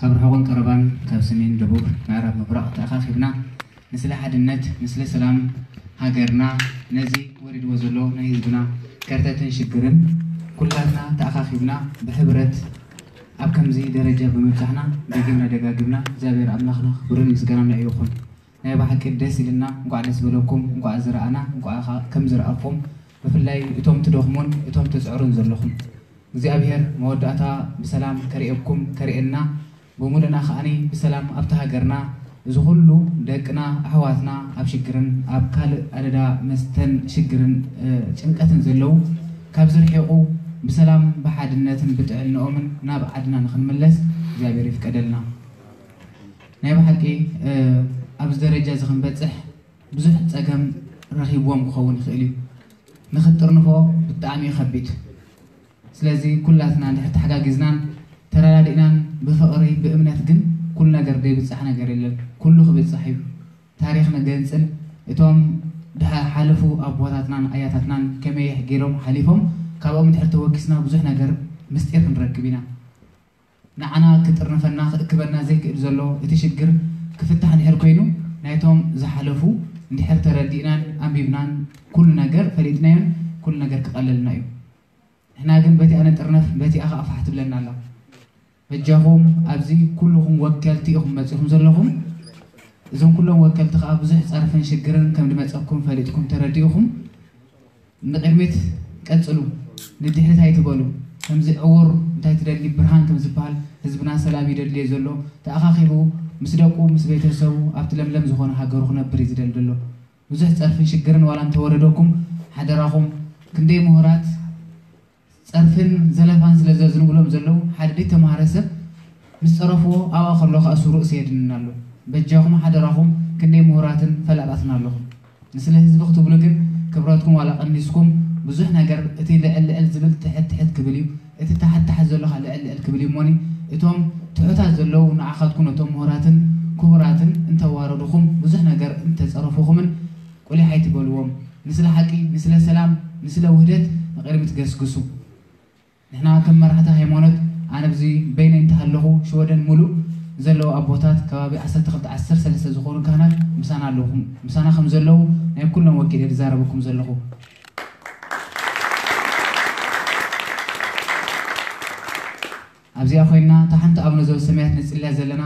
ካብ ርሑቕን ቀረባን፣ ካብ ሰሜን፣ ደቡብ፣ ምዕራብ፣ ምብራቕ ተኣኻኺብና ንስለ ሓድነት፣ ንስለ ሰላም ሃገርና፣ ነዚ ወሪድዎ ዘሎ ናይ ህዝብና ከርተትን ሽግርን ኩላትና ተኣኻኺብና ብሕብረት ኣብ ከምዚ ደረጃ ብምብጻሕና ደጊምና ደጋጊምና እግዚኣብሔር ኣምላኽና ክብርን ምስጋናን ንዕኡ ይኹን። ናይ ብሓቂ ደስ ኢልና፣ እንቋዕ ደስ በለኩም፣ እንቋዕ ዝረኣና፣ እንቋዕ ኸ-፣ ከም ዝረኣኹም፣ ብፍላይ እቶም ትደኽሙን እቶም ትጽዕሩን ዘለኹም እግዚኣብሔር መወዳእታ ብሰላም ከርእየኩም ከርእየና። ብምሉእና ከኣኒ ብሰላም ኣብቲ ሃገርና እዚ ኩሉ ደቅና ኣሕዋትና ኣብ ሽግርን ኣብ ካልእ ኣደዳ መስተን ሽግርን እ፣ ጭንቀትን ዘለዉ ካብ ዝርሒቑ ብሰላም ብሓድነትን ብጥዕንኦምን ናብ ዓድና ንክንምለስ እግዚኣብሔር ይፍቀደልና። ናይ ብሓቂ እ፣ ኣብዚ ደረጃ እዚ ክንበፅሕ ብዙሕ ፀገም ረኺብዎም ክኸውን ይኽእል እዩ። ንክትጥርንፎ ብጣዕሚ እዩ ከቢድ። ስለዚ ኩላትና እንድሕር ተሓጋጊዝናን ተረዳዲእናን ብፍቕሪ ብእምነት ግን ኩሉ ነገር ዘይብፃሕ ነገር የለን። ኩሉ ክብፃሕ እዩ። ታሪኽ ንገንፅል። እቶም ድሓ ሓለፉ ኣቦታትናን ኣያታትናን ከመይ ገይሮም ሓሊፎም ካብኦም እንድሕር ተወኪስና ብዙሕ ነገር ምስጢር ክንረክብ ኢና። ንዓና ክጥርንፈና ክእክበና ዘይክእል ዘሎ እቲ ሽግር ክፍታሕ እንድሕር ኮይኑ ናይቶም ዝሓለፉ እንድሕር ተረዲእናን ኣንቢብናን ኩሉ ነገር ፈሊጥናዮን ኩሉ ነገር ክቐለልና እዩ። ንሕና ግን በቲኣ ንጥርነፍ በቲኣ ከዓ ፋሕ ትብለና ኣላ። በጃኹም ኣብዚ ኩልኹም ወከልቲ ኢኹም መፂኹም ዘለኹም። እዞም ኩሎም ወከልቲ ከዓ ብዙሕ ፀርፍን ሽግርን ከም ዝመፀኩም ፈሊጥኩም ተረዲእኹም ንቅድሚት ቀፅሉ። ንድሕሪት ኣይትበሉ። ከምዚ ዕውር እንታይ ትደሊ ብርሃን ከም ዝበሃል ህዝብና ሰላም ይደልዮ ዘሎ ተኣኻኺቡ ምስ ደቁ ምስ ቤተሰቡ ኣብቲ ለምለም ዝኾነ ሃገሩ ክነብር እዩ ዝደሊ ዘሎ። ብዙሕ ፀርፍን ሽግርን ዋላ እንተወረደኩም ሓደራኹም ክንደይ ምሁራት ፀርፍን ዘለፋን ስለ ዘዝንብሎም ዘለዉ ሓደ ዘይተማሃረ ሰብ ምስ ፀረፍዎ ኣብኣ ከሎ ከዓ እሱ ርእሲ የድንን ኣሎ። በጃኹም ሓደራኹም ክንደይ ምሁራትን ፈላጣትን ኣለኹም። ንስለ ህዝቢ ክትብሉ ግን ክብረትኩም ዋላ ቀኒስኩም ብዙሕ ነገር እቲ ልዕል ልዕል ዝብል ትሕት ትሕት ክብል እዩ። እቲ ታሕት ታሕት ዘሎ ከዓ ልዕል ልዕል ክብል እዩ እሞኒ እቶም ትሑታት ዘለዉ ንዓኻትኩም ነቶም ምሁራትን ክቡራትን እንተዋረድኹም ብዙሕ ነገር እንተፀረፉኹምን ቁሊሕ ኣይትበልዎም። ንስለ ሓቂ፣ ንስለ ሰላም፣ ንስለ ውህደት ንቕድሚት ገስግሱ። ንሕና ከም መራሕቲ ሃይማኖት ኣነ ኣብዚ በይነይ እንተሃለኹ ሽወደን ሙሉእ ዘለዉ ኣቦታት ከባቢ ዓሰርተ ክልተ ዓሰርተ ሰለስተ ዝኾኑ ካህናት ምሳና ኣለኹም ምሳና ከም ዘለዉ ናይ ኩሎም ወኪለ ዝዛረበኩም ዘለኹ። ኣብዚኣ ኮይንና እታ ሓንቲ ኣቡነ ዘበሰማያት ንጽልያ ዘለና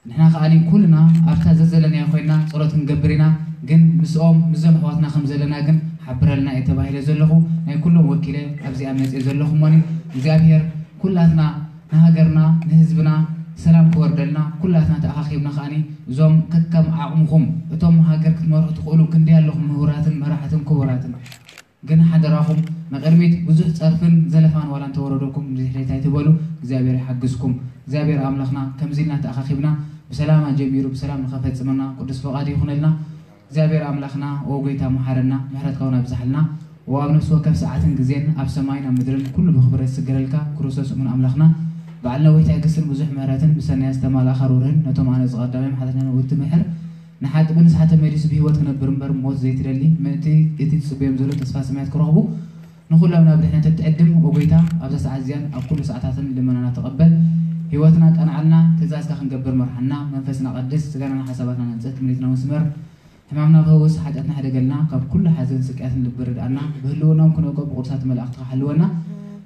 ንሕና ከኣ ኩልና ኣብታ ዘዘለናዮ ኮይንና ጸሎት ክንገብር ኢና። ግን ምስኦም ምስዞም ኣሕዋትና ከም ዘለና ግን ሓብረልና እየ ተባሂለ ዘለኹ ናይ ኩሎም ወኪለ ኣብዚኣ መጽየ ዘለኹ እሞኒ እግዚኣብሔር ኩላትና ንሃገርና ንህዝብና ሰላም ክወርደልና ኩላትና ተኣኻኺብና ከኣ እዞም ከከም ዓቕምኹም እቶም ሃገር ክትመርሑ ትኽእሉ ክንደይ ኣለኹም ምሁራትን መራሕትን ክቡራትን ግን ሓደራኹም ንቕድሚት ብዙሕ ጸርፍን ዘለፋን ዋላ እንተወረደኩም ንድሕሪት ኣይትበሉ እግዚኣብሔር ይሓግዝኩም እግዚኣብሔር ኣምላኽና ከምዚ ኢልና ተኣኻኺብና ብሰላም ኣጀሚሩ ብሰላም ንኸፈጽመና ቅዱስ ፈቓዱ ይኹነልና እግዚኣብሔር ኣምላኽና ኦ ጎይታ መሓረና ምሕረትካ እውን ኣብዝሓልና ኦ ኣብ ነፍሲ ወከፍ ሰዓትን ግዜን ኣብ ሰማይን ኣብ ምድርን ኩሉ ብኽብረት ዝስገደልካ ክርስቶስ እሙን ኣምላኽና በዓል ነዊሕ ትዕግስትን ብዙሕ ምሕረትን ብሰናያ ዝተማልኣኻ ርህሩህን ነቶም ኣነ ዝቐዳማይ ሓጢኣትና ንውቲ ምሕር ንሓቂ ብንስሓ ተመሊሱ ብህይወት ክነብር እምበር ሞት ዘይትደሊ ምእንቲ እቲ ዝጽበዮም ዘሎ ተስፋ ሰማያት ክረኽቡ ንኹሎም ናብ ድሕነት እትዕድም ኦ ጎይታ ኣብዛ ሰዓት እዚኣን ኣብ ኩሉ ሰዓታትን ልመናና ተቐበል ህይወትና ቀንዓልና ትእዛዝካ ክንገብር መርሓና መንፈስና ቀድስ ስጋናና ሓሳባትና ነንጽህ ትምኒትና መስመር ሕማምና ፈውስ ሓጢኣትና ሕደገልና ካብ ኩሉ ሓዘን ስቅያትን ልቢ ርድኣና ብህልውናን ኩነቆ ብቅዱሳት መላእኽትኻ ሓልወና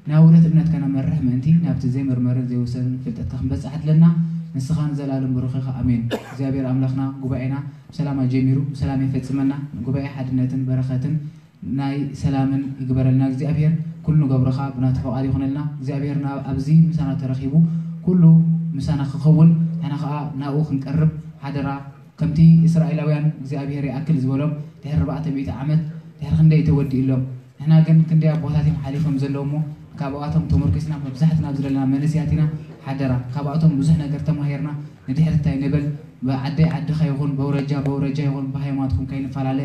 ናብ ውደት እምነትካ ነመርሕ ምእንቲ ናብቲ ዘይምርመርን ዘይውሰንን ፍልጠትካ ክንበጽሕ ኣድለና ንስኻ ንዘለኣለም ብሩኽ ኢኻ ኣሜን እግዚኣብሔር ኣምላኽና ጉባኤና ብሰላም ኣጀሚሩ ብሰላም የፈጽመና ጉባኤ ሓድነትን በረኸትን ናይ ሰላምን ይግበረልና እግዚኣብሔር ኩሉ ንገብሮ ኸዓ ብናቱ ፈቓድ ይኹነልና እግዚኣብሔር ናብ ኣብዚ ምሳና ተረኺቡ ኩሉ ምሳና ክኸውን ንሕና ኸዓ ናብኡ ክንቀርብ ሓደራ ከምቲ እስራኤላውያን እግዚኣብሔር ይኣክል ዝበሎም ድሕሪ ኣርባዕተ ሚእቲ ዓመት ድሕሪ ክንደይ ተወዲእሎም ንሕና ግን ክንደይ ኣቦታት እዮም ሓሊፎም ዘለዉ እሞ ካብኣቶም ተመርኪስና መብዛሕትና ኣብዚ ዘለና መንእሰያት ኢና ሓደራ ካብኣቶም ብዙሕ ነገር ተማሂርና ንድሕሪት ኣይንበል ብዓደይ ዓድኻ ይኹን በውረጃ በውረጃ ይኹን ብሃይማኖትኩም ከይንፈላለ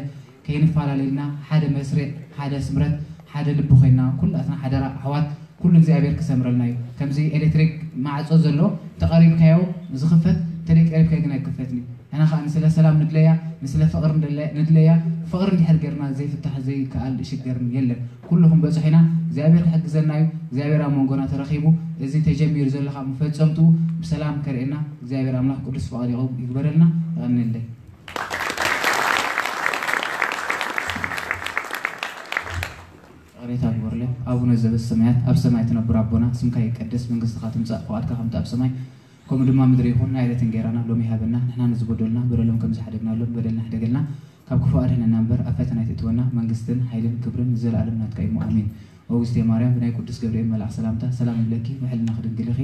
ከይንፈላለ ኢልና ሓደ መስርዕ ሓደ ስምረት ሓደ ልቢ ኮይና ኩላትና ሓደራ ኣሕዋት ኩሉ እግዚኣብሔር ክሰምረልና እዩ ከምዚ ኤሌክትሪክ ማዕፆ ዘሎ ተቐሪብካዮ ዝኽፈት ተደይ ቀሪብካ ግን ኣይክፈትኒ። ንሕና ከዓ ንስለ ሰላም ንድለያ፣ ንስለ ፍቕሪ ንድለ- ንድለያ። ፍቕሪ እንድሕር ገርና ዘይፍታሕ ዘይከኣል ሽግር የለን። ኩሉ ክንበፅሖ ኢና። እግዚኣብሔር ክሕግዘና እዩ። እግዚኣብሔር ኣብ መንጎና ተረኺቡ፣ እዚ ተጀሚሩ ዘሎ ካብ መፈጸምትኡ ብሰላም ከርእየና እግዚኣብሔር ኣምላኽ ቅዱስ ፍቓድ ይቕበለልና። የቐንየለይ። ይቕሬታ ግበሩለይ። ኣቡነ ዘበሰማያት፣ ኣብ ሰማይ ትነብር ኣቦና፣ ስምካ ይቀደስ፣ መንግስትኻ ትምጻእ፣ ፍቓድካ ከምቲ ኣብ ሰማይ ከምኡ ድማ ምድሪ ይኹን። ናይ ዕለት እንጌራና ሎሚ ሃበና፣ ንሕና ንዝበደሉና በደሎም ከም ዝሓደግናሎም በደልና ሕደገልና፣ ካብ ክፉእ ኣድሕነና እምበር ኣብ ፈተና ኣይትእትወና፣ መንግስትን ሓይልን ክብርን ንዘለኣለም ናትካ እዩ፣ ኣሜን። ኦግስቴ ማርያም፣ ብናይ ቅዱስ ገብርኤል መልኣኽ ሰላምታ ሰላም ንብለኪ፣ ብሕልናኺ ድንግል ኢኺ፣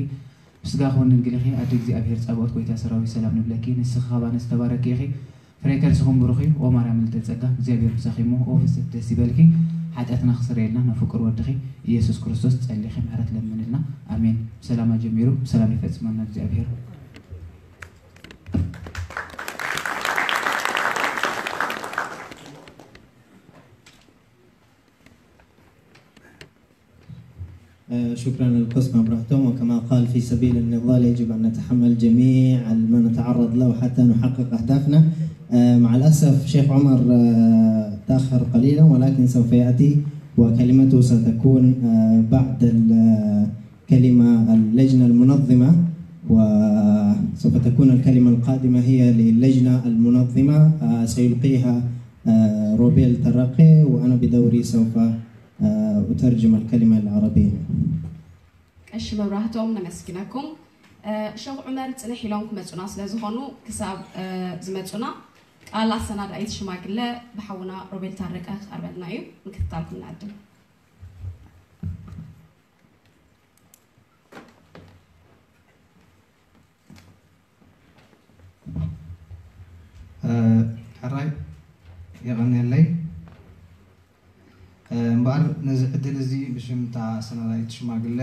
ብስጋኺ እውን ድንግል ኢኺ፣ ኣደ እግዚኣብሔር ጸባኦት፣ ጎይታ ሰራዊት፣ ሰላም ንብለኪ፣ ንስኺ ካብ ኣንስቲ ተባረኪ ኢኺ፣ ፍሬ ከርስኹም ብሩኽ እዩ። ኦ ማርያም ምልዕተ ጸጋ፣ እግዚኣብሔር ምሳኺ እሞ፣ ኦ ፍስሕቲ ደስ ይበልኪ፣ ሓጢኣትና ክስረየልና ናብ ፍቁር ወድኺ ኢየሱስ ክርስቶስ ጸሊኺ ምሕረት ለምንልና። ኣሜን። ብሰላም ኣጀሚሩ ብሰላም ይፈጽመና እግዚኣብሔር። آه، شكرا للقس مبرهتوم. وكما قال، في سبيل النضال يجب أن نتحمل جميع ما نتعرض له حتى نحقق أهدافنا. آه، مع الأسف شيخ عمر، آه، تأخر قليلا، ولكن سوف يأتي، وكلمته ستكون، آه، بعد ال- كلمة اللجنة المنظمة، وسوف تكون الكلمة القادمة هي للجنة المنظمة، آه، سيلقيها، آه، روبيل ترقي، وأنا بدوري سوف، آه، أترجم الكلمة العربية. ቀሺ መብራህቶም ነመስግነኩም። እ፣ ሸኽ ዑመር ጽንሕ ኢሎም ክመጹና ስለ ዝኾኑ ክሳብ፣ እ፣ ዝመጹና ቃል ኣሰናዳኢት ሽማግለ ብሓውና ሮቤል ታረቀ ክቐርበልና እዩ። ምክትታልኩም ንዕድም። ሕራይ የቐንየለይ። እምበኣር ነዚ ዕድል እዚ ብሽም እታ ኣሰናዳኢት ሽማግለ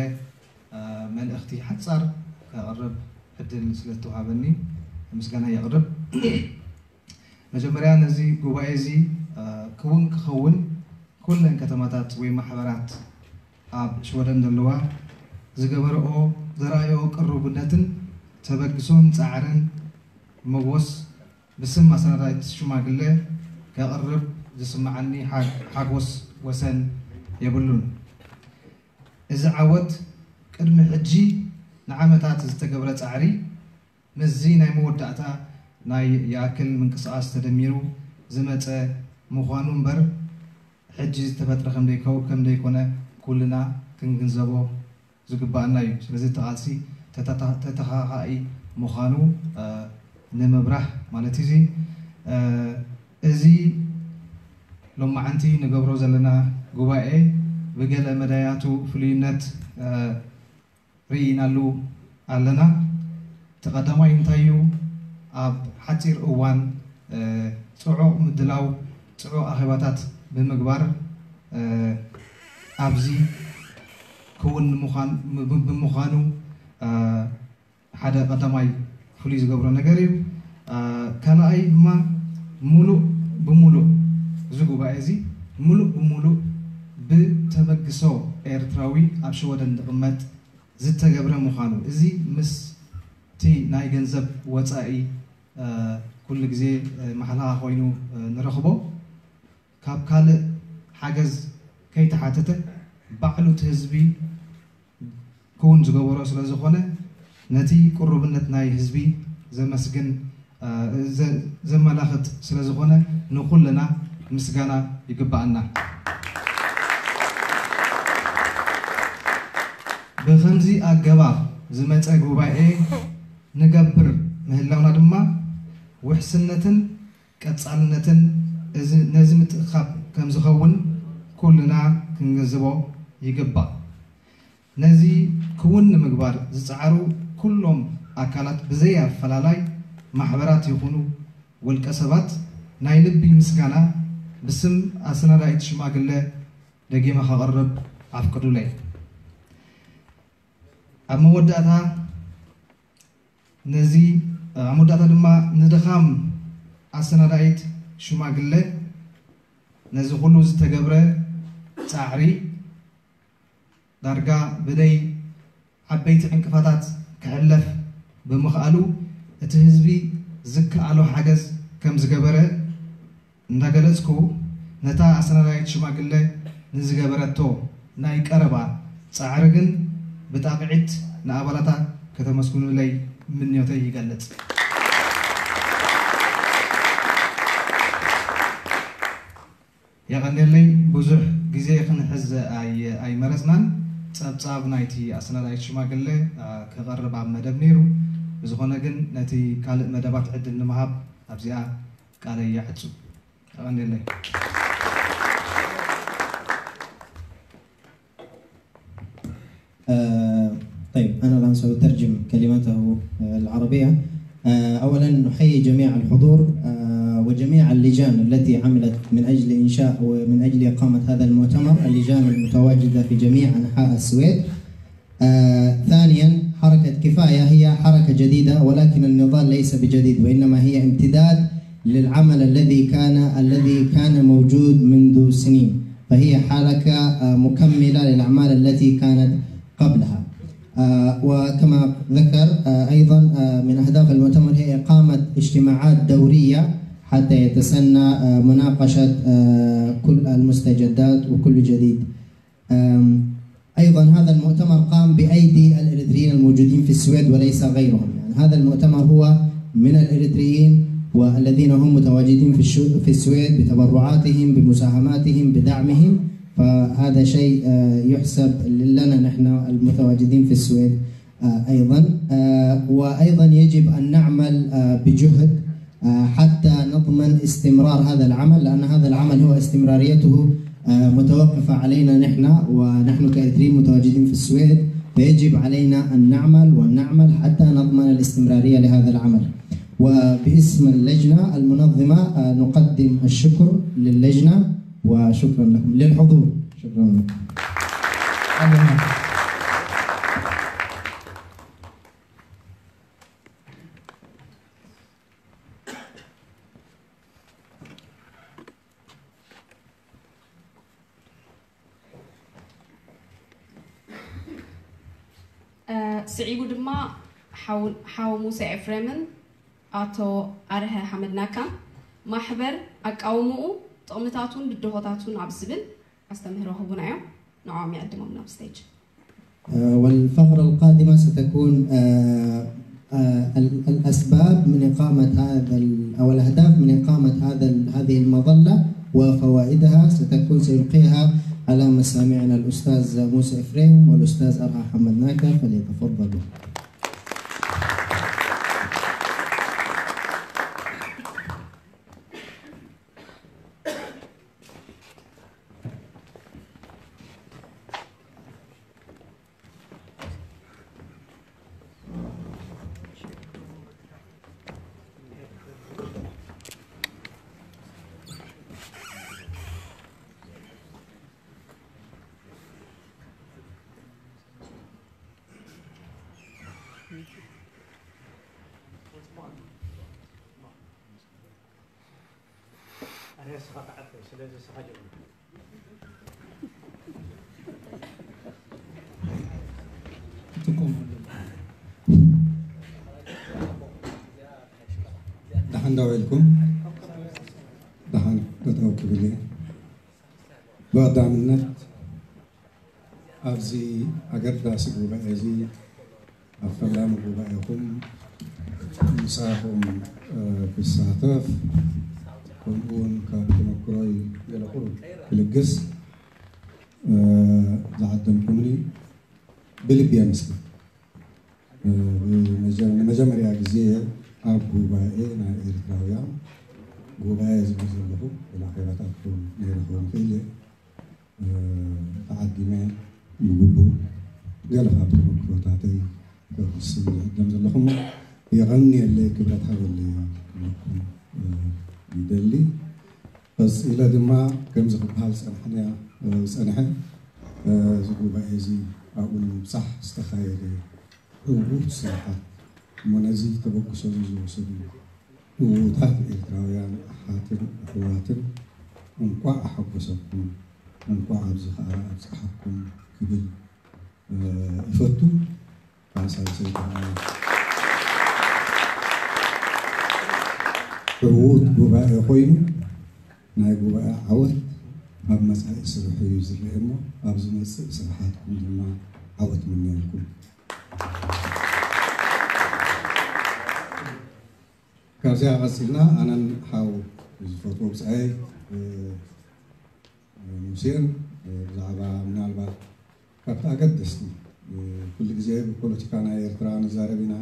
መልእኽቲ ሓጻር ከቕርብ ዕድል ስለእተውሃበኒ ምስጋና የቕርብ። መጀመርያ ነዚ ጉባኤ እዚ ክውን ክኸውን ኩለን ከተማታት ወይ ማሕበራት ኣብ ሽወደን ዘለዋ ዝገበረኦ ዘርኣየኦ ቅሩብነትን ተበግሶን ጻዕርን መጎስ ብስም ኣሰናዳኢት ሽማግለ ከቕርብ ዝስምዓኒ ሓጎስ ወሰን የብሉን። እዚ ዓወት ቅድሚ ሕጂ ንዓመታት ዝተገብረ ጻዕሪ ምስዚ ናይ መወዳእታ ናይ ይኣክል ምንቅስቓስ ተደሚሩ ዝመጸ ምዃኑ እምበር ሕጂ ዝተፈጥረ ከምደይኮነ ኩልና ክንግንዘቦ ዝግባኣና እዩ። ስለዚ እቲ ቃልሲ ተተኻኻኢ ምዃኑ ንምብራህ ማለት እዩ። እዚ ሎማዓንቲ ንገብሮ ዘለና ጉባኤ ብገለ መዳያቱ ፍሉይነት ርኢናሉ ኣለና። እቲ ቀዳማይ እንታይ እዩ? ኣብ ሓፂር እዋን ፅዑቕ ምድላው፣ ፅዑቕ ኣኼባታት ብምግባር ኣብዚ ክውን ብምዃኑ ሓደ ቀዳማይ ፍሉይ ዝገብሮ ነገር እዩ። ካልኣይ ድማ ሙሉእ ብሙሉእ እዚ ጉባኤ እዚ ሙሉእ ብሙሉእ ብተበግሶ ኤርትራዊ ኣብ ሽወደን ዝቕመጥ ዝተገብረ ምዃኑ፣ እዚ ምስቲ ናይ ገንዘብ ወፃኢ ኩሉ ግዜ ማሕለኻ ኮይኑ ንረኽቦ፣ ካብ ካልእ ሓገዝ ከይተሓተተ ባዕሉ እቲ ህዝቢ ክውን ዝገበሮ ስለ ዝኾነ ነቲ ቅሩብነት ናይ ህዝቢ ዘመስግን ዘመላኽት ስለ ዝኾነ ንኹልና ምስጋና ይግባኣና። ብኸምዚ ኣገባብ ዝመፀ ጉባኤ ንገብር ምህላውና ድማ ውሕስነትን ቀፃልነትን ነዚ ምትእኽኻብ ከምዝኸውን ኩልና ክንግንዝቦ ይግባእ። ነዚ ክውን ንምግባር ዝፀዓሩ ኩሎም ኣካላት ብዘይ ኣፈላላይ ማሕበራት ይኹኑ ውልቀ ሰባት ናይ ልቢ ምስጋና ብስም ኣሰናዳኢት ሽማግለ ደጊመ ከቕርብ ኣፍቅዱለይ። ኣብ መወዳእታ ነዚ ኣብ መወዳእታ ድማ ንድኻም ኣሰናዳኢት ሽማግለ ነዚ ኩሉ ዝተገብረ ፃዕሪ ዳርጋ ብደይ ዓበይቲ ዕንቅፋታት ክሕለፍ ብምኽኣሉ እቲ ህዝቢ ዝከኣሎ ሓገዝ ከም ዝገበረ እንዳገለጽኩ፣ ነታ ኣሰናዳኢት ሽማግለ ንዝገበረቶ ናይ ቀረባ ጻዕሪ ግን ብጣቕዒት ንኣባላታ ከተመስግኑለይ ምንዮተይ ይገልጽ። የቐንየለይ። ብዙሕ ግዜ ክንሕዝ ኣይ-፣ ኣይመረጽናን። ጸብጻብ ናይቲ ኣሰናዳኢት ሽማግለ፣ ኣ፣ ክቐርብ ኣብ መደብ ነይሩ። ብዝኾነ ግን ነቲ ካልእ መደባት ዕድል ንምሃብ ኣብዚኣ ቃለይ ይዓጹ። የቐንየለይ። آه، طيب، أنا الآن سأترجم كلمته، آه، العربية. آه، أولًا نحيي جميع الحضور، آه، وجميع اللجان التي عملت من أجل إنشاء ومن أجل إقامة هذا المؤتمر، اللجان المتواجدة في جميع أنحاء السويد. آه، ثانيًا، حركة كفاية هي حركة جديدة، ولكن النضال ليس بجديد، وإنما هي امتداد للعمل الذي كان، الذي كان موجود منذ سنين، فهي حركة، آه، مكملة للأعمال التي كانت قبلها. آه، وكما ذكر، آه، أيضًا، آه، من أهداف المؤتمر هي إقامة اجتماعات دورية حتى يتسنى، آه، مناقشة، آه، كل المستجدات وكل جديد. آم، أيضًا هذا المؤتمر قام بأيدي الإريتريين الموجودين في السويد وليس غيرهم. يعني هذا المؤتمر هو من الإريتريين والذين هم متواجدين في الشو-، في السويد بتبرعاتهم، بمساهماتهم، بدعمهم. فهذا شيء، آه، يحسب لنا نحن المتواجدين في السويد، آه، أيضًا. آه، وأيضًا يجب أن نعمل، آه، بجهد، آه، حتى نضمن استمرار هذا العمل، لأن هذا العمل هو استمراريته، آه، متوقفة علينا نحن، ونحن كإريتريين متواجدين في السويد، فيجب علينا أن نعمل ونعمل حتى نضمن الاستمرارية لهذا العمل. وباسم اللجنة المنظمة، آه، نقدم الشكر للجنة، وشكرًا لكم للحضور. شكرًا لكم. እ፣ ስዒቡ ድማ ሓው-፣ ሓው ሙሴ ኤፍሬምን ኣቶ ኣርሀ ሓመድናካን ማሕበር ኣቃውምኡ፣ ጥቕምታቱን ብድሆታቱን ኣብ ዝብል ኣስተምህሮ ክህቡና እዮም። ንዕኦም ይዕድሞም ናብ ስቴጅ። آه، والفقرة القادمة ستكون، آه، آه، ال-، الأسباب من إقامة هذا ال-، أو الأهداف من إقامة هذا ال-، هذه المظلة وفوائدها، ستكون سيلقيها على مسامعنا الأستاذ موسى إفريم والأستاذ أرها حمد ناكا، فليتفضلوا. ኣነ ንስኻ ትዓርፈ፣ ስለዚ ንስኻ ጀምር። ትኩም። ደሓን ዶ ውዒልኩም? ደሓን ጠጠው ክብል እየ። ብቐዳምነት ኣብዚ ኣገዳሲ ጉባኤ እዚ ኣብ ፈላሚ ጉባኤኹም ምሳኹም፣ እ፣ ክሳተፍ፣ ከምኡውን ካብ ተመክሮይ ገለ ቁሩብ ክልግስ፣ እ፣ ዝዓደምኩምኒ ብልቢ የመስግን። እ፣ ብመጀ-፣ ንመጀመርያ ግዜ ኣብ ጉባኤ ናይ ኤርትራውያን ጉባኤ ዝብል ዘለኹ፣ ገለ ኣኼባታትኩም ነይረ ክኸውን ይኽእል እየ። እ፣ ተዓዲመ ብግቡእ ገለ ካብ ተመክሮታተይ ከውስን ዝዕደም ዘለኹ እሞ፣ የቐንየለይ፣ ክብረት ሃበለይ ክብለኩም፣ እ፣ ይደሊ። ቀጺለ ድማ ከምዚ ክበሃል ዝጸንሐንያ፣ እ፣ ዝጸንሐ፣ እ፣ እዚ ጉባኤ እዚ ኣብኡ ንምብጻሕ ዝተኻየደ ዕዉት ስራሓት እሞ ነዚ ተበግሶ እዚ ዝወሰዱ ዕዉታት ኤርትራውያን ኣሓትን ኣሕዋትን እንቋዕ ኣሐጎሰኩም፣ እንቋዕ ኣብዚ ከኣ ኣብጽሓኩም ክብል፣ እ፣ እፈቱ። ብሓሳብ ሰይጣን። ዕዉት ጉባኤ ኮይኑ ናይ ጉባኤ ዓወት ኣብ መጻኢ ስርሑ እዩ ዝረአ እሞ ኣብ ዝመጽእ ስራሓትኩም ድማ ዓወት ምነየልኩም። ካብዚኣ ቀፂልና ኣነን ሓው ዝፈትዎ ብፃይ ሙሴን ብዛዕባ ምናልባት ካብቲ ኣገደስቲ ኩሉ ግዜ ብፖለቲካ ናይ ኤርትራ ንዛረብ ኢና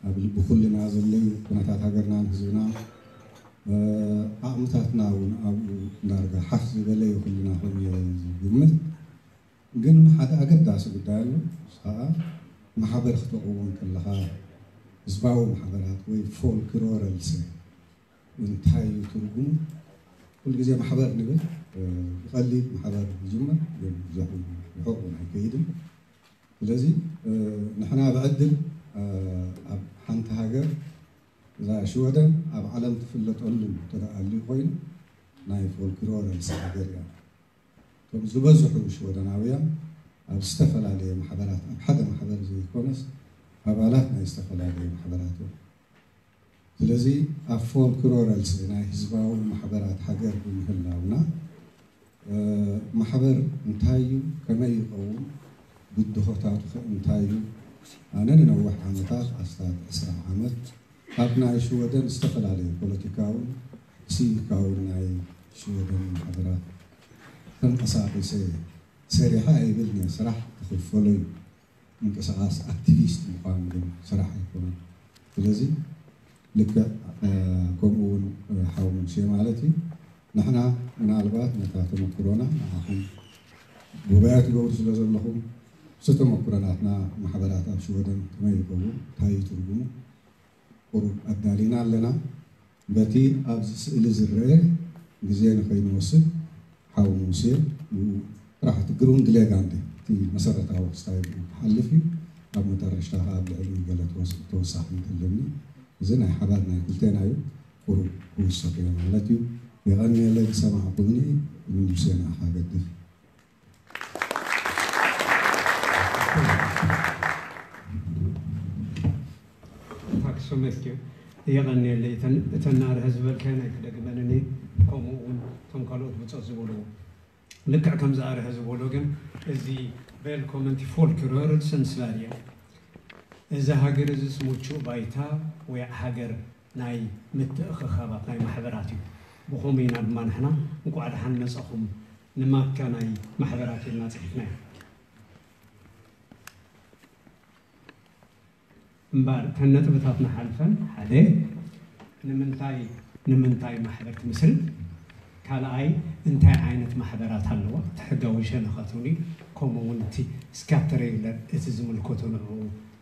ኣብ ልቢ ኩልና ዘለዩ ኩነታት ሃገርናን ህዝብናን ዓቕምታትና እውን ኣብኡ እንዳርጋ ሓፍ ዝበለ እዩ ኩልና ኮይኑ ዝግምት። ግን ሓደ ኣገዳሲ ጉዳይ ኣሎ። እሱ ከዓ ማሕበር ክተቕውም ከለኻ ህዝባዊ ማሕበራት ወይ ፎልክሎረልስ እንታይ እዩ ትርጉሙ? ኩሉ ግዜ ማሕበር ንብል ብቐሊል ማሕበር ይጅመር ግን ብዙሕ ርሑቕ እውን ኣይከይድን። ስለዚ ንሕና ብዕድል ኣብ ሓንቲ ሃገር እዛ ሽወደን ኣብ ዓለም ትፍለጠሉ ተደኣልዩ ኮይኑ ናይ ፎልክሎረልስ ሃገር እያ። እቶም ዝበዝሑ ሽወደናውያን ኣብ ዝተፈላለየ ማሕበራት ኣብ ሓደ ማሕበር ዘይኮነስ ኣባላት ናይ ዝተፈላለየ ማሕበራት እዮም። ስለዚ ኣብ ፎልክሎረልስ ናይ ህዝባዊ ማሕበራት ሃገር ብምህላውና ማሕበር እንታይ እዩ፣ ከመይ ይኸውን፣ ብድሆታቱ ከ እንታይ እዩ? ኣነ ንነዊሕ ዓመታት ኣስታት ዕስራ ዓመት ኣብ ናይ ሽወደን ዝተፈላለዩ ፖለቲካውን ሲቪካውን ናይ ሽወደን ማሕበራት ተንቀሳቒሰ ሰሪሐ ኣይብልን እየ። ስራሕ ክኽፈሎ እዩ። ምንቅስቓስ ኣክቲቪስት ምዃን ግን ስራሕ ኣይኮነን። ስለዚ ልክዕ ከምኡ እውን ሓው ሙሴ ማለት እዩ። ንሕና ምናልባት ነታ ተመክሮና ንዓኹም ጉባኤ ትገብሩ ስለ ዘለኹም፣ ዝተመክሮ ናትና ማሕበራት ኣብ ሽወደን ከመይ ይኸውን፣ እንታይ እዩ ትርጉሙ፣ ቁሩብ ኣዳሊና ኣለና። በቲ ኣብዚ ስእሊ ዝረአ ግዜ ንኸይንወስድ ሓው ሙሴ ብኡ ጥራሕ እቲ ግሩንድ ሌጋንድ እቲ መሰረታዊ ክስታይ ብኡ ክሓልፍ እዩ። ኣብ መጠረሽታ ከዓ ኣብ ልዕሊኡ ገለ ተወስ- ተወሳኺ እንተለኒ እዚ ናይ ሓባር ናይ ክልቴና እዩ። ቁሩብ ክውሰኽ እየ ማለት እዩ። የቐንየለይ ዝሰማዕኩምኒ። ንሙሴ ንዓኻ ገድፍ። ታክሶመት እዩ። የቐንየለይ። እተን እተን ኣርሀ ዝበልካየን ኣይክደግመንን እየ። ከምኡ እውን እቶም ካልኦት ብጾት ዝበልዎ ልክዕ ከምዚ ኣርሀ ዝበሎ ግን እዚ ቬልኮመንቲ ፎልክሎር ስንስላር እየ። እዚ ሃገር እዚስ ምቹእ ባይታ ወይ ሃገር ናይ ምትእኽኻባት ናይ ማሕበራት እዩ። ብኸምኡ ኢና ድማ ንሕና እንቋዕ ደሓን መጻኹም ንማካ ናይ ማሕበራት ኢልና ጽሒፍናዮ። እምበኣር እተን ነጥብታት ንሓልፈን፣ ሓደ ንምንታይ ንምንታይ ማሕበር ትምስርት፣ ካልኣይ እንታይ ዓይነት ማሕበራት ኣለዋ፣ እቲ ሕጋዊ ሸነኻት እውን እዩ፣ ከምኡ እውን እቲ ስካተሬግለር እቲ ዝምልከቶ ንዕኡ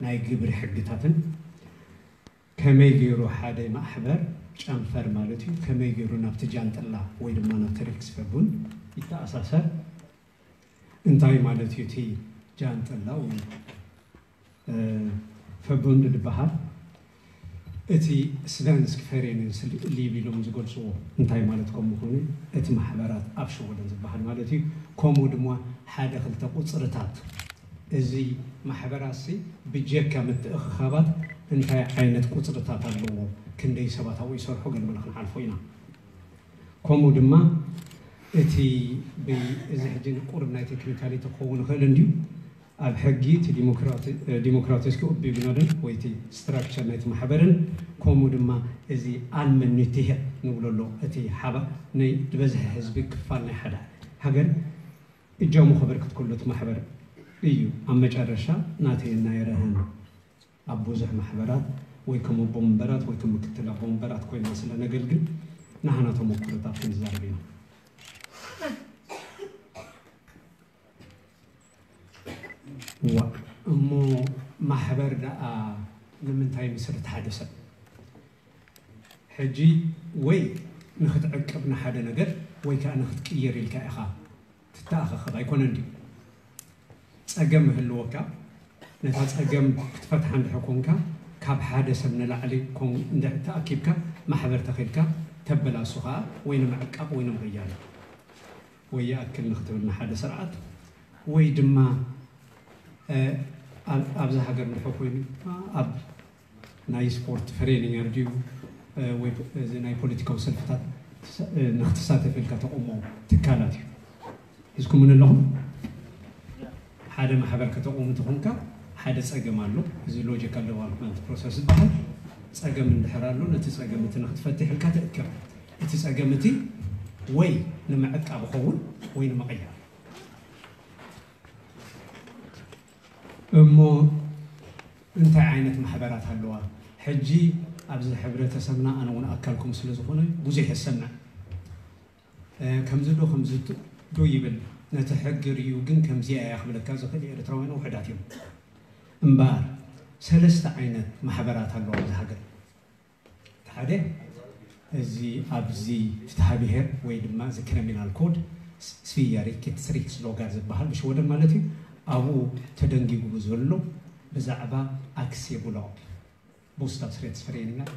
ናይ ግብሪ ሕግታትን ከመይ ገይሩ ሓደ ማሕበር ጨንፈር ማለት እዩ ከመይ ገይሩ ናብቲ ጃንጥላ ወይ ድማ ናብቲ ሪክስፈቡን ይተኣሳሰር? እንታይ ማለት እዩ እቲ ጃንጥላ ወይ ፈቡንድ ዝበሃል? እቲ ስቨንስክ ፈሬንስ ሊብ ኢሎም ዝገልፅዎ እንታይ ማለት ከም ምኾነ እቲ ማሕበራት ኣብ ሽወደን ዝበሃል ማለት እዩ። ከምኡ ድማ ሓደ ክልተ ቁፅርታት እዚ ማሕበራት ሲ ብጀካ ምትእኽኻባት እንታይ ዓይነት ቁፅርታት ኣለዎ፣ ክንደይ ሰባት ኣብኡ ይሰርሑ ገለመለ ክንሓልፎ ኢና። ከምኡ ድማ እቲ እዚ ሕጂ ቁሩብ ናይ ቴክኒካሊቲ ክኸውን ይኽእል እንድዩ ኣብ ሕጊ እቲ ዲሞክራቲስክ ኡቢግናድን ወይ እቲ ስትራክቸር ናይቲ ማሕበርን ከምኡ ድማ እዚ ኣልመኒትህ ንብሎ ኣሎ እቲ ሓባ ናይ ዝበዝሐ ህዝቢ ክፋል ናይ ሓደ ሃገር እጃሙ ከበርክት ከሎ እቲ ማሕበር እዩ ኣብ መጨረሻ ናተይ ናይ ረህን ኣብ ብዙሕ ማሕበራት ወይ ከም ኣቦ መንበራት ወይ ከም ምክትል ኣቦ መንበራት ኮይና ስለ ነገልግል ናህና ተመኩሮታት ክንዛረብ ኢና። ዋ እሞ ማሕበር ደኣ ንምንታይ ምስርት ሓደ ሰብ ሕጂ ወይ ንክትዕቅብ ንሓደ ነገር ወይ ከዓ ንክትቅየር ኢልካ ኢኻ ትተኣኻኸብ ኣይኮነን ድዩ? ፀገም ይህልወካ ነታ ፀገም ክትፈትሓ እንድሕር ኮንካ ካብ ሓደ ሰብ ንላዕሊ ኮን እንድሕር ተኣኪብካ ማሕበር ተኺልካ ተበላሱ ከዓ ወይ ንምዕቃብ ወይ ንምቕያር ወይ ይኣክል ንክትብል ንሓደ ስርዓት ወይ ድማ ኣብዛ ሃገር እንድሕር ኮይኑ ኣብ ናይ ስፖርት ፍሬንየር ድዩ ወይ እዚ ናይ ፖለቲካዊ ሰልፍታት ንክትሳተፍ ኢልካ ተቆሞ ትካላት እዩ። ሒዝኩምን ኣለኹም? ሓደ ማሕበር ከተቆሙ እንተኾንካ ሓደ ፀገም ኣሎ። እዚ ሎጂካል ዴቨሎፕመንት ፕሮሰስ ዝበሃል ፀገም እንድሕር ኣሎ፣ ነቲ ፀገም እቲ ንክትፈትሕ ኢልካ ትእከብ። እቲ ፀገም እቲ ወይ ንምዕቃብ ኸውን ወይ ንምቕያር። እሞ እንታይ ዓይነት ማሕበራት ኣለዋ? ሕጂ ኣብዚ ሕብረተሰብና ኣነ እውን ኣካልኩም ስለ ዝኾነ ብዙሕ የሰምዕ። ከምዚ ዶ ከምዚ ዶ ይብል፣ ነቲ ሕጊ ርእዩ ግን ከምዚኣ እያ ክብለካ ዝኽእል ኤርትራውያን ውሑዳት እዮም። እምበኣር ሰለስተ ዓይነት ማሕበራት ኣለዋ ኣብዚ ሃገር። ሓደ እዚ ኣብዚ ፍትሐ ብሔር ወይ ድማ እዚ ክሪሚናል ኮድ ስፍያሪ ኬትስሪክስ ሎጋር ዝበሃል ብሽወደን ማለት እዩ። ኣብኡ ተደንጊጉ ዘሎ ብዛዕባ ኣክሴ ቦላግ ቦስታብስሬትስፈሬኒንጋር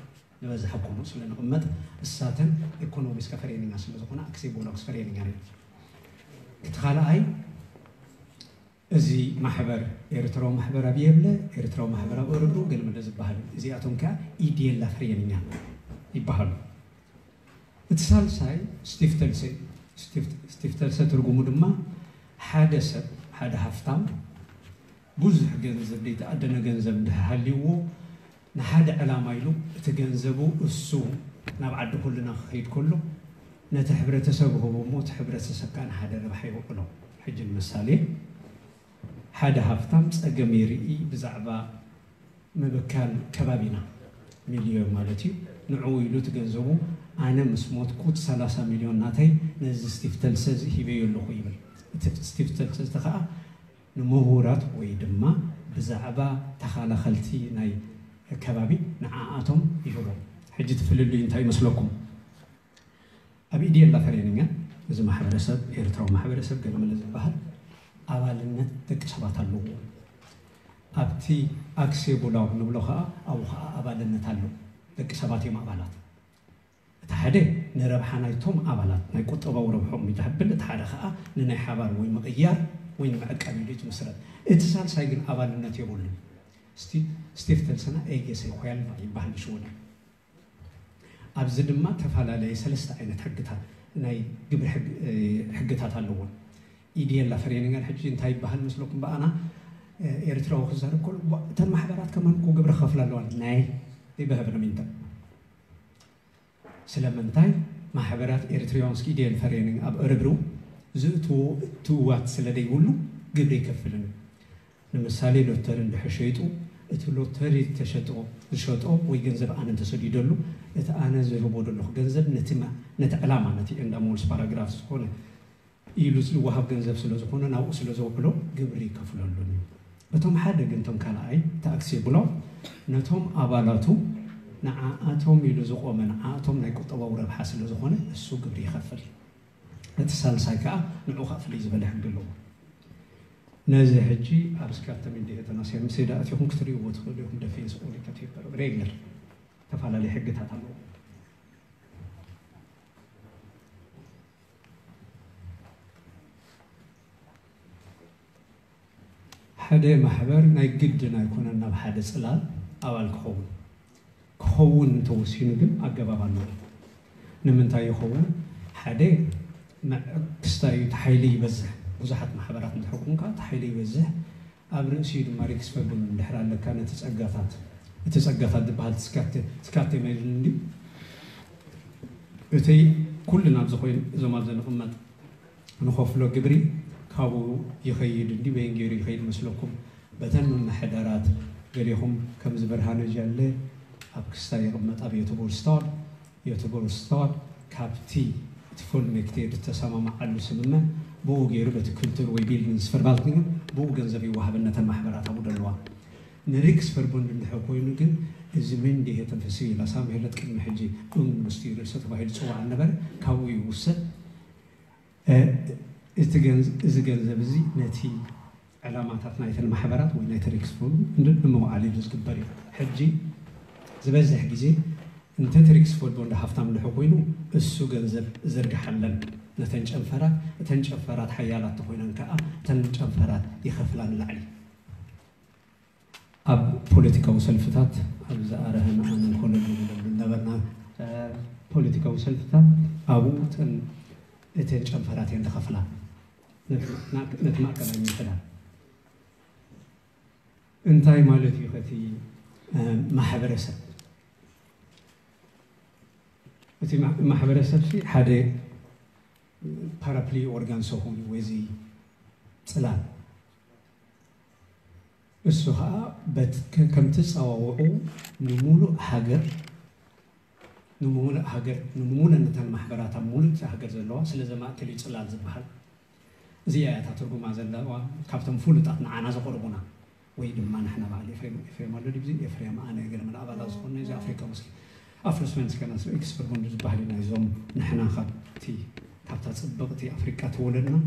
ንበዝሐ ኮኑ ስለ ንቕመጥ እሳተን ኤኮኖሚስካ ፈሬኒንጋር ስለ ዝኾነ ኣክሴ ቦላግስፈሬኒንጋር እዩ። እቲ ካልኣይ እዚ ማሕበር ኤርትራዊ ማሕበር ኣብ የብለ ኤርትራዊ ማሕበር ኣብ ኦረብሩ ገለመለ ዝበሃል እዚኣቶም ከኣ ኢዴላ ፈሬኒንጋር ይበሃሉ። እቲ ሳልሳይ ስቲፍተልሰ እዩ። ስቲፍተልሰ ትርጉሙ ድማ ሓደ ሰብ ሓደ ሃፍታም ብዙሕ ገንዘብ ዘይተኣደነ ገንዘብ እንድሕር ሃልይዎ ንሓደ ዕላማ ኢሉ እቲ ገንዘቡ እሱ ናብ ዓዲ ኩልና ክኸይድ ከሎ ነቲ ሕብረተሰብ ህቦ እሞ እቲ ሕብረተሰብ ከዓ ንሓደ ረብሓ ይውዕሎ። ሕጂ ንምሳሌ ሓደ ሃፍታም ፀገም ይርኢ ብዛዕባ ምብካል ከባቢና ሚልዮን ማለት እዩ። ንዕኡ ኢሉ እቲ ገንዘቡ ኣነ ምስ ሞትኩ እቲ ሰላሳ ሚልዮን ናተይ ነዚ ስቲፍተልሰ እዚ ሂበዮ ኣለኹ ይብል። እቲ ስቲፍተልሰ እዚ ከዓ ንምሁራት ወይ ድማ ብዛዕባ ተኻላኸልቲ ናይ ከባቢ ንዓኣቶም ይህቦም። ሕጂ እቲ ፍልልዩ እንታይ ይመስለኩም? ኣብ ኢዴላ ፈሬኒንጋር እዚ ማሕበረሰብ ኤርትራዊ ማሕበረሰብ ገለመለ ዝበሃል ኣባልነት ደቂ ሰባት ኣለዎ። ኣብቲ ኣክሴ ቦላግ ንብሎ ከዓ ኣብኡ ከዓ ኣባልነት ኣሎ። ደቂ ሰባት እዮም ኣባላት። እቲ ሓደ ንረብሓ ናይቶም ኣባላት ናይ ቁጠባዊ ረብሖም እዩ ዝሕብል፣ እቲ ሓደ ከዓ ንናይ ሓባር ወይ ምቕያር ወይ ንምዕቃብ ኢሉ እዩ ዝምስረት። እቲ ሳልሳይ ግን ኣባልነት የብሉን። ስቲፍተልሰና ኤጌሰ ኳያልቫ ይበሃል ብሽወደን። ኣብዚ ድማ ተፈላለየ ሰለስተ ዓይነት ሕግታት ናይ ግብሪ ሕግ- እ፣ ሕግታት ኣለዎም። ኢዴላ ፈሬኒንጋር ሕጂ እንታይ ይበሃል መስለኩም? ብኣና እ፣ ኤርትራዊ ክዛረብ ከሎ "ዋ፣ እተን ማሕበራት ከማን እኮ ግብሪ ክኸፍላ ኣለዋ ናይ ይበህብነ ሚንተ ስለምንታይ ማሕበራት ኤርትራውያን ስኪዴል ፈሬኒንግ ኣብ እርብርው ዝእትዎ እትዋት ስለ ዘይብሉ ግብሪ ይከፍልን እዩ። ንምሳሌ ሎተሪ እንድሕር ሸይጡ እቲ ሎተሪ ዝተሸጦ ዝሸጦ ወይ ገንዘብ ኣነ እንተሰዲደሉ እቲ ኣነ ዝህቦ ዘለኹ ገንዘብ ነቲ ማ- ነቲ ዕላማ ነቲ ኤንዳ ሞልስ ፓራግራፍ ዝኾነ ኢሉ ዝወሃብ ገንዘብ ስለ ዝኾነ ናብኡ ስለ ዘውዕሎ ግብሪ ይከፍለሉን እዩ። እቶም ሓደ ግን እቶም ካልኣይ ታክሲ ብሎም ነቶም ኣባላቱ ንዓኣቶም ኢሉ ዝቆመ ንዓኣቶም ናይ ቁጠባዊ ረብሓ ስለ ዝኾነ እሱ ግብሪ ይኸፍል። እቲ ሳልሳይ ከዓ ንዑ ከዓ ፍልይ ዝበለ ሕጊ ኣለዎ። ነዚ ሕጂ ኣብ ስካተም እንዲሄተና ሴምሴዳ እቲኹም ክትርእይዎ ትኽእሉ ኢኹም። ደፌንስ ኦዲተር ሬግለር ተፈላለዩ ሕግታት ኣለዎ። ሓደ ማሕበር ናይ ግድን ኣይኮነን ናብ ሓደ ፅላል ኣባል ክኸውን። ክኸውን እንተወሲኑ ግን ኣገባብ ኣለዎ። ንምንታይ ይኸውን? ሓደ ክስታይ እቲ ሓይሊ ይበዝሕ። ብዙሓት ማሕበራት እንተሕኩም ከዓ እቲ ሓይሊ ይበዝሕ። ኣብ ርእሲኡ ድማ ሪክስ ፈርጉን እንድሕር ኣለካ ነቲ ፀጋታት እቲ ፀጋታት ዝበሃል ትስካቴ ትስካቴ መይልን እንድዩ እቲ ኩሉ ናብዚ ኮይኑ እዞም ኣብዚ ንቕመጥ ንኸፍሎ ግብሪ ካብኡ ይኸይድ እንዲ በይን ገይሩ ይኸይድ መስለኩም? በተን ምምሕዳራት ገሊኹም ከምዚ ብርሃነ ጃለ ኣብ ክስታይ ይቕመጥ ኣብ ዮተቦርስታድ ዮተቦርስታድ ካብቲ እቲ ፎልሜክቴ ዝተሰማማዓሉ ስምምዕ ብኡ ገይሩ በቲ ክልቱር ወይ ቢልዲንግስ ፈርባልትኒንግ ብኡ ገንዘብ ይወሃበን ነተን ማሕበራት ኣብኡ ደለዋ ንሪክስ ፈርቦንድ እንድሕር ኮይኑ ግን እዚ መንዲሄተን ፍስይላ ሳምሄለት ቅድሚ ሕጂ እም ምስቲ ርእሰ ተባሂሉ ዝፅዋዕ ነበረ ካብኡ ይውሰድ። እዚ ገንዘብ እዚ ነቲ ዕላማታት ናይተን ማሕበራት ወይ ናይቲ ሪክስ ፈርቦንድ ንምውዓል ኢሉ ዝግበር እዩ። ሕጂ ዝበዝሕ ግዜ እንተ እቲ ሪክስ ፈርቦንድ ሃፍታም እንድሕር ኮይኑ እሱ ገንዘብ ዝርግሓለን ነተን ጨንፈራት እተን ጨንፈራት ሓያላት ተኮይነን ከዓ እተን ጨንፈራት ይኸፍላ ንላዕሊ። ኣብ ፖለቲካዊ ሰልፍታት ኣብ ዝኣረህን ኣነን ኮለል ንብለሉ ነበርና። ፖለቲካዊ ሰልፍታት ኣብኡ እተን እተን ጨንፈራት እየን ዝኸፍላ ነቲ ማእከላይ ምሕዳር። እንታይ ማለት እዩ ከቲ ማሕበረሰብ? እቲ ማሕበረሰብ ሓደ ፓራፕሊ ኦርጋን ሰሆን ወይ ጽላል፣ እሱ ከዓ ከምቲ ጸዋውዑ ንሙሉእ ሃገር ንምሙሉእ ሃገር ንምሙሉእ ነተን ማሕበራት ኣብ ሙሉእ ሃገር ዘለዋ ስለ ዘማእከል እዩ ጽላል ዝበሃል። እዚኣ እያ እታ ትርጉማ ዘለዋ ካብቶም ፍሉጣት ንዓና ዘቕርቡና ወይ ድማ ንሕና በዓል ኤፍሬም ኤፍሬም ኣሎ ድዩ ኤፍሬም ኣነ ገለ መለ ኣባላት ዝኾነ እዚ ኣፍሪካ ሙስሊም ኣፍሮ ስቨንስከ ናስሮ ኤክስፐርቡንድ ዝበሃል እዩ ናይዞም ንሕና ካብቲ ካብታ ጽብቕቲ ኣፍሪቃ ተወለድና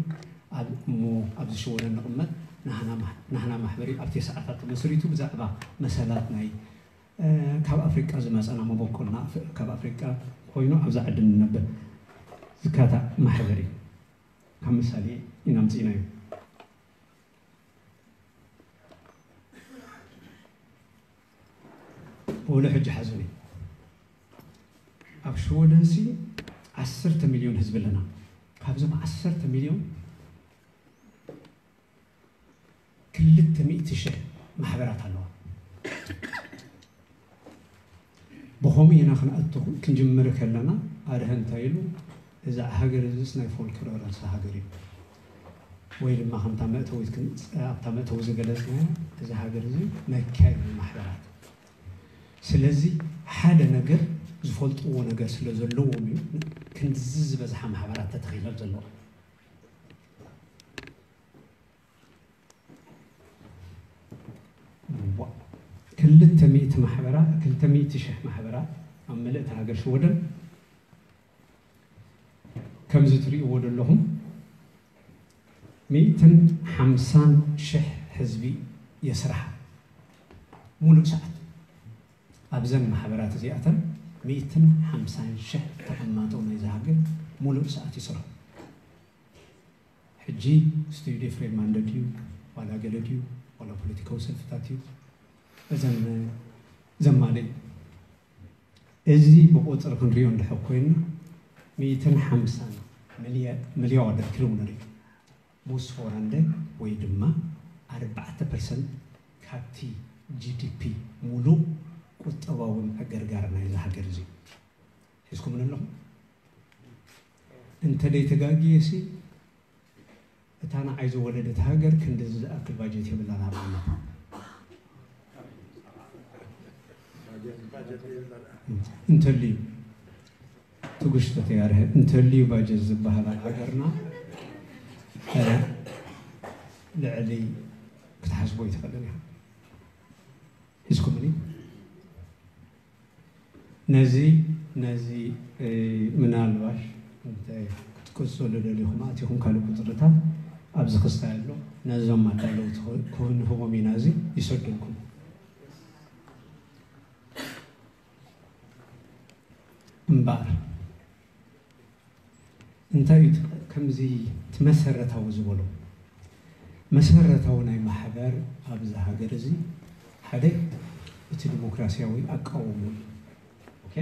ኣብ እሞ ኣብዚ ሽወደን ንቕመጥ ናህና ማሕበሪ ኣብቲ ሰዓታት ተመስሪቱ ብዛዕባ መሰላት ናይ ካብ ኣፍሪቃ ዝመፀና መበቆልና ካብ ኣፍሪቃ ኮይኑ ኣብዛ ዓዲ ንነብር ዝካታዕ ማሕበር እዩ። ካብ ምሳሌ ኢና ምፅኢናዮ። ወሎ ሕጂ ሓዙኒ ኣብ ሽወደንሲ ዓሰርተ ሚልዮን ህዝቢ ኣለና። ካብዞም ዓሰርተ ሚልዮን ክልተ ሚእቲ ሽሕ ማሕበራት ኣለዋ። ብኸምኡ ኢና ክንኣቱ ክንጅምር ከለና ኣድሀ እንታይ ኢሉ እዛ ሃገር እዚስ ናይ ፎልክሎር ርእሰ ሃገር እዩ ወይ ድማ ከምታ መእተዊት ኣብታ መእተዊ ዝገለጽናዮ እዚ ሃገር እዚ መካየዲ ማሕበራት ስለዚ ሓደ ነገር ዝፈልጥዎ ነገር ስለ ዘለዎም እዩ ክንድዚ ዝበዝሓ ማሕበራት ተተኺሎም ዘለዋ። ክልተ ሚእቲ ማሕበራት ክልተ ሚእቲ ሽሕ ማሕበራት ኣብ ምልእቲ ሃገር ሽወደን ከምዚ ትርእይዎ ዘለኹም ሚእትን ሓምሳን ሽሕ ህዝቢ የስርሓ ሙሉእ ሰዓት ኣብዘን ማሕበራት እዚኣተን ሚእትን ሓምሳን ሽሕ ተቐማጦ ናይዚ ሃገር ሙሉእ ሰዓት ይስርሑ። ሕጂ ስቱዲዮ ፍሬድማን ድዩ ዋላ ገለ ድዩ ዋላ ፖለቲካዊ ሰልፍታት እዩ እዘን ዘማለ እዩ። እዚ ብቁፅሪ ክንሪኦ እንድሕር ኮይንና ሚእትን ሓምሳን ሚልያርደር ኪሎ ንርኢ ሙስ ፎራንደ ወይ ድማ ኣርባዕተ ፐርሰንት ካብቲ ጂ ዲ ፒ ሙሉእ ቁጠባዊ ምዕግርጋር ናይዚ ሃገር እዚ ሒዝኩምን ኣለኹም። እንተ ደይተጋግየ ሲ እታ ንዓይ ዝወለደት ሃገር ክንድዚ ዝኣክል ባጀት የብላን ኣብነት እንተልዩ ትጉሽቶ ተያርሀ እንተልዩ ባጀት ዝበሃል ኣብ ሃገርና ልዕሊ ክትሓስቦ ይትኽእልን ኢኻ ሒዝኩምኒ ነዚ ነዚ ምናልባሽ እንተ ክትቅፅሉ ደሊኹም ኣቲኹም ካልእ ቁፅርታት ኣብዚ ክስታይ ኣሎ ነዞም ኣዳለውቲ ክንህቦም ኢና እዚ ይሰደልኩም እምበኣር እንታይ እዩ ከምዚ እቲ መሰረታዊ ዝበሎ መሰረታዊ ናይ ማሕበር ኣብዚ ሃገር እዚ ሓደ እቲ ዲሞክራሲያዊ ኣቃውሞ እዩ። ኦኬ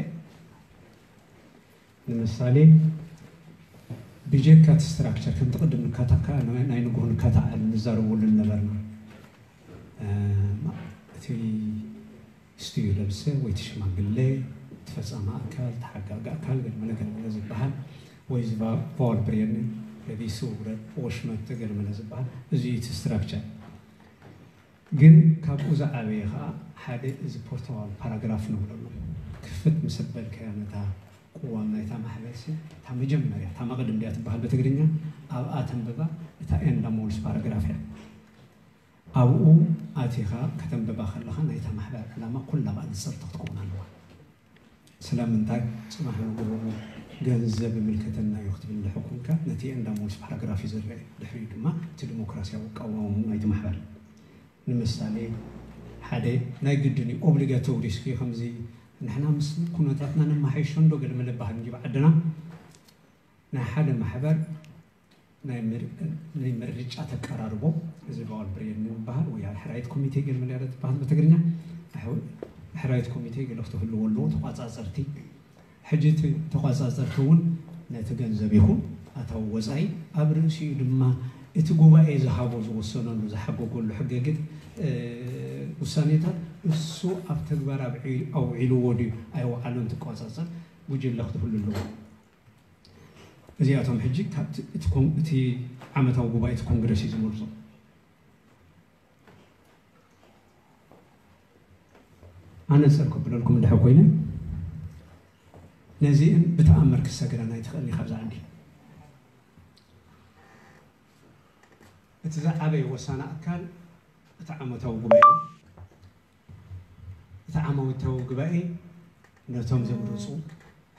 ንምሳሌ ብጀካ እቲ ስትራክቸር ከምቲ ቅድም ንካታካ ናይ ንግሆ ንካታዓል ንዛረበሉ ነበርና እቲ ስቱዩ ለብሰ ወይ ትሽማግለ ትፈጻሚ ኣካል ተሓጋጊ ኣካል ገለመለ ገለመለ ዝበሃል ወይ እዚ ቫወል ብሬን ለቢሱ ወሽመጥ ገለመለ ዝበሃል እዚ እቲ ስትራክቸር ግን ካብኡ ዝዓበየ ከዓ ሓደ እዚ ፖርታዋል ፓራግራፍ ንብለሉ ክፍት ምስ በልካያ ነታ ቅዋም ናይታ ማሕበርሲ እታ መጀመርያ እታ መቕድም ድያ ትበሃል ብትግርኛ ኣብኣ ተንብባ እታ ኤንዳ ሞልስ ፓራግራፍ እያ ኣብኡ ኣቲኻ ከተንብባ ከለኻ ናይታ ማሕበር ዕላማ ኩላ ብኣንጽርቲ ክትከውን ኣለዋ። ስለምንታይ ጽባሕ ንግሆ ገንዘብ ይምልከተና እዩ ክትብል እንድሕር ኮንካ ነቲ ኤንዳ ሞልስ ፓራግራፍ እዩ ዝረአ። ድሕሪኡ ድማ እቲ ዲሞክራሲያዊ ኣቃውማኡ ናይቲ ማሕበር ንምሳሌ ሓደ ናይ ግድን እዩ ኦብሊጋቶሪ እስኪ ከምዚ ንሕና ምስ ኩነታትና ነመሓይሾ እንዶ ገለ መለባህል እንጂ ብዓድና ናይ ሓደ ማሕበር ናይ ምርጫ ተቀራርቦ እዚ ቫል ብሬን ዝበሃል ወይ ሕራይት ኮሚቴ ገለ መለያ ትበሃል ብትግርኛ ሕራይት ኮሚቴ ገለ ክትህልዎ ኣለዎ ተቋፃፀርቲ ሕጂ እቲ ተቋጻጸርቲ እውን ነቲ ገንዘብ ይኹን ኣታዊ ወጻኢ ኣብ ርእሲኡ ድማ እቲ ጉባኤ ዝሃቦ ዝወሰነሉ ዝሓገገሉ ሕገግት ውሳኔታት እሱ ኣብ ተግባር ኣውዒልዎ ድዩ ኣይወዓሎን ትቋጻጸር ጉጅለ ክትህሉ ኣለዎ። እዚኣቶም ሕጂ ካብቲ እቲ ዓመታዊ ጉባኤ እቲ ኮንግረስ እዩ ዝመርጾ። ኣነጽር ክብለልኩም እንድሕር ኮይነ ነዚእን ብተኣምር ክሰግረን ኣይትኽእልን ኢኻ። ብዛ ዓዲ እቲ ዝዓበየ ወሳኒ ኣካል እቲ ዓመታዊ ጉባኤ እቲ ዓመታዊ ጉባኤ ነቶም ዘምርፁ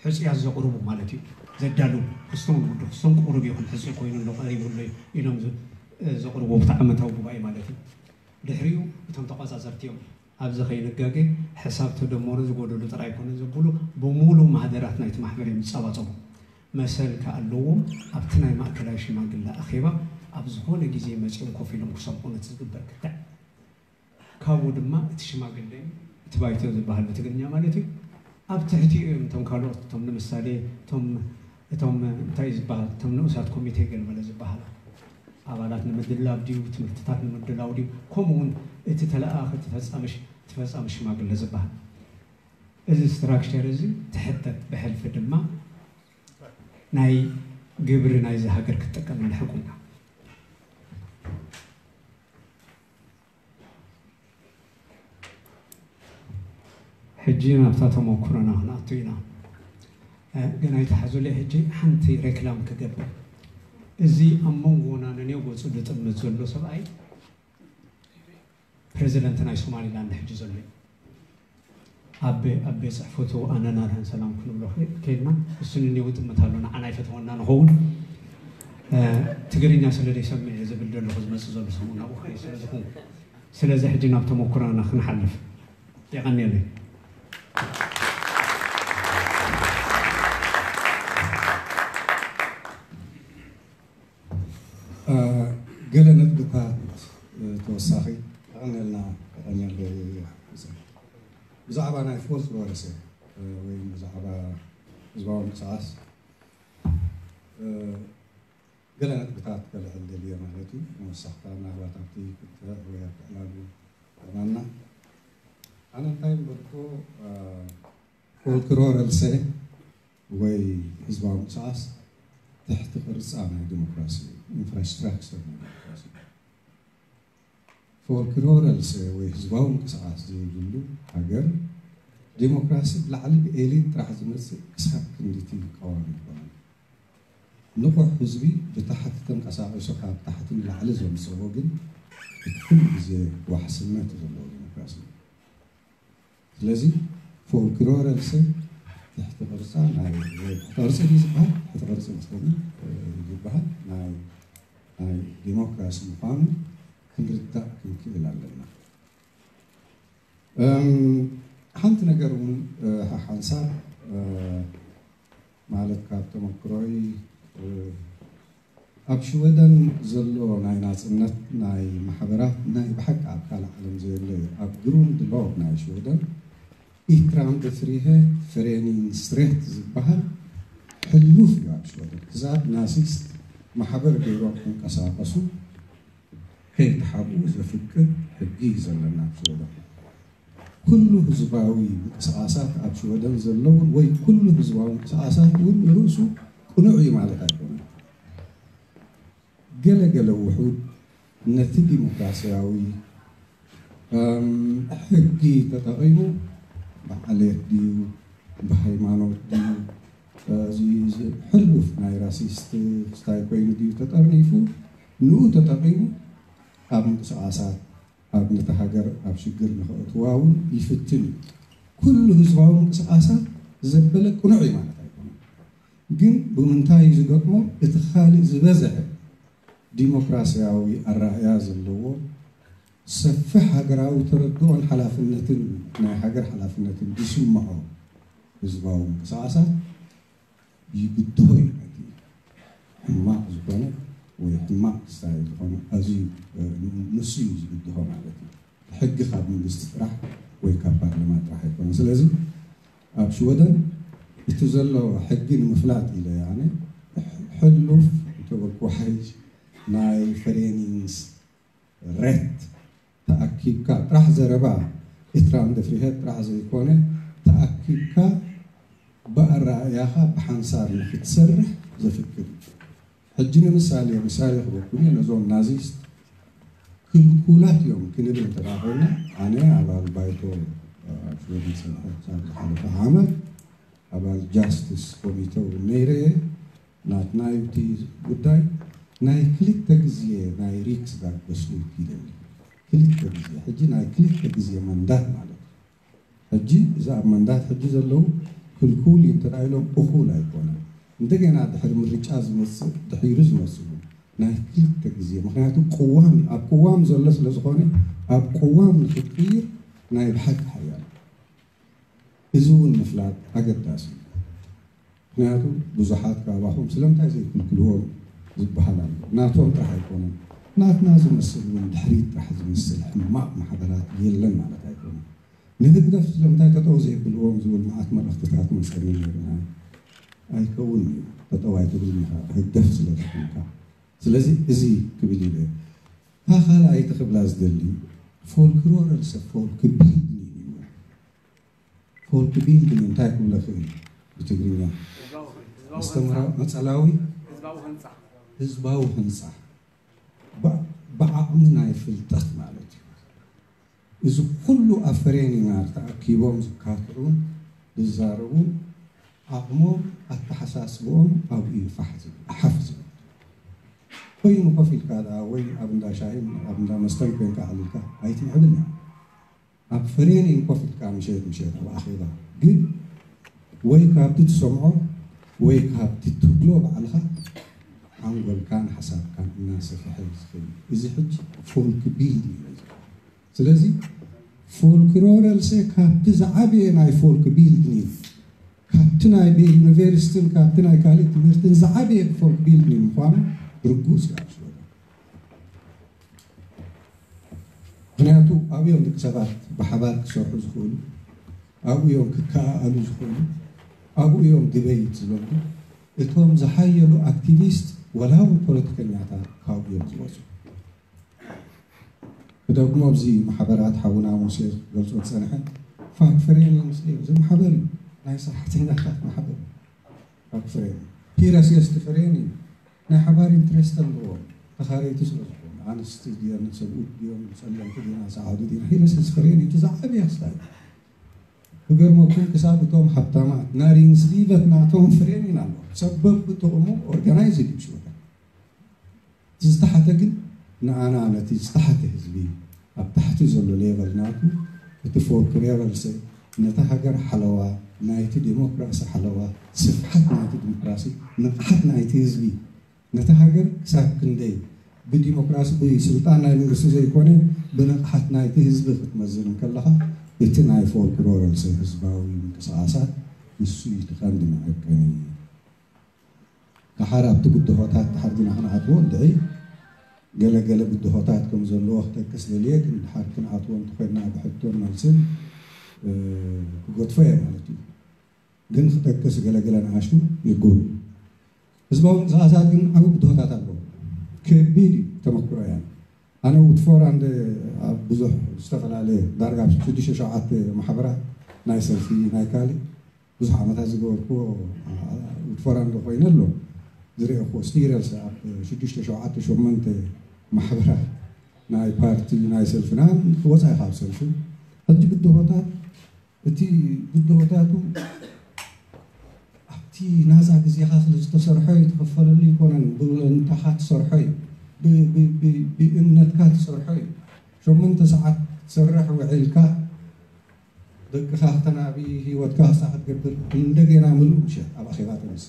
ሕፁያት ዘቕርቡ ማለት እዩ። ዘዳሉ ክስቶም ንውዱ ክስቶም ቅሩብ ይኹን ሕፁይ ኮይኑ ኣሎ ቀሪቡ ኣሎ ኢሎም ዘቕርቡ ኣብቲ ዓመታዊ ጉባኤ ማለት እዩ። ድሕሪኡ እቶም ተቋፃፀርቲ እዮም ኣብዚ ከይንጋገ ሕሳብ ተደመሩ ዝጎደሉ ጥራይ ኮነ ዘብሉ ብሙሉ ማህደራት ናይቲ ማሕበር እዮም ዝፀባፀቡ። መሰል ከኣለዎም ኣብቲ ናይ ማእከላይ ሽማግለ ኣኼባ ኣብ ዝኾነ ግዜ መፂኦም ኮፍ ኢሎም ክሰምዑ ነቲ ዝግበር ክትዕ ካብኡ ድማ እቲ ሽማግለ እቲ ባይቶ ዝበሃል ብትግርኛ ማለት እዩ ኣብ ትሕቲኡ እዮም እቶም ካልኦት እቶም ንምሳሌ እቶም እቶም እንታይ ዝበሃል እቶም ንኡሳት ኮሚቴ ገልመለ ዝበሃል ኣባላት ንምድላብ ድዩ ትምህርትታት ንምድላው ድዩ ከምኡ እውን እቲ ተለኣኸ እቲ ፈፃሚ ሽማግለ ዝበሃል እዚ ስትራክቸር እዚ ትሕተት ብሕልፊ ድማ ናይ ግብሪ ናይዚ ሃገር ክትጥቀመሉ ሕቁና ሕጂ ናብታ ተመክሮና ክንኣቱ ኢና። ግን ኣይተሓዙለይ ሕጂ ሓንቲ ሬክላም ክገብር እዚ ኣብ መንጎና ነኔው ገፁ ዝጥምት ዘሎ ሰብኣይ ፕሬዚደንት ናይ ሶማሊላንድ ሕጂ ዘሎ እዩ። ኣብ ኣብ ቤት ፅሕፈቱ ኣነና ርህን ሰላም ክንብሎ ከይድና እሱ ንኔው ጥምት ኣሎ ንዓና ኣይፈተወና ንኸውን ትግርኛ ስለ ዘይሰምዕ እየ ዝብል ዘለኹ ዝመፅእ ዘሎ ሰሙን ናብኡ ክኸይድ ስለ ዝኾንኩ ስለዚ ሕጂ ናብ ተመኩሮና ክንሓልፍ የቐንየለይ። ገለ ነጥብታት ተወሳኺ የቐንየልና የቐንየለይ። ብዛዕባ ናይ ፎልክሎርስ ወይ ብዛዕባ ህዝባዊ ምንቅስቓስ ገለ ነጥብታት ከልዕል ደልየ ማለት እዩ። መወሳኽታ ምናልባት ኣብቲ ክትዕ ወይ ኣብቲ ዕላሉ ኣማና ኣነ እንታይ ምበልኩ ፎልክሎርስ ወይ ህዝባዊ ምንቅስቓስ ትሕቲ ቅርፃ ናይ ዲሞክራሲ ኢንፍራስትራክቸር ናይ ዲሞክራሲ ፎልክሎርስ ወይ ህዝባዊ ምንቅስቓስ ዘይብሉ ሃገር ዲሞክራሲ ብላዕሊ ብኤሊት ጥራሕ ዝመፅእ ክሳብ ክንድቲ ቀዋሚ ይኮነ። ንቑሕ ህዝቢ ብታሕቲ ተንቀሳቒሱ ካብ ታሕቲ ንላዕሊ ዘምፅኦ ግን እቲ ኩሉ ግዜ ዋሕስነት ዘለዎ ዲሞክራሲ እዩ። ስለዚ ፎልክሎርስ ትሕቲ ቅርፃ ናይ ወይ ትሕቲ ቅርፂ ድዩ ዝበሃል? ትሕቲ ቅርፂ መስለኒ ዝበሃል ናይ ናይ ዲሞክራሲ ምዃኑ ክንርዳእ ክንክእል ኣለና። ሓንቲ ነገር እውን ሓሓንሳብ ማለት ካብ ተመክሮይ ኣብ ሽወደን ዘሎ ናይ ናፅነት ናይ ማሕበራት ናይ ብሓቂ ኣብ ካልእ ዓለም ዘየለ እዩ። ኣብ ግሩንድ ሎግ ናይ ሽወደን ኢትራንድ ፍሪሄ ፍሬኒንግ ስትሬት ዝበሃል ሕሉፍ እዩ ኣብ ሽወደን ክሳብ ናሲስት ማሕበር ገይሮም ክንቀሳቀሱ ከይተሓብኡ ዘፍቅድ ሕጊ እዩ ዘለና ኣብ ሽወደን። ኩሉ ህዝባዊ ምንቅስቃሳት ኣብ ሽወደን ዘለውን ወይ ኩሉ ህዝባዊ ምንቅስቃሳት እውን ንርእሱ ቅኑዕ እዩ ማለት ኣይኮነን። ገለ ገለ ውሑድ ነቲ ዲሞክራሲያዊ ሕጊ ተጠቒሙ ብዓሌት ድዩ ብሃይማኖት ድዩ እዚ ሕሉፍ ናይ ራሲስት ስታይ ኮይኑ ድዩ ተጠርኒፉ ንኡ ተጠቒሙ ኣብ ምንቅስቃሳት ኣብ ነቲ ሃገር ኣብ ሽግር ንኸእትዋ እውን ይፍትን እዩ። ኩሉ ህዝባዊ ምንቅስቃሳት ዘበለ ቅኑዕ እዩ ማለት ኣይኮነን። ግን ብምንታይ እዩ ዝገጥሞ? እቲ ካልእ ዝበዝሐ ዲሞክራሲያዊ ኣረኣእያ ዘለዎ ሰፊሕ ሃገራዊ ተረድኦን ሓላፍነትን ናይ ሃገር ሓላፍነትን ዝስምዖ ህዝባዊ ምንቅስቃሳት ይብድሆ እዩ። ነቲ ሕማቕ ዝኾነ ወይ ሕማቕ ስታይ ዝኾነ ኣዝዩ ንሱ እዩ ዝብድሆ ማለት እዩ። ሕጊ ካብ መንግስቲ ጥራሕ ወይ ካብ ፓርላማ ጥራሕ ኣይኮነን። ስለዚ ኣብ ሽወደን እቲ ዘሎ ሕጊ ንምፍላጥ ኢለ ኣነ ሕሉፍ እንተበልኩ ሓይሽ ናይ ፈሬኒንስ ሬት ተኣኪብካ ጥራሕ ዘረባ ኢትራን ደፍሪሄት ጥራሕ ዘይኮነ ተኣኪብካ ብኣረኣእያኻ ብሓንሳብ ንክትሰርሕ ዘፍቅድ እዩ። ሕጂ ንምሳሌ ምሳሌ ክበኩም እየ ነዞም ናዚስት ክልኩላት እዮም ክንብል እንተዳ ኮይና ኣነ ኣባል ባይቶ ኣብ ሽወደን ዝፀንሐ ክሳብ ዝሓለፈ ዓመት ኣባል ጃስትስ ኮሚቴ እውን ነይረ እየ። ናትና እዩ እቲ ጉዳይ ናይ ክልተ ግዜ ናይ ሪክስ ዳግ በስሉት ይደሊ ክልተ ግዜ ሕጂ ናይ ክልተ ግዜ መንዳት ማለት እዩ። ሕጂ እዚ ኣብ መንዳት ሕጂ ዘለዉ ክልኩል እዩ እንተ ኢሎም እኹል ኣይኮነን። እንደገና ድሕሪ ምርጫ ዝመፅእ ድሒሩ ዝመፅሉ ናይ ክልተ ግዜ ምክንያቱ ቅዋም እዩ። ኣብ ቅዋም ዘሎ ስለ ዝኾነ ኣብ ቅዋም ንክትቅይር ናይ ብሓቂ ሓያል እዚ እውን ምፍላጥ ኣገዳሲ እዩ። ምክንያቱ ብዙሓት ካባኹም ስለምንታይ ዘይክልክልዎም ዝበሃል ኣሎ። ናቶም ጥራሕ ኣይኮነን ናትና ዝመስል እውን ድሕሪት ጥራሕ ዝመስል ሕማቕ ማሕበራት የለን ማለት ኣይኮነን። ንህግደፍ ስለምንታይ ጠጠው ዘይብልዎም ዝብል መዓት መልእኽትታት መፀኒ ነይሩና ኣይከውን እዩ። ጠጠው ኣይትብል ኢኻ ህግደፍ ስለ ዝኾንካ። ስለዚ እዚ ክብል ኢለ እታ ካልኣይቲ ክብላ ዝደሊ ፎልክሎር ኣልሰ ፎልክ ቢልዲንግ እዩ። ፎልክ ቢልዲንግ እንታይ ክብሎ ክእል ብትግርኛ ኣስተምራ መፀላዊ ህዝባዊ ህንፃ ብዓቕሚ ናይ ፍልጠት ማለት እዩ። እዚ ኩሉ ኣብ ፈሬኒናር ተኣኪቦም ዝካትዑን ዝዛረቡን ዓቕሞም ኣተሓሳስብኦም ኣብኡ እዩ ፋሕ ዝብል ሓፍ ዝብል ኮይኑ ኮፍ ኢልካ ደኣ ወይ ኣብ እንዳ ሻሂን ኣብ እንዳ መስተን ኮንካ ኣዕሊልካ ኣይትምዕብል እያ። ኣብ ፈሬኒን ኮፍ ኢልካ ምሸት ምሸት ኣብ ኣኼባ ግን ወይ ካብቲ ትሰምዖ ወይ ካብቲ ትብሎ ባዕልኻ ሓንጎልካን ሓሳብካን እናሰፍሐ ዝኸይድ እዚ ሕጂ ፎልክ ቢልድ እዩ። ስለዚ ፎልክሎረልሰ ካብቲ ዝዓበየ ናይ ፎልክ ቢልድኒንግ ካብቲ ናይ ዩኒቨርሲቲን ካብቲ ናይ ካልእ ትምህርትን ዝዓበየ ፎልክ ቢልድኒንግ ምዃኑ ርጉፅ እዩ ኣብ ሽወደን። ምክንያቱ ኣብኡ እዮም ደቂ ሰባት ብሓባር ክሰርሑ ዝኽእሉ፣ ኣብኡ እዮም ክከኣኣሉ ዝኽእሉ፣ ኣብኡ እዮም ድበይት ዝለምዱ። እቶም ዝሓየሉ ኣክቲቪስት ወላ እውን ፖለቲከኛታት ካብኡ እዮም ዝወፁ። ክደግሞ ኣብዚ ማሕበራት ሓውና ሙሴ ክገልፆ ዝፀንሐ ፋክፈሬኒንስ እዩ። እዚ ማሕበር እዩ ናይ ሰራሕተኛታት ማሕበር እዩ። ፋክፈሬኒንግ ፒረስየስቲ ፈሬኒንግ ናይ ሓባር ኢንትረስት ኣለዎም ተኻረይቲ ስለ ዝኾኑ ኣንስቲ ድዮን ሰብኡት ድዮም ፀለምቲ ዲና ሰዓዱ ዲና ሂረስየስቲ ፈሬኒንግ እቲ ዝዓበየ ክስታይ ክገርመኩም ክሳብ እቶም ሃብታማት ናሪንግስሊቨት ናቶም ፈሬኒንግ ኣለዎ ሰብ በብጥቕሙ ኦርጋናይዝ ይግብሽወታ ዝተሓተ ግን ንኣና ነቲ ዝተሓተ ህዝቢ ኣብ ታሕቲ ዘሎ ሌቨል ናቱ እቲ ፎርክ ሌቨል ሰብ ነታ ሃገር ሓለዋ ናይቲ ዲሞክራሲ ሓለዋ ስፍሓት ናይቲ ዲሞክራሲ ንቕሓት ናይቲ ህዝቢ ነታ ሃገር ክሳብ ክንደይ ብዲሞክራሲ ብስልጣን ናይ መንግስቲ ዘይኮነ ብንቕሓት ናይቲ ህዝቢ ክትመዝን ከለኻ እቲ ናይ ፎርክ ሌቨል ሰብ ህዝባዊ ምንቅስቃሳት ንሱ እዩ እቲ ቀንዲ መዐቀኒ። ደሓር ኣብቲ ብድሆታት ደሓር ግና ክንኣትዎ እንድዒ ገለገለ ብድሆታት ከም ዘለዎ ክጠቅስ ደልየ ግን ደሓር ክንኣትዎ እንተኮይና ብሕቶን መልስን ክገድፎ እየ ማለት እዩ። ግን ክጠቅስ ገለገለ ንኣሽቱ ይጉል ህዝባዊ ምንቅስቃሳት ግን ዓብ ብድሆታት ኣለዎ። ከቢድ እዩ ተመክሮ እያ። ኣነ ውትፎር ኣንድ ኣብ ብዙሕ ዝተፈላለየ ዳርጋ ሽዱሽተ ሸውዓተ ማሕበራት ናይ ሰልፊ ናይ ካልእ ብዙሕ ዓመታት ዝገበርኩዎ ውትፎር ኣንድ ኮይነ ኣሎ ዝረእኩዎ ስቲረልስ ኣብ ሽዱሽተ ሸውዓተ ሸሞንተ ማሕበራት ናይ ፓርቲ ናይ ሰልፍና ክወፃ ካብ ሰልፊ ሕጂ ብድሆታት እቲ ብድሆታቱ ኣብቲ ናፃ ግዜኻ ስለ ዝተሰርሖ እዩ ትኽፈለሉ ይኮነን ብእንታኻ ትሰርሖ እዩ ብእምነትካ ትሰርሖ እዩ ሸሞንተ ሰዓት ትሰርሕ ውዒልካ ደቅኻ ክተናቢ ህይወትካ ክሳ ክትገብር እንደገና ምሉእ ምሸት ኣብ ኣኼባ ተመስ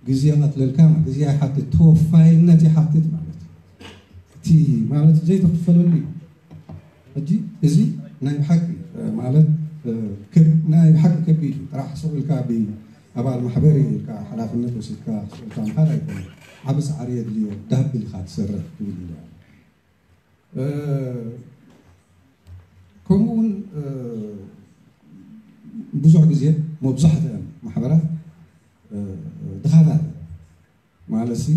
ግዜ ይቐትለልካ ግዜ ይሓትት ተወፋይነት ይሓትት ማለት እዩ። እቲ ማለት ዘይተኽፈለሉ እዩ። ሕጂ እዚ ናይ ብሓቂ ማለት ናይ ብሓቂ ከቢድ እዩ። ጥራሕ ስቕ ኢልካ ኣባል ማሕበር ኢልካ ሓላፍነት ወሲድካ ስቕ ኢልካ ምኻድ ኣይኮነ ዓብ ፃዕሪ የድልዮ ዳብል ኢኻ ትሰርሕ ትብል ኢለ ከምኡ እውን ብዙሕ ግዜ መብዛሕትአን ማሕበራት ድኻታት፣ ማለት ሲ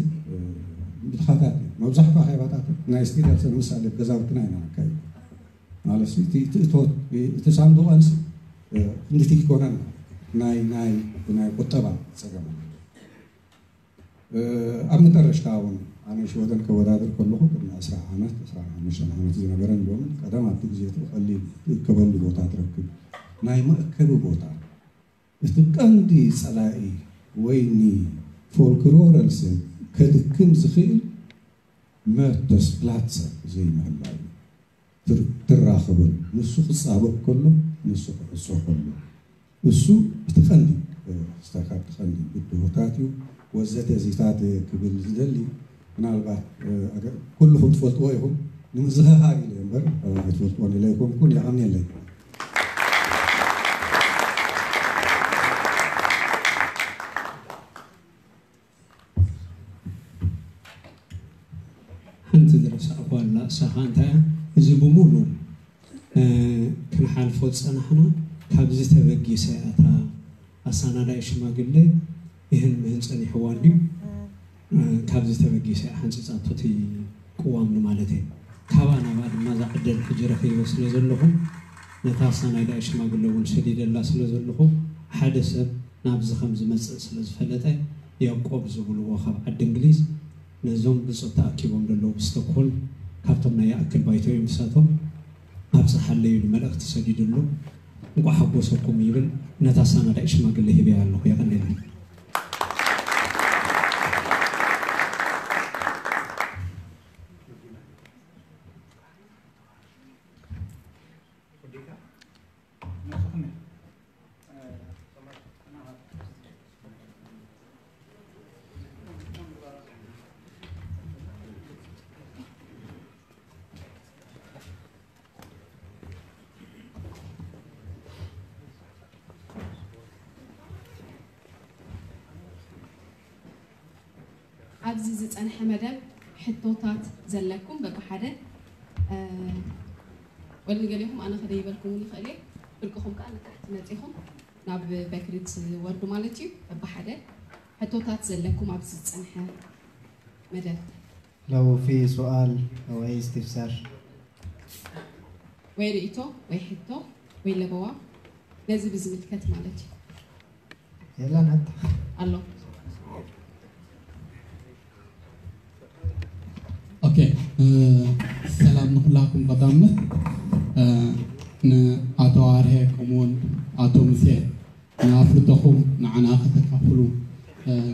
ድኻታት፣ መብዛሕትኡ ኣኼባታት ናይ ስቴት ምሳሌ ገዛውትና ኢና ነካይድ። ማለት ሲ እቲ እቶት፣ እቲ ሳንዱቐንስ ክንድቲ ይኮነን ናይ ናይ ናይ ቁጠባ ፀገም። ኣብ መጠረሽታ እውን ኣነ ሽወደን ከወዳድር ከለኹ ቅድሚ ዕስራ ዓመት፣ ዕስራን ሓሙሽተን ዓመት ዝነበረን ሎምን ቀደም ኣብቲ ግዜ እቲ ቀሊል ትእከበሉ ቦታ ትረክብ ናይ መእከቢ ቦታ፣ እቲ ቀንዲ ጸላኢ ወይ ንፎልክሎረል ሰብ ከድክም ዝኽእል መተስፕላትሰ ዘይምህላው እዩ። ትር- ትራኸበሉ፣ ንሱ ክጻበብ ከሎ፣ ንሱ ክዕጾ ከሎ፣ እሱ እቲ ቀንዲ ክስተካከል ቀንዲ ብድሆታት እዩ። ወዘተ እዚታት ክብል ዝደሊ ምናልባት ኩልኹም ትፈልጥዎ ኢኹም፣ ንምዝኽኻር ኢለ እምበር ኣይትፈልጥዎን ኢለ ኣይኮንኩን። የቐንየለይ። ሓንቲ ዝረሳዕኳ ኣላ። እሳኻ እንታይ እያ? እዚ ብምሉእ ክንሓልፎ ዝጸናሕና ካብዚ ተበጊሰ እያ። እታ ኣሳናዳኢ ሽማግለ ይህን ምህን ጸኒሕዋ እንድዩ። ካብዚ ተበጊሰ እያ ሓንጺጻቶ እቲ ቅዋም ንማለት እየ። ካብኣ ናብኣ ድማ እዛ ዕድል ሕጂ ረኺበ ስለ ዘለኹ ነታ ኣሳናዳኢ ሽማግለ እውን ሰዲደላ ስለ ዘለኹ ሓደ ሰብ ናብዚ ከም ዝመጽእ ስለ ዝፈለጠ ያዕቆብ ዝብልዎ ካብ ዓዲ እንግሊዝ ነዞም ብጾት ተኣኪቦም ዘለዉ ብስቶክሆልም ካብቶም ናይ ይኣክል ባይቶ እዮም። ንሳቶም ኣብጽሓለይ ኢሉ መልእኽቲ ሰዲዱሉ እንቋዕ ሓጎሰኩም ይብል። ነታ ኣሳናዳኢት ሽማግለ ሂበያ ኣለኹ። የቐንየለይ። ኣብዚ ዝጸንሐ መደብ ሕቶታት ዘለኩም በብሓደ ወል ንገሊኹም ኣነ ከደይበልኩም እውን ይኽእል እየ። ፍርቅኹም ከኣ ንታሕቲ መጺኹም ናብ በክሪ ትወርዱ ማለት እዩ። በብሓደ ሕቶታት ዘለኩም ኣብዚ ዝጸንሐ መደብ። لو في سؤال أو أي استفسار. ወይ ርእይቶ ወይ ሕቶ ወይ ለበዋ ነዚ ብዝምልከት ማለት እዩ። የለን ሕቶ ኣሎ። ኦኬ፣ ሰላም ንኩላኩም። ቀዳምነት ንኣቶ ኣርሄ ከምኡውን ኣቶ ሙሴ ንኣፍልጦኹም ንዓና ከተካፍሉ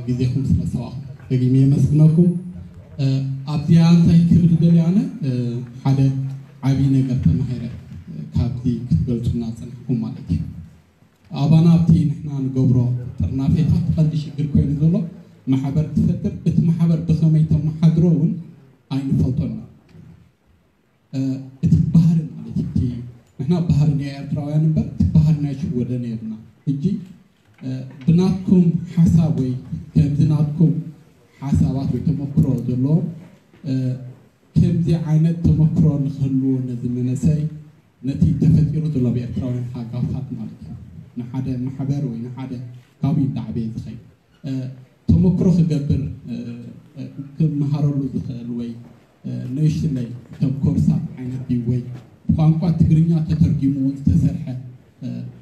ግዜኹም ስለ ዝሰዋእኹም ደጊመ የመስግነኩም። ኣብዚኣ እንታይ ክብል ይደሊ ኣነ ሓደ ዓብዪ ነገር ተማሂረ ካብዚ ክትገልጹና ጸኒሕኩም ማለት እዩ። ኣባና ኣብቲ ንሕና ንገብሮ ጥርናፌታት ቀንዲ ሽግር ኮይኑ ዘሎ ማሕበር ትፈጥር፣ እቲ ማሕበር ብኸመይ ተመሓድሮ እውን ኣይንፈልጦን ኢና። እቲ ባህሪ ማለት እዩ። እቲ ንሕና ባህሪ ናይ ኤርትራውያን እምበር እቲ ባህሪ ናይ ሽወደን የብልና። ሕጂ ብናትኩም ሓሳብ ወይ ከምዚ ናትኩም ሓሳባት ወይ ተመክሮ ዘለዎም ከምዚ ዓይነት ተመክሮ ንክህልዎ ነዚ መንእሰይ ነቲ ተፈጢሩ ዘሎ ኣብ ኤርትራውያን ሃጋፋት ማለት እዩ። ንሓደ ማሕበር ወይ ንሓደ ካብኡ እንዳዓበየ ዝኸይድ ተመክሮ ክገብር ክመሃረሉ ዝኽእል ወይ ንእሽትለይ ከም ኮርሳት ዓይነት ድዩ ወይ ብቋንቋ ትግርኛ ተተርጊሙ እውን ዝተሰርሐ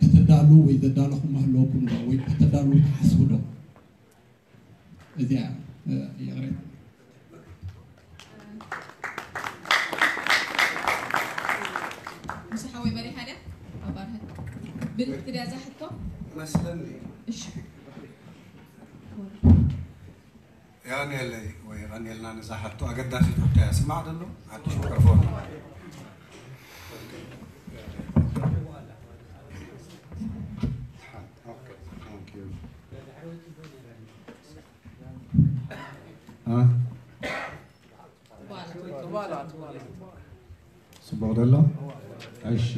ከተዳሉ ወይ ዘዳለኹ ምህለወኩም ዶ ወይ ከተዳሉ ትሓስቡ ዶ? እዚኣ ይቕሬታ። ምስ ሓወይ መሪሓ ድያ ኣባርሀ ብልክቲ ድያ እዛ ሕቶ መስለኒ። እሺ የቐንየለይ ወይ የቐንየልና ነዛ ሕቶ ኣገዳሲት ሕቶ እያ። ስማዕ ደሎ ሓድሽ ሚክሮፎን ጽቡቕ ደሎ። እሺ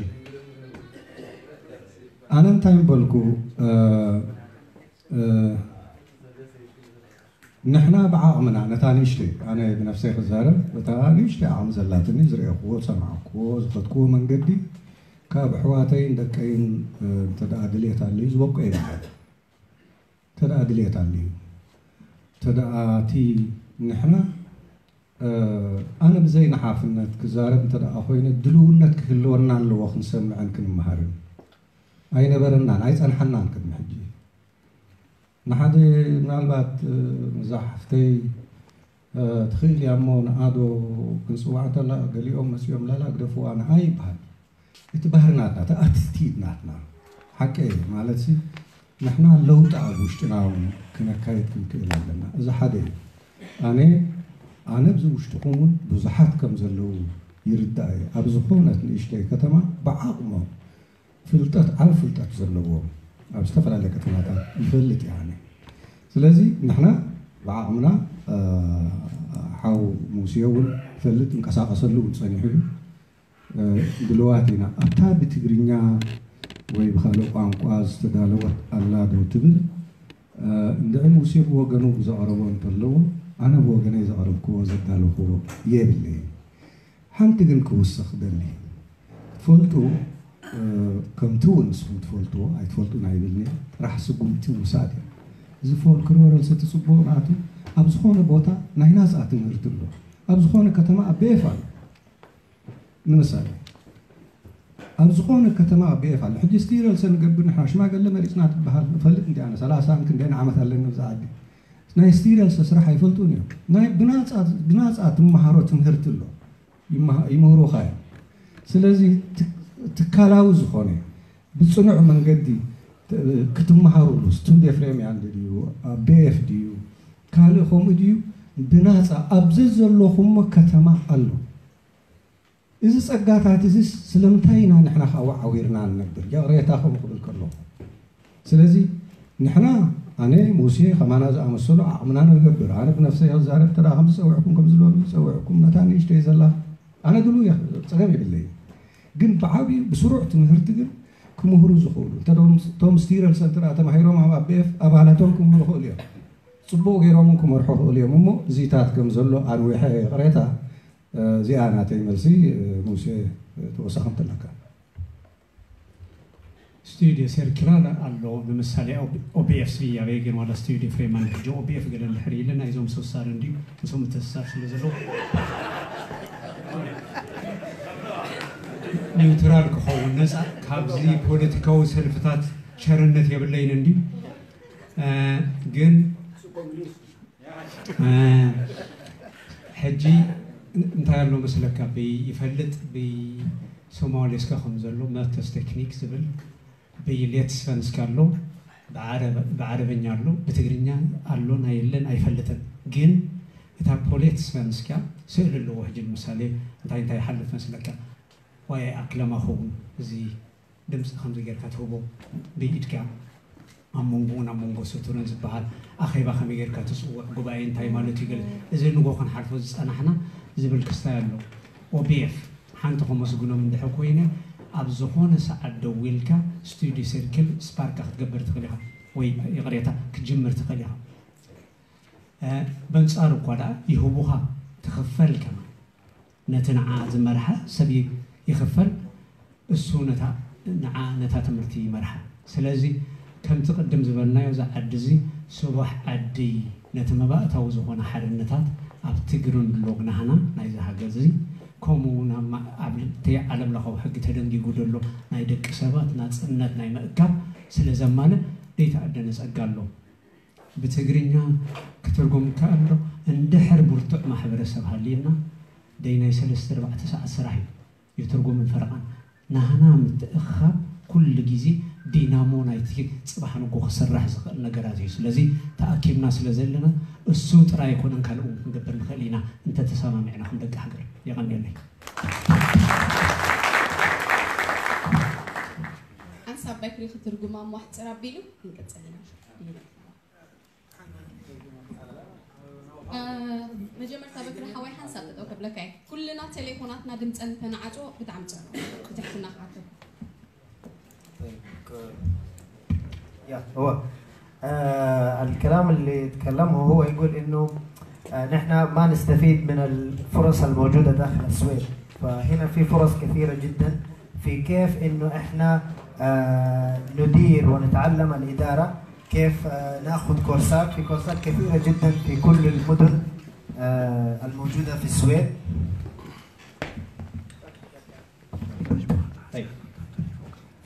ኣነ እንታይ ምበልኩ ንሕና ብዓቕምና ነታ ንእሽተይ ኣነ ብነፍሰይ ክዛረብ እታ ንእሽተይ ዓቕሚ ዘላትኒ ዝረእኽዎ ዝሰማዕክዎ ዝኸድክዎ መንገዲ ካብ ኣሕዋተይን ደቀይን እንተ ደኣ ድልየት ኣልዩ ዝበቁ እየ በሃል። እንተ ደኣ ድልየት ኣልዩ፣ እንተ ደኣ እቲ ንሕና ኣነ ብዘይ ንሓፍነት ክዛረብ እንተ ደኣ ኮይነ ድልውነት ክህልወና ኣለዎ ክንሰምዕን ክንመሃርን። ኣይነበረናን ኣይጸንሓናን ቅድሚ ሕጂ። ንሓደ ምናልባት እዛ ሓፍተይ ትኽእል እያ እሞ ንኣዶ ክንጽዋዕ እንተላ ገሊኦም መጺኦም ላላ ግደፍዋ ንኣ ይበሃል። እቲ ባህሪ ናትና እቲ ኣቲቲድ ናትና ሓቂ ማለት ንሕና ለውጢ ኣብ ውሽጥና እውን ክነካየድ ክንክእል ኣለና። እዚ ሓደ እዩ። ኣነ ኣነ ብዚ ውሽጥኹም እውን ብዙሓት ከም ዘለዉ ይርዳእ እየ። ኣብ ዝኾነት ንእሽተይ ከተማ ብዓቕሞም ፍልጠት ዓብ ፍልጠት ዘለዎም ኣብ ዝተፈላለየ ከተማታት ይፈልጥ እየ ኣነ። ስለዚ ንሕና ብዓቕምና ሓው ሙሴ እውን ይፈልጥ እንቀሳቐሰሉ እውን ጸኒሑ እዩ። ድልዋት ኢና ኣብታ ብትግርኛ ወይ ብካልእ ቋንቋ ዝተዳለወት ኣላ ዶ ትብል እንድዒ ሙሴ ብወገኑ ዘቕረቦ እንተለዎ ኣነ ብወገነይ ዘቕረብክዎ ዘዳለኽዎ የብለይን። ሓንቲ ግን ክውስኽ ደሊ ትፈልጡ ከምቲ እውን ንስኹም ትፈልጥዎ ኣይትፈልጡን ኣይብልኒ ጥራሕ ስጉምቲ ምውሳድ እዩ። እዚ ፎልክሎር ርእሰ ትፅቡቕ ናቱ ኣብ ዝኾነ ቦታ ናይ ናፃ ትምህርቲ ኣሎ። ኣብ ዝኾነ ከተማ ኣብ ቤፋ ኣሎ ንምሳሌ ኣብ ዝኾነ ከተማ ኣብ ቤፋ ኣሎ። ሕጂ ስቲረልሰ ንገብር ንሕና ሽማገለ መሪፅና ትበሃል እፈልጥ እንዲ ኣነ ሰላሳን ክንደይን ዓመት ኣለኒ ኣብዚ ዓዲ ናይ ስቲረልሰ ስራሕ ኣይፈልጡን እዮም። ናይ ብናፃ ትመሃሮ ትምህርቲ ኣሎ ይምህሩኻ እዮም። ስለዚ ትካላዊ ዝኾነ ብፅኑዕ መንገዲ ክትመሃሩሉ ስቱድ ኤፍሬም ያንድ ድዩ ኣብ ቤኤፍ ድዩ ካልእ ከምኡ ድዩ ብናፃ ኣብዚ ዘለኹሞ ከተማ ኣሎ። እዚ ፀጋታት እዚ ስለምንታይ ኢና ንሕና ከዓ ወዓዊርና ንነብር? ይቕሬታ ከምኡ ክብል ከለኹ ስለዚ ንሕና ኣነ ሙሴ ከማና ዝኣመሰሉ ዓቕምና ንገብር። ኣነ ብነፍሰይ ክዛረብ እንተ ከም ዝፀውዕኩም ከም ዝበሉ ዝፀውዕኩም ነታ ንእሽተይ ዘላ ኣነ ድሉ ፀገም የብለይ። ግን ብዓብዩ ብስሩዕ ትምህርቲ ግን ክምህሩ ዝኽእሉ እቶም ስቲረል ሰንትራ ተማሂሮም ኣብ ኣቤኤፍ ኣባላቶም ክምህሩ ይኽእሉ እዮም። ፅቡቕ ገይሮም ክመርሑ ይኽእሉ እዮም እሞ እዚታት ከም ዘሎ ኣንዊሐ ይቕሬታ። እዚኣ ናተይ መልሲ። ሙሴ ተወሳኺ እንተለካ። ስቱዲዮ ሰርኪላር ኣሎ ንምሳሌ ኦቢኤፍ ስብያ በየ ግን ዋላ ስቱዲዮ ፍሬማን ሕጂ ኦቢኤፍ ገለ እንድሕር ኢለ ናይዞም ሰሳር እንዲ ምስኦም ምተሰሳር ስለ ዘለዉ ኒውትራል ክኸውን ነፃ ካብዚ ፖለቲካዊ ሰልፍታት ቸርነት የብለይን እንዲ ግን ሕጂ እንታይ ኣሎ መስለካ ብይፈልጥ ብይ ሶማሌ እስከ ከም ዘሎ መተስ ቴክኒክ ዝብል ብይ ሌት ስፈንስካ ኣሎ ብዓረበኛ ኣሎ ብትግርኛ ኣሎ ናይ የለን ኣይፈልጥን ግን እታ ፖሌት ስፈንስካ ስእል ኣለዎ ሕጂ ንምሳሌ እንታይ እንታይ ይሓልፍ መስለካ ዋይ ኣክለማ ኸውን እዚ ድምፂ ከምዚ ጌርካ ትህቦ ብኢድካ ኣብ መንጎ ናብ መንጎ ስቱርን ዝበሃል ኣኼባ ከመይ ጌርካ ትፅውዕ ጉባኤ እንታይ ማለት እዩ ገለ እዚ ንጎ ክንሓልፎ ዝፀናሕና ዝብል ክስታይ ኣሎ ኦቢኤፍ ሓንቲ ከመስግኖም እንድሕር ኮይነ ኣብ ዝኾነ ሰዓት ደዊልካ ስቱዲ ሰርክል ስፓርካ ክትገብር ትኽእል ኢኻ ወይ ይቕሬታ ክትጅምር ትኽእል ኢኻ በንፃሩ እኳ ደኣ ይህቡኻ ትኽፈል ከማ ነቲ ንዓ ዝመርሓ ሰብ ይኽፈል እሱ ነታ ንዓ ነታ ትምህርቲ ይመርሓ ስለዚ ከምቲ ቅድም ዝበልናዮ እዛ ዓዲ እዚ ስቡሕ ዓዲ ነቲ መባእታዊ ዝኾነ ሓርነታት ኣብቲ ግርንድሎግ ናህና ናይዚ ሃገር እዚ ከምኡ እውን ኣብ ዓለምለኻዊ ሕጊ ተደንጊጉ ዘሎ ናይ ደቂ ሰባት ናፅነት ናይ ምእካብ ስለ ዘማልእ ደይተኣደነ ፀጋ ኣሎ ብትግርኛ ክትርጎም ይከኣል ዶ? እንድሕር ብርቱዕ ማሕበረሰብ ሃልዩና ደይ ናይ ሰለስተ ኣርባዕተ ሰዓት ስራሕ እዩ። ይትርጉምን ፈረቓን ናህና ምትእኽኻብ ኩሉ ግዜ ዲናሞ ናይቲ ፅባሕ ንጎ ክስራሕ ዝኽእል ነገራት እዩ። ስለዚ ተኣኪብና ስለ ዘለና እሱ ጥራይ ኣይኮነን ካልእ እውን ክንገብር ንኽእል ኢና እንተተሰማሚዕና ከም ደቂ ሃገር። የቐንየለይ። ሓንሳብ በክሪ ክትርጉማ እሞ ኣሕፅር ኣቢሉ ክንቅፅል ኢና። መጀመርታ በክሪ ሓወይ ሓንሳብ ጠጠው ከብለካ እየ። ኩልና ቴሌፎናትና ድምፀን እንተንዓፅዎ ብጣዕሚ ፅቡቅ። ብትሕትና ክሓተኩም። يا هو آه الكلام اللي يتكلمه هو يقول انه آه نحن ما نستفيد من الفرص الموجوده داخل السويد، فهنا في فرص كثيره جدا في كيف إنه إحنا آه، ندير ونتعلم الإدارة، كيف آه، نأخذ كورسات، في كورسات كثيرة جدا في كل المدن آه، الموجودة في السويد. طيب.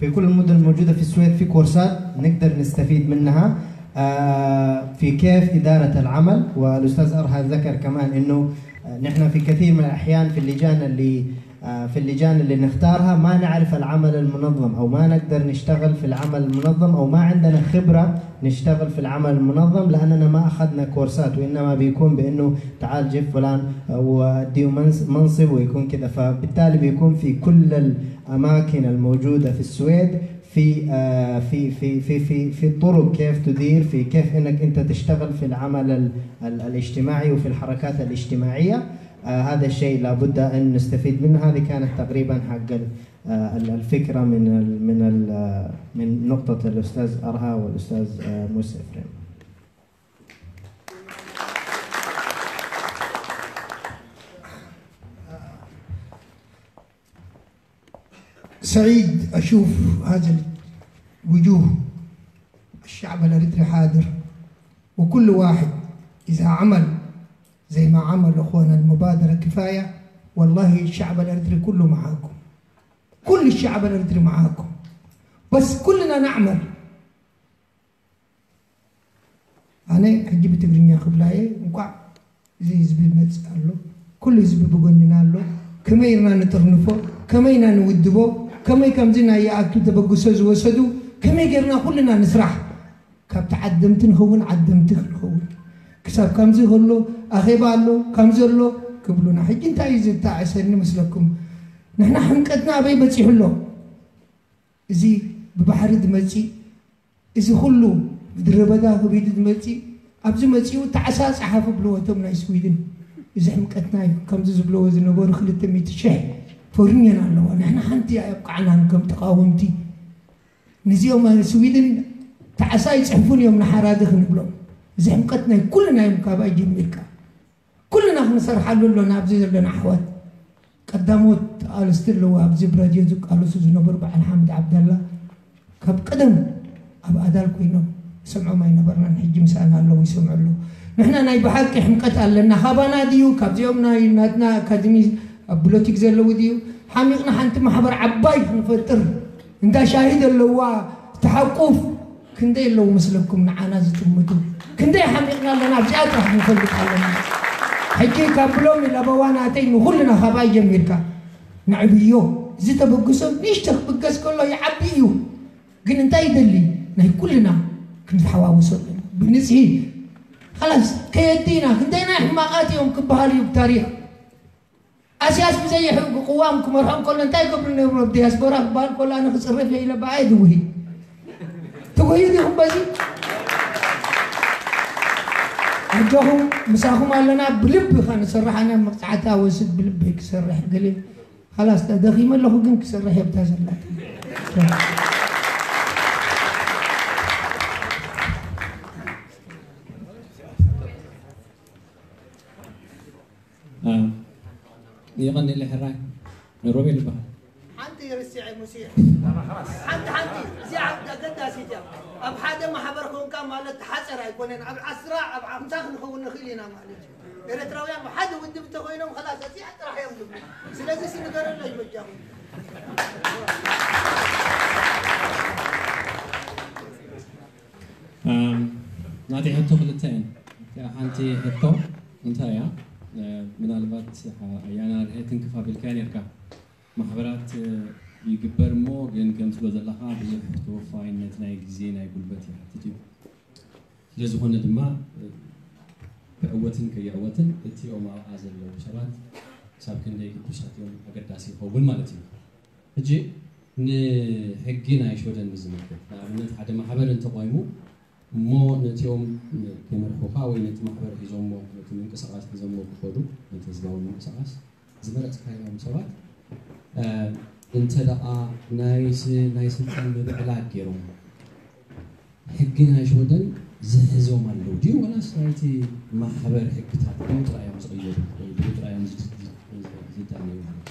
في كل المدن الموجودة في السويد في كورسات نقدر نستفيد منها آه، في كيف إدارة العمل. والأستاذ أرها ذكر كمان إنه آه، نحن في كثير من الأحيان في اللجان اللي آه، في اللجان اللي نختارها ما نعرف العمل المنظم، أو ما نقدر نشتغل في العمل المنظم، أو ما عندنا خبرة نشتغل في العمل المنظم، لأننا ما أخذنا كورسات، وإنما بيكون بأنه تعال جيب فلان وأديه منص- منصب ويكون كده. فبالتالي بيكون في كل الأماكن الموجودة في السويد في آه، في في في في في طرق كيف تدير، في كيف انك انت تشتغل في العمل ال- ال- الاجتماعي وفي الحركات الاجتماعيه. آه، هذا الشيء لابد ان نستفيد منه. هذه كانت تقريبا حق ال- آه، ال- الفكره من ال من ال آه، من نقطه الاستاذ ارها والاستاذ آه، موسى افريم. سعيد أشوف هذا الوجوه، الشعب الأريتري حاضر، وكل واحد إذا عمل زي ما عمل أخونا المبادرة كفاية. والله الشعب الأريتري كله معاكم، كل الشعب الأريتري معاكم، بس كلنا نعمل. ኣነ ሕጂ ብትግርኛ ክብላ እየ። እንኳዕ እዚ ህዝቢ ይመፅእ ኣሎ፣ ኩሉ ህዝቢ ብጎንና ኣሎ። ከመይ ርና ንጥርንፎ፣ ከመይ ኢና ንውድቦ፣ ከመይ ከምዚ ናይ ይኣቱ ተበግሶ ዝወሰዱ ከመይ ጌርና ኩልና ንስራሕ። ካብቲ ዓደምቲ ንኸውን ዓደምቲ ክንኸውን። ክሳብ ከምዚ ከሎ ኣኼባ ኣሎ፣ ከምዚ ኣሎ ክብሉና። ሕጂ እንታይ እዩ ዝተዓሰኒ መስለኩም? ንሕና ሕምቀትና ኣበይ በፂሑ ኣሎ? እዚ ብባሕሪ ዝመፅእ፣ እዚ ኩሉ ምድረ በዳ ከቢዱ ዝመፅእ፣ ኣብዚ መፂኡ ጣዕሳ ፀሓፉ ብልዎ እቶም ናይ ስዊድን። እዚ ሕምቀትና እዩ። ከምዚ ዝብለዎ ዝነበሩ ክልተ ሚእቲ ሽሕ ፈርንየን ኣለዋ። ንሕና ሓንቲ ኣየብቃዕናን ከም ተቃወምቲ። ንዚኦም ስዊድን ጣዕሳ ይፅሕፉን እዮም ንሓራዲ ክንብሎም። እዚ ሕምቀት ናይ ኩልና እዮም ካባይ ጀሚርካ። ኩልና ክንሰርሓሉ ኣሎና ኣብዚ ዘለና ኣሕዋት። ቀዳሞት ተቓለስቲ ኣለዉ ኣብዚ ብራድዮ ዝቃለሱ ዝነበሩ በዓል ሓምድ ዓብደላ ካብ ቀደም ኣብ ኣዳል ኮይኖም ይሰምዖም ኣይነበርናን። ሕጂ ምሳና ኣለዉ ይሰምዑ ኣለዉ። ንሕና ናይ ብሓቂ ሕምቀት ኣለና። ካባና ድዩ ካብዚኦም ናይ ናትና ኣካድሚ ኣብ ብሎቲክ ዘለዉ ድዩ ሓሚቕና ሓንቲ ማሕበር ዓባይ ክንፈጥር እንዳ ሻሂ ዘለዋ ተሓቁፍ ክንደይ ኣለዉ መስለኩም ንዓና ዝጥምቱ? ክንደይ ሓሚቕና ኣለና ኣብዚኣ ጥራሕ ንፈልጥ ኣለና። ሕጂ ካብ ብሎም ለበዋ ናተይ ንኹልና ካብኣ ጀሚርካ ንዕብዮ። እዚ ተበግሶ ንእሽቶ ክብገስ ከሎ ይዓቢ እዩ። ግን እንታይ ይደሊ ናይ ኩልና ክንተሓዋወሶ ኣለና ብንፅሂ። ላስ ከየዲና ክንደይና ሕማቓት እዮም ክበሃል እዩ ብታሪክ። ኣስያስ ብዘየሕጊ ቅዋም ክመርሖም ከሎ እንታይ ገብሩ ነብሩ ኣብ ዲያስፖራ ክበሃል ከሎ ኣነ ክፅረፍ እየ ኢለ ብኣየ ድውሂ ትጉሂ ዲኹም በዚ ኣጆኹም ምሳኹም ኣለና ብልቢ ከንሰርሕ ኣነ መቕፃዕታ ወስድ ብልቢ ክሰርሕ ገለ ካላስ ደኺመ ኣለኹ ግን ክሰርሕ የብታ ዘላት የቐኒለ ሕራይ ሮቤል ይበሃል። ሓንቲ ርሲዐ ሙሴ ሓንቲ ሓንቲ እዚኣ ኣገዳሲት እያ። ኣብ ሓደ ማሕበር ኮንካ ማለት ሓፀር ኣይኮነን። ኣብ ዓስራ ኣብ ሓምሳ ክንኸውን ንኽእል ኢና ማለት እዩ። ኤርትራውያን ሓደ ውድብ እንተኮይኖም ከላስ እዚኣ ጥራሕ እዮም ዝብሉ። ስለዚ ንገረለይ በጃኹም። ናተይ ሕቶ ክልተ እየን። እቲኣ ሓንቲ ሕቶ እንታይ እያ? ምናልባት ኣያና ርሄ ትንክፍ ኣቢልካያ ነርካ። ማሕበራት ይግበር እሞ ግን ከም ትብሎ ዘለኻ ብዙሕ ተወፋይነት ናይ ግዜ ናይ ጉልበት ይሓትት እዩ። ስለዝኾነ ድማ ክዕወትን ከይዕወትን እቲኦም ኣብኣ ዘለዉ ሰባት ክሳብ ክንደይ ግዱሳት እዮም ኣገዳሲ ይኸውን ማለት እዩ። ሕጂ ንሕጊ ናይ ሽወደን ብዝምልከት ንኣብነት ሓደ ማሕበር እንተቆይሙ እሞ ነቲኦም ከይመርሑኻ ወይ ነቲ ማሕበር ሒዞሞ ነቲ ምንቅስቃስ ሒዞሞ ክኸዱ ነቲ ህዝባዊ ምንቅስቃስ ዝመረፅካዮም ሰባት እንተ ደኣ ናይ ስልጣን ምብዕላል ገይሮም ሕጊ ናይ ሽወደን ዝሕዞም ኣለዉ ድዩ ወላስ ናይቲ ማሕበር ሕግታት ብኡ ጥራይ እዮም ዝቕየሩ ወይ ብኡ ጥራይ እዮም ዝዳነዩ ማለት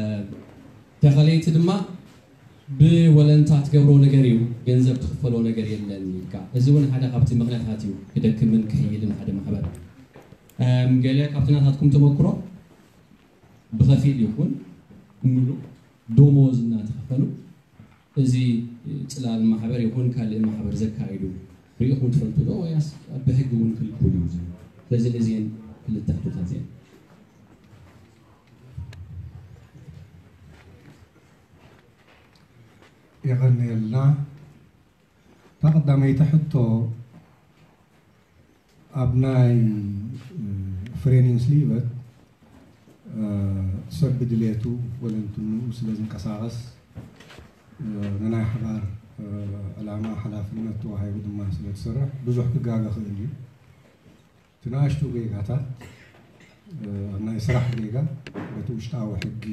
እዩ? ተኸለይቲ ድማ ብወለንታ ትገብሮ ነገር እዩ፣ ገንዘብ ትኽፈሎ ነገር የለን ኢልካ። እዚ እውን ሓደ ካብቲ ምኽንያታት እዩ ክደክምን ክሕይልን ሓደ ማሕበር። እም፣ ገለ ካብቲ ናታትኩም ተመክሮ ብኸፊል ይኹን ብምሉእ ደሞዝ እናተኸፈሉ እዚ ጽላል ማሕበር ይኹን ካልእ ማሕበር ዘካይዱ ርኢኹም ትፈልጡ ዶ? ወያስ ብሕጊ እውን ክልኩል እዩ? ስለዚ እዚአን ክልተ ሕቶታት እዚአን። የቐንየልና። እታ ቀዳመይቲ ሕቶ ኣብ ናይ ፍሬኒንስ ሊቨት ሰብ ብድሌቱ ወለንትንኡ ስለ ዝንቀሳቐስ ንናይ ሓባር ዕላማ ሓላፍነት ተዋሂቡ ድማ ስለ ትሰርሕ ብዙሕ ክጋገ ክእል እዩ። እቲ ንኣሽቱ ጌጋታት ኣብ ናይ ስራሕ ጌጋ በቲ ውሽጣዊ ሕጊ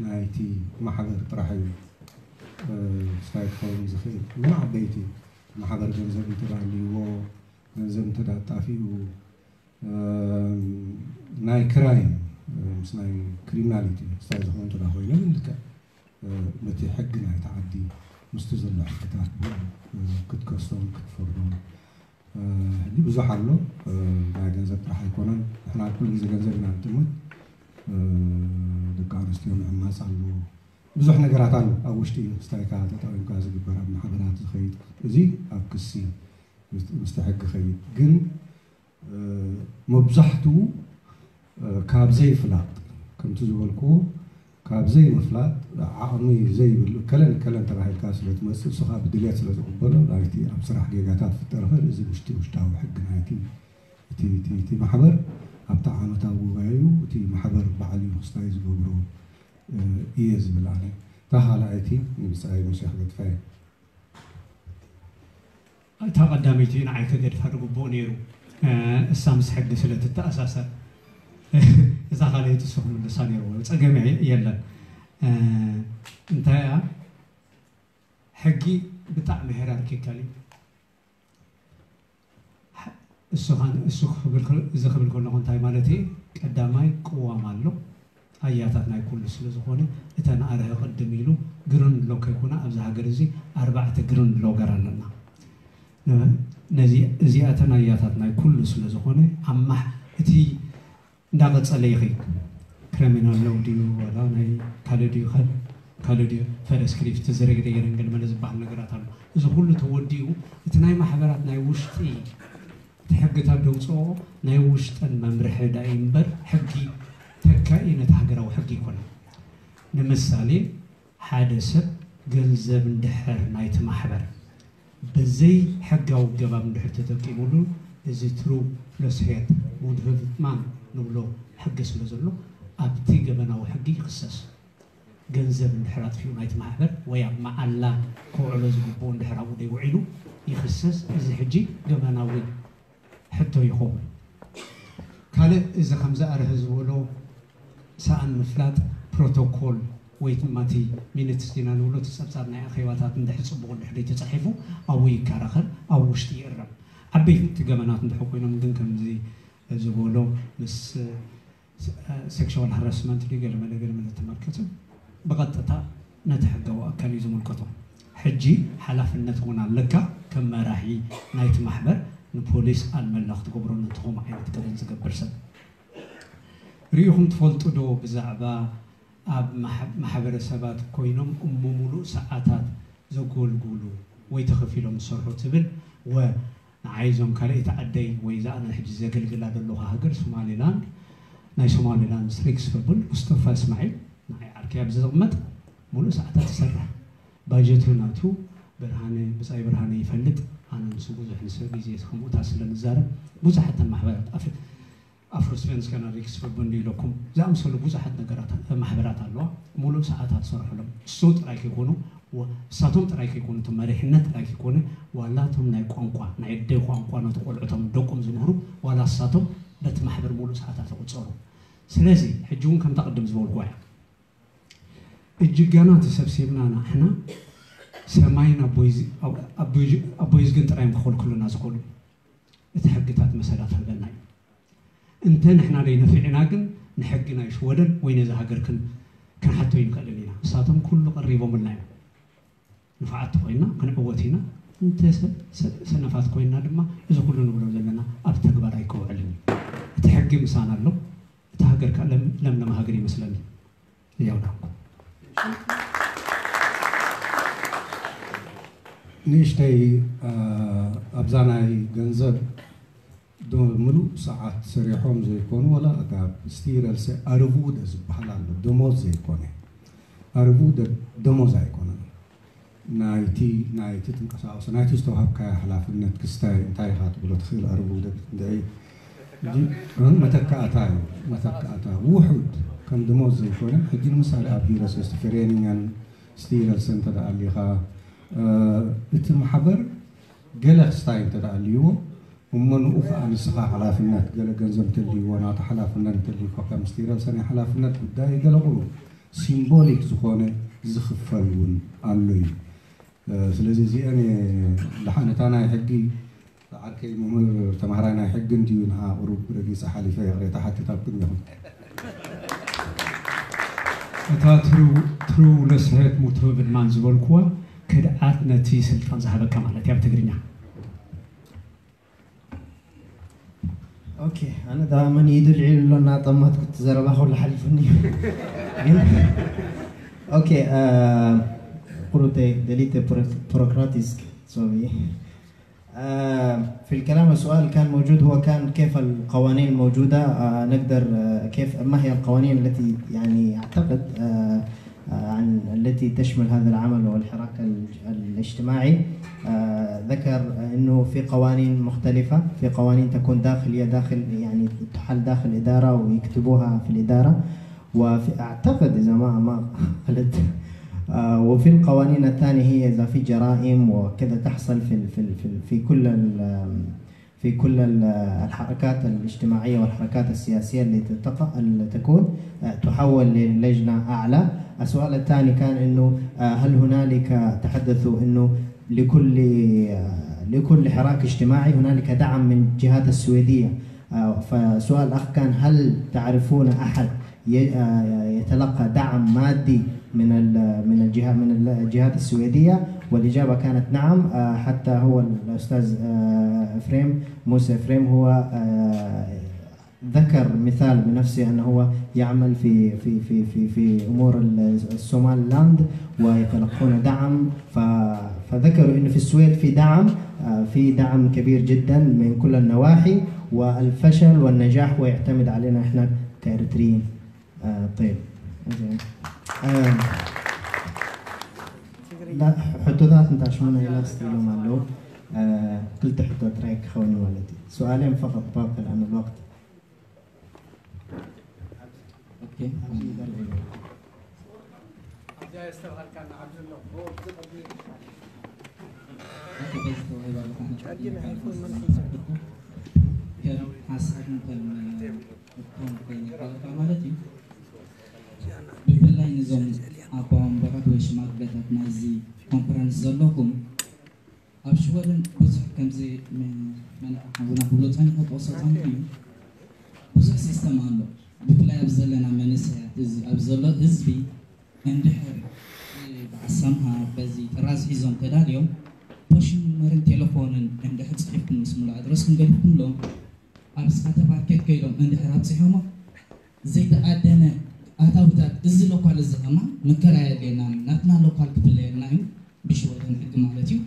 ናይቲ ማሕበር ጥራሕ እዩ ስታይ ክኸውን ዝኽእል። ግን ዓበይቲ ማሕበር ገንዘብ እንተዳልይዎ፣ ገንዘብ እንተዳጣፊኡ፣ ናይ ክራይም ምስ ናይ ክሪሚናሊቲ ስታይ ዝኾነ እንተዳ ኮይነ፣ ግን ልክዕ በቲ ሕጊ ናይቲ ዓዲ ምስቲ ዘሎ ሕግታት ብኡ ክትከሶም ክትፈርዶም ሕጂ ብዙሕ ኣሎ። ናይ ገንዘብ ጥራሕ ኣይኮነን። ንሕና ኩሉ ግዜ ገንዘብ ኢና ንጥምት። ደቂ ኣንስትዮ ምዕማፅ ኣሎ። ብዙሕ ነገራት ኣሎ ኣብ ውሽጢ ስታይካ ተጠቒምካ ዝግበር ኣብ ማሕበራት ዝኸይድ። እዚ ኣብ ክሲ ምስቲ ሕጊ ኸይድ። ግን መብዛሕትኡ ካብ ዘይፍላጥ፣ ከምቲ ዝበልኩዎ፣ ካብ ዘይምፍላጥ፣ ዓቕሚ ዘይብሉ፣ ከለን ከለን ተባሂልካ ስለ ትመፅእ፣ እሱ ከዓ ብድልየት ስለ ዝቕበሎ፣ ናይቲ ኣብ ስራሕ ጌጋታት ፍጠር ይኽእል። እዚ ውሽጢ ውሽጣዊ ሕጊ ናይቲ እቲ ማሕበር ኣብቲ ዓመታዊ ጉባኤኡ እቲ ማሕበር ባዕሉ እዩ ክስታይ ዝገብሮ እየ ዝብል ኣነ። እታ ካልኣይቲ ንብፃይ ሙሴ ክገድፋ እየ። እታ ቀዳመይቲ ንዓይ ክገድፋ ዝግብኦ ነይሩ። እሳ ምስ ሕጊ ስለ ትተኣሳሰር እዛ ካልኣይቲ እሱ ክምልሳ ነይርዎ። ፀገም የለን። እንታይ እያ ሕጊ ብጣዕሚ ሄራርኪካል እዩ። እሱ እዚ ክብል ከለኹ እንታይ ማለት እየ? ቀዳማይ ቅዋም ኣሎ። ኣያታት ናይ ኩሉ ስለ ዝኾነ እተን ኣርሀ ቅድም ኢሉ ግርን ሎ ከይኮና ኣብዚ ሃገር እዚ ኣርባዕተ ግርን ሎገር ኣለና። ነዚ እዚኣተን ኣያታት ናይ ኩሉ ስለ ዝኾነ ኣማሕ እቲ እንዳቐጸለ ይኸይድ። ክሪሚናል ሎው ድዩ ዋላ ናይ ካልእ ድዩ ካልእ ድዩ ፈረስ ክሊፍት ዝረግደ የረንገል መለ ዝበሃል ነገራት ኣሎ። እዚ ኩሉ ተወዲኡ እቲ ናይ ማሕበራት ናይ ውሽጢ እቲ ሕግታት ደውፅኦ ናይ ውሽጠን መምርሒ ዳይ እምበር ሕጊ ተካኢ ነቲ ሃገራዊ ሕጊ ይኮነ። ንምሳሌ ሓደ ሰብ ገንዘብ እንድሕር ናይቲ ማሕበር ብዘይ ሕጋዊ ገባብ እንድሕር ተጠቂሙሉ እዚ ትሩ ለስሄት ሙድህብማን ንብሎ ሕጊ ስለ ዘሎ ኣብቲ ገበናዊ ሕጊ ይኽሰስ። ገንዘብ እንድሕር ኣጥፊኡ ናይቲ ማሕበር ወይ ኣብ መዓላ ከውዕሎ ዝግብኦ እንድሕር ኣብኡ ደይውዒሉ ይኽሰስ። እዚ ሕጂ ገበናዊ ሕቶ ይኸውን። ካልእ እዚ ከምዚ ኣርህ ዝበሎ ሰኣን ምፍላጥ ፕሮቶኮል ወይ ድማ እቲ ሚኒትስ ዲና ንብሎ እቲ ጸብጻብ ናይ ኣኼባታት እንድሕር ጽቡቕ እንድሕር ተጻሒፉ ኣብኡ ይከራኸር ኣብ ውሽጢ ይእረም። ዓበይቲ ገበናት እንድሕር ኮይኖም ግን ከምዚ ዝበሎ ምስ ሴክሽዋል ሃራስመንት ድዩ ገለመለ ገለመለ ተመልከቱ ብቐጥታ ነቲ ሕጋዊ ኣካል እዩ ዝምልከቶ። ሕጂ ሓላፍነት እውን ኣለካ ከም መራሒ ናይቲ ማሕበር ንፖሊስ ኣልመላ ክትገብሮ ነቲ ከምኡ ዓይነት ገበን ዝገብር ሰብ ርኢኹም ትፈልጡ ዶ? ብዛዕባ ኣብ ማሕበረሰባት ኮይኖም እሞ ሙሉእ ሰዓታት ዘጎልጉሉ ወይ ተኸፊሎም ዝሰርሑ ትብል ወ ንዓይ እዞም ካልኣይቲ ዓደይ ወይ እዛ ኣነ ሕጂ ዘገልግላ ዘለኹ ሃገር ሶማሌላንድ ናይ ሶማሌላንድ ሪክስ ፈቡን ሙስጠፋ እስማዒል ንዓይ ዓርከይ ኣብዚ ዝቕመጥ ሙሉእ ሰዓታት ይሰርሕ። ባጀቱ ናቱ ብርሃነ ብፃይ ብርሃነ ይፈልጥ። ኣነ ምስ ብዙሕ ንሰብ ግዜ ከምኡታት ስለ ንዛረብ ብዙሓተን ማሕበራት ኣፍ ኣፍሮስፌንስከና ሪክስፈርቡንድ ኢለኩም ዝኣምሰሉ ብዙሓት ነገራት ማሕበራት ኣለዋ። ሙሉእ ሰዓታት ዝሰርሕሎም እሱ ጥራይ ከይኮኑ እሳቶም ጥራይ ከይኮኑ እቲ መሪሕነት ጥራይ ከይኮነ ዋላ እቶም ናይ ቋንቋ ናይ ኣደይ ቋንቋ ነቲ ቆልዑቶም ደቆም ዝምህሩ ዋላ እሳቶም በቲ ማሕበር ሙሉእ ሰዓታት ይቑፀሩ። ስለዚ ሕጂ እውን ከምታ ቅድም ዝበልኩዋ እያ እጅጋና ተሰብሲብና ንሕና ሰማይን ኣቦይ ዝግን ጥራዮም ክኸልክሉና ዝኽእሉ እቲ ሕግታት መሰላት ህበና እዩ። እንተ ንሕና ደይ ነፊዕና ግን ንሕጊ ናይ ሽወደን ወይ ነዚ ሃገር ክንሓቶ ይንክእልን ኢና። ንሳቶም ኩሉ ቀሪቦምልና እዮም። ንፉዓት ተኾይና ክንዕወት ኢና፣ እንተ ሰ- ሰ- ሰነፋት ኮይና ድማ እዚ ኩሉ ንብሎ ዘለና ኣብ ተግባር ኣይከውዕልን እዩ። እቲ ሕጊ ምሳና ኣሎ። እታ ሃገር ከኣ ለም- ለምለም ሃገር ይመስለኒ። ያው ዳንኩ ንእሽተይ ኣብዛ ናይ ገንዘብ ምሉእ ሰዓት ሰሪሖም ዘይኮኑ ወላ ኣጋብ ስቲረልሰ ኣርቡደ ዝበሃል ኣሎ፣ ደሞዝ ዘይኮነ። ኣርቡደ ደሞዝ ኣይኮነን። ናይቲ ናይቲ ትንቀሳቐሶ ናይቲ ዝተዋሃብካዮ ሓላፍነት ክስታይ እንታይ ኢኻ ትብሎ ትኽእል ኣርቡደ መተካእታ እዩ። መተካእታ ውሑድ ከም ደሞዝ ዘይኮነ። ሕጂ ንምሳሌ ኣብ ሂረስ ዌስት ፌሬኒንገን ስቲረልሰ እንተ ደኣ ኣሊኻ እቲ ማሕበር ገለ ክስታይ እንተ ደኣ ኣልይዎ እሞ ንኡ ከዓ ንስኻ ሓላፍነት ገለ ገንዘብ እንተልይዎ ናቱ ሓላፍነት እንተልይኮ ከም ስቲረልሰ ናይ ሓላፍነት ጉዳይ ገለ ቁሩብ ሲምቦሊክ ዝኾነ ዝኽፈል እውን ኣሎ እዩ። ስለዚ እዚአን ደሓን እታ ናይ ሕጊ ዓርከይ መምህር ተምሃራይ ናይ ሕጊ እንድዩ ንዓ ቁሩብ ረጊፀ ሓሊፈ ይቕሬታ ሓትት ኣብ ቅድሚኹም። እታ ትሩ ለስሄት ሙትሩቭ ማን ዝበልኩዋ ክድዓት ነቲ ስልጣን ዝሃበካ ማለት እያ ብትግርኛ። ኦኬ ኣነ ዳ መን ኢዱ ልዒሉ ኣሎ እናጠማትኩ እቲ ዘረባ ከሎ ሓሊፉኒ እዩ። ግን ኦኬ ቁሩብ ደሊት ፕሮክራቲስክ ሶሪ في الكلام السؤال كان موجود هو كان كيف القوانين الموجودة نقدر كيف ما هي القوانين التي يعني أعتقد عن التي تشمل هذا العمل والحراك الاجتماعي ذكر انه في قوانين مختلفة في قوانين تكون داخلية داخل يعني تحل داخل إدارة ويكتبوها في الإدارة وفي أعتقد إذا ما ما غلطت وفي القوانين الثانية هي إذا في جرائم وكذا تحصل في في في كل في كل الحركات الاجتماعية والحركات السياسية اللي تتقى اللي تكون تحول للجنة أعلى. السؤال الثاني كان إنه هل هنالك تحدثوا إنه لكل لكل حراك اجتماعي هنالك دعم من الجهات السويدية. فسؤال الأخ كان هل تعرفون أحد يتلقى دعم مادي من من الجهة من الجهات السويدية؟ والإجابة كانت نعم. حتى هو الأستاذ إفريم موسى إفريم هو ذكر مثال بنفسه أنه هو يعمل في في في في في أمور الصومال لاند ويتلقون دعم. فذكروا أنه في السويد في دعم في دعم كبير جدا من كل النواحي والفشل والنجاح هو يعتمد علينا احنا كاريتريين. طيب. ሕቶታት እንታ ሽሙና ኢላ ስኢሎም ኣለዉ። ክልተ ሕቶ ጥራይ ክኸውን ማለት እዩ። سؤالين فقط باقي لأن الوقت ማለት እዩ። ብፍላይ ንዞም ኣባወንበራት ወይ ሽማግለታት ናይዚ ኮንፈረንስ ዘለኹም ኣብ ሽወደን ብዙሕ ከምዚ ሓውና ክብሎ ፀኒሑ ክወስዶ ፀኒሑ እዩ። ብዙሕ ሲስተም ኣሎ። ብፍላይ ኣብ ዘለና መንእሰያት እዚ ኣብ ዘሎ ህዝቢ እንድሕር ብዓሳምሃ በዚ ጥራዝ ሒዞም ተዳልዮም ፖሽን መርን ቴሌፎንን እንድሕር ፅሒፍኩም ምስ ሙሉ ኣድረስኩም ገዲፍኩምሎም ኣብ ስካተ ማርኬት ከይዶም እንድሕር ኣብፂሖሞ ዘይተኣደነ ኣታውታት እዚ ሎኳል እዚ ከማ ምክራይ ኣድልየና ናትና ሎኳል ክፍለየልና እዩ ብሽወደን ሕጊ ማለት እዩ።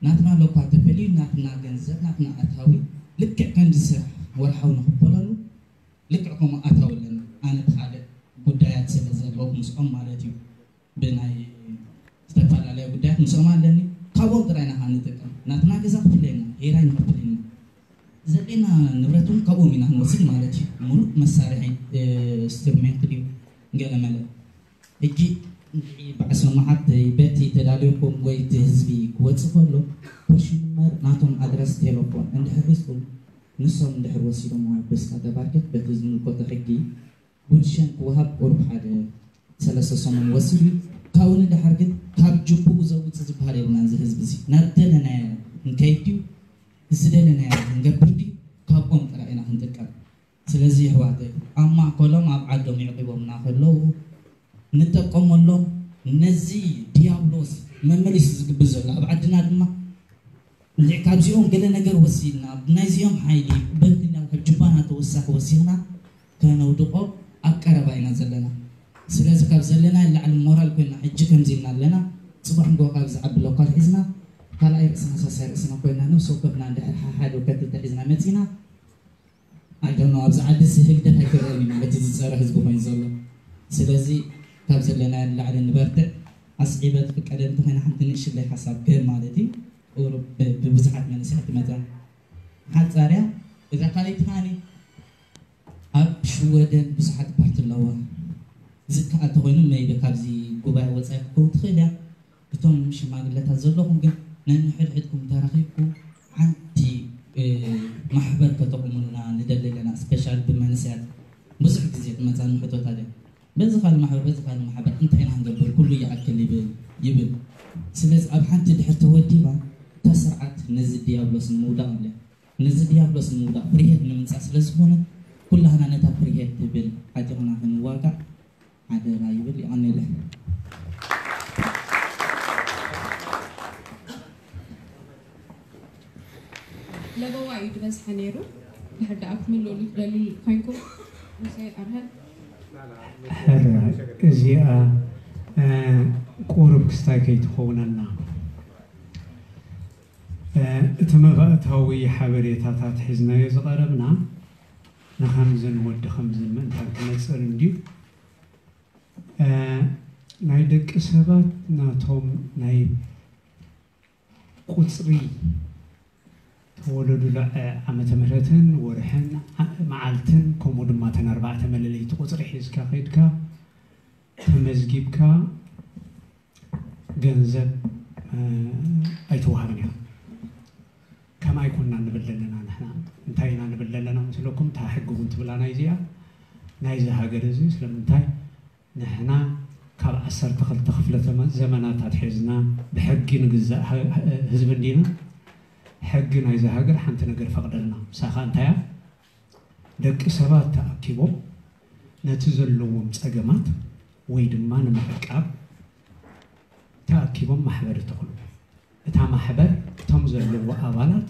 ናትና ሎኳል ተፈልዩ ናትና ገንዘብ ናትና ኣታዊ ልክዕ ከምዚ ስራሕ ወርሓዊ ንኽፈለሉ ልክዕ ከምኡ ኣታዊ ኣለና። ኣነ ብካልእ ጉዳያት ስለ ዘለኹ ምስኦም ማለት እዩ ብናይ ዝተፈላለያ ጉዳያት ምስኦም ኣለኒ። ካብኦም ጥራይ ኢና ንጥቀም። ናትና ገዛ ክፍለየና፣ ሄራይ ንኸፍል ኢና። ዘድልየና ንብረት እውን ካብኦም ኢና ንወስድ ማለት እዩ። ሙሉእ መሳርሒ ኢንስትሩሜንት ድዩ ገለመለ። ሕጂ እንድዒ በዓል ሰማሓት በቲ ተዳሊኹም ወይ እቲ ህዝቢ ክወፅእ ከሎ ፖሽን መር ናቶም ኣድረስ ቴሌፎን እንድሕር ሒዝኩም ንሶም እንድሕር ወሲዶም ብስካ ተባርከት በቲ ዝምልከቶ ሕጊ ጉልሸን ክወሃብ ቁሩብ ሓደ ሰለስተ ሰሙን ወሲዱ እዩ። ካብኡ ንደሓር ግን ካብ ጅቡኡ ዘውፅእ ዝበሃል የብልናን። እዚ ህዝቢ እዚ ናብ ደለናዮ ክንከይድ ድዩ ዝደለናዮ ክንገብር ድዩ ካብኦም ጥራይ ኢና ክንጥቀም። ስለዚ ኣሕዋተይ ኣብ ማእከሎም ኣብ ዓዶም የዕቂቦምና ከለዉ ንጠቀመሎም። ነዚ ዲያብሎስ መመሊሱ ዝግብር ዘሎ ኣብ ዓድና ድማ እንድዒ ካብዚኦም ገለ ነገር ወሲድና፣ ናይዚኦም ሓይሊ በልክና ካብ ጅባና ተወሳኺ ወሲኽና ከነውድቆ ኣብ ቀረባ ኢና ዘለና። ስለዚ ካብ ዘለና ላዕሊ ሞራል ኮይና ሕጂ ከምዚ ኢልና ኣለና። ጽባሕ ንግሆ ካብ ዝዓቢ ሎካል ሒዝና ካልኣይ ርእስና ሳሳይ ርእስና ኮይና ነፍሲ ወከፍና እንድሕር ሓሓደ ወከፍ ክልተ ሒዝና መጺና ኣይደኖ ኣብዚ ዓዲ ሲ ህግደፍ ኣይክረአን እዩ ማለት እዩ ዝፀረ ህዝቢ ኮይኑ ዘሎ። ስለዚ ካብ ዘለና ንላዕሊ ንበርትዕ። ኣስዒበ ትፍቀደ እንተኾይና ሓንቲ ንእሽለይ ሓሳብ ክህብ ማለት እዩ። ቁሩብ ብ- ብብዙሓት መንእሰያት ትመፀ ሓፃርያ እዛ ካልኣይቲ ከዓኒ ኣብ ሽወደን ብዙሓት ፓርቲ ኣለዋ። ዝከኣል ተኾይኑ መይበ ካብዚ ጉባኤ ወፃኢ ክትከውን ትኽእል እያ። እቶም ሽማግለታት ዘለኹም ግን ነንሕድሕድኩም ተራኺብኩም ሓንቲ ማሕበር ከተቑሙልና ንደሊ ኣለና። ስፔሻል ብመንስያት ብዙሕ ግዜ ትመፃኒ ሕቶታት እያ። በዚ ካልእ ማሕበር በዚ ካልእ ማሕበር እንታይ ኢና ንገብር ኩሉ ይኣክል ይብል ይብል። ስለዚ ኣብ ሓንቲ ድሕር ተወዲባ እታ ስርዓት ነዚ ድያብሎስ ንምውዳቕ እያ። ነዚ ድያብሎስ ንምውዳቕ ፍርሄት ንምምፃእ ስለዝኾነ ኩላህና ነታ ፍርሄት ትብል ዓጢቕና ክንዋጋእ ሓደራ ይብል። ይቐንየለይ። ለበዋ እዩ ዝበዝሐ ነይሩ። ድሕር ደኣ ክትምልእሉ ትደልዩ ኮይንኩም ሙሴ ኣብርሀ። ሕረ እዚኣ ቁሩብ ክስታይ ከይትኸውነና እቲ መባእታዊ ሓበሬታታት ሒዝናዮ ዝቐረብና ንኸምዝን ወዲ ከምዝን ምእንታን ክነፅር እንድዩ። ናይ ደቂ ሰባት ናቶም ናይ ቁፅሪ ተወለዱላ ዓመተ ምህረትን ወርሕን መዓልትን ከምኡ ድማ ተን ኣርባዕተ መለለይቲ ቁፅሪ ሒዝካ ከይድካ ተመዝጊብካ ገንዘብ ኣይትወሃብን ኢኻ። ከማይ ኮና ንብል ዘለና ንሕና እንታይ ኢና ንብል ዘለና ምስለኩም እታ ሕጊ እውን ትብላ ናይዚኣ ናይዚ ሃገር እዚ ስለምንታይ ንሕና ካብ ዓሰርተ ክልተ ክፍለ ዘመናት ኣትሒዝና ብሕጊ ንግዛእ ህዝቢ እንዲና። ሕጊ ናይዚ ሃገር ሓንቲ ነገር ፈቕደልና። ምሳኻ እንታይ እያ? ደቂ ሰባት ተኣኪቦም ነቲ ዘለዎም ጸገማት ወይ ድማ ንምዕቃብ ተኣኪቦም ማሕበር ይተኽሉ። እታ ማሕበር እቶም ዘለዎ ኣባላት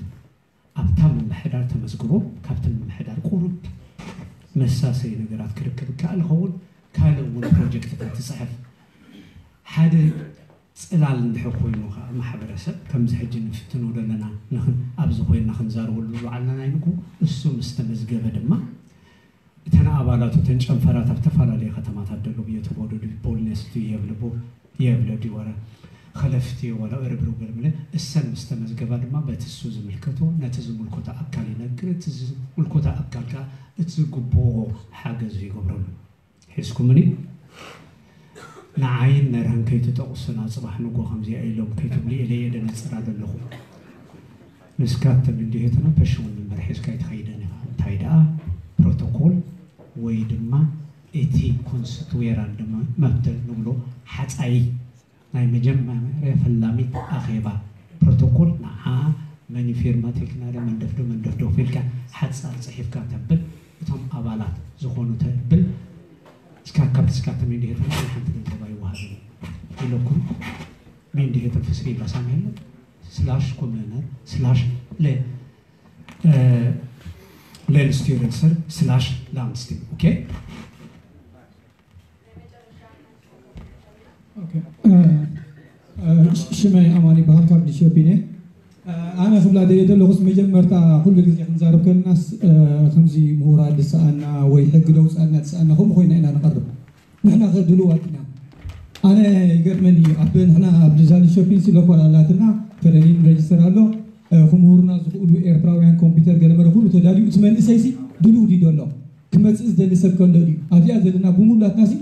ኣብታ ምምሕዳር ተመዝግቦም ካብቲ ምምሕዳር ቁሩብ መሳሰይ ነገራት ክርክብ ይከኣል ይኸውን። ካልእ እውን ፕሮጀክትታት ትፅሕፍ። ሓደ ፅላል እንድሕር ኮይኑ ከዓ ማሕበረሰብ ከምዚ ሕጂ ንፍትኖ ዘለና ንኽን ኣብዚ ኮይንና ክንዛረበሉ ዝወዓልና ናይ ንግሆ እሱ ምስ ተመዝገበ ድማ እተን ኣባላቱ እተን ጨንፈራት ኣብ ዝተፈላለዩ ከተማታት ደሎ ብዮ ተወደዱ ቦልነስቱ የብልቦ የብለ ዲወረ ኸለፍቲ ወላ እርብርብ ገርምለ እሰን ምስ ተመዝገባ ድማ በቲ እሱ ዝምልከቶ ነቲ ዝምልኮቶ ኣካል ይነግር። እቲ ዝምልኮቶ ኣካል ከዓ እቲ ዝግብኦ ሓገዝ ይገብረሉ። ሒዝኩምኒ ንዓይን ነርህን ከይትጠቕሱና ጽባሕ ንጎ ከምዚኣ ኢሎም ከይትብሉ ኢለ እየ ደነጽር ኣለኹ። ንስካትም እንዲህትና ፐሽውን ንመር ሒዝካ ይትኸይደን ኢኻ። እንታይ ደኣ ፕሮቶኮል ወይ ድማ እቲ ኮንስቱዌራል ድማ መብትል ንብሎ ሓጻይ ናይ መጀመርያ ፈላሚት ኣኼባ ፕሮቶኮል ንዓ መን ፊርማ ቴክናደ መንደፍዶ መንደፍዶ ፊልካ ሓጻር ጽሒፍካ ተብል እቶም ኣባላት ዝኾኑ ተብል እስካ ካብቲ ስካተ ሜንዲሄተን ናይ ሓንቲ ገንዘብ ኣይወሃብን ኢለኩም። ሜንዲሄተን ፍስሪ ኢላ ሳምሄለ ስላሽ ኮመነር ስላሽ ለ ሌንስቲረንሰር ስላሽ ላንድስቲም ኦኬ። ሽመይ ኣማን ይበሃል ካብ ሊሾፒን እየ። ኣነ ክብላ ደልየ ዘለኹስ መጀመርታ ኩሉ ግዜ ክንዛረብ ከለናስ ከምዚ ምሁራት ዝሰኣና ወይ ሕጊ ደውፃልና ዝሰኣና ከምኡ ኮይና ኢና ንቐርብ። ንሕና ከ ድልዋት ኢና። ኣነ ይገርመኒ እዩ ኣብ ንሕና ኣብ ዲዛይን ሾፒንስ ሎኮል ኣላትና ፌደሪን ሬጅስተር ኣሎ። ክምህሩና ዝኽእሉ ኤርትራውያን ኮምፒውተር ገለመለ ኩሉ ተዳልዩ እቲ መንእሰይሲ ድልው ድዩ ዘሎ ክመፅእ ዝደሊ ሰብ ከሎ ድዩ ኣብዚኣ ዘለና ብምሉላትናሲ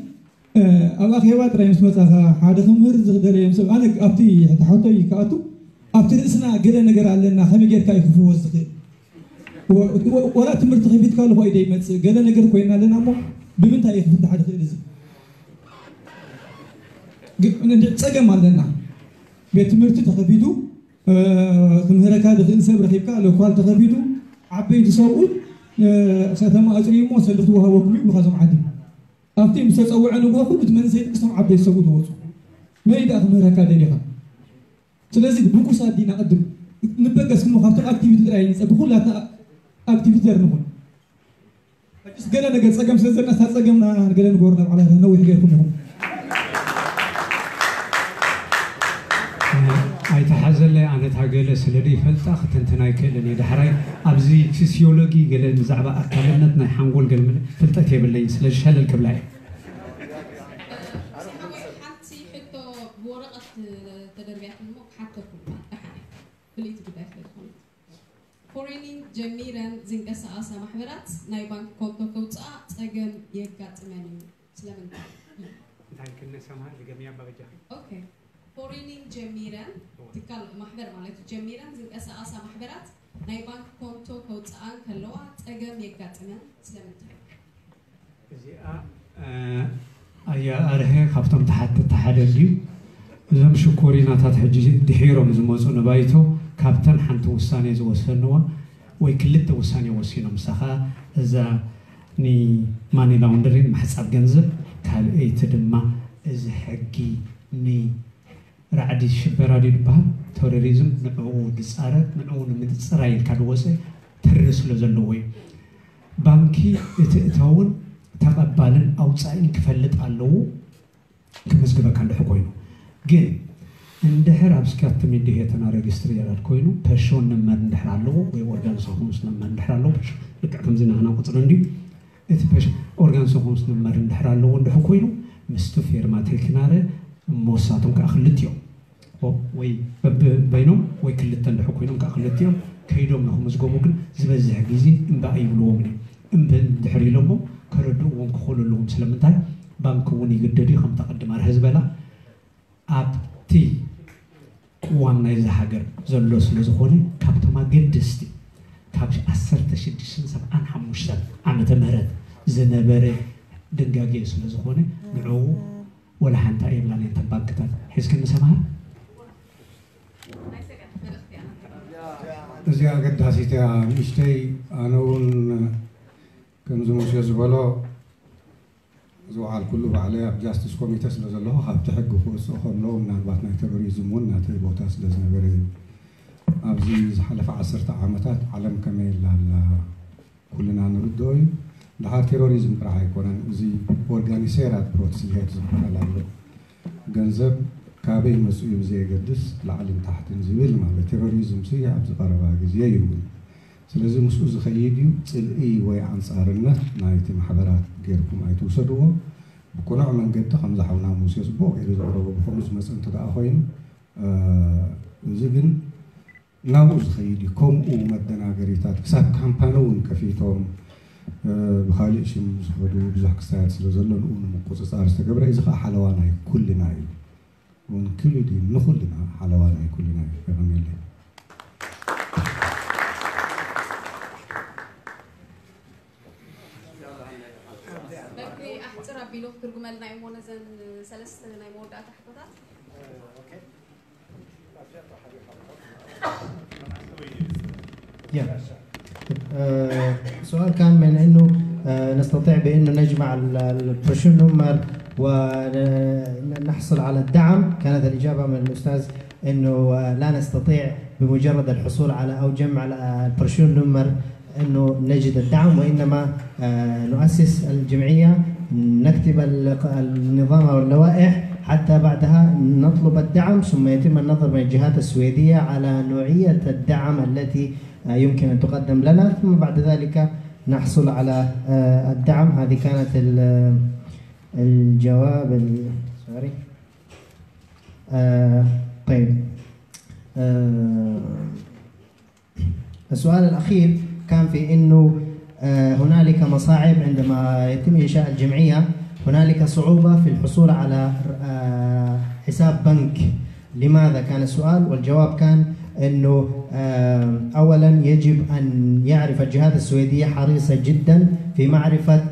ኣብ ኣኼባ ጥራይ ምስ መጻኻ ሓደ ክምህር ዝደለዮም ሰብ ኣነ ኣብቲ ሕቶ ይከኣቱ ኣብቲ ርእስና ገለ ነገር ኣለና ከመይ ጌርካ እዩ ክፍወስ ዝኽእል ወላ ትምህርቲ ከፊትካ ኣለኹ ኣይደ ይመጽእ ገለ ነገር ኮይና ኣለና እሞ ብምንታይ እዩ ክፍታሕ ዝኽእል እዚ ጸገም ኣለና ቤት ትምህርቲ ተኸፊቱ ክምህረካ ዝኽእል ሰብ ረኺብካ ሎኳል ተኸፊቱ ዓበይቲ ሰብኡት ከተማ ኣፅርዩ እሞ ሰልዲ ክወሃበኩም ይብሉካ ዞም ዓዲ ኣብቲ ምስ ተፀውዐ ንግሆ ኩሉ እቲ መንእሰይ ደቂ ሰም ዓበይቲ ሰብኡ ዝወፁ። መን እዩ ደኣ ክምህረካ ደሊኻ? ስለዚ ብኩሳት ዲና ቅድም ንበገስ እሞ ካብቶም ኣክቲቪቲ ጥራይ ንፀ-፣ ብኩላትና ኣክቲቪተር ንኹን። ሕጅስ ገለ ነገር ጸገም ስለ ዘለና እታ ጸገምና ገለ ንገሩ ናብ ዓላታ ነዊሕ ገይርኩም ኢኹም። ኣይተሓዘለይ ኣነታ ገለ ስለ ዘይፈልጣ ክትንትን ኣይክእልን እየ። ዳሕራይ ኣብዚ ፊስዮሎጊ ገለ ብዛዕባ ኣካልነት ናይ ሓንጎል ገለ ፍልጠት የብለይን ስለዚ ሸለል ክብላ እየ። ሓንቲ ሕቶ ብወረቐት ተደርብያትልሞ ክሓተኩም ደሓን ፍልይቲ ጉዳይ ስለ ዝኾነት ፎሬኒንግ ጀሚረን ዝንቀሳቐሳ ማሕበራት ናይ ባንክ ኮንቶ ከውፅኣ ፀገም የጋጥመን እዩ። ስለምንታይ? እንታይ ክንሰማ ድገምያ ኣባ በጃኺ። ኦኬ ፎሬኒንግ ጀሚረን ትካል ማሕበር ማለት እዩ ጀሚረን ዝንቀሳቐሳ ማሕበራት ናይ ባንክ ኮንቶ ከውፅኣ እንከለዋ ፀገም የጋጥመን ስለምንታይ? እዚኣ ኣያ ኣርሀ ካብቶም ተሓተቲ ሓደ እንድዩ። እዞም ሽኮሪናታት ሕጂ ድሒሮም ዝመፁ ንባይቶ ካብተን ሓንቲ ውሳኔ ዝወሰንዋ ወይ ክልተ ውሳኔ ወሲኖም፣ ንሳ ኸዓ እዛ ንማኒ ላውንደሪን ምሕፃብ ገንዘብ፣ ካልኣይቲ ድማ እዚ ሕጊ ን ራዕዲ ሽበራ ድዩ ዝበሃል ተሮሪዝም ንዕኡ ዝፃረር ንዕኡ ንምፅራይ ኢልካ ዝወፀ ትሪ ስለ ዘለዎ እዩ። ባንኪ እቲ እታውን ተቐባልን ኣውፃኢን ክፈልጥ ኣለዎ ክምዝግበካ እንድሕር ኮይኑ። ግን እንድሕር ኣብ ስካትሚንዲ ሄተና ረጅስትሪ የራድ ኮይኑ ፐርሾን ነመር እንድሕር ኣለዎ ወይ ኦርጋን ሰኹምስ ነመር እንድሕር ኣለዎ ልክዕ ከምዚ ናህና ቁፅሪ እንድዩ እቲ ኦርጋን ሰኹምስ ነመር እንድሕር ኣለዎ እንድሕር ኮይኑ ምስቱ ፌርማ ቴክናረ እሞ ንሳቶም ከዓ ክልቲኦም ወይ በብበይኖም ወይ ክልተ እንድሕር ኮይኖም ከዓ ክልቲኦም ከይዶም ንክምዝገቡ ግን ዝበዝሕ ግዜ እምበኣር ይብልዎም እዮም። እምበን እንድሕር ኢሎሞ ከረድእዎም ክኽእሉ ኣለዎም። ስለምንታይ ባንኪ እውን ይግደድ እዩ። ከምታ ቅድም ኣርሀ ዝበላ ኣብቲ ቅዋም ናይዚ ሃገር ዘሎ ስለ ዝኾነ ካብቶም ኣገደስቲ ካብ ዓሰርተ ሽዱሽተ ሰብዓን ሓሙሽተን ዓመተ ምህረት ዝነበረ ድንጋጌ ስለ ዝኾነ ንዕኡ ወላ ሓንቲ ኣየብላን እየን እተን ባንክታት። ሒዝክኒ ሰምሃር? እዚኣ ኣገዳሲት እያ ንእሽተይ። ኣነ እውን ከምዚ ሙሴ ዝበሎ ዝወዓልኩሉ ባዕለይ ኣብ ጃስቲስ ኮሚተ ስለ ዘለኹ ካብቲ ሕጊ ክወፅእ ከለዉ ምናልባት ናይ ቴሮሪዝም እውን ናተይ ቦታ ስለ ዝነበረ እዩ። ኣብዚ ዝሓለፈ ዓሰርተ ዓመታት ዓለም ከመይ ኣላ ኣላ ኩልና ንርድኦ እዩ። ድሓር ቴሮሪዝም ጥራሕ ኣይኮነን፣ እዚ ኦርጋኒሴራድ ብሮትስሊሄት ዝበሃል ኣሎ። ገንዘብ ካበይ መፅኡ እዩ ብዘየገድስ ላዕልን ታሕትን ዝብል ማለት ቴሮሪዝም ሲ ኣብዚ ቀረባ ግዜ ይውን። ስለዚ ምስኡ ዝኸይድ እዩ። ፅልኢ ወይ ኣንፃርነት ናይቲ ማሕበራት ጌርኩም ኣይትውሰድዎ። ብቅኑዕ መንገዲ ከምዚ ሓውና ሙሴ ፅቡቕ ገይሩ ዘቕረቦ ብኸምኡ ዝመፀ እንተ ደኣ ኮይኑ እዚ ግን ናብኡ ዝኸይድ እዩ። ከምኡ መደናገሪታት ክሳብ ካምፓኒ እውን ከፊቶም ብካሊእ ሽም ዝኸዱ ብዙሕ ክስታያት ስለ ዘሎ ንኡ ንምቁፅፃር ዝተገብረ እዚ ከዓ ሓለዋ ናይ ኩልና እዩ። እውን ክሉ ድዩ ንኹልና ሓለዋ ናይ ኩልና እዩ። የቐንየለይ። በቂ ኣሕፅር ኣቢሉ ክትርጉመልና እሞ ነዘን ሰለስተ ናይ መወዳእታ ሕቶታት يا. آه، سؤال كان من انه آه، نستطيع بانه نجمع ال- ال- البروشور نمر ونحصل على الدعم. كانت الاجابه من الاستاذ انه آه، لا نستطيع بمجرد الحصول على او جمع ال- البروشور نمر انه نجد الدعم، وانما آه، نؤسس الجمعيه، نكتب ال- النظام او اللوائح، حتى بعدها نطلب الدعم، ثم يتم النظر من الجهات السويديه على نوعيه الدعم التي آه، يمكن ان تقدم لنا، ثم بعد ذلك نحصل على آه، الدعم. هذه كانت ال- الجواب ال- سوري. آه، طيب. آه، السؤال الأخير كان في أنه آه، هنالك مصاعب عندما يتم إنشاء الجمعية، هنالك صعوبة في الحصول على آه، حساب بنك. لماذا كان السؤال؟ والجواب كان أنه آه، أولا يجب أن يعرف الجهات السويدية حريصة جدا في معرفة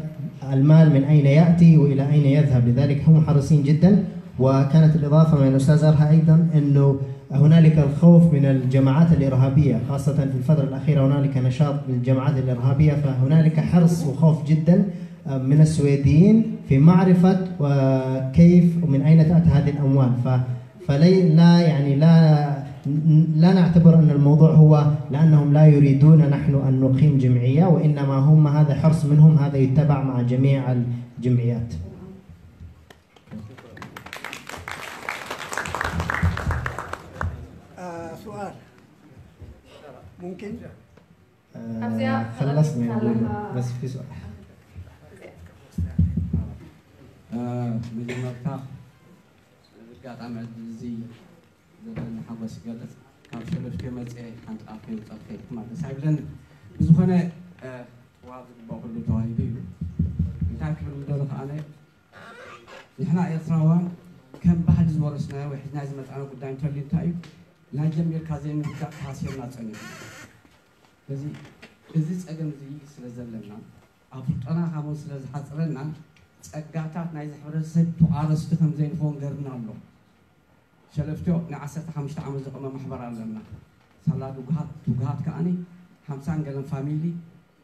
المال من أين يأتي وإلى أين يذهب، لذلك هم حريصين جدا. وكانت الإضافة من الأستاذ أرها أيضا أنه هنالك الخوف من الجماعات الإرهابية، خاصة في الفترة الأخيرة هنالك نشاط للجماعات الإرهابية، فهنالك حرص وخوف جدا من السويديين في معرفة وكيف ومن أين تأتي هذه الأموال. ف فلي لا يعني لا لا نعتبر أن الموضوع هو لأنهم لا يريدون نحن أن نقيم جمعية، وإنما هم هذا حرص منهم، هذا يتبع مع جميع الجمعيات. آه، سؤال ممكن؟ آه، خلصنا نقول، بس في سؤال. መጀመርታ ኣጋጣሚ እዚ ዘለኒ ሓጎስ ይገልጽ። ካብ ሸለፍትዮ መፅኤ ሓንቲ ቃል ከይውፃእ ትኸይድ ማለት ደስ ኣይብለኒ። ብዝኾነ ዋብ ዝግባእ ኩሉ ተዋሂቡ እዩ። እንታይ ክብል ምደሎ ከዓነ ንሕና ኤርትራውያን ከም ባህሊ ዝወረስናዮ ወይ ሒዝና ዝመፃና ጉዳይ እንተልዩ እንታይ እዩ ናይ ጀሚርካ ዘይምርዳእ ተሃሲርና ፀኒሑ። ስለዚ እዚ ፀገም እዚ ስለ ዘለና ኣፍልጦና ካብኡ ስለ ዝሓፅረና ጸጋታት ናይዚ ሕብረተሰብ ተቋረስቲ ከም ዘይንኸውን ገርና ኣሎ። ሸለፍትዮ ናይ ዓሰርተ ሓሙሽተ ዓመት ዘቆመ ማሕበር ኣለና። ሳላ ትጉሃት ትጉሃት ከዓኒ ሓምሳን ገለን ፋሚሊ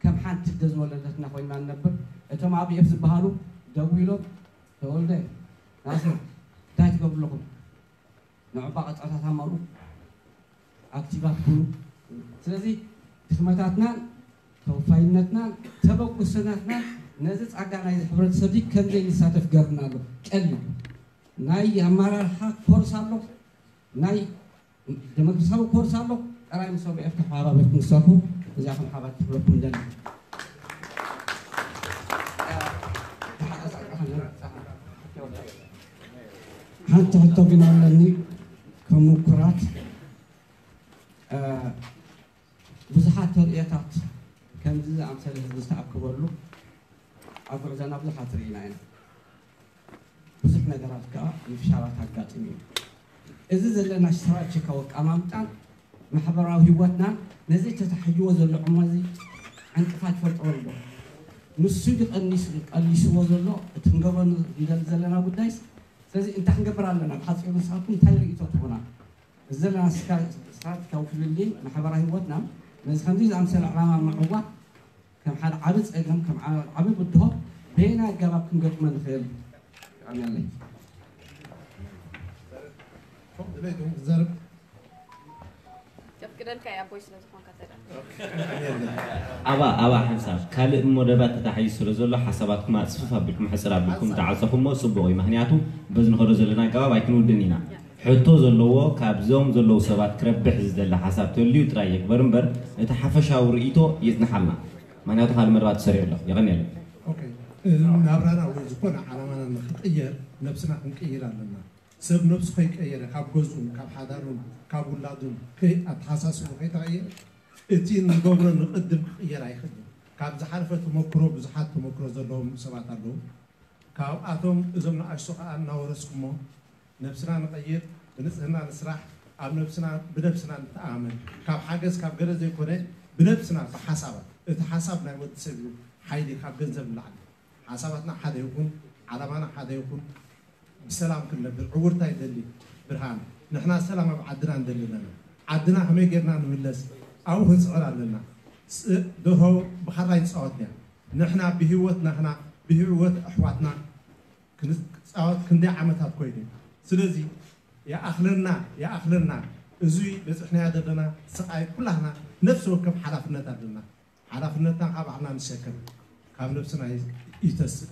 ከም ሓንቲ ኣደ ዝወለደትና ኮይና ንነብር። እቶም ኣብ ኤፍ ዝበሃሉ ደዊሎም ተወልደ ናስር እንታይ ትገብሩ ኣለኹም? ንዕባ ቀጻታት ኣማሩ ኣክቲቫት ኩኑ። ስለዚ ድኽመታትናን ተወፋይነትናን ተበግሶታትናን ነዚ ጻጋ ናይዚ ሕብረተሰብ እዚ ከም ዘይንሳተፍ ገርና ኣሎ። ቀሊል ናይ ኣመራርሓ ኮርስ ኣሎ፣ ናይ ደሞክራሲያዊ ኮርስ ኣሎ። ጥራይ ምስ ኦቢኤፍ ተሓባበርኩም ክሰርሑ እዚኣኹም ሓባር ክብለኩም ደሊ። ሓንቲ ሕቶ ግን ኣለኒ። ከም ምኩራት ብዙሓት ተርእዮታት ከምዚ ዝኣምሰለ ህዝቢ ዝተኣከበሉ ኣብ ጉዕዞና ብዙሓት ርኢና ኢና። ብዙሕ ነገራት ከዓ ምፍሻላት ኣጋጢሙ እዩ። እዚ ዘለና ስትራቴጂካዊ ኣቀማምጣን ማሕበራዊ ህይወትናን ነዚ ተታሒዝዎ ዘሎ ዕሞ እዚ ዕንቅፋት ይፈጥሮ ኣሎ። ንሱ ድዩ ቀኒሱ ቀሊስዎ ዘሎ እቲ ክንገብሮ ንደሊ ዘለና ጉዳይስ? ስለዚ እንታይ ክንገብር ኣለና? ብሓፂሩ ንስኻትኩም እንታይ ርኢቶ ትህቡና? እዚ ዘለና ስትራቴጂካዊ ፍልልይ ማሕበራዊ ህይወትና ነዚ ከምዚ ዝኣምሰለ ዕላማ ምዕዋት ከም ሓደ ዓቢ ጸገም፣ ከም ዓቢ ብድሆ በየናይ ኣገባብ ክንገጥሞ ንኽእል? የቐንየለይ። ድሌቱ ክዛረብ የፍቅደልካ እየ ኣቦይ ስለ ዝኾንካ ተዳ ኣባ ኣባ ሓንሳብ ካልእ መደባት ተታሒዙ ስለ ዘሎ ሓሳባትኩም ኣፅፍፍ ኣቢልኩም ሕፅር ኣቢልኩም ተዓፀኹሞ ፅቡቕ እዩ። ምክንያቱ በዚ ንኸዶ ዘለና ኣገባብ ኣይክንውድን ኢና። ሕቶ ዘለዎ ካብዞም ዘለዉ ሰባት ክረብሕ ዝደሊ ሓሳብ ተልዩ ጥራይ የግበር እምበር እቲ ሓፈሻዊ ርእይቶ ይፅንሓልና። ምክንያቱ ካልእ መደባት ተሰሪዑ ኣሎ። የቐንየለይ። ናብራና ወይ ዝኾነ ዓላማና ንክቕየር ነብስና ክንቅይር ኣለና። ሰብ ነብሱ ከይቀየረ ካብ ገዝኡን ካብ ሓዳሩን ካብ ውላዱን ኣተሓሳስቡ ከይተቐየረ እቲ ንገብሮ ንቕድም ክቕየር ኣይኽእልን። ካብ ዝሓለፈ ተመክሮ ብዙሓት ተመክሮ ዘለዎም ሰባት ኣለዉ። ካብኣቶም እዞም ንኣሽቱ ከዓ እናወረስኩሞ ነብስና ንቐይር፣ ብንፅህና ንስራሕ፣ ኣብ ነብስና ብነብስና ንተኣማመን። ካብ ሓገዝ ካብ ገለ ዘይኮነ ብነብስና ብሓሳባት። እቲ ሓሳብ ናይ ወዲ ሰብ እዩ ሓይሊ ካብ ገንዘብ ንላዕሊ። ሓሳባትና ሓደ ይኹን፣ ዓላማና ሓደ ይኹን፣ ብሰላም ክንነብር። ዕውርታ ይደሊ ብርሃን። ንሕና ሰላም ኣብ ዓድና ንደሊ ኣለና። ዓድና ከመይ ጌርና ንምለስ ኣብኡ ክንፅዕር ኣለና። ደርሆ ብኻራ ይፃወት እያ። ንሕና ብህይወት ናህና ብህይወት ኣሕዋትና ክንፃወት ክንደይ ዓመታት ኮይኑ እዩ። ስለዚ ይኣኽለና ይኣኽለና እዙይ በፂሕናዮ ዘለና ስቓይ ኩላህና ነፍሲ ወከፍ ሓላፍነት ኣለና። ሓላፍነትና ካብ ባዕልና ንሸከም ካብ ነብስና ይተስእ።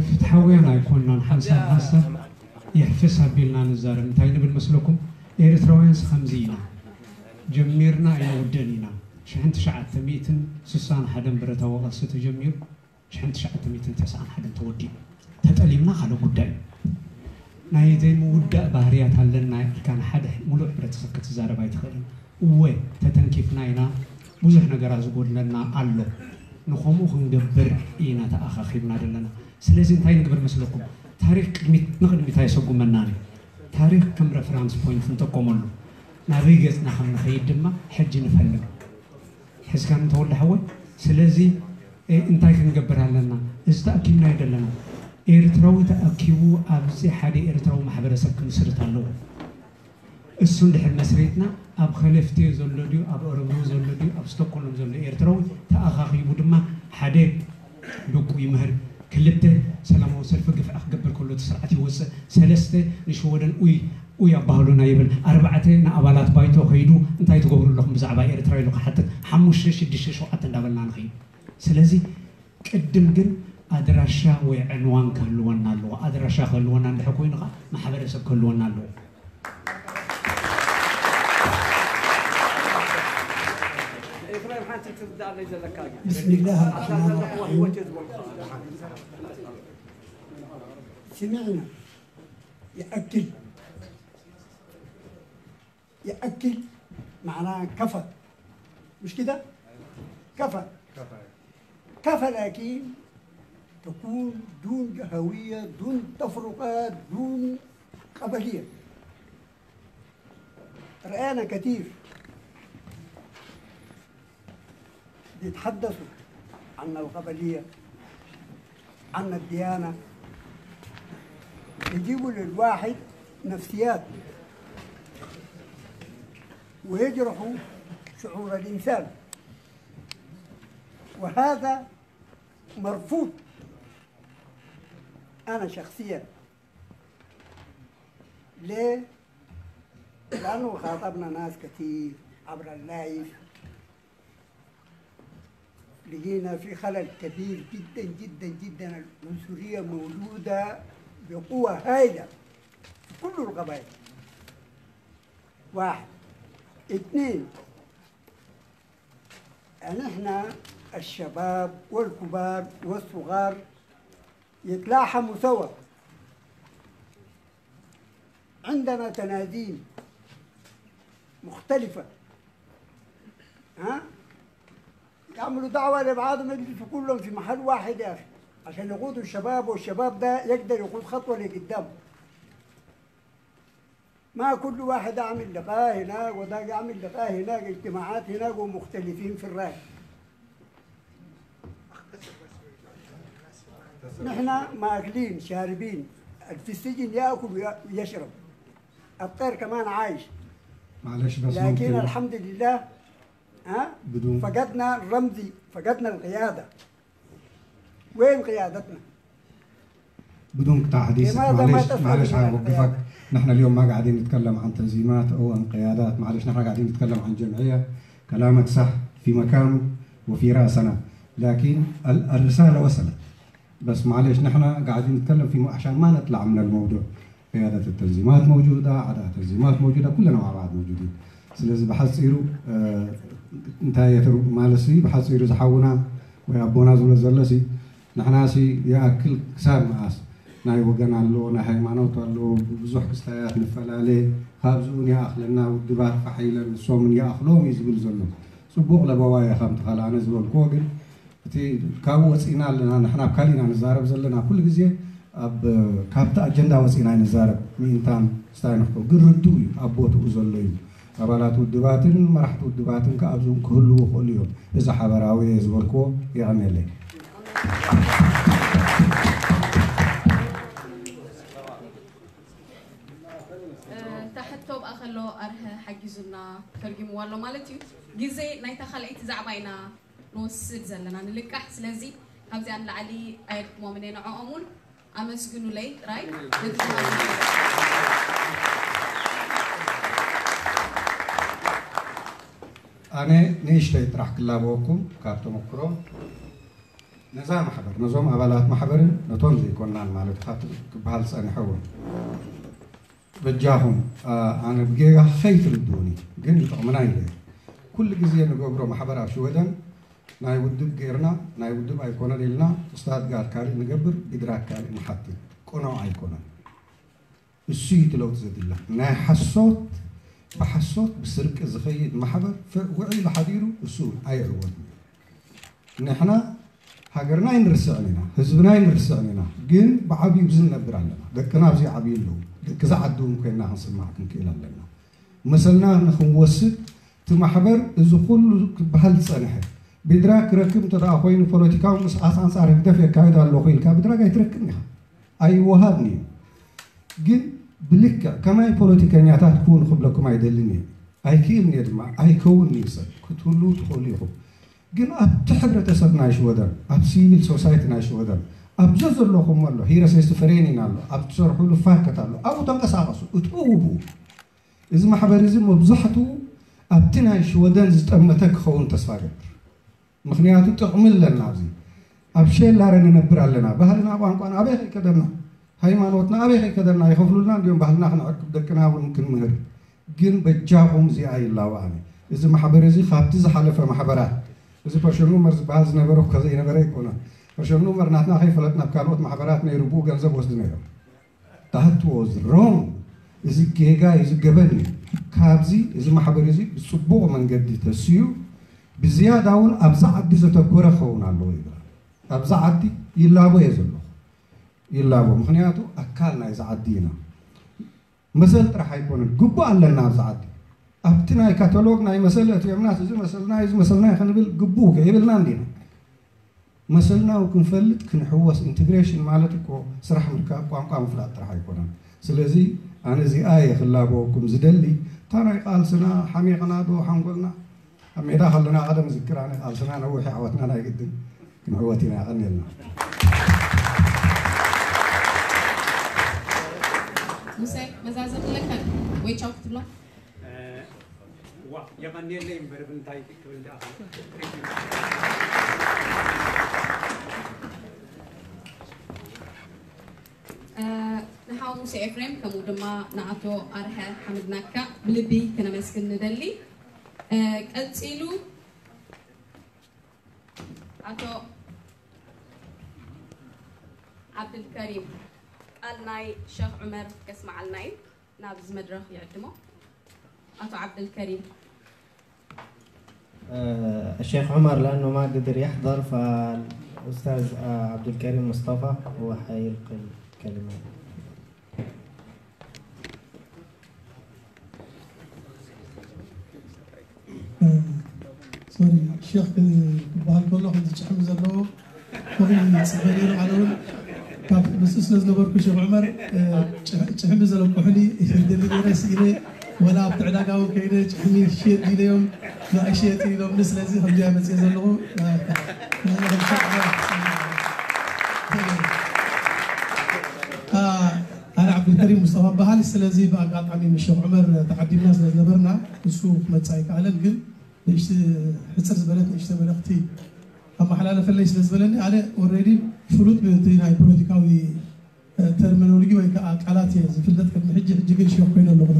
ፍትሓውያን ኣይኮንናን ሓንሳብ ሓንሳብ ይሕፍስ ኣቢልና ንዛረብ እንታይ ንብል መስለኩም? ኤርትራውያንስ ከምዚ ኢና ጀሚርና ኣይንውድእን ኢና። ሽሕን ትሽዓተ ሚእትን ስሳን ሓደን ብረታዊ ቃልሲ ተጀሚሩ ሽሕን ትሽዓተ ሚእትን ተስዓን ሓደን ተወዲኡ። ተጠሊምና ካልእ ጉዳይ እዩ። ናይ ዘይምውዳእ ባህርያት ኣለና ኢልካ ንሓደ ሙሉእ ሕብረተሰብ ክትዛረብ ኣይትኽእልን። እወ ተተንኪፍና ኢና፣ ብዙሕ ነገራት ዝጎድለና ኣሎ። ንኸምኡ ክንገብር ኢና ተኣኻኺብና ዘለና። ስለዚ እንታይ ንግበር መስለኩም? ታሪኽ ቅድሚት ንቕድሚት ኣየሰጉመናን እዩ። ታሪኽ ከም ረፈራንስ ፖይንት ንጠቀመሉ። ናበይ ገፅና ከም ንኸይድ ድማ ሕጂ ንፈልም። ሕዝካኒ ተወልደ ሓወይ። ስለዚ እንታይ ክንገብር ኣለና? እዚ ተኣኪብናዮ ዘለና ኤርትራዊ ተኣኪቡ ኣብዚ ሓደ ኤርትራዊ ማሕበረሰብ ክምስርት ኣለዎ። እሱ እንድሕር መስሪትና ኣብ ኸለፍቴ ዘሎ ድዩ ኣብ ኦረብሩ ዘሎ ድዩ ኣብ ስቶኮልም ዘሎ ኤርትራዊ ተኣኻኺቡ ድማ ሓደ ብቁ ይምህር፣ ክልተ ሰላማዊ ሰልፊ ግፍዒ ክገብር ከሎ እቲ ስርዓት ይወፅእ፣ ሰለስተ ንሽወደን ኡይ ኡይ ኣባህሉና ይብል፣ ኣርባዕተ ንኣባላት ባይቶ ከይዱ እንታይ ትገብሩ ኣለኹም ብዛዕባ ኤርትራ ኢሉ ክሓትት፣ ሓሙሽተ ሽዱሽተ ሸውዓተ እንዳበልና ንኸይድ። ስለዚ ቅድም ግን ኣድራሻ ወይ ዕንዋን ክህልወና ኣለዎ። ኣድራሻ ክህልወና እንድሕር ኮይኑ ከዓ ማሕበረሰብ ክህልወና ኣለዎ። بسم الله الرحمن الرحيم. سمعنا يأكل يأكل معناها كفى، مش كده؟ كفى. كفى لكن تكون دون هوية، دون تفرقة، دون قبلية. رأينا كثير بيتحدثوا عن القبلية، عن الديانة، يجيبوا للواحد نفسيات ويجرحوا شعور الإنسان، وهذا مرفوض. أنا شخصيا ليه؟ لأنه خاطبنا ناس كثير عبر اللايف، لقينا في خلل كبير جدا جدا جدا. العنصرية موجودة بقوة هائلة في كل القبائل. واحد. اثنين، يعني احنا الشباب والكبار والصغار يتلاحموا سوا. عندنا تناديم مختلفة، ها؟ يعملوا دعوة لبعضهم، يجلسوا كلهم في محل واحد يا أخي، عشان يقودوا الشباب، والشباب ده يقدر يقود خطوة لقدام. ما كل واحد يعمل لقاء هناك وده يعمل لقاء هناك، اجتماعات هناك، ومختلفين في الرأي. نحن ماكلين شاربين، اللي في السجن ياكل ويشرب، الطير كمان عايش. معلش بس لكن ممكن. الحمد لله، ها؟ بدون فقدنا الرمزي، فقدنا القياده. وين قيادتنا؟ بدون قطع حديثك، معلش معلش حوقفك. نحن اليوم ما قاعدين نتكلم عن تنظيمات او عن قيادات، معلش، نحن قاعدين نتكلم عن جمعيه. كلامك صح في مكانه وفي راسنا، لكن الرساله وصلت. بس معلش، نحن قاعدين نتكلم في عشان ما نطلع من الموضوع. قيادة التنظيمات موجودة، أعداء التنظيمات موجودة، كلنا مع بعض موجودين. ስለዚ ብሓፂሩ እንታይ የትርጉም ማለት ሲ ብሓፂሩ ዝሓውና ወይ ኣቦና ዝብሎ ዘሎ ሲ ንሕና ሲ ይኣክል ክሳብ መኣስ ናይ ወገን ኣሎ፣ ናይ ሃይማኖት ኣሎ፣ ብዙሕ ክስታያት ንፈላለ፣ ካብዚኡ ንይኣኽለና ውድባት ፋሕ ኢለን ንሶምን ይኣኽሎም እዩ ዝብል ዘሎ። ፅቡቕ ለበዋ እየ ከምቲ ካልእ ኣነ ዝበልክዎ፣ ግን እቲ ካብኡ ወፂእና ኣለና። ንሕና ኣብ ካሊእና ንዛረብ ዘለና ኩሉ ግዜ ኣብ ካብቲ ኣጀንዳ ወፂእና ንዛረብ። ምእንታን ስታይ ንክቶ ግን ርድኡ እዩ ኣብ ቦትኡ ዘሎ እዩ። ኣባላት ውድባትን መራሕቲ ውድባትን ከኣብዚኦም ክህልዉ ይኽእሉ እዮም። እዚ ሓበራዊ እየ ዝበልክዎ። የቐንየለይ። እታ ሕቶ ብኣ ከሎ ኣርሀ ሓጊዙና ተርጊምዋ ኣሎ ማለት እዩ። ግዜ ናይታ ካልኣይቲ ዛዕባ ኢና ንወስድ ዘለና ንልቃሕ። ስለዚ ካብዚኣ ንላዕሊ ኣየድክሞምን እየ ንዕኦም እውን ኣመስግኑለይ ጥራይ። ኣነ ንእሽተይ ጥራሕ ክላበወኩም ካብ ተመክሮ ነዛ ማሕበር ነዞም ኣባላት ማሕበርን ነቶም ዘይኮናን ማለት ካብቲ ክበሃል ዝፀንሐ እውን በጃኹም ኣነ ብጌጋ ከይትርድኡኒ ግን ይጠቕምና ኢለ ኩሉ ግዜ ንገብሮ ማሕበር ኣብ ሽወደን ናይ ውድብ ገይርና ናይ ውድብ ኣይኮነን ኢልና ስታትጋር ካልእ ንገብር ብድራክ ካልእ ንሓትት ቅኑዕ ኣይኮነን። እሱ እዩ እቲ ለውጢ ዘድላ ናይ ሓሶት ብሓሶት ብስርቂ ዝኸይድ ማሕበር ውዒሉ ሓዲሩ እሱ እውን ኣይዕወትን እዩ። ንሕና ሃገርና ኣይንርስዕን ኢና፣ ህዝብና ኣይንርስዕን ኢና፣ ግን ብዓብዩ ብዚ ንነብር ኣለና። ደቅና ኣብዚ ይዓብዩ ኣለዉ። ደቂ ዝዓዲ እውን ኮይንና ክንስማዕ ክንክእል ኣለና። መሰልና ንክንወስድ እቲ ማሕበር እዚ ኩሉ ክበሃል ዝጸንሐ ብድራግ ክረክብ እንተ ደኣ ኮይኑ ፖለቲካዊ ምንቅስቃስ ኣንጻር ህግደፍ የካይድ ኣለኹ ኢልካ ብድራግ ኣይትረክብን ኢኻ። ኣይወሃብን እዩ። ግን ብልክዕ ከማይ ፖለቲከኛታት ኩን ክብለኩም ኣይደልን እየ። ኣይክእልን እየ ድማ፣ ኣይከውን እዩ ሰብ። ክትህሉ ትኽእሉ ኢኹም። ግን ኣብቲ ሕብረተሰብ ናይ ሽወደን፣ ኣብ ሲቪል ሶሳይቲ ናይ ሽወደን፣ ኣብ ዘዘለኹም ኣሎ፣ ሂረሴስቲ ፈሬኒን ኣሎ፣ ኣብ ትሰርሑሉ ፋከት ኣሎ፣ ኣብኡ ተንቀሳቐሱ፣ እትእውቡ። እዚ ማሕበር እዚ መብዛሕትኡ ኣብቲ ናይ ሽወደን ዝጠመተ ክኸውን ተስፋ ገብር። ምኽንያቱ ጥቕሚ ኣለና ኣብዚ። ኣብ ሸላረ ንነብር ኣለና። ባህልና፣ ቋንቋና ኣበይ ከይከደና? ሃይማኖትና ኣበይ ከይከደና? ይኸፍሉልና እንዲዮም ባህልና ክንዕቅብ፣ ደቅና እውን ክንምህር። ግን በጃኹም እዚኣ ይላባኣኒ። እዚ ማሕበር እዚ ካብቲ ዝሓለፈ ማሕበራት፣ እዚ ፐርሸን ኑመር ዝበሃል ዝነበረ እኮ ዘይነበረ ኣይኮነን። ፐርሸን ኑመር ናትና ከይፈለጥ ናብ ካልኦት ማሕበራት ነይሩ ብኡ ገንዘብ ወስዱ ነይሮም። That was wrong። እዚ ጌጋ እዩ፣ እዚ ገበን እዩ። ካብዚ እዚ ማሕበር እዚ ብፅቡቕ መንገዲ ተስዩ ብዝያዳ እውን ኣብዛ ዓዲ ዘተኮረ ክኸውን ኣለዎ ይብል። ኣብዛ ዓዲ ይላቦ እየ ዘለኹ፣ ይላቦ። ምኽንያቱ ኣካል ናይዛ ዓዲ ኢና። መሰል ጥራሕ ኣይኮነን፣ ግቡእ ኣለና ኣብዛ ዓዲ። ኣብቲ ናይ ካታሎግ ናይ መሰል እትዮምናስ እዚ መሰልና እዩ፣ እዚ መሰልና እዩ ክንብል ግቡእ ከይብልና እንዲና። መሰልና እውን ክንፈልጥ ክንሕወስ። ኢንቴግሬሽን ማለት እኮ ስራሕ ምርካብ፣ ቋንቋ ምፍላጥ ጥራሕ ኣይኮነን። ስለዚ ኣነ እዚኣ እየ ክላበወኩም ዝደሊ። እታ ናይ ቃልስና ሓሚቕና ዶ ሓንጎልና ኣብ ሜዳ ከለና ቀደም ዝክር ኣነ ቃልስና ነዊሕ ዓወትና ናይ ግድን ክንዕወት ኢና። ያቐንየልና። ሙሴ መዛዘም ኣለካ ወይ ቻው ክትብሎ? ዋ የቐንየለይ እምበር ብምንታይ ክብል ደኣ ንሓው ሙሴ ኤፍሬም ከምኡ ድማ ንኣቶ ኣርሀ ሓምድናካ ብልቢ ክነመስግን ንደሊ። ቀፂሉ ኣቶ ዓብድልከሪም ቃል ናይ ሸኽ ዑመር ከስምዓልና እዩ። ናብዚ መድረኽ ይዕድሞ። ኣቶ ዓብደልከሪም الشيخ عمر لأنه ما قدر يحضر، فالأستاذ عبد الكريم مصطفى هو حيلقي الكلمة. ሶሪ ሸክ ክበሃል ከሎ ከምዚ ጭሕሚ ዘለዎ ከምኡ ይፅበ ነይሩ። ኣነ እውን ካብ ምስኡ ስለ ዝነበርኩ ሸክ ዑመር ጭሕሚ ዘለኩሕኒ ይደሊ ነይረ ስኢነ ወላ ኣብቲ ዕዳጋ እውን ከይደ ጭሕሚ ሽየጥ ኢለዮም ንኣይ ሽየጥ ኢሎምኒ። ስለዚ ከምዚኣ መፅየ ዘለኹ ኣነ ዓብዱልከሪም ሙስጠፋ በሃል። ስለዚ ብኣጋጣሚ ምስ ሸክ ዑመር ተዓዲምና ስለ ዝነበርና እሱ ክመፅእ ኣይከኣለን። ግን ንእሽቲ ሕፅር ዝበለት ንእሽተ መልእኽቲ ኣመሓላለፈለይ ስለ ዝበለኒ ኣነ ኦልሬዲ ፍሉጥ ብቲ ናይ ፖለቲካዊ ተርሚኖሎጂ ወይ ከዓ ቃላት እየ ዝፍለጥ ቅድሚ ሕጂ። ሕጂ ግን ሸክ ኮይነ ኣለኹ።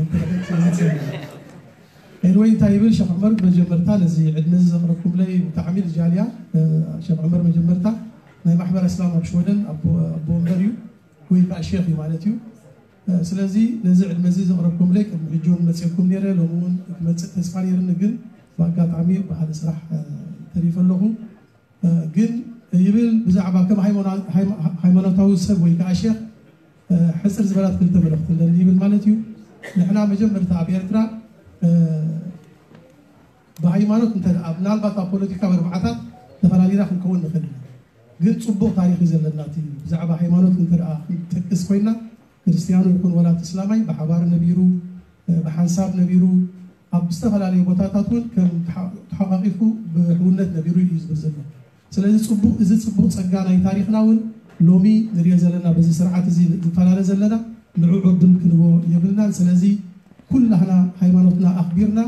ኤንወይ እንታይ ይብል ሸክ ዑመር መጀመርታ ነዚ ዕድመ እዚ ዘቕረብኩምለይ ብጣዕሚ ልጃልያ ሸክ ዑመር መጀመርታ ናይ ማሕበር እስላም ኣብ ሽወደን ኣቦ ወንበር እዩ ወይ ከዓ ሸክ እዩ ማለት እዩ። ስለዚ ነዚ ዕድመ እዚ ዘቕረብኩምለይ ቅድሚ ሕጂ እውን መፅእኩም ነይረ፣ ሎሚ እውን ክመፅእ ተስፋ ነይርኒ፣ ግን ብኣጋጣሚ ብሓደ ስራሕ ተሪፈ ኣለኹ። ግን ይብል ብዛዕባ ከም ሃይማኖታዊ ሰብ ወይ ከዓ ሸክ ሕፅር ዝበላት ክልተ መልእኽቲ ኣለኒ ይብል ማለት እዩ። ንሕና መጀመርታ ኣብ ኤርትራ ብሃይማኖት እንተ ደኣ ምናልባት ኣብ ፖለቲካ መርባዕታት ተፈላሊና ክንከውን ንኽእል ኢና። ግን ፅቡቕ ታሪኽ እዩ ዘለና። እቲ ብዛዕባ ሃይማኖት እንተ ደኣ ክንጠቅስ ኮይና ክርስትያኑ ይኹን ወላ እቲ እስላማይ ብሓባር ነቢሩ፣ ብሓንሳብ ነቢሩ፣ ኣብ ዝተፈላለዩ ቦታታት እውን ከም ተሓ- ተሓቋቒፉ ብሕውነት ነቢሩ እዩ ዝብል ዘሎ። ስለዚ ፅቡቕ፣ እዚ ፅቡቕ ፀጋ ናይ ታሪኽና እውን ሎሚ ንሪኦ ዘለና በዚ ስርዓት እዚ ዝፈላለ ዘለና ንዕኡ ዕድል ክንቦ የብልናን። ስለዚ ኩላህና ሃይማኖትና ኣኽቢርና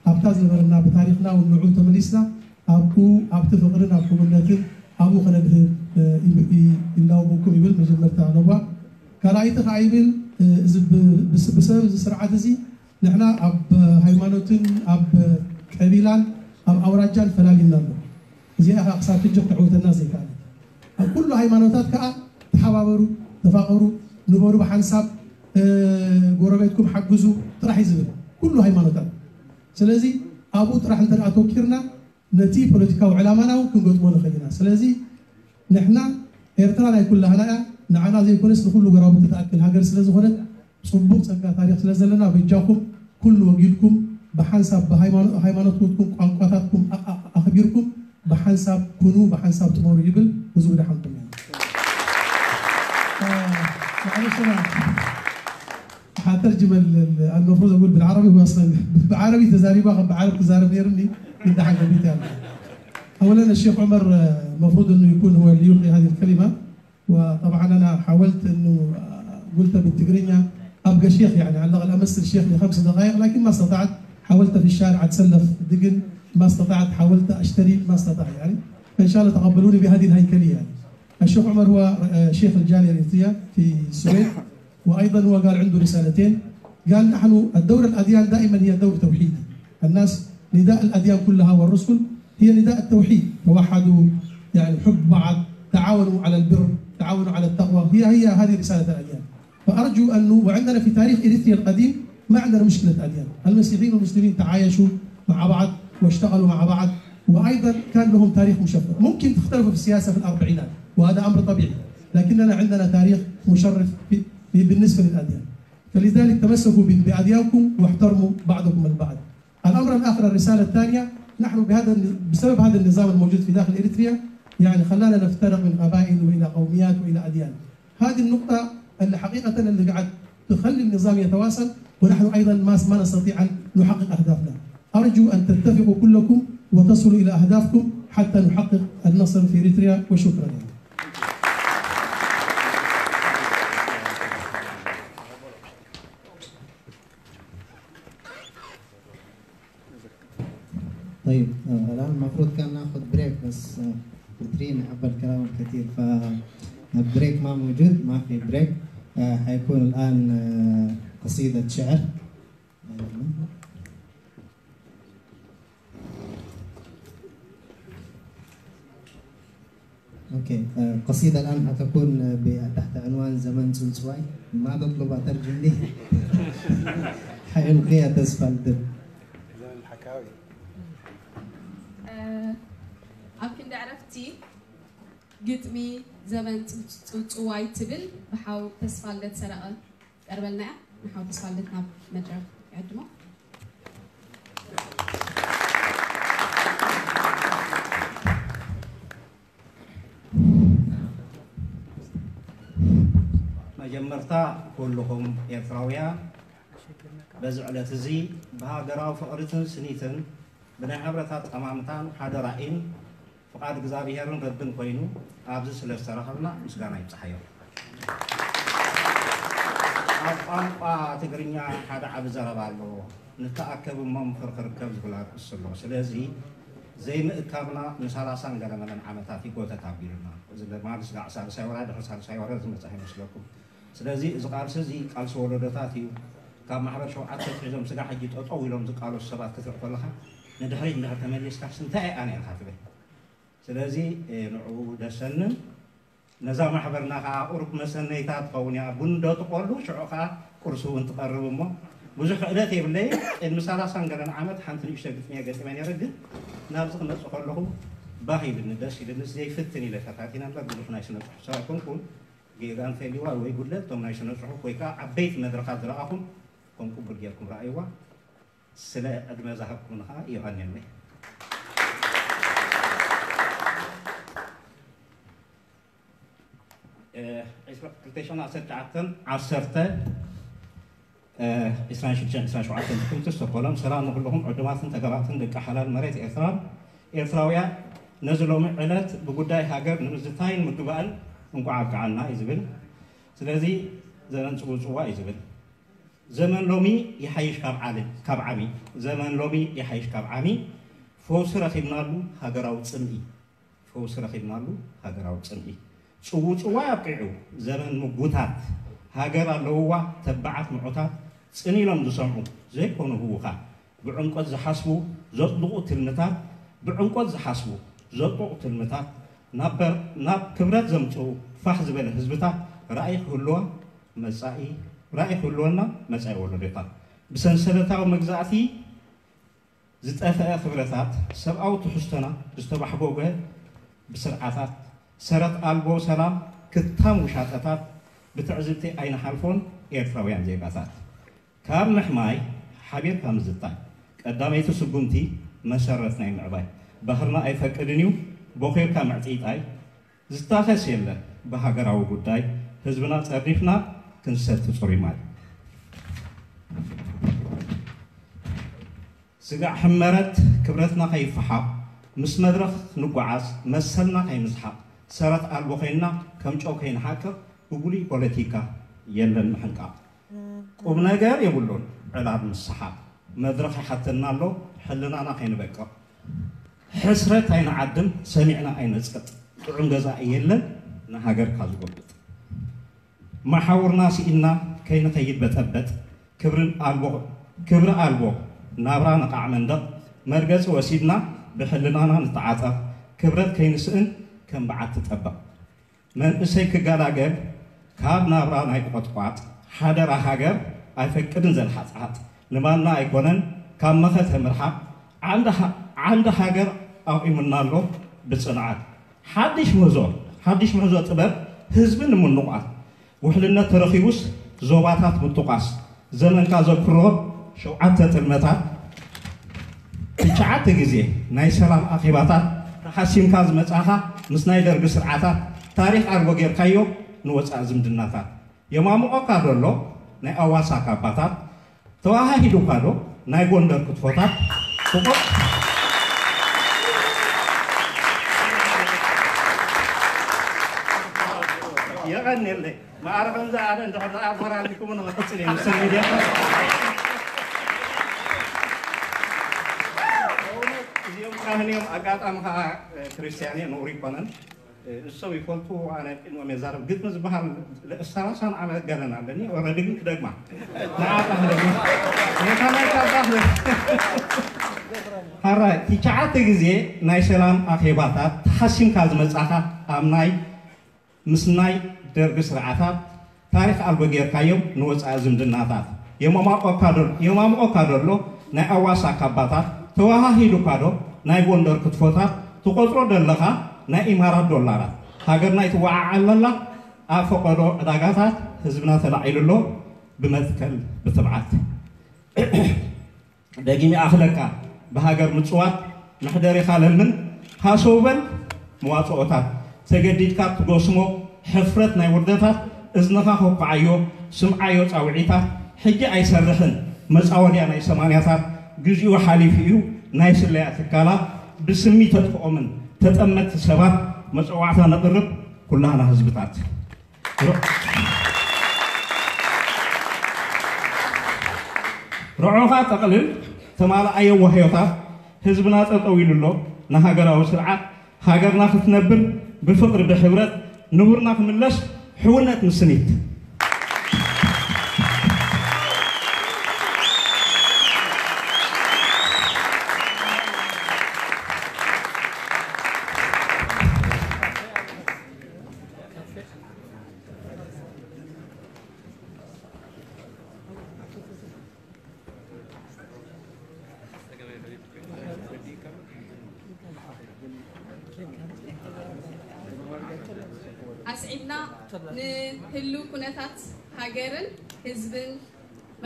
ኣብታ ዝነበረና ብታሪኽና እውን ንዑ ተመሊስና ኣብኡ ኣብቲ ፍቕርን ኣብ ሕውነትን ኣብኡ ከነድህብ ይላውበኩም ይብል መጀመርታ ለዋ። ካልኣይቲ ከዓ ይብል እዚ ብሰበብ እዚ ስርዓት እዚ ንሕና ኣብ ሃይማኖትን ኣብ ቀቢላን ኣብ ኣውራጃን ፈላሊና ኣሎ። እዚኣ ከዓ ክሳብ ሕጂ ክተዕውተና ዘይከኣለት። ኣብ ኩሉ ሃይማኖታት ከዓ ተሓባበሩ፣ ተፋቐሩ፣ ንበሩ ብሓንሳብ ጎረቤትኩም ሓግዙ ጥራሕ እዩ ዝብል ኩሉ ሃይማኖታት። ስለዚ ኣብኡ ጥራሕ እንተ ኣተኪርና ነቲ ፖለቲካዊ ዕላማና እውን ክንገጥሞ ንኽእል ኢና። ስለዚ ንሕና ኤርትራ ናይ ኩላህና እያ። ንዓና ዘይኮነስ ንኩሉ ጎረባብቲ ትኣክል ሃገር ስለ ዝኾነት ፅቡቕ ፀጋ ታሪኽ ስለ ዘለና በጃኹም ኩሉ ወጊድኩም ብሓንሳብ ብሃይማኖትኩም ቋንቋታትኩም ኣኽቢርኩም ብሓንሳብ ኩኑ ብሓንሳብ ጥመሩ ይብል። ብዙ ብድሓንኩም እያ። حترجم ال- ال- المفروض اقول بالعربي، هو اصلا بعربي تزاريبها بعرب تزارب نيرني من ده حاجه بيتي. اولا الشيخ عمر آه، المفروض انه يكون هو اللي يلقي هذه الكلمه. وطبعا انا حاولت انه آه، قلت بالتقرينيا ابقى شيخ، يعني على الاقل امثل الشيخ لخمس دقائق، لكن ما استطعت. حاولت في الشارع اتسلف دقن، ما استطعت. حاولت اشتري، ما استطعت يعني. فان شاء الله تقبلوني بهذه الهيكليه يعني. الشيخ عمر هو آه، شيخ الجاليه الاريتريه في السويد، وايضا هو قال عنده رسالتين. قال: نحن الدور الاديان دائما هي دور توحيدي. الناس، نداء الاديان كلها والرسل هي نداء التوحيد: توحدوا، يعني حب بعض، تعاونوا على البر، تعاونوا على التقوى. هي هي هذه رساله الاديان. فارجو انه، وعندنا في تاريخ اريتريا القديم ما عندنا مشكله اديان، المسيحيين والمسلمين تعايشوا مع بعض واشتغلوا مع بعض، وايضا كان لهم تاريخ مشرف. ممكن تختلفوا في السياسه في الاربعينات، وهذا امر طبيعي، لكننا عندنا تاريخ مشرف في في- بالنسبه للاديان. فلذلك تمسكوا ب- باديانكم واحترموا بعضكم البعض. الامر الاخر، الرساله الثانيه، نحن بهذا الن- بسبب هذا النظام الموجود في داخل اريتريا، يعني خلانا نفترق من قبائل والى قوميات والى اديان. هذه النقطه اللي حقيقه اللي قاعد تخلي النظام يتواصل، ونحن ايضا ما ما نستطيع ان نحقق اهدافنا. ارجو ان تتفقوا كلكم وتصلوا الى اهدافكم حتى نحقق النصر في اريتريا، وشكرا. طيب، آه، الآن المفروض كان ناخذ بريك، بس آه، بترين عبى الكلام الكثير، فالبريك ما موجود، ما في بريك. آه، حيكون الآن آه، قصيدة شعر. أوكي، آه، قصيدة الآن حتكون ب- تحت عنوان زمن سونسواي. ما تطلب أترجم لي. حيلقيها تسفل دب. ኣብ ክንዲ ዕረፍቲ ግጥሚ ዘመን ጽውጽዋይ ትብል ብሓው ተስፋልደት ሰረቐ ትቀርበልና እያ። ንሓው ተስፋልደት ናብ መድረኽ ይዕድሞ። መጀመርታ ኩልኹም ኤርትራውያን በዚ ዕለት እዚ ብሃገራዊ ፍቕርትን ስኒትን ብናይ ሕብረታት ጠማምታን ሓደ ራእይን ፍቓድ እግዚኣብሄርን ረብን ኮይኑ ኣብዚ ስለ ዝተራኸብና ምስጋና ይብጽሓዮ። ኣብ ቋንቋ ትግርኛ ሓደ ዓቢ ዘረባ ኣሎ፣ ንተኣከብ እሞ ምኽሪ ክርከብ ዝብል ኣርእስቲ ኣሎ። ስለዚ ዘይምእካብና ንሰላሳን ገለመለን ዓመታት ይጎተት ኣቢሉና። እዚ ድማ ንስጋዕ ሳልሳይ ወራ ድሕሪ ሳልሳይ ወራ ዝመጽእ ኣይመስለኩም። ስለዚ እዚ ቃልሲ እዚ ቃልሲ ወለዶታት እዩ። ካብ ማሕበር ሸውዓተ ኣትሒዞም ስጋዕ ሕጂ ጠጠው ኢሎም ዝቃለሱ ሰባት ክትርኢ ከለኻ ንድሕሪት እንድሕር ተመሊስካስ እንታይ እያ ነይርካ ትብል። ስለዚ ንዕኡ ደሰንን ነዛ ማሕበርና ከዓ ቁሩብ መሰነይታ ትኸውን እያ። ቡን ዶ ትቆሉ ሽዑ ከዓ ቁርሲ እውን ትቐርብ እሞ ብዙሕ ክእለት የብለይ። ቅድሚ ሰላሳን ገለን ዓመት ሓንቲ ንእሽቶ ግጥሚ እየ ገጢመ ነይረ፣ ግን ናብዚ ክመፅእ ከለኹ ባህ ኢልኒ፣ ደስ ኢልኒ። ዘይፍትን ኢለ ፈታቲነ እምበር ብዙሕ ናይ ስነ ፅሑፍ ሰብ ኣይኮንኩን። ጌጋ እንተልዩዋ ወይ ጉድለት እቶም ናይ ስነ ፅሑፍ ወይ ከዓ ዓበይቲ መድረኻት ዝረኣኹም ከም ቅቡል ጌርኩም ረኣይዋ። ስለ ዕድመ ዝሃብኩምኒ ከዓ የቐንየለይ። ክልተ ሽሕን ዓሰርተ ትሽዓተን ዓሰርተ፣ ዒስራን ሽዱሽተን ዒስራን ሸውዓተን ጥቅምቲ ስቶኮሎም። ሰላም ንኩልኹም ዕዱማትን ተጋባእትን ደቂ ሓላል መሬት ኤርትራ፣ ኤርትራውያን። ነዚ ሎሚ ዕለት ብጉዳይ ሃገር ንምዝታይን ምግባእን እንቋዕ ኣብቅዓና እዩ ዝብል። ስለዚ ዘመን ጽውጽዋ እዩ ዝብል። ዘመን ሎሚ ይሓይሽ ካብ ዓሊ ካብ ዓሚ። ዘመን ሎሚ ይሓይሽ ካብ ዓሚ። ፈውሲ ረኺብናሉ ሃገራዊ ጽምኢ። ፈውሲ ረኺብናሉ ሃገራዊ ጽምኢ። ጽውጽዋይ ኣብቂዑ ዘመን ምጉታት። ሃገር ኣለውዋ ተባዓት ምዑታት ጽን ኢሎም ዝሰምዑ ዘይኮኑ ህዉኻት። ብዕምቆት ዝሓስቡ ዘጽድቑ ትልምታት። ብዕምቆት ዝሓስቡ ዘጽድቑ ትልምታት ናብ በር- ናብ ክብረት ዘምጽኡ ፋሕ ዝበለ ህዝብታት ራእይ ክህልዋ መጻኢ ራእይ ክህልወና መጻኢ ወለዶታት። ብሰንሰለታዊ መግዛእቲ ዝጠፍአ ክብረታት ሰብኣዊ ትሕዝቶና ዝተባሕጎገ ብስርዓታት ሰረት ኣልቦ ሰላም ክታም ውሻጠታት ብትዕዝብቲ ኣይንሓልፎን ኤርትራውያን ዜጋታት። ካብ ምሕማይ ሓቢርካ ምዝታይ ቀዳመይቲ ስጉምቲ መሰረት ናይ ምዕባይ። ባህርና ኣይፈቅድን እዩ ቦኺርካ ምዕጥይጣይ። ዝታኸስ የለ ብሃገራዊ ጉዳይ ህዝብና ጸርኒፍና ክንሰቲ ጽሩይ ማይ። ስጋዕ ሕመረት ክብረትና ከይፈሓቕ፣ ምስ መድረኽ ንጓዓዝ መሰልና ከይንስሓቕ፣ ሰረት ኣልቦ ኮይንና ከም ጨው ከይንሓቅቕ፣ ብጉሉይ ፖለቲካ የለን ምሕንቃቕ። ቁም ነገር የብሉን ዕላል ምስሓቕ፣ መድረኽ ይሓተና ኣሎ ሕልናና ከይንበቅቕ። ሕስረት ኣይንዓድም ሰሚዕና ኣይነጽቅጥ፣ ጥዑም ገዛኢ የለን ንሃገርካ ዝጎብጥ። መሓውርና ስኢንና ከይንኸይድ በጠበጥ፣ ክብርን ኣልቦ ክብሪ ኣልቦ ናብራ ንቓዕ መንደቕ፣ መርገጺ ወሲድና ብሕልናና ንተዓጠቕ፣ ክብረት ከይንስእን ከም በዓቲ ጠበቕ። መንእሰይ ክገላገል ካብ ናብራ ናይ ቆጥቋጥ፣ ሓደራ ሃገር ኣይፈቅድን ዘልሓጽሓጽ፣ ንማና ኣይኮነን ካብ መኸተ ምርሓቕ፣ ዓንዲ ሃ-፣ ዓንዲ ሃገር ኣቑሙና ኣሎ ብጽንዓት። ሓድሽ ምህዞ፣ ሓድሽ ምህዞ ጥበብ ህዝቢ ንምንቋት፣ ውሕልነት ተረኺቡስ ዞባታት ምጥቋስ፣ ዘመንካ ዘክሮ ሸውዓተ ጥልመታት፣ ትሽዓተ ግዜ ናይ ሰላም ኣኼባታት ተሓሲምካ ዝመጻኻ ምስ ናይ ደርጊ ስርዓታት፣ ታሪኽ ኣልቦ ጌርካዮ ንወጻኢ ዝምድናታት። የማምቖካ ደሎ ናይ ኣዋሳ ካባታት፣ ተዋሃሂዱካ ዶ ናይ ጎንደር ክትፎታት? ፍቑር የቐንየለይ። ማዕረ ከምዚ ኣነ እንድሕር ደኣ ኣፈራሪምኩም ንኽቕጽል እየ፣ ምስ ሚድያ። እዚኦም ካህን እዮም፣ ኣጋጣሚ ከዓ ክርስትያን እየ፣ ነውሪ ይኮነን። ንሶም ይፈልጡ፣ ኣነ ቅድሞም የዛረብ። ግጥሚ ዝበሃል ሰላሳን ዓመት ገለን ኣለኒ፣ ኦረዲ ግን ክደግማ። ንዓኻ ክደግማ። ነታ ናይ ካባ ክደግማ። ሓራይ፣ ትሽዓተ ግዜ ናይ ሰላም ኣኼባታት ተሓሲምካ ዝመጻኻ ኣብ ናይ ምስ ናይ ደርጊ ስርዓታት ታሪኽ ኣልቦ ጌርካዮም ንወጻኢ ዝምድናታት። የማምቖካ ደሎ፣ የማምቖካ ደሎ ናይ ኣዋሳ ካባታት፣ ተወሃሂዱካ ዶ ናይ ጎንደር ክትፎታት፣ ትቖጽሮ ደለኻ ናይ ኢማራት ዶላራት። ሃገርና ይትወዓዓል ኣላ ኣብ ፈቐዶ ዕዳጋታት፣ ህዝብና ተላዒሉ ኣሎ ብመትከል ብትብዓት። ደጊም ይኣኽለካ ብሃገር ምጽዋት፣ መሕደሪኻ ለምን ሃሰው በል መዋጽኦታት። ተገዲድካ ትጎስሞ ሕፍረት ናይ ውርደታት፣ እዝንኻ ኮኩዓዮ ስምዓዮ ጻውዒታት። ሕጂ ኣይሰርሕን መጻወድያ ናይ ሰማንያታት፣ ግዚኡ ሓሊፉ እዩ ናይ ስለያ ትካላት ብስሚ ተጥፍኦምን ተጠመትቲ ሰባት መጸዋዕታ ነቕርብ ኩላህና ህዝብታት። ርዖኻ ጠቕልል ተማልኣዮ ዋህዮታት፣ ህዝብና ጠጠው ኢሉ ኣሎ ንሃገራዊ ስርዓት። ሃገርና ክትነብር ብፍቕሪ ብሕብረት፣ ንቡርና ክምለስ ሕውነት ምስኒት። ኣስዒብና ንህሉ ኩነታት ሃገርን ህዝብን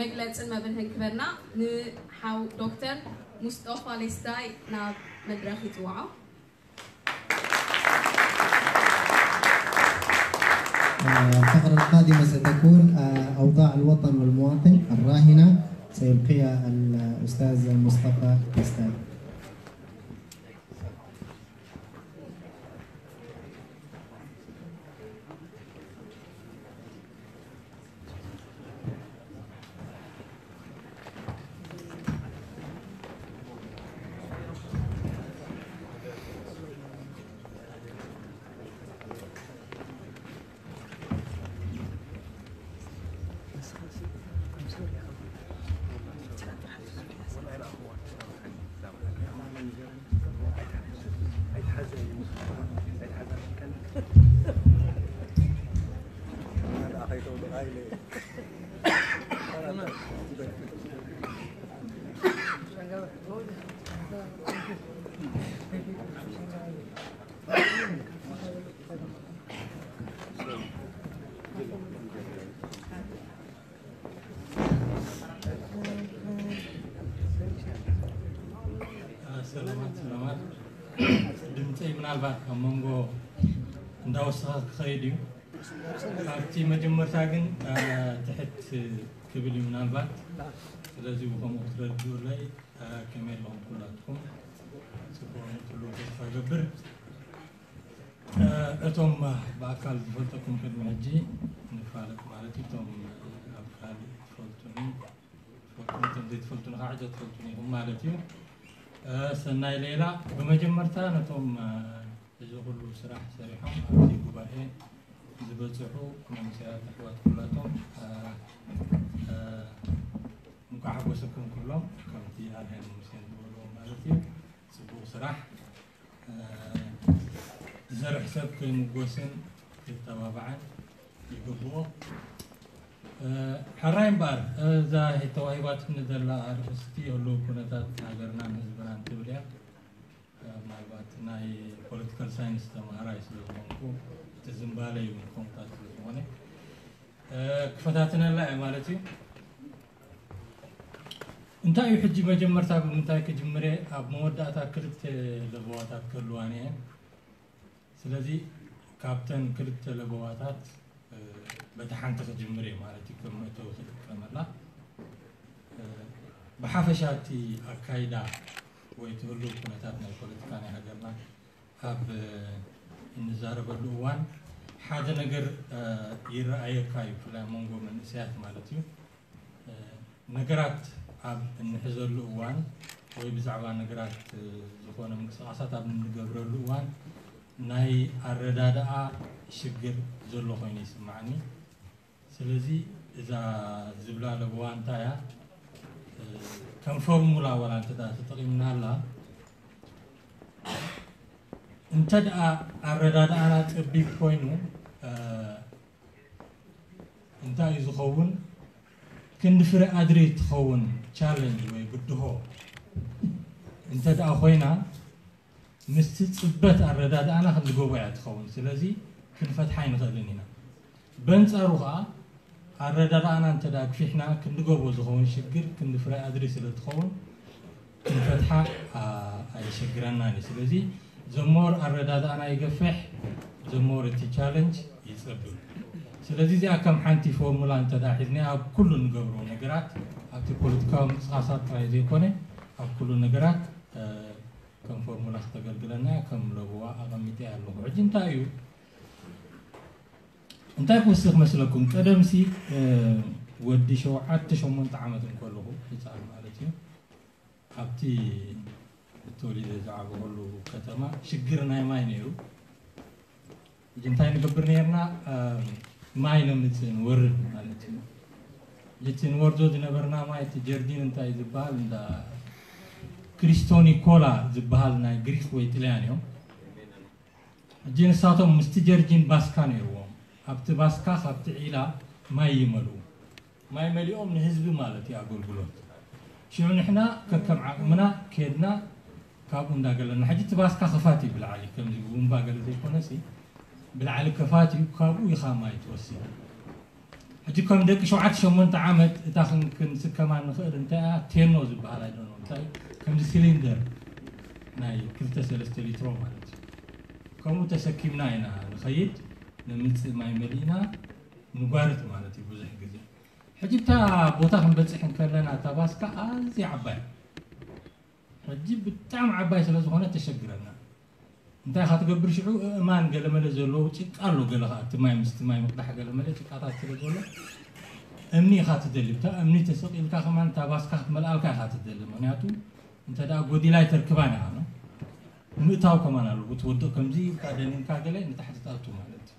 መግለጽን መብርህን ክበና ንሓው ዶክተር ሙስጦፋ ሌስታይ ናብ መድረኽ ይጽውዖ። الفقرة القادمة ستكون آه، أوضاع الوطن والمواطن الراهنة، سيلقيها الأستاذ مصطفى بستان. ሰላማት ሰላማት። ድምፀይ ምናልባት ካብ መንጎ እንዳወሰኸ ክኸይድ እዩ። ካብቲ መጀመርታ ግን ትሕት ክብል እዩ ምናልባት። ስለዚ ብኸምኡ ክትረድኡለይ፣ እ፣ ከመይ ኣለኹም ኩላትኩም? ጽቡቕ ንክሉ ተስፋ ገብር። እ፣ እቶም ብኣካል ዝፈልጠኩም ቅድሚ ሕጂ ንፋለጥ ማለት እዩ። እቶም ኣብ ካልእ ትፈልጡኒ፣ ትፈልጡኒ፣ እቶም ዘይትፈልጡኒ ከዓ ሕጂ ትፈልጡኒ ኢኹም ማለት እዩ። እ፣ ሰናይ ሌላ። ብመጀመርታ ነቶም፣ እ፣ እዚ ኩሉ ስራሕ ሰሪሖም ኣብዚ ጉባኤ ዝበፅሑ መንእሰያት ኣሕዋት ኩላቶም፣ እ፣ እ፣ እንኳዕ ሓጎሰኩም ኩሎም፣ ከምቲ ኣርሄን ሙሴን ዝበልዎ ማለት እዩ። ጽቡቕ ስራሕ። እ፣ ዝሰርሕ ሰብ ክምጎስን ክተባባዕን ይግብኦ። እ፣ ሕራይ እምበኣር፣ እዛ ተዋሂባትኒ ዘላ ኣርእስቲ ህሉው ኩነታት ሃገርናን ህዝብናን ትብል እያ። እ፣ ምናልባት ናይ ፖለቲካል ሳይንስ ተምሃራይ ስለ ዝኾንኩ፣ እቲ ዝንባለይ እውን ከምታት ስለ ዝኾነ፣ እ፣ ክፈታትነላ እየ ማለት እዩ። እንታይ እዩ ሕጂ መጀመርታ ብምንታይ ክጅምር እየ? ኣብ መወዳእታ ክልተ ለበዋታት ክህልዋኒ እየን። ስለዚ ካብተን ክልተ ለበዋታት፣ እ፣ በቲ ሓንቲ ክጅምር እየ ማለት እዩ፣ ከም መእተዊ ክጥቀመላ። እ፣ ብሓፈሻ እቲ ኣካይዳ ወይ እቲ ህሉው ኩነታት ናይ ፖለቲካ ናይ ሃገርና ኣብ፣ እ፣ እንዛረበሉ እዋን ሓደ ነገር፣ እ፣ ይረኣየካ እዩ፣ ብፍላይ ኣብ መንጎ መንእሰያት ማለት እዩ። እ፣ ነገራት ኣብ እንሕዘሉ እዋን ወይ ብዛዕባ ነገራት፣ እ፣ ዝኾነ ምንቅስቓሳት ኣብ እንገብረሉ እዋን ናይ ኣረዳድኣ ሽግር ዘሎ ኮይኑ ይስምዓኒ። ስለዚ እዛ ዝብላ ለበዋ እንታይ እያ? እ፣ ከም ፎርሙላ ዋላ እንተ ደኣ ተጠቒምናላ፣ እንተ ደኣ ኣረዳድኣና ጸቢብ ኮይኑ፣ እ፣ እንታይ እዩ ዝኸውን? ክንዲ ፍረ ኣድሪ ትኸውን ቻለንጅ ወይ ብድሆ እንተ ደኣ ኮይና፣ ምስቲ ጽበት ኣረዳድኣና ክንዲ ጎቦ እያ ትኸውን። ስለዚ ክንፈትሓ ኣይንኽእልን ኢና። በንጻሩ ኸኣ ኣረዳድኣና እንተ ደኣ ግፊሕና፣ ክንዲ ጎቦ ዝኸውን ሽግር ክንዲ ፍረ ኣድሪ ስለ ትኸውን፣ ክንፈትሓ፣ ኣ፣ ኣየሸግረናን እዩ። ስለዚ ዘሞር ኣረዳድኣና ይገፍሕ፣ ዘሞር እቲ ቻለንጅ ይጸብብ። ስለዚ እዚኣ ከም ሓንቲ ፎርሙላ እንተ ደኣ ሒዝና ኣብ ኩሉ እንገብሮ ነገራት፣ ኣብቲ ፖለቲካዊ ምንቅስቓሳት ጥራይ ዘይኮነ፣ ኣብ ኩሉ ነገራት፣ እ፣ ከም ፎርሙላ ክተገልግለና እያ፣ ከም ለበዋ ኣቐሚጠ ኣለኹ። ሕጂ እንታይ እዩ፣ እንታይ ክውስኽ መስለኩም? ቀደምሲ፣ እ፣ ወዲ ሸውዓተ ሸሞንተ ዓመት እንከለኹ፣ ህፃን ማለት እዩ፣ ኣብቲ ተወሊደ ዝዓበኹሉ ከተማ ሽግር ናይ ማይ ነይሩ። ሕጂ እንታይ ንገብር ነይርና? እ፣ ማይ ነምጽእ ንወርድ ማለት እዩ። እቲ ንወርዶ ዝነበርና ማይ፣ እቲ ጀርዲን እንታይ ዝበሃል፣ እንዳ ክሪስቶኒኮላ ዝበሃል ናይ ግሪክ ወይ ጥልያን እዮም። ሕጂ ንሳቶም ምስቲ ጀርጂን ባስካ ነይርዎም። ኣብቲ ባስካ ካብቲ ዒላ ማይ ይመልኡ። ማይ መሊኦም ንህዝቢ ማለት እዩ ኣገልግሎት። ሽዑ ንሕና ከከም ዓቕምና ኬድና ካብኡ እንዳገለና። ሕጂ እቲ ባስካ ክፋት እዩ ብላዕሊ፣ ከምዚ ቡምባ ገለ ዘይኮነሲ ብላዕሊ ክፋት እዩ፣ ካብኡ ኢኻ ማይ ትወስድ። ሕጂ ከም ደቂ ሸውዓተ ሸሞንተ ዓመት እታ ክን-፣ ክንስከማ ንኽእል እንታይ እያ? ቴኖ ዝበሃል ኣይደኖ እንታይ፣ ከምዚ ሲሊንደር ናይ ክልተ ሰለስተ ሊትሮ ማለት እዩ። ከምኡ ተሰኪምና ኢና ንኸይድ፣ ንምጽእ ማይ መሊእና ንጓርት ማለት እዩ ብዙሕ ግዜ። ሕጂ እታ ቦታ ክንበጽሕ እንከለና እታ ባስካ ኣዝያ ዓባይ፣ ሕጂ ብጣዕሚ ዓባይ ስለ ዝኾነ ተሸግረና። እንታይ ኢኻ ትገብር ሽዑ? እእማን ገለመለ ዘለዎ ጭቃ ኣሎ፣ ገለ ኸዓ እቲ ማይ ምስቲ ማይ ምቕዳሕ ገለመለ ጭቃታት ስለ ዘሎ እምኒ ኢኻ ትደሊ። ብታ እምኒ ተሰቒልካ ከማን እታ ባስካ ክትመልኣልካ ኢኻ ትደሊ። ምኽንያቱ እንተ ደኣ ጎዲላ ኣይተርክባን ኢኻ፣ ምእታው ከማን ኣለዎ። ትወድቕ ከምዚ ኢልካ ደኒንካ ገለ ንታሕቲ ትኣቱ ማለት እዩ።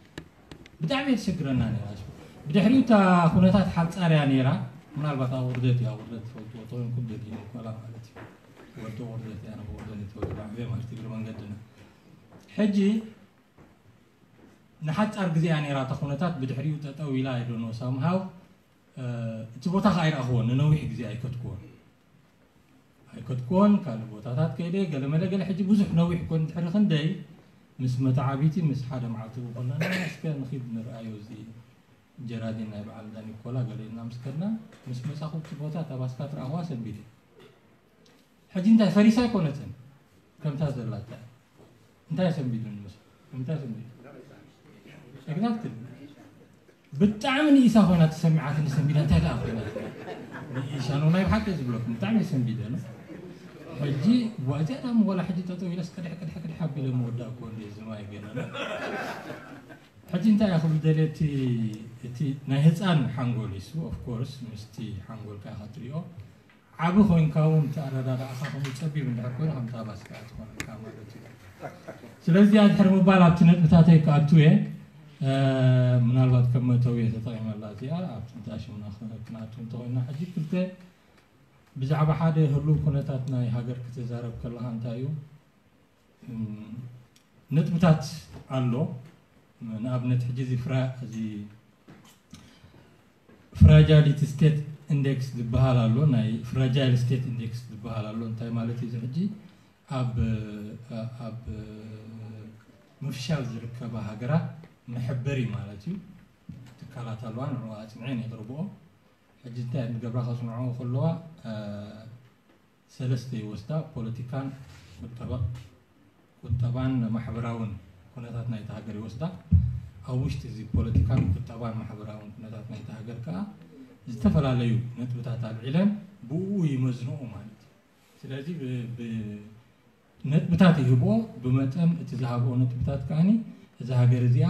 ብጣዕሚ እየ ተሸግረና ነይራ። ብድሕሪኡ እታ ኩነታት ሓጻር እያ ነይራ። ምናልባት ኣብ ውርደት እዩ፣ ኣብ ውርደት ትፈልጥዎ ተኾይንኩም ደጊሙ ኮላ ማለት እዩ። ወዲ ውርደት እያ፣ ንውርደት እዩ ተወልደ ዓብየ ማለት እዩ፣ እግሪ መንገድና። ሕጂ ንሓጻር ግዜ እያ ነይራ እታ ኩነታት፣ ብድሕሪኡ ጠጠው ኢላ፣ I don't know፣ somehow፣ እ፣ እቲ ቦታ ኸዓ ኣይረኣኽዎን፣ ንነዊሕ ግዜ ኣይከድክዎን። ኣይከድክዎን፣ ካልእ ቦታታት ከይደ፣ ገለ መለ ገለ። ሕጂ ብዙሕ ነዊሕ ኮን ድሕሪ ክንደይ ምስ መተዓቢቲ፣ ምስ ሓደ መዓልቲ ብኸለና፣ እስከ ንኺድ ንርኣዮ እዚ ጀራዲን ናይ በዓል እንዳ ኒኮላ ገለ ኢልና ምስ ከድና፣ ምስ መጻኹ እቲ ቦታ፣ እታ ባስካ ትረኣኽዋ ሰንቢደ። ሕጂ እንታይ ፈሪሳ ኣይኮነትን፣ ከምታ ዘላታ። እንታይ ሰንቢዱ ንመስል? እንታይ ሰንቢዱ? Exactly። ብጣዕሚ ንኢሳ ኮይና ተሰሚዓትኒ። ሰንቢደ እንታይ ደኣ ኮይና ንኢሳ ነው ናይ ብሓቂ ዝብለኩም ብጣዕሚ ሰንቢደ ነው። ሕጂ ዋዚያ ዳም ወላ ሕጂ ጠጠው ኢለስ ቅድሕ ቅድሕ ቅድሕ ኣቢለ መወዳእ እኮ እንደ ዝማይ ገና ነው። ሕጂ እንታይ እያ ክብል ደልየ እቲ እቲ ናይ ህፃን ሓንጎል ይሱ of course ምስቲ ሓንጎልካ ኢኻ ትሪኦ። ዓቢ ኮይንካ እውን እቲ ኣረዳድኣኻ ከምኡ ጸቢብ እንድሕር ኮይኑ ከም ታባስ ከኣ ትኾነካ ማለት እዩ። ስለዚ እዚኣ ድሕሪ ምባል ኣብቲ ነጥብታተይ ክኣቱ እየ። ምናልባት ከም መእተዊ እየ ተጠቒመላ እዚኣ። ኣብቲ እንዳ ሽምና ክነኣቱ እንተኾይና ሕጂ ክልተ ብዛዕባ ሓደ ህሉው ኩነታት ናይ ሃገር ክትዛረብ ከለኻ እንታይ እዩ ነጥብታት ኣሎ። ንኣብነት ሕጂ እዚ ፍራ እዚ fragility state index ዝበሃል ኣሎ፣ ናይ fragile state index ዝበሃል ኣሎ። እንታይ ማለት እዩ እዚ ሕጂ ኣብ ኣብ ምፍሻል ዝርከባ ሃገራት መሐበሪ ማለት እዩ። ትካላት ኣለዋ ንዕኡ ኣፅንዐን የቕርብኦ። ሕጂ እንታይ ንገብራ ከፅንዖ ከለዋ ሰለስተ ይወስዳ፣ ፖለቲካን ቁጠባ ቁጠባን ማሕበራውን ኩነታት ናይቲ ሃገር ይወስዳ። ኣብ ውሽጢ እዚ ፖለቲካን ቁጠባን ማሕበራውን ኩነታት ናይቲ ሃገር ከኣ ዝተፈላለዩ ነጥብታት ኣልዒለን ብኡ ይመዝንኦ ማለት እዩ። ስለዚ ነጥብታት ይህብኦ፣ ብመጠን እቲ ዝሃብኦ ነጥብታት ከኣኒ እዛ ሃገር እዚኣ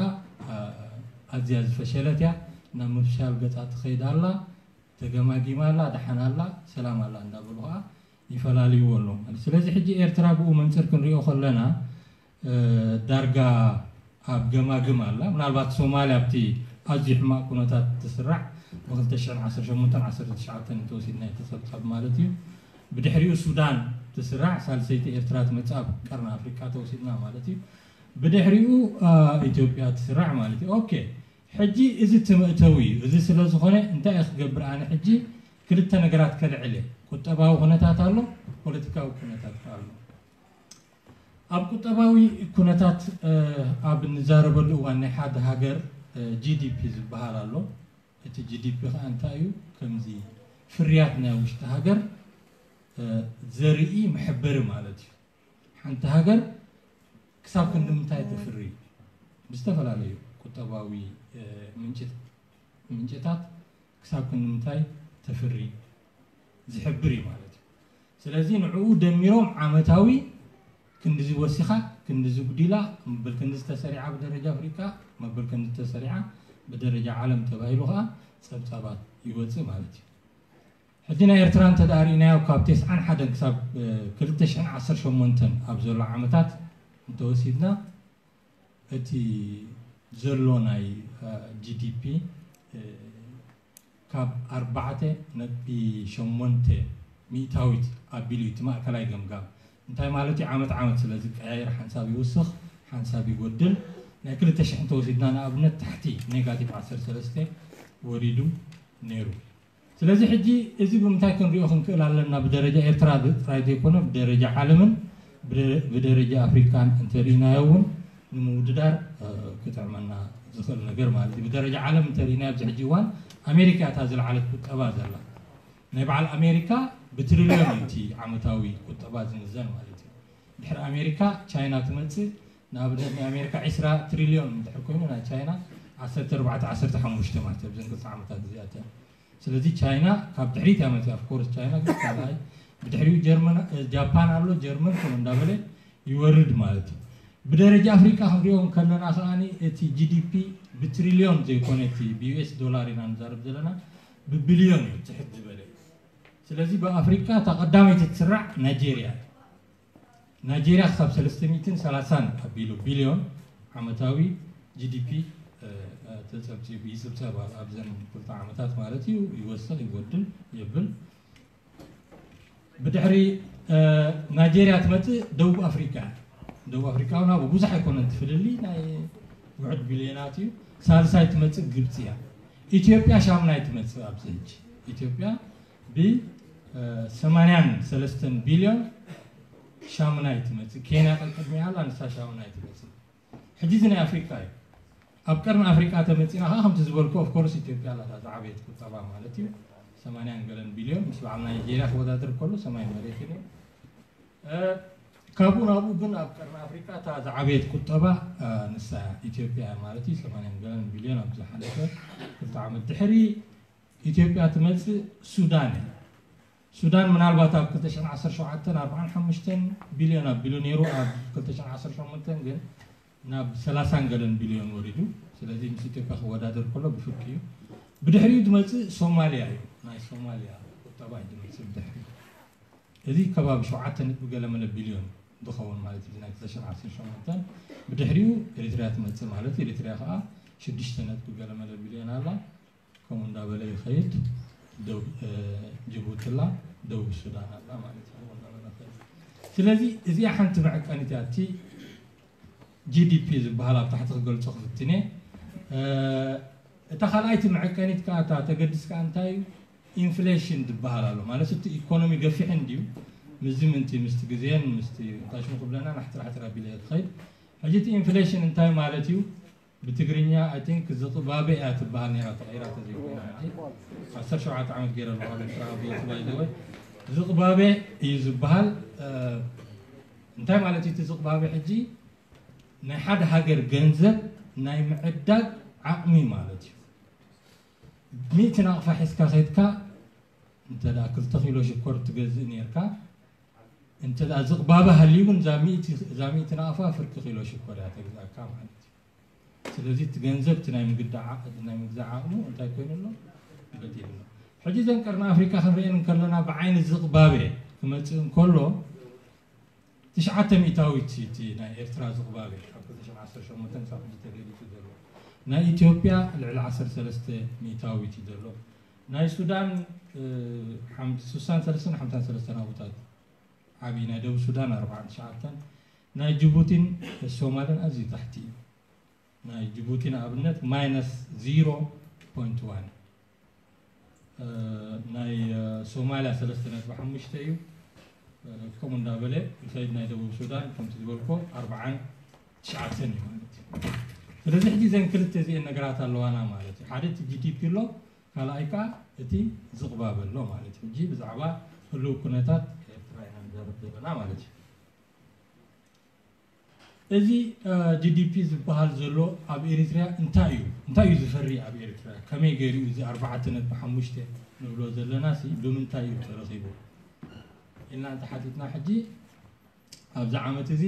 ኣዝያ ዝፈሸለት እያ፣ ናብ ምፍሻል ገጻ ትኸይድ ኣላ፣ ተገማጊማ ኣላ፣ ደሓን ኣላ፣ ሰላም ኣላ እንዳበሉ ከኣ ይፈላልይዎ ኣለዉ ማለት። ስለዚ ሕጂ ኤርትራ ብኡ መንጽር ክንሪኦ ከለና ዳርጋ ኣብ ገማግም ኣላ። ምናልባት ሶማልያ ኣብቲ ኣዝዩ ሕማቕ ኩነታት ትስራዕ ብ ክልተ ሽሕን ዓሰርተ ሸሞንተን ዓሰርተ ትሽዓተን እንተወሲድና እቲ ጸብጻብ ማለት እዩ። ብድሕሪኡ ሱዳን ትስራዕ፣ ሳልሰይቲ ኤርትራ ትመጽእ ኣብ ቀርኒ ኣፍሪቃ ተወሲድና ማለት እዩ። ብድሕሪኡ ኢትዮጵያ ትስራዕ ማለት እዩ። ኦኬ፣ ሕጂ እዚ እቲ መእተዊ እዩ። እዚ ስለ ዝኾነ እንታይ እየ ክገብር ኣነ ሕጂ ክልተ ነገራት ከልዕል እየ። ቁጠባዊ ኩነታት ኣሎ፣ ፖለቲካዊ ኩነታት ኣሎ። ኣብ ቁጠባዊ ኩነታት ኣብ እንዛረበሉ እዋን ናይ ሓደ ሃገር ጂ ዲ ፒ ዝበሃል ኣሎ። እቲ ጂ ዲ ፒ ከዓ እንታይ እዩ? ከምዚ ፍርያት ናይ ውሽጢ ሃገር ዘርኢ መሐበሪ ማለት እዩ። ሓንቲ ሃገር ክሳብ ክንዲ ምንታይ ተፍሪ ብዝተፈላለዩ ቁጠባዊ ምንጭታት ክሳብ ክንዲ ምንታይ ተፍሪ ዝሕብር እዩ ማለት እዩ። ስለዚ ንዕኡ ደሚሮም ዓመታዊ ክንድዚ ወሲኻ፣ ክንድዚ ጉዲላ፣ መበል ክንድዚ ተሰሪዓ ብደረጃ ኣፍሪቃ፣ መበል ክንድዚ ተሰሪዓ ብደረጃ ዓለም ተባሂሉ ከዓ ጸብጻባት ይወፅእ ማለት እዩ። ሕጂ ናይ ኤርትራ እንተ ደኣ ርኢናዮ ካብ ተስዓን ሓደን ክሳብ ክልተ ሽሕን ዓሰርተ ሸሞንተን ኣብ ዘሎ ዓመታት እንተወሲድና እቲ ዘሎ ናይ ጂ ዲ ፒ ካብ ኣርባዕተ ነጥቢ ሸሞንተ ሚእታዊት ኣቢሉ እዩ እቲ ማእከላይ ገምጋም። እንታይ ማለት እዩ? ዓመት ዓመት ስለ ዝቀያየር ሓንሳብ ይውስኽ፣ ሓንሳብ ይጎድል። ናይ ክልተ ሽሕ እንተወሲድና ንኣብነት ታሕቲ ኔጋቲቭ ዓሰርተ ሰለስተ ወሪዱ ነይሩ። ስለዚ ሕጂ እዚ ብምንታይ ክንሪኦ ክንክእል ኣለና? ብደረጃ ኤርትራ ጥራይ ዘይኮነ ብደረጃ ዓለምን ብደረጃ ኣፍሪካን እንተሪኢናዮ እውን ንምውድዳር ክጥዕመና ዝኽእል ነገር ማለት እዩ። ብደረጃ ዓለም እንተሪኢናዮ ኣብዚ ሕጂ እዋን ኣሜሪካ እታ ዝለዓለት ቁጠባ ዘላ። ናይ በዓል ኣሜሪካ ብትሪልዮን እዩ እቲ ዓመታዊ ቁጠባ ዝምዘን ማለት እዩ። ድሕሪ ኣሜሪካ ቻይና ትመፅእ። ንኣብነት ናይ ኣሜሪካ ዒስራ ትሪልዮን እንድሕር ኮይኑ ናይ ቻይና ዓሰርተ ኣርባዕተ ዓሰርተ ሓሙሽተ ማለት እዩ ኣብዘን ክልተ ዓመታት እዚኣተን። ስለዚ ቻይና ካብ ድሕሪት እያ መፅያ። ኦፍኮርስ ቻይና ግን ካልኣይ፣ ብድሕሪኡ ጀርመን፣ ጃፓን ኣሎ፣ ጀርመን ከምኡ እንዳበለ ይወርድ ማለት እዩ። ብደረጃ ኣፍሪቃ ክንሪኦ ከለና ከኣ እቲ ጂ ዲ ፒ ብትሪልዮን ዘይኮነ እቲ ብዩ ኤስ ዶላር ኢና ንዛረብ ዘለና ብቢልዮን እዩ ትሕት ዝበለ። ስለዚ ብኣፍሪቃ እታ ቀዳመይቲ ትስራዕ ናይጄርያ። ናይጄርያ ክሳብ ሰለስተ ሚእትን ሰላሳን ኣቢሉ ቢልዮን ዓመታዊ ጂ ዲ ፒ ተጸብጺቡ ይጽብጸብ ኣብዘን ክልተ ዓመታት ማለት እዩ። ይወስኽ ይጎድል የብል። ብድሕሪ ናይጄርያ ትመጽእ ደቡብ ኣፍሪቃ። ደቡብ ኣፍሪቃ እውን ኣብኡ ብዙሕ ኣይኮነን ትፍልሊ ናይ ውሕድ ቢልዮናት እዩ። ሳልሳይ ትመጽእ ግብጺ እያ። ኢትዮጵያ ሻምናይ ትመጽእ ኣብዚ ሕጂ። ኢትዮጵያ ብ ሰማንያን ሰለስተን ቢልዮን ሻምናይ ትመጽእ። ኬንያ ቀልቀድሚያ ኣላ ንሳ ሻምናይ ትመጽእ። ሕጂ እዚ ናይ ኣፍሪቃ እዩ። ኣብ ቀርኒ ኣፍሪቃ ተመጺና ከዓ ከምቲ ዝበልኩ ኦፍኮርስ ኢትዮጵያ ኣላታ ዝዓበየት ቁጠባ ማለት እዩ። ሰማንያን ገለን ቢልዮን ምስ በዓል ናይጄርያ ክወዳደር ከሎ ሰማይ መሬት እዩ። ካብኡ ናብኡ ግን ኣብ ቀርኒ ኣፍሪቃ እታ ዝዓበየት ቁጠባ ንሳ ኢትዮጵያ ማለት እዩ። ሰማንያ ገለን ቢልዮን ኣብ ዝሓለፈ ክልተ ዓመት ድሕሪ ኢትዮጵያ ትመጽእ ሱዳን እያ። ሱዳን ምናልባት ኣብ ክልተ ሽሕን ዓሰርተ ሸውዓተን ኣርባዓን ሓሙሽተን ቢልዮን ኣቢሉ ነይሩ፣ ኣብ ክልተ ሽሕን ዓሰርተ ሸሞንተን ግን ናብ ሰላሳን ገለን ቢልዮን ወሪዱ። ስለዚ ምስ ኢትዮጵያ ክወዳደር ከሎ ብፍርቂ እዩ። ብድሕሪኡ ዝመጽእ ሶማልያ እዩ። ናይ ሶማልያ ቁጠባ እዩ ዝመጽእ ብድሕሪኡ። እዚ ከባቢ ሸውዓተ ነጥቢ ገለ መለ ቢልዮን ዝኸውን ማለት እዩ። ናይ ክልተ ሽሕን ዓሰርተ ሸሞንተን ብድሕሪኡ ኤሪትርያ ትመጽእ ማለት እዩ። ኤሪትርያ ከዓ ሽዱሽተ ነጥቢ ገለ መለ ቢልዮን ኣላ። ከምኡ እንዳበለ ይኸይድ። ደቡብ ጅቡቲ ኣላ፣ ደቡብ ሱዳን ኣላ ማለት እዩ። ከምኡ እንዳበለ ይኸይድ። ስለዚ እዚኣ ሓንቲ መዐቀኒት እያ። እቲ ጂ ዲ ፒ ዝበሃል ኣብ ታሕቲ ክገልጾ ክፍትነ። እታ ካልኣይቲ መዐቀኒት ከዓ እታ ተገድስ ከዓ እንታይ እዩ? ኢንፍሌሽን ዝበሃል ኣሎ ማለት እቲ ኢኮኖሚ ገፊሕ እንድዩ ምስዚ ምንቲ ምስቲ ግዜን ምስቲ እንታይ ሽሙ ክብለና ናሕትራ ሕትራ ቢለ ትኸይድ። ሕጂ እቲ ኢንፍሌሽን እንታይ ማለት እዩ? ብትግርኛ ኣይ ቲንክ ዝቕባበ እያ ትበሃል ነይራ ተቐይራ ተዘይኮይና ሕጂ ዓሰርተ ሸውዓተ ዓመት ገይረ ኣለኹ ኣብ ኤርትራ ኣብ ሂወት ባይዘወይ ዝቕባበ እዩ ዝበሃል። እንታይ ማለት እዩ እቲ ዝቕባበ? ሕጂ ናይ ሓደ ሃገር ገንዘብ ናይ ምዕዳግ ዓቕሚ ማለት እዩ። ሚእቲ ናቕፋ ሒዝካ ከይድካ እንተ ደኣ ክልተ ኪሎ ሽኮር ትገዝእ ነርካ እንተ ደኣ ዝቕባበ ሃልዩ ግን እዛ ሚእቲ እዛ ሚእቲ ናቕፋ ፍርቂ ኪሎ ሽኮር እያ ተግዛእካ ማለት እዩ። ስለዚ እቲ ገንዘብ እቲ ናይ ምግዳዕ ዓቕ- ናይ ምግዛእ ዓቕሙ እንታይ ኮይኑ ኣሎ? በዲሉ ኣሎ። ሕጂ እዘን ቀርኒ ኣፍሪቃ ክንሪአን እንከለና ብዓይኒ ዝቕባበ ክመጽእ እንከሎ ትሽዓተ ሚእታዊት እቲ ናይ ኤርትራ ዝቕባበ ካብ ክልተ ሽሕን ዓሰርተ ሸሞንተን ክሳብ ሕጂ ተገሊጹ ዘሎ ናይ ኢትዮጵያ ልዕሊ ዓሰርተ ሰለስተ ሚእታዊት እዩ ዘሎ ናይ ሱዳን ሓምሳን ሰለስተን ሓምሳን ሰለስተን ኣቦታት ዓብዪ ናይ ደቡብ ሱዳን ኣርባዓን ትሽዓተን ናይ ጅቡቲን ሶማልን ኣዝዩ ታሕቲ እዩ ናይ ጅቡቲ ንኣብነት ማይነስ ዜሮ ፖይንት ዋን ናይ ሶማልያ ሰለስተ ነጥቢ ሓሙሽተ እዩ። ከምኡ እንዳበለ ይኸይድ ናይ ደቡብ ሱዳን ከምቲ ዝበልኮ ኣርባዓን ትሽዓተን እዩ ማለት እዩ። ስለዚ ሕጂ እዘን ክልተ እዚአን ነገራት ኣለዋና ማለት እዩ። ሓደ እቲ ጂ ዲ ፒ ኣሎ፣ ካልኣይ ከዓ እቲ ዝቕባበ ኣሎ ማለት እዩ። ሕጂ ብዛዕባ ህልው ኩነታት ኤርትራ ኢና ንዛረብ ዘለና ማለት እዩ። እዚ ጂ ዲ ፒ ዝበሃል ዘሎ ኣብ ኤሪትሪያ እንታይ እዩ እንታይ እዩ ዝፈሪ ኣብ ኤሪትሪያ ከመይ ገይሩ እዚ ኣርባዕተ ነጥቢ ሓሙሽተ ንብሎ ዘለና ሲ ብምንታይ እዩ ተረኺቡ ኢልና እንተሓቲትና ሕጂ ኣብዚ ዓመት እዚ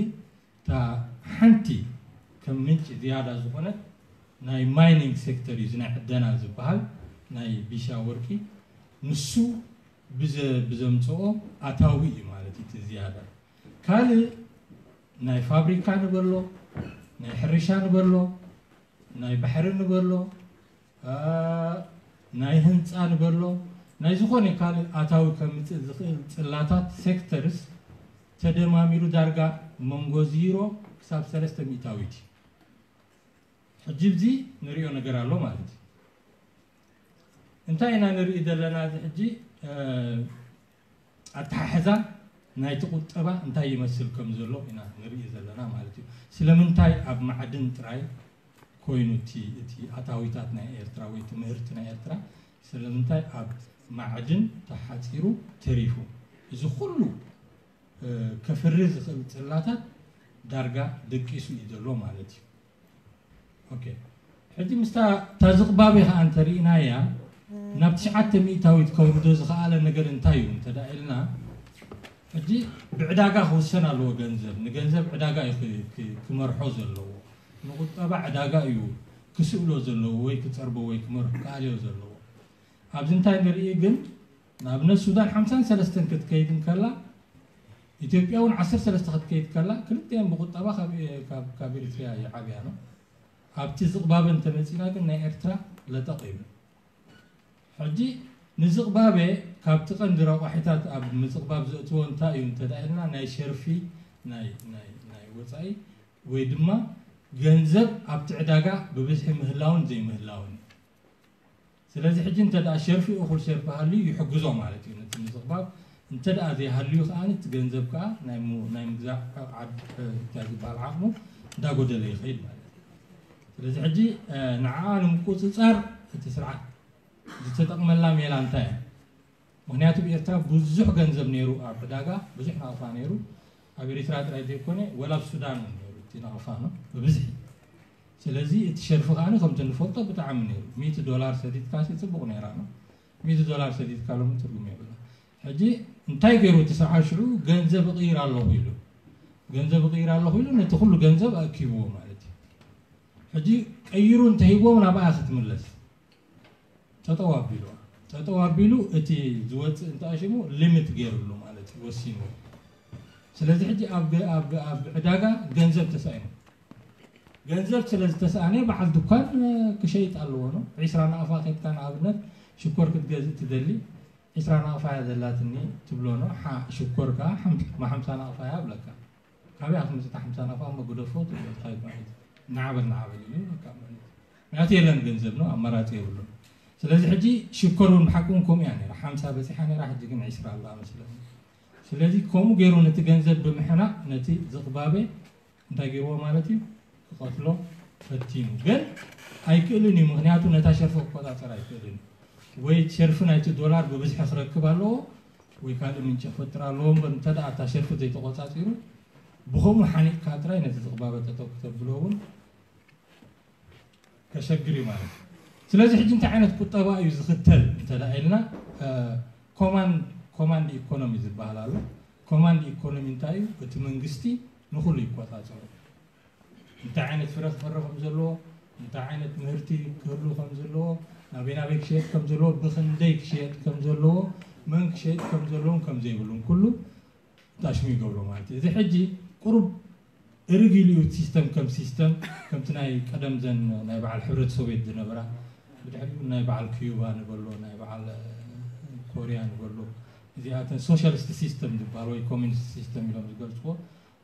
እታ ሓንቲ ከም ምንጪ ዝያዳ ዝኾነት ናይ ማይኒንግ ሴክተር እዩ እዚ ናይ ዕደና ዝበሃል ናይ ቢሻ ወርቂ ንሱ ብዘምፅኦ ኣታዊ እዩ ማለት እዩ ዝያዳ ካልእ ናይ ፋብሪካ ንበሎ ናይ ሕርሻ ንበሎ ናይ ባሕሪ ንበሎ ናይ ህንፃ ንበሎ ናይ ዝኾነ ካልእ ኣታዊ ከምፅእ ዝኽእል ፅላታት ሴክተርስ ተደማሚሩ ዳርጋ መንጎ ዚሮ ክሳብ ሰለስተ ሚእታዊት እዩ ሕጂ ብዚ ንሪኦ ነገር ኣሎ ማለት እዩ እንታይ ኢና ንርኢ ዘለና እዚ ሕጂ ኣተሓሕዛ ናይቲ ቁጠባ እንታይ ይመስል ከም ዘሎ ኢና ንርኢ ዘለና ማለት እዩ ስለምንታይ ኣብ ማዕድን ጥራይ ኮይኑ እቲ እቲ ኣታዊታት ናይ ኤርትራ ወይ እቲ ምህርቲ ናይ ኤርትራ ስለምንታይ ኣብ ማዕድን ተሓፂሩ ተሪፉ እዚ ኩሉ ከፍሪ ዝኽእል ፅላታት ዳርጋ ደቂሱ እዩ ዘሎ ማለት እዩ ሕጂ ምስታ እታ ዝቕባበ ከዓ እንተርኢናያ ናብ ትሽዓተ ሚእታዊት ከውርዶ ዝኸኣለ ነገር እንታይ እዩ እንተ ኢልና ሕጂ ብዕዳጋ ክውሰን ኣለዎ ገንዘብ ንገንዘብ ዕዳጋ እዩ ክመርሖ ዘለዎ ንቁጠባ ዕዳጋ እዩ ክስእሎ ዘለዎ ወይ ክፀርቦ ወይ ክመርሖ ክኣልዮ ዘለዎ ኣብዚ እንታይ ንርኢ ግን ንኣብነት ሱዳን ሓምሳን ሰለስተን ክትከይድ እንከላ ኢትዮጵያ እውን ዓሰርተ ሰለስተ ክትከይድ ከላ ክልቲኤን ብቁጠባ ካብ ኤሪትሪያ ይዓብያ ነው ኣብቲ ዝቕባበ እንተመፂና ግን ናይ ኤርትራ ለጠቕ ይብል ሕጂ ንዝቕባበ ካብቲ ቀንዲ ረቋሒታት ኣብ ምዝቕባብ ዘእትዎ እንታይ እዩ እንተዳ ኢልና ናይ ሸርፊ ናይ ወፃኢ ወይ ድማ ገንዘብ ኣብቲ ዕዳጋ ብብዝሒ ምህላውን ዘይምህላውን እዩ ስለዚ ሕጂ እንተ ደኣ ሸርፊ እኹል ሸርፊ ሃልዩ ይሕግዞ ማለት እዩ ነቲ ምዝቕባብ እንተ ደኣ ዘይሃልዩ ከኣ እቲ ገንዘብ ከኣ ናይ ምግዛእ እንታይ ዝበሃል ዓቕሙ እንዳጎደለ ይኸይድ ማለት እዩ ስለዚ ሕጂ ንዓኣ ንምቁፅፃር እቲ ስርዓት ዝተጠቕመላ ሜላ እንታይ እያ ምክንያቱ ብኤርትራ ብዙሕ ገንዘብ ነይሩ ኣብ ዕዳጋ ብዙሕ ናቕፋ ነይሩ ኣብ ኤርትራ ጥራይ ዘይኮነ፣ ወላ ኣብ ሱዳን እውን ነይሩ እቲ ናቕፋ ነው ብብዝሒ። ስለዚ እቲ ሸርፊ ከኣ ከምቲ ንፈልጦ ብጣዕሚ ነይሩ። ሚእቲ ዶላር ሰዲድካ ሲ ጽቡቕ ነይራ ነው። ሚእቲ ዶላር ሰዲድካ ሎሚ ትርጉም የብላ። ሕጂ እንታይ ገይሩ እቲ ሰብኣይ ሽዑ? ገንዘብ እቕይር ኣለኹ ኢሉ፣ ገንዘብ እቕይር ኣለኹ ኢሉ ነቲ ኩሉ ገንዘብ ኣእኪብዎ ማለት እዩ። ሕጂ ቀይሩ እንተሂብዎም ናብኣ ክትምለስ ጠጠው ኣቢሉ፣ ጠጠው ኣቢሉ እቲ ዝወፅእ እንተኣሽሙ ሊሚት ገይሩሉ ማለት እዩ፣ ወሲኑ። ስለዚ ሕጂ ኣብ ገ- ኣብ ገ- ኣብ ዕዳጋ ገንዘብ ተሳኢኑ፣ ገንዘብ ስለ ዝተሰኣነ በዓል ድኳን ክሸይጥ ኣለዎ ነው። ዒስራ ናቕፋ ከድካ ንኣብነት ሽኮር ክትገዝእ ትደሊ፣ ዒስራ ናቕፋ እያ ዘላትኒ ትብሎ ነው። ሓ- ሽኮር ከዓ ሓምሳ ናቕፋ እያ ብለካ። ካበይ ኣትምፅእ ሓምሳ ናቕፋ? መጉደፎ ትብሎ ትኸይድ ማለት እዩ። ናዕበል ናዕበል ኢሉ በቃ ማለት እዩ። ምክንያቱ የለን ገንዘብ ነው፣ ኣማራፂ የብሉን። ስለዚ ሕጂ ሽኮር እውን ብሓቂ እውን ከምኡ እያ ነይራ። ሓምሳ በፂሓ ነይራ፣ ሕጂ ግን ዒስራ ኣላ መስለኒ። ስለዚ ከምኡ ገይሩ ነቲ ገንዘብ ብምሕናቕ ነቲ ዝቕባበ እንታይ ገይርዎ ማለት እዩ? ክቐትሎ ፈቲኑ። ግን ኣይክእልን እዩ፣ ምክንያቱ ነታ ሸርፊ ክቆፃፀር ኣይክእልን እዩ። ወይ ሸርፊ ናይቲ ዶላር ብብዝሒ ክረክብ ኣለዎ ወይ ካልእ ምንጭ ክፈጥር ኣለዎ እምበር እንተ ደኣ እታ ሸርፊ ዘይተቆፃፂሩ ብኸምኡ ሓኒቕካ ጥራይ ነቲ ዝቕባበ ጠጠው ክተብሎ እውን ከሸግር እዩ ማለት እዩ። ስለዚ ሕጂ እንታይ ዓይነት ቁጠባ እዩ ዝኽተል እንተ ደኣ ኢልና ኮማንድ ኢኮኖሚ ዝበሃል ኣሎ። ኮማንድ ኢኮኖሚ እንታይ እዩ? እቲ መንግስቲ ንኹሉ ይቆፃፀሩ። እንታይ ዓይነት ፍረ ክፈሪ ከም ዘለዎ፣ እንታይ ዓይነት ምህርቲ ክህሉ ከም ዘለዎ፣ ናበይ ናበይ ክሸየጥ ከም ዘለዎ፣ ብኽንደይ ክሸየጥ ከም ዘለዎ፣ መን ክሸየጥ ከም ዘለዎን ከም ዘይብሉን ኩሉ ታሽሙ ይገብሮ ማለት እዩ። እዚ ሕጂ ቁሩብ እርግ ኢሉ እዩ ሲስተም ከም ሲስተም ከምቲ ናይ ቀደም ዘን ናይ በዓል ሕብረት ሶቪየት ዝነበራ ብድሕሪኡ ናይ በዓል ኪዩባ ንበሎ ናይ በዓል ኮርያ ንበሎ እዚኣተን ሶሻሊስት ሲስተም ዝበሃል ወይ ኮሚኒስት ሲስተም ኢሎም ዝገልፅዎ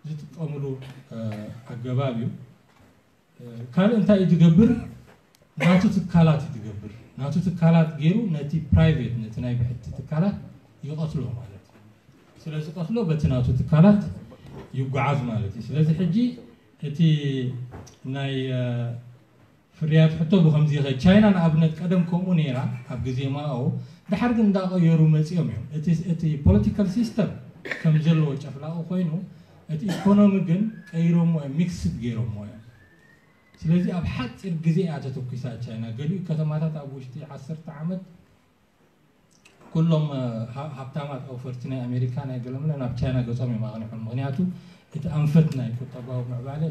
ዝጥቀምሉ ኣገባብ እዩ። ካልእ እንታይ እዩ ዝገብር? ናቱ ትካላት እዩ ዝገብር። ናቱ ትካላት ገይሩ ነቲ ፕራይቬት ነቲ ናይ ብሕቲ ትካላት ይቐትሎ ማለት እዩ። ስለዚ ቀትሎ በቲ ናቱ ትካላት ይጓዓዝ ማለት እዩ። ስለዚ ሕጂ እቲ ናይ ፍርያት ሕቶ ብከምዚ ይኸ ቻይና ንኣብነት ቀደም ከምኡ ነይራ ኣብ ግዜ ማኦ፣ ድሓር ግን እንዳቐየሩ መፂኦም እዮም። እቲ ፖለቲካል ሲስተም ከም ዘለዎ ጨፍላቑ ኮይኑ እቲ ኢኮኖሚ ግን ቀይሮሞ እዮም፣ ሚክስድ ገይሮሞ እዮም። ስለዚ ኣብ ሓፂር ግዜ እያ ተተኩሳ ቻይና። ገሊኡ ከተማታት ኣብ ውሽጢ ዓሰርተ ዓመት ኩሎም ሃብታማት ኣውፈርቲ ናይ ኣሜሪካ ናይ ገለምለ ናብ ቻይና ገፆም እዮም ኣቕኒሖም። ምክንያቱ እቲ ኣንፈት ናይ ቁጠባዊ ምዕባለ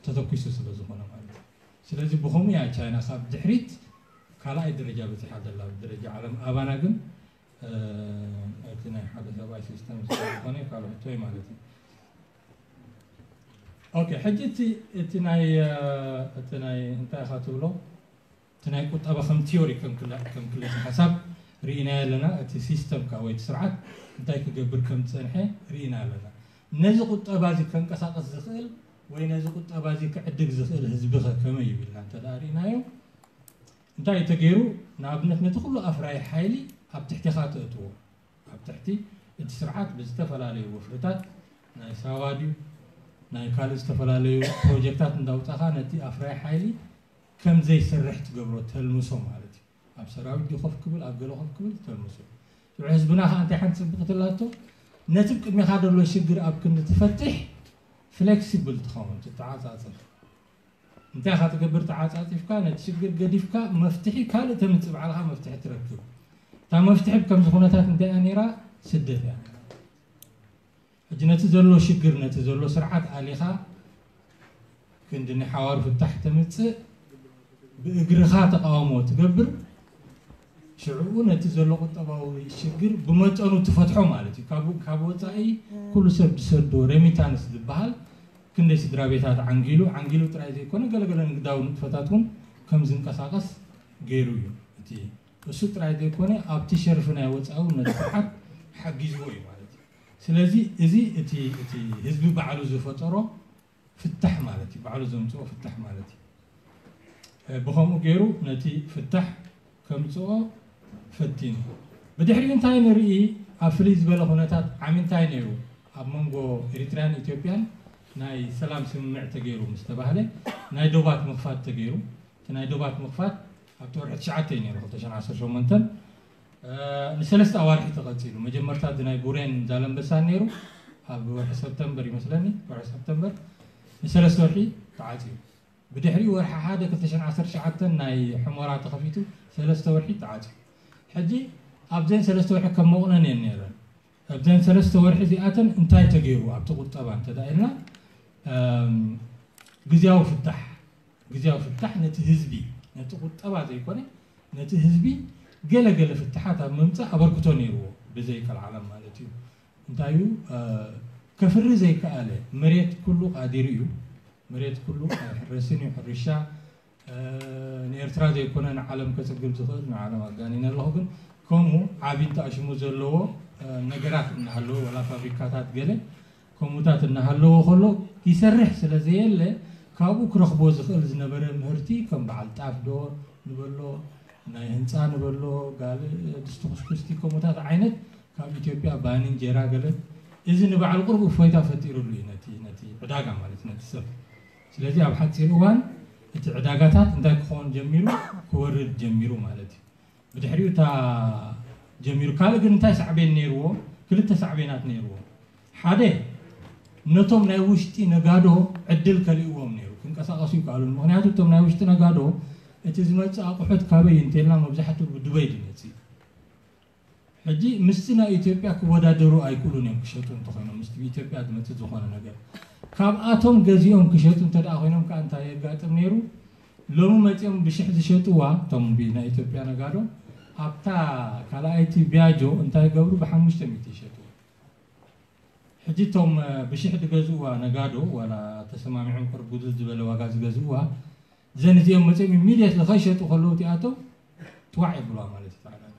ተተኩሱ ስለ ዝኾነ ማለት እዩ። ስለዚ ብኸምኡ እያ ቻይና ካብ ድሕሪት ካልኣይ ደረጃ በፂሓ ዘላ ብደረጃ ዓለም። ኣባና ግን እቲ ናይ ሓደ ሰብኣይ ሲስተም ዝኾነ ካልኦ ሕቶ እዩ ማለት እዩ። ኦኬ፣ ሕጂ እቲ ናይ እቲ ናይ እንታይ ኢኻ ትብሎ እቲ ናይ ቁጠባ ከም ቲዮሪ ከም ክለ ሓሳብ ርኢናዮ ኣለና። እቲ ሲስተም ካ ወይ እቲ ስርዓት እንታይ ክገብር ከም ዝፀንሐ ርኢና ኣለና። ነዚ ቁጠባ እዚ ከንቀሳቀስ ዝኽእል ወይ ነዚ ቁጠባ እዚ ክዕድግ ዝኽእል ህዝቢ ከ ከመይ ይብልና እንተ ደኣ ርኢናዮ እንታይ እዩ ተገይሩ? ንኣብነት ነቲ ኩሉ ኣፍራይ ሓይሊ ኣብ ትሕቲኻ ተእትዎ። ኣብ ትሕቲ እቲ ስርዓት ብዝተፈላለዩ ወፍርታት ናይ ሳዋ ድዩ ናይ ካልእ ዝተፈላለዩ ፕሮጀክታት እንዳውፃኻ ነቲ ኣፍራይ ሓይሊ ከም ዘይሰርሕ ትገብሮ፣ ተልምሶ ማለት እዩ። ኣብ ሰራዊት ድዩ ኮፍ ክብል ኣብ ገለ ኮፍ ክብል ተልምሶ። ሽዑ ህዝብና ከዓ እንታይ ሓንቲ ፅብቕቲ ኣላቶ? ነቲ ቅድሚኻ ዘሎ ሽግር ኣብ ክንዲ ትፈትሕ ፍሌክሲብል ትኸውን፣ ትተዓፃፀፍ። እንታይ ኢኻ ትገብር? ተዓፃፂፍካ ነቲ ሽግር ገዲፍካ መፍትሒ ካልእ ተምፅእ፣ ባዕልኻ መፍትሒ ትረክብ። እታ መፍትሒ ብከምዚ ኩነታት እንታይ እያ ነይራ? ስደት እያ። ሕጂ ነቲ ዘሎ ሽግር ነቲ ዘሎ ስርዓት ኣሊኻ ክንዲ ናይ ሓዋሩ ፍታሕ ተምፅእ ብእግርኻ ተቃውሞ ትገብር። ሽዕኡ ነቲ ዘሎ ቁጠባዊ ሽግር ብመጠኑ ትፈትሖ ማለት እዩ። ካብ ወፃኢ ኩሉ ሰብ ዝሰዶ ሬሚታንስ ዝበሃል ክንደይ ስድራ ቤታት ዓንጊሉ ዓንጊሉ ጥራይ ዘይኮነ ገለገለ ንግዳዊ ንጥፈታት እውን ከም ዝንቀሳቀስ ገይሩ እዩ። እቲ እሱ ጥራይ ዘይኮነ ኣብቲ ሸርፊ ናይ ወፃኢ እውን ነቲ ስርዓት ሓጊዝዎ እዩ ማለት እዩ። ስለዚ እዚ እቲ ህዝቢ ባዕሉ ዝፈጠሮ ፍታሕ ማለት እዩ። ባዕሉ ዘምፅኦ ፍታሕ ማለት እዩ። ብኸምኡ ገይሩ ነቲ ፍታሕ ከምፅኦ ፈቲኑ። ብድሕሪኡ እንታይ ንርኢ? ኣብ ፍልይ ዝበለ ኩነታት ዓሚ እንታይ ነይሩ? ኣብ መንጎ ኤሪትርያን ኢትዮጵያን ናይ ሰላም ስምምዕ ተገይሩ ምስ ተባህለ ናይ ዶባት ምኽፋት ተገይሩ። እቲ ናይ ዶባት ምኽፋት ኣብቲ ወርሒ ትሽዓተ እዩ ነይሩ ክልተ ሽሕን ዓሰርተ ሸሞንተን ንሰለስተ ኣዋርሒ ተቐፂሉ። መጀመርታ እቲ ናይ ቡሬን ዛለንበሳን ነይሩ። ኣብ ወርሒ ሰፕተምበር ይመስለኒ፣ ወርሒ ሰፕተምበር ንሰለስተ ወርሒ ተዓፅዩ። ብድሕሪኡ ወርሒ ሓደ ክልተ ሽሕን ዓሰርተ ትሽዓተን ናይ ሕሞራ ተኸፊቱ ሰለስተ ወርሒ ተዓፅዩ። ሕጂ ኣብዘን ሰለስተ ወርሒ ከም መቑነን እየን ነይረን። ኣብዘን ሰለስተ ወርሒ እዚኣተን እንታይ ተገይሩ ኣብቲ ቁጠባ እንተዳ ኢልና፣ እም፣ ግዝያዊ ፍታሕ፣ ግዝያዊ ፍታሕ ነቲ ህዝቢ፣ ነቲ ቁጠባ ዘይኮነ ነቲ ህዝቢ ገለ ገለ ፍትሓት ኣብ ምምፃእ ኣበርክቶ ነይርዎ፣ ብዘይ ቀልዓለም ማለት እዩ። እንታይ እዩ፣ እ፣ ከፍሪ ዘይከኣለ መሬት ኩሉ ቃዲሩ እዩ። መሬት ኩሉ ኣይሕረስን እዩ። ሕርሻ፣ እ፣ ንኤርትራ ዘይኮነ ንዓለም ከጽግብ ዝኽእል፣ ንዓለም ኣጋኒነ ኣለኹ፣ ግን ከምኡ ዓቢ እንተኣሽሙ ዘለዎ፣ እ፣ ነገራት እናሃለወ፣ ወላ ፋብሪካታት ገለ ከምኡታት እናሃለዎ ከሎ፣ ይሰርሕ ስለ ዘየለ፣ ካብኡ ክረኽቦ ዝኽእል ዝነበረ ምህርቲ ከም በዓል ጣፍ ዶ ንበሎ፣ ናይ ህንፃ ንበሎ፣ ጋል ድስቲ ኩስኩስቲ ከምኡታት ዓይነት ካብ ኢትዮጵያ ባኒ፣ እንጀራ ገለ፣ እዚ ንባዕሉ ቁሩብ እፎይታ ፈጢሩሉ እዩ ነቲ፣ ነቲ ዕዳጋ ማለት ነቲ ሰብ። ስለዚ ኣብ ሓፂር እዋን እቲ ዕዳጋታት እንታይ ክኸውን ጀሚሩ? ክወርድ ጀሚሩ ማለት እዩ። ብድሕሪኡ እታ ጀሚሩ። ካልእ ግን እንታይ ሳዕቤን ነይርዎ? ክልተ ሳዕቤናት ነይርዎ። ሓደ፣ ነቶም ናይ ውሽጢ ነጋዶ ዕድል ከሊእዎም ነይሩ። ክንቀሳቐሱ ይከኣሉን። ምኽንያቱ እቶም ናይ ውሽጢ ነጋዶ እቲ ዝመጽእ ኣቑሑት ካበይ እንተልና መብዛሕትኡ ብዱበይ ዝመጽእ። ሕጂ ምስቲ ናይ ኢትዮጵያ ክወዳደሩ ኣይክእሉን እዮም ክሸጡ እንተኾይኖም፣ ምስቲ ብኢትዮጵያ ዝመጽእ ዝኾነ ነገር። ካብኣቶም ገዚኦም ክሸጡ እንተ ደኣ ኮይኖም ከኣ እንታይ የጋጥም ነይሩ? ሎሚ መጺኦም ብሽሕ ዝሸጥዋ፣ እቶም ብ-፣ ናይ ኢትዮጵያ ነጋዶ፣ ኣብታ ካልኣይቲ ቢያጆ እንታይ ይገብሩ? ብሓሙሽተ ሚእቲ ይሸጥዋ። ሕጂ እቶም፣ እ፣ ብሽሕ ዝገዝእዋ ነጋዶ፣ ዋላ ተሰማሚዖም ቅርብ ጉድል ዝበለ ዋጋ ዝገዝእዋ፣ ዘን እዚኦም መጺኦም ኢሚድየትሊ ከይሸጡ ከለዉ እቲኣቶም ትዋዕ የብልዋ ማለት እዩ። ተዓዳዳኢ።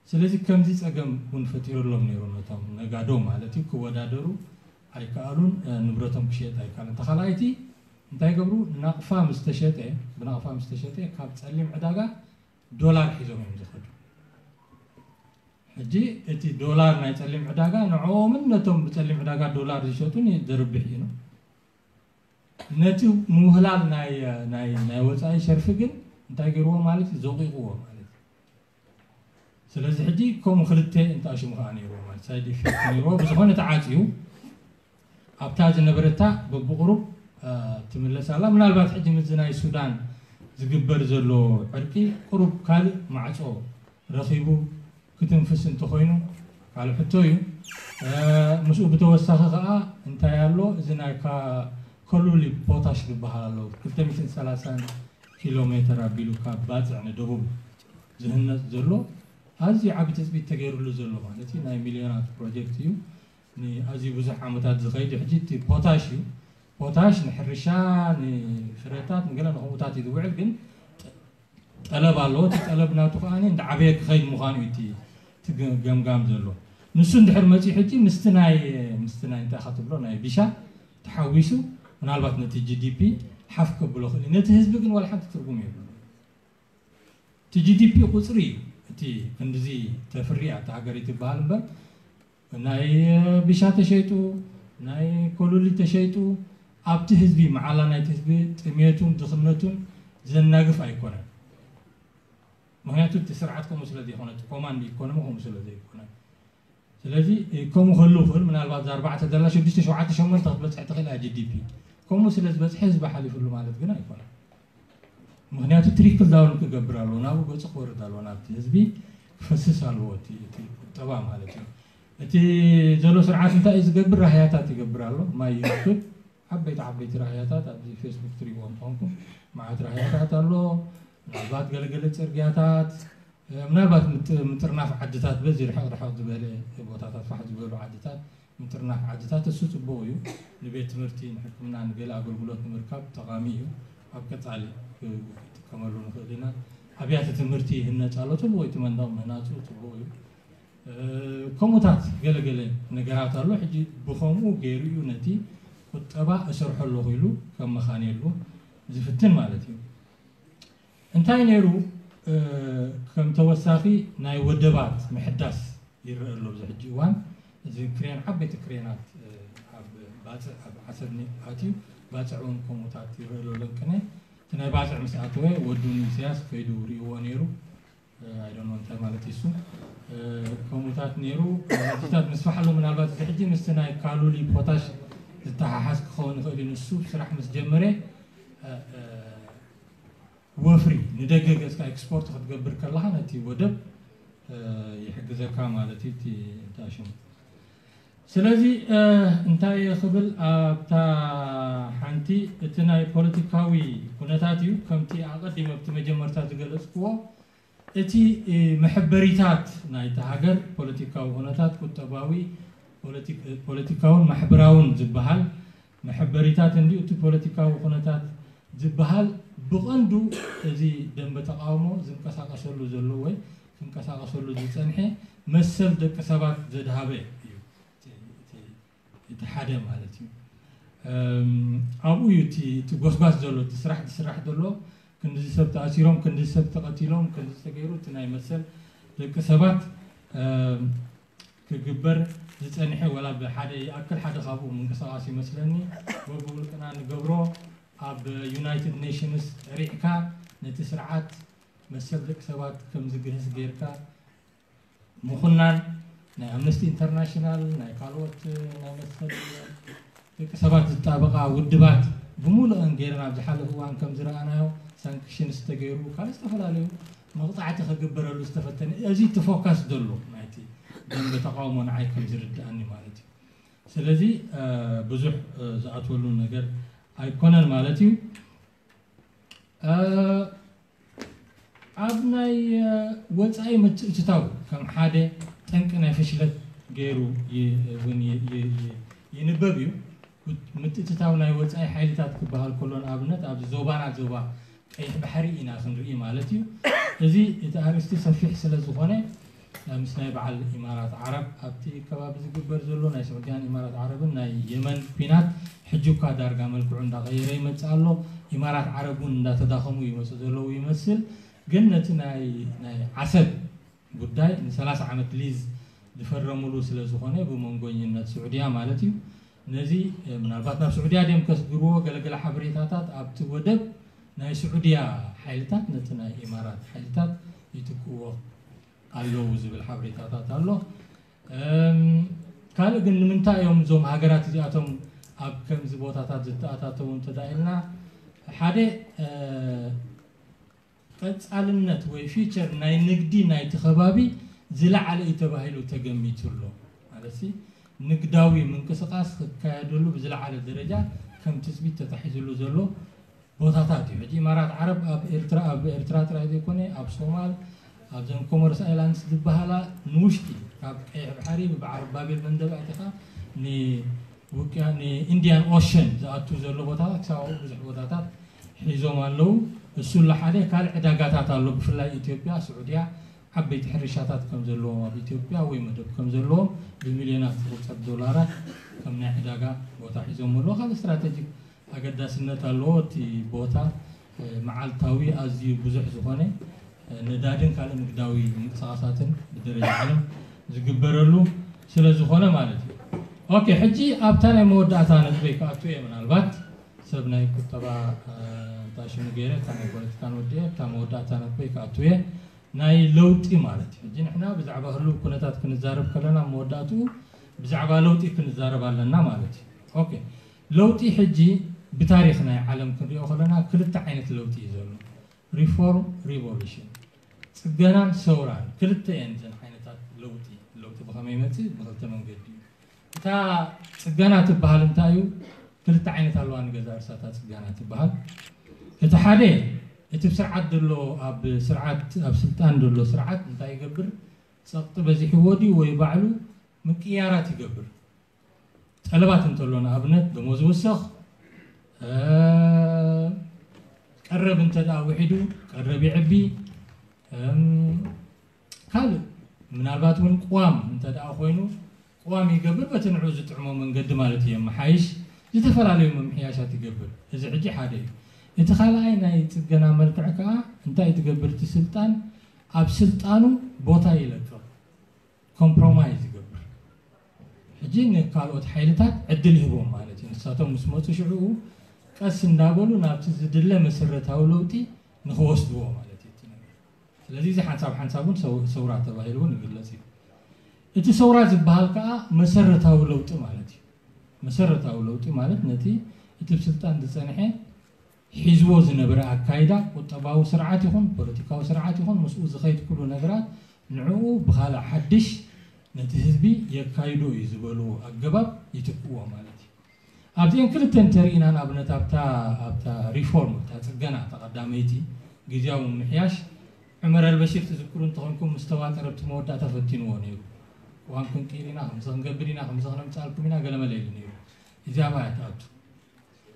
ስለዚ ከምዚ ጸገም እውን ፈጢሩሎም ነይሩ ነቶም ነጋዶ ማለት እዩ፣ ክወዳደሩ ኣይከኣሉን፣ እ፣ ንብረቶም ክሸጥ ኣይከኣሉን። ተኻልኣይቲ እንታይ ገብሩ? ናቕፋ ምስ ተሸጠ፣ ብናቕፋ ምስ ተሸጠ ካብ ጸሊም ዕዳጋ ዶላር ሒዞም እዮም ዝኸዱ። ሕጂ እቲ ዶላር ናይ ጸሊም ዕዳጋ ንዕኦምን ነቶም ብጸሊም ዕዳጋ ዶላር ዝሸጡን ዘርብሕ እዩ። ነቲ ምውህላል ናይ፣ ናይ፣ ናይ ወጻኢ ሸርፊ ግን እንታይ ገይርዎ ማለት እዩ? ዘቂቕዎ ማለት እዩ። ስለዚ ሕጂ ከምኡ ክልተ እንተኣሽሙ ከኣ ነይርዎ ማለት ሳይድ ኢፌክት ነይርዎ። ብዝኾነ ተዓጽዩ ኣብታ ዝነበረታ በብቁሩብ፣ እ፣ ትምለስ ኣላ። ምናልባት ሕጂ ምስዚ ናይ ሱዳን ዝግበር ዘሎ ዕርቂ ቁሩብ ካልእ ማዕጾ ረኺቡ ክትንፍስ እንተኾይኑ ካልእ ሕቶ እዩ። እ፣ ምስኡ ብተወሳኺ ከኣ እንታይ ኣሎ? እዚ ናይ ካ-፣ ኮሉሊ ፖታሽ ዝበሃል ኣሎ። ክልተ ሚእትን ሰላሳን ኪሎ ሜትር ኣቢሉ ካብ ባጽዕ ንደቡብ ዝህነጽ ዘሎ ኣዝዩ ዓቢ ትጽቢት ተገይሩሉ ዘሎ ማለት እዩ። ናይ ሚልዮናት ፕሮጀክት እዩ። ንኣዝዩ ብዙሕ ዓመታት ዝኸይድ እዩ። ሕጂ እቲ ፖታሽ እዩ። ፖታሽ ንሕርሻ፣ ንፍረታት፣ ንገለ ንኸምኡታት እዩ ዝውዕል፣ ግን ጠ-፣ ጠለብ ኣለዎ። እቲ ጠለብ ናቱ ከኣ እንዳዓበየ ክኸይድ ምዃኑ እዩ እቲ፣ እቲ ገ-፣ ገምጋም ዘሎ። ንሱ እንድሕር መጺኡ ሕጂ ምስቲ ናይ፣ ምስቲ ናይ እንታይ ኢኻ ትብሎ ናይ ቢሻ ተሓዊሱ ምናልባት ነቲ ጂ ዲ ፒ ሓፍ ከብሎ ክእል እዩ። ነቲ ህዝቢ ግን ዋላ ሓንቲ ትርጉም የብሉ። እቲ ጂ ዲ ፒ ቁጽሪ እዩ። እቲ ክንድዚ ተፍሪ እያ እታ ሃገር ትበሃል እምበር፣ ናይ ቢሻ ተሸይጡ፣ ናይ ኮሉሊ ተሸይጡ፣ ኣብቲ ህዝቢ፣ መዓላ ናይቲ ህዝቢ ጥሜቱን ድኽነቱን ዘናግፍ ኣይኮነን። ምኽንያቱ እቲ ስርዓት ከምኡ ስለ ዘይኮነ፣ እቲ ኮማንድ ኢኮኖሚ ከምኡ ስለ ዘይኮነ። ስለዚ፣ እ፣ ከምኡ ክህሉ ይኽእል፣ ምናልባት እዛ ኣርባዕተ ዘላ ሽዱሽተ፣ ሸውዓተ፣ ሸሞንተ ክትበጽሕ ትኽእል እያ ጂ ዲ ፒ። ከምኡ ስለ ዝበጽሐ ህዝቢ ሓሊፉሉ ማለት ግን ኣይኮነን። ምኽንያቱ ትሪክል ዳውን ክገብር ኣለዎ፣ ናብኡ ገጹ ክወርድ ኣለዎ፣ ናብቲ ህዝቢ ክፈስስ ኣለዎ እቲ፣ እቲ ቁጠባ ማለት እዩ። እቲ ዘሎ ስርዓት እንታይ እዩ ዝገብር? ራህያታት ይገብር ኣሎ፣ ማይ ይረክብ፣ ዓበይቲ ዓበይቲ ራህያታት ኣብዚ ፌስቡክ ትሪእዎም ተኾንኩም፣ መዓት ራህያታት ኣሎ። ምናልባት ገለገለ ጽርግያታት፣ እ፣ ምናልባት ምጥ-፣ ምጥርናፍ ዓድታት በዚ ርሕቕ ርሕቕ ዝበለ ቦታታት ፋሕ ዝበሉ ዓድታት ምጥርናፍ ዓድታት እሱ ጽቡቕ እዩ። ንቤት ትምህርቲ፣ ንሕክምና፣ ንገለ ኣገልግሎት ንምርካብ ጠቓሚ እዩ። ኣብ ቀጻሊ ክ-፣ ክጥቀመሉ ንኽእል ኢና። ኣብያተ ትምህርቲ ይህነጽ ኣሎ፣ ጽቡቕ እዩ። እቲ መንደቕ ምህናጹ ጽቡቕ እዩ። እ፣ ከምኡታት ገለገለ ነገራት ኣሎ። ሕጂ ብኸምኡ ገይሩ እዩ ነቲ ቁጠባ እሰርሖ ኣለኹ ኢሉ ከመኻንየሉ ዝፍትን ማለት እዩ። እንታይ ነይሩ? እ፣ ከም ተወሳኺ ናይ ወደባት ምሕዳስ ይረአ ኣሎ ኣብዚ ሕጂ እዋን። እዚ ክሬን፣ ዓበይቲ ክሬናት፣ እ፣ ኣብ ባጽዕ፣ ኣብ ዓሰብ ኒ-፣ ኣትዩ፣ ባጽዕ እውን ከምኡታት ይረአ ኣሎ። ለንቅነ እቲ ናይ ባጽዕ ምስ ኣተወ ወዱ ንኢሳያስ ከይዱ ርእይዎ ነይሩ። እ፣ I don't know እንታይ ማለት እዩ እሱ። ከምኡታት ነይሩ። ሕጂታት ምስፋሕ ኣሎ። ምናልባት እዚ ሕጂ ምስቲ ናይ ካሉሊ ፖታሽ ዝተሓሓዝ ክኸውን ይኽእል እዩ። ንሱ ስራሕ ምስ ጀመረ ወፍሪ ንደገ ገጽካ ኤክስፖርት ክትገብር ከለኻ ነቲ ወደብ ይሕግዘካ ማለት እዩ። እቲ ሽሙ ስለዚ እንታይ ክብል ኣብታ ሓንቲ እቲ ናይ ፖለቲካዊ ኩነታት እዩ። ከምቲ ኣቐዲመ ኣብቲ መጀመርታ ዝገለጽክዎ እቲ መሕበሪታት ናይቲ ሃገር ፖለቲካዊ ኩነታት፣ ቁጠባዊ፣ ፖለቲካውን ማሕበራውን ዝበሃል መሕበሪታት እንዲዩ። እቲ ፖለቲካዊ ኩነታት ዝበሃል ብቐንዱ እዚ ደንበ ተቃውሞ ዝንቀሳቀሰሉ ዘሎ ወይ ዝንቀሳቀሰሉ ዝጸንሐ መሰል ደቂ ሰባት ዘድሃበ እዩ። እቲ ሓደ ማለት እዩ። ኣብኡ እዩ እቲ ጎስጓስ ዘሎ፣ እቲ ስራሕ ዝስራሕ ዘሎ። ክንዲ ሰብ ተኣሲሮም፣ ክንዲ ሰብ ተቐቲሎም፣ ክንዲ ዝተገይሩ እቲ ናይ መሰል ደቂ ሰባት ክግበር ዝጸንሐ፣ ወላ ብሓደ ይኣክል ሓደ ካብኡ ምንቅስቃስ ይመስለኒ። በብውልቅና ንገብሮ ኣብ ዩናይትድ ኔሽንስ ጠሪዕካ ነቲ ስርዓት መሰል ደቂ ሰባት ከም ዝግህስ ጌርካ ምኹናን ናይ ኣምነስቲ ኢንተርናሽናል፣ ናይ ካልኦት ናይ መሰል ደቂ ሰባት ዝጣበቓ ውድባት ብምሉእን ጌርና ኣብ ዝሓለፈ እዋን ከም ዝረኣናዮ ሳንክሽንስ ተገይሩ ካልእ ዝተፈላለዩ መቕፃዕቲ ክግበረሉ ዝተፈተነ እዚ ትፎካስ ዘሎ ናይቲ ደንበ ተቃውሞ ንዓይ ከም ዝርድኣኒ ማለት እዩ። ስለዚ ብዙሕ ዝኣትወሉ ነገር ኣይኮነን ማለት እዩ። ኣብ ናይ ወፃኢ ምትእትታው ከም ሓደ ጠንቂ ናይ ፍሽለት ገይሩ እውን ይንበብ እዩ። ምትእትታው ናይ ወፃኢ ሓይልታት ክበሃል ከሎ ንኣብነት ኣብዚ ዞባና ዞባ ቀይሕ ባሕሪ ኢና ክንርኢ ማለት እዩ። እዚ እቲ ኣርእስቲ ሰፊሕ ስለ ዝኾነ ምስ ናይ በዓል ኢማራት ዓረብ ኣብቲ ከባቢ ዝግበር ዘሎ ናይ ስዑድያን ኢማራት ዓረብን ናይ የመን ኲናት ሕጂ እኳ ዳርጋ መልክዑ እንዳቐየረ ይመጽእ ኣሎ። ኢማራት ዓረብ እውን እንዳተዳኸሙ ይመጹ ዘለዉ ይመስል። ግን ነቲ ናይ ናይ ዓሰብ ጉዳይ ን30 ዓመት ሊዝ ዝፈረሙሉ ስለ ዝኾነ ብመንጎኝነት ስዑድያ ማለት እዩ። ነዚ ምናልባት ናብ ስዑድያ ድዮም ከስግርዎ ገለገለ ሓበሬታታት ኣብቲ ወደብ ናይ ስዑድያ ሓይልታት ነቲ ናይ ኢማራት ሓይልታት ይትክእዎ ኣለዉ ዝብል ሓበሬታታት ኣሎ። ካልእ ግን ንምንታይ እዮም እዞም ሃገራት እዚኣቶም ኣብ ከምዚ ቦታታት ዝተኣታተዉ እንተዳ ኢልና ሓደ ቀጻልነት ወይ ፊቸር ናይ ንግዲ ናይቲ ከባቢ ዝለዓለ እዩ ተባሂሉ ተገሚቱ ኣሎ። ማለት ንግዳዊ ምንቅስቃስ ክካየደሉ ብዝለዓለ ደረጃ ከም ትጽቢት ተታሒዝሉ ዘሎ ቦታታት እዩ። ሕጂ ኢማራት ዓረብ ኣብ ኤርትራ ኣብ ኤርትራ ጥራይ ዘይኮነ ኣብ ሶማል ኣብዘን ኮሞርስ ኣይላንድስ ዝበሃላ ንውሽጢ ካብ ቀይሕ ባሕሪ ብባሕሪ ባቤል መንደብ ኣቲኻ ንውቅያ ንኢንዲያን ኦሸን ዝኣቱ ዘሎ ቦታታት ክሳብ ኣብኡ ብዙሕ ቦታታት ሒዞም ኣለዉ። እሱ ለሓደ ካልእ ዕዳጋታት ኣሎ። ብፍላይ ኢትዮጵያ፣ ስዑድያ ዓበይቲ ሕርሻታት ከም ዘለዎም ኣብ ኢትዮጵያ ወይ መደብ ከም ዘለዎም ብሚልዮናት ዝቑጸር ዶላራት ከም ናይ ዕዳጋ ቦታ ሒዞም ኣለዉ። ካልእ ስትራቴጂክ ኣገዳስነት ኣለዎ። እቲ ቦታ መዓልታዊ ኣዝዩ ብዙሕ ዝኾነ ነዳድን ካልእ ንግዳዊ ምንቅስቃሳትን ብደረጃ ዓለም ዝግበረሉ ስለ ዝኾነ ማለት እዩ። ኦኬ፣ ሕጂ ኣብታ ናይ መወዳእታ ነጥበይ ክኣቱ እየ። ምናልባት ሰብ ናይ ቁጠባ እንታይ ሽሙ ገይረ እታ ናይ ፖለቲካ ንወድእ እየ። እታ መወዳእታ ነጥበይ ክኣቱ እየ። ናይ ለውጢ ማለት እዩ። ሕጂ ንሕና ብዛዕባ ህሉው ኩነታት ክንዛረብ ከለና መወዳእትኡ ብዛዕባ ለውጢ ክንዛረብ ኣለና ማለት እዩ። ኦኬ፣ ለውጢ ሕጂ ብታሪኽ ናይ ዓለም ክንሪኦ ከለና ክልተ ዓይነት ለውጢ እዩ ዘሎ። ሪፎርም፣ ሪቮሉሽን፣ ጽገናን ሰውራን ክልተ እየን እዘን ዓይነታት ለውጢ። ለውጢ ብኸመይ ይመጽእ? ብክልተ መንገዲ እዩ። እታ ጽገና ትበሃል እንታይ እዩ? ክልተ ዓይነት ኣለዋ ንገዛ ርእሳታ ጽገና ትበሃል። እቲ ሓደ እቲ ብስርዓት ዘሎ ኣብ ስርዓት ኣብ ስልጣን ዘሎ ስርዓት እንታይ ይገብር? ጸቕጢ በዚሕዎ ድዩ ወይ ባዕሉ ምቅያራት ይገብር? ጠለባት እንተሎ ንኣብነት ደሞዝ ይውሰኽ፣ ቀረብ እንተ ደኣ ውሒዱ ቀረብ ይዕቢ፣ ካልእ ምናልባት እውን ቅዋም እንተ ደኣ ኮይኑ ቅዋም ይገብር፣ በቲ ንዑ ዝጥዕሞ መንገዲ ማለት እዩ የመሓይሽ፣ ዝተፈላለዩ ምምሕያሻት ይገብር። እዚ ሕጂ ሓደ እዩ። እቲ ካልኣይ ናይ ጽገና መልክዕ ከኣ እንታይ ትገብር? እቲ ስልጣን ኣብ ስልጣኑ ቦታ ይለቅቕ፣ ኮምፕሮማይዝ ይገብር። ሕጂ ንካልኦት ሓይልታት ዕድል ይህቦም ማለት እዩ። ንሳቶም ምስ መፁ ሽዕኡ ቀስ እንዳበሉ ናብቲ ዝድለ መሰረታዊ ለውጢ ንክወስድዎ ማለት እዩ እቲ ነገር። ስለዚ እዚ ሓንሳብ ሓንሳብ እውን ሰው- ሰውራ ተባሂሉ እውን ይግለጽ እዩ። እቲ ሰውራ ዝበሃል ከዓ መሰረታዊ ለውጢ ማለት እዩ። መሰረታዊ ለውጢ ማለት ነቲ እቲ ብስልጣን ዝጸንሐ ሒዝዎ ዝነበረ ኣካይዳ፣ ቁጠባዊ ስርዓት ይኹን ፖለቲካዊ ስርዓት ይኹን ምስኡ ዝኸይድ ኩሉ ነገራት ንዕኡ ብኻልእ ሓድሽ ነቲ ህዝቢ የካይዶ እዩ ዝበልዎ ኣገባብ ይትክእዎ ማለት እዩ። ኣብዚአን ክልተ እንተርኢና ንኣብነት ኣብታ ኣብታ ሪፎርም እታ ጽገና እታ ቀዳመይቲ ግዜያዊ ምምሕያሽ ዑመር ኣልበሽር ትዝክሩ እንተኾንኩም ምስ ተዋጠረ ኣብቲ መወዳእታ ፈቲንዎ ነይሩ። እዋን ክንቅይር ኢና ከምዚ ክንገብር ኢና ከምዚ ክነምጻልኩም ኢና ገለመለ ኢሉ ነይሩ። እዚኣ ኣብኣ እያ ትኣቱ።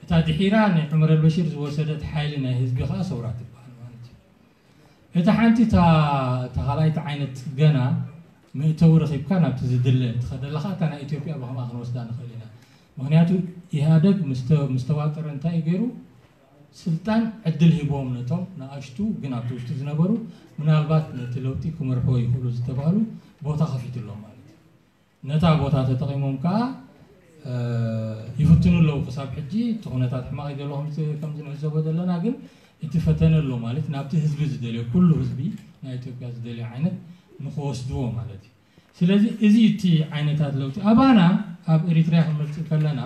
እታ ድሒራ ንዑመር ኣልበሽር ዝወሰደት ሓይሊ ናይ ህዝቢ ከዓ ሰውራ ትበሃል ማለት እዩ። እታ ሓንቲ እታ እታ ካልኣይቲ ዓይነት ጽገና መእተዊ ረኺብካ ናብቲ ዝድለ ትኸደላ ከዓ እታ ናይ ኢትዮጵያ ብኸምኣ ክንወስዳ ንኽእል ኢና። ምክንያቱ ኢህኣደግ ምስ ተ- ምስ ተዋጠረ እንታይ እዩ ገይሩ? ስልጣን ዕድል ሂብዎም ነቶም ንኣሽቱ ግን ኣብቲ ውሽጢ ዝነበሩ ምናልባት ነቲ ለውጢ ክመርሕዎ ይኽእሉ ዝተባህሉ ቦታ ከፊትሎም ማለት እዩ። ነታ ቦታ ተጠቒሞም ከዓ ይፍትኑ ኣለዉ። ክሳብ ሕጂ እቲ ኩነታት ሕማቕ እዩ ዘሎ ከምዚ ንዕዘቦ ዘለና፣ ግን እቲ ፈተነ ኣሎ ማለት ናብቲ ህዝቢ ዝደልዮ ኩሉ ህዝቢ ናይ ኢትዮጵያ ዝደልዮ ዓይነት ንክወስድዎ ማለት እዩ። ስለዚ እዚ እቲ ዓይነታት ለውጢ ኣባና ኣብ ኤሪትሪያ ክንመፅእ ከለና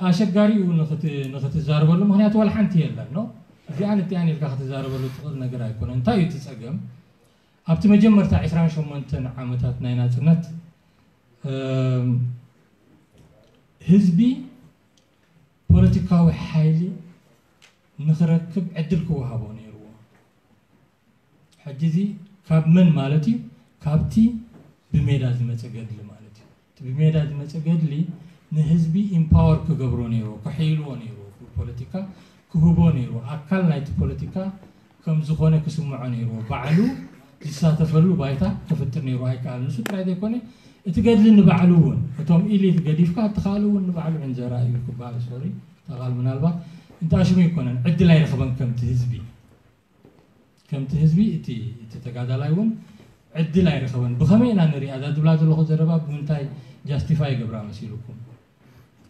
ኣሸጋሪኡ ንክትዛረበሉ ምክንያቱ ዋላ ሓንቲ የለን ነው። እዚኣን እቲኣን ኢልካ ክትዛረበሉ ትኽእል ነገር ኣይኮነን። እንታይ እዩ እቲ ፀገም? ኣብቲ መጀመርታ ዕስራን ሸሞንተን ዓመታት ናይ ናፅነት ህዝቢ ፖለቲካዊ ሓይሊ ንክረክብ ዕድል ክወሃቦ ነይርዎ። ሕጂ እዚ ካብ መን ማለት እዩ? ካብቲ ብሜዳ ዝመፀ ገድሊ ማለት እዩ። እቲ ብሜዳ ዝመፀ ገድሊ ንህዝቢ ኢምፓወር ክገብሮ ነይርዎ፣ ክሕይልዎ ነይርዎ፣ ብፖለቲካ ክህቦ ነይርዎ፣ ኣካል ናይቲ ፖለቲካ ከም ዝኾነ ክስምዖ ነይርዎ፣ ባዕሉ ዝሳተፈሉ ባይታ ክፍጥር ነይርዎ። ኣይከኣል። ንሱ ጥራይ ዘይኮነ እቲ ገድሊ ንባዕሉ እውን እቶም ኢሊት ገዲፍካ እቲ ካልእ እውን ንባዕሉ ዕንጀራ እዩ ክበሃል ሶሪ ተቓል ምናልባት እንተኣሽሙ ኣይኮነን ዕድል ኣይረኸበን ከምቲ ህዝቢ ከምቲ ህዝቢ እቲ እቲ ተጋዳላይ እውን ዕድል ኣይረኸበን። ብኸመይ ኢና ንሪኣ እዛ ዝብላ ዘለኹ ዘረባ ብምንታይ ጃስቲፋይ ይገብራ መሲልኩም?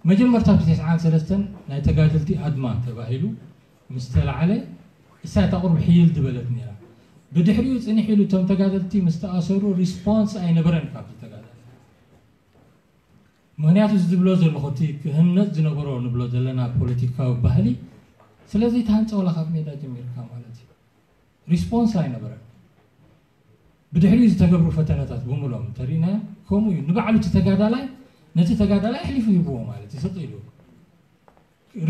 መጀመርታ ብ ተስዓን ሰለስተን ናይ ተጋደልቲ ኣድማ ተባሂሉ ምስ ተላዕለ እሳ እታ ቁርብ ሕይል ዝበለት ነይራ። ብድሕሪኡ ፅንሕ ኢሉ እቶም ተጋደልቲ ምስ ተኣሰሩ ሪስፖንስ ኣይነበረን ካብቲ ተጋዳላይ። ምክንያቱ እዚ ዝብሎ ዘለኹ እቲ ክህነፅ ዝነበሮ ንብሎ ዘለና ፖለቲካዊ ባህሊ ስለዘይተሃንፀ ዋላ ካብ ሜዳ ጀሚርካ ማለት እዩ ሪስፖንስ ኣይነበረን። ብድሕሪኡ ዝተገብሩ ፈተነታት ብምሎም እንተሪእናዮም ከምኡ እዩ። ንባዕሉ እቲ ተጋዳላይ ነቲ ተጋዳላይ ኣሕሊፉ ሂብዎ ማለት እዩ። ስቕ ኢሉ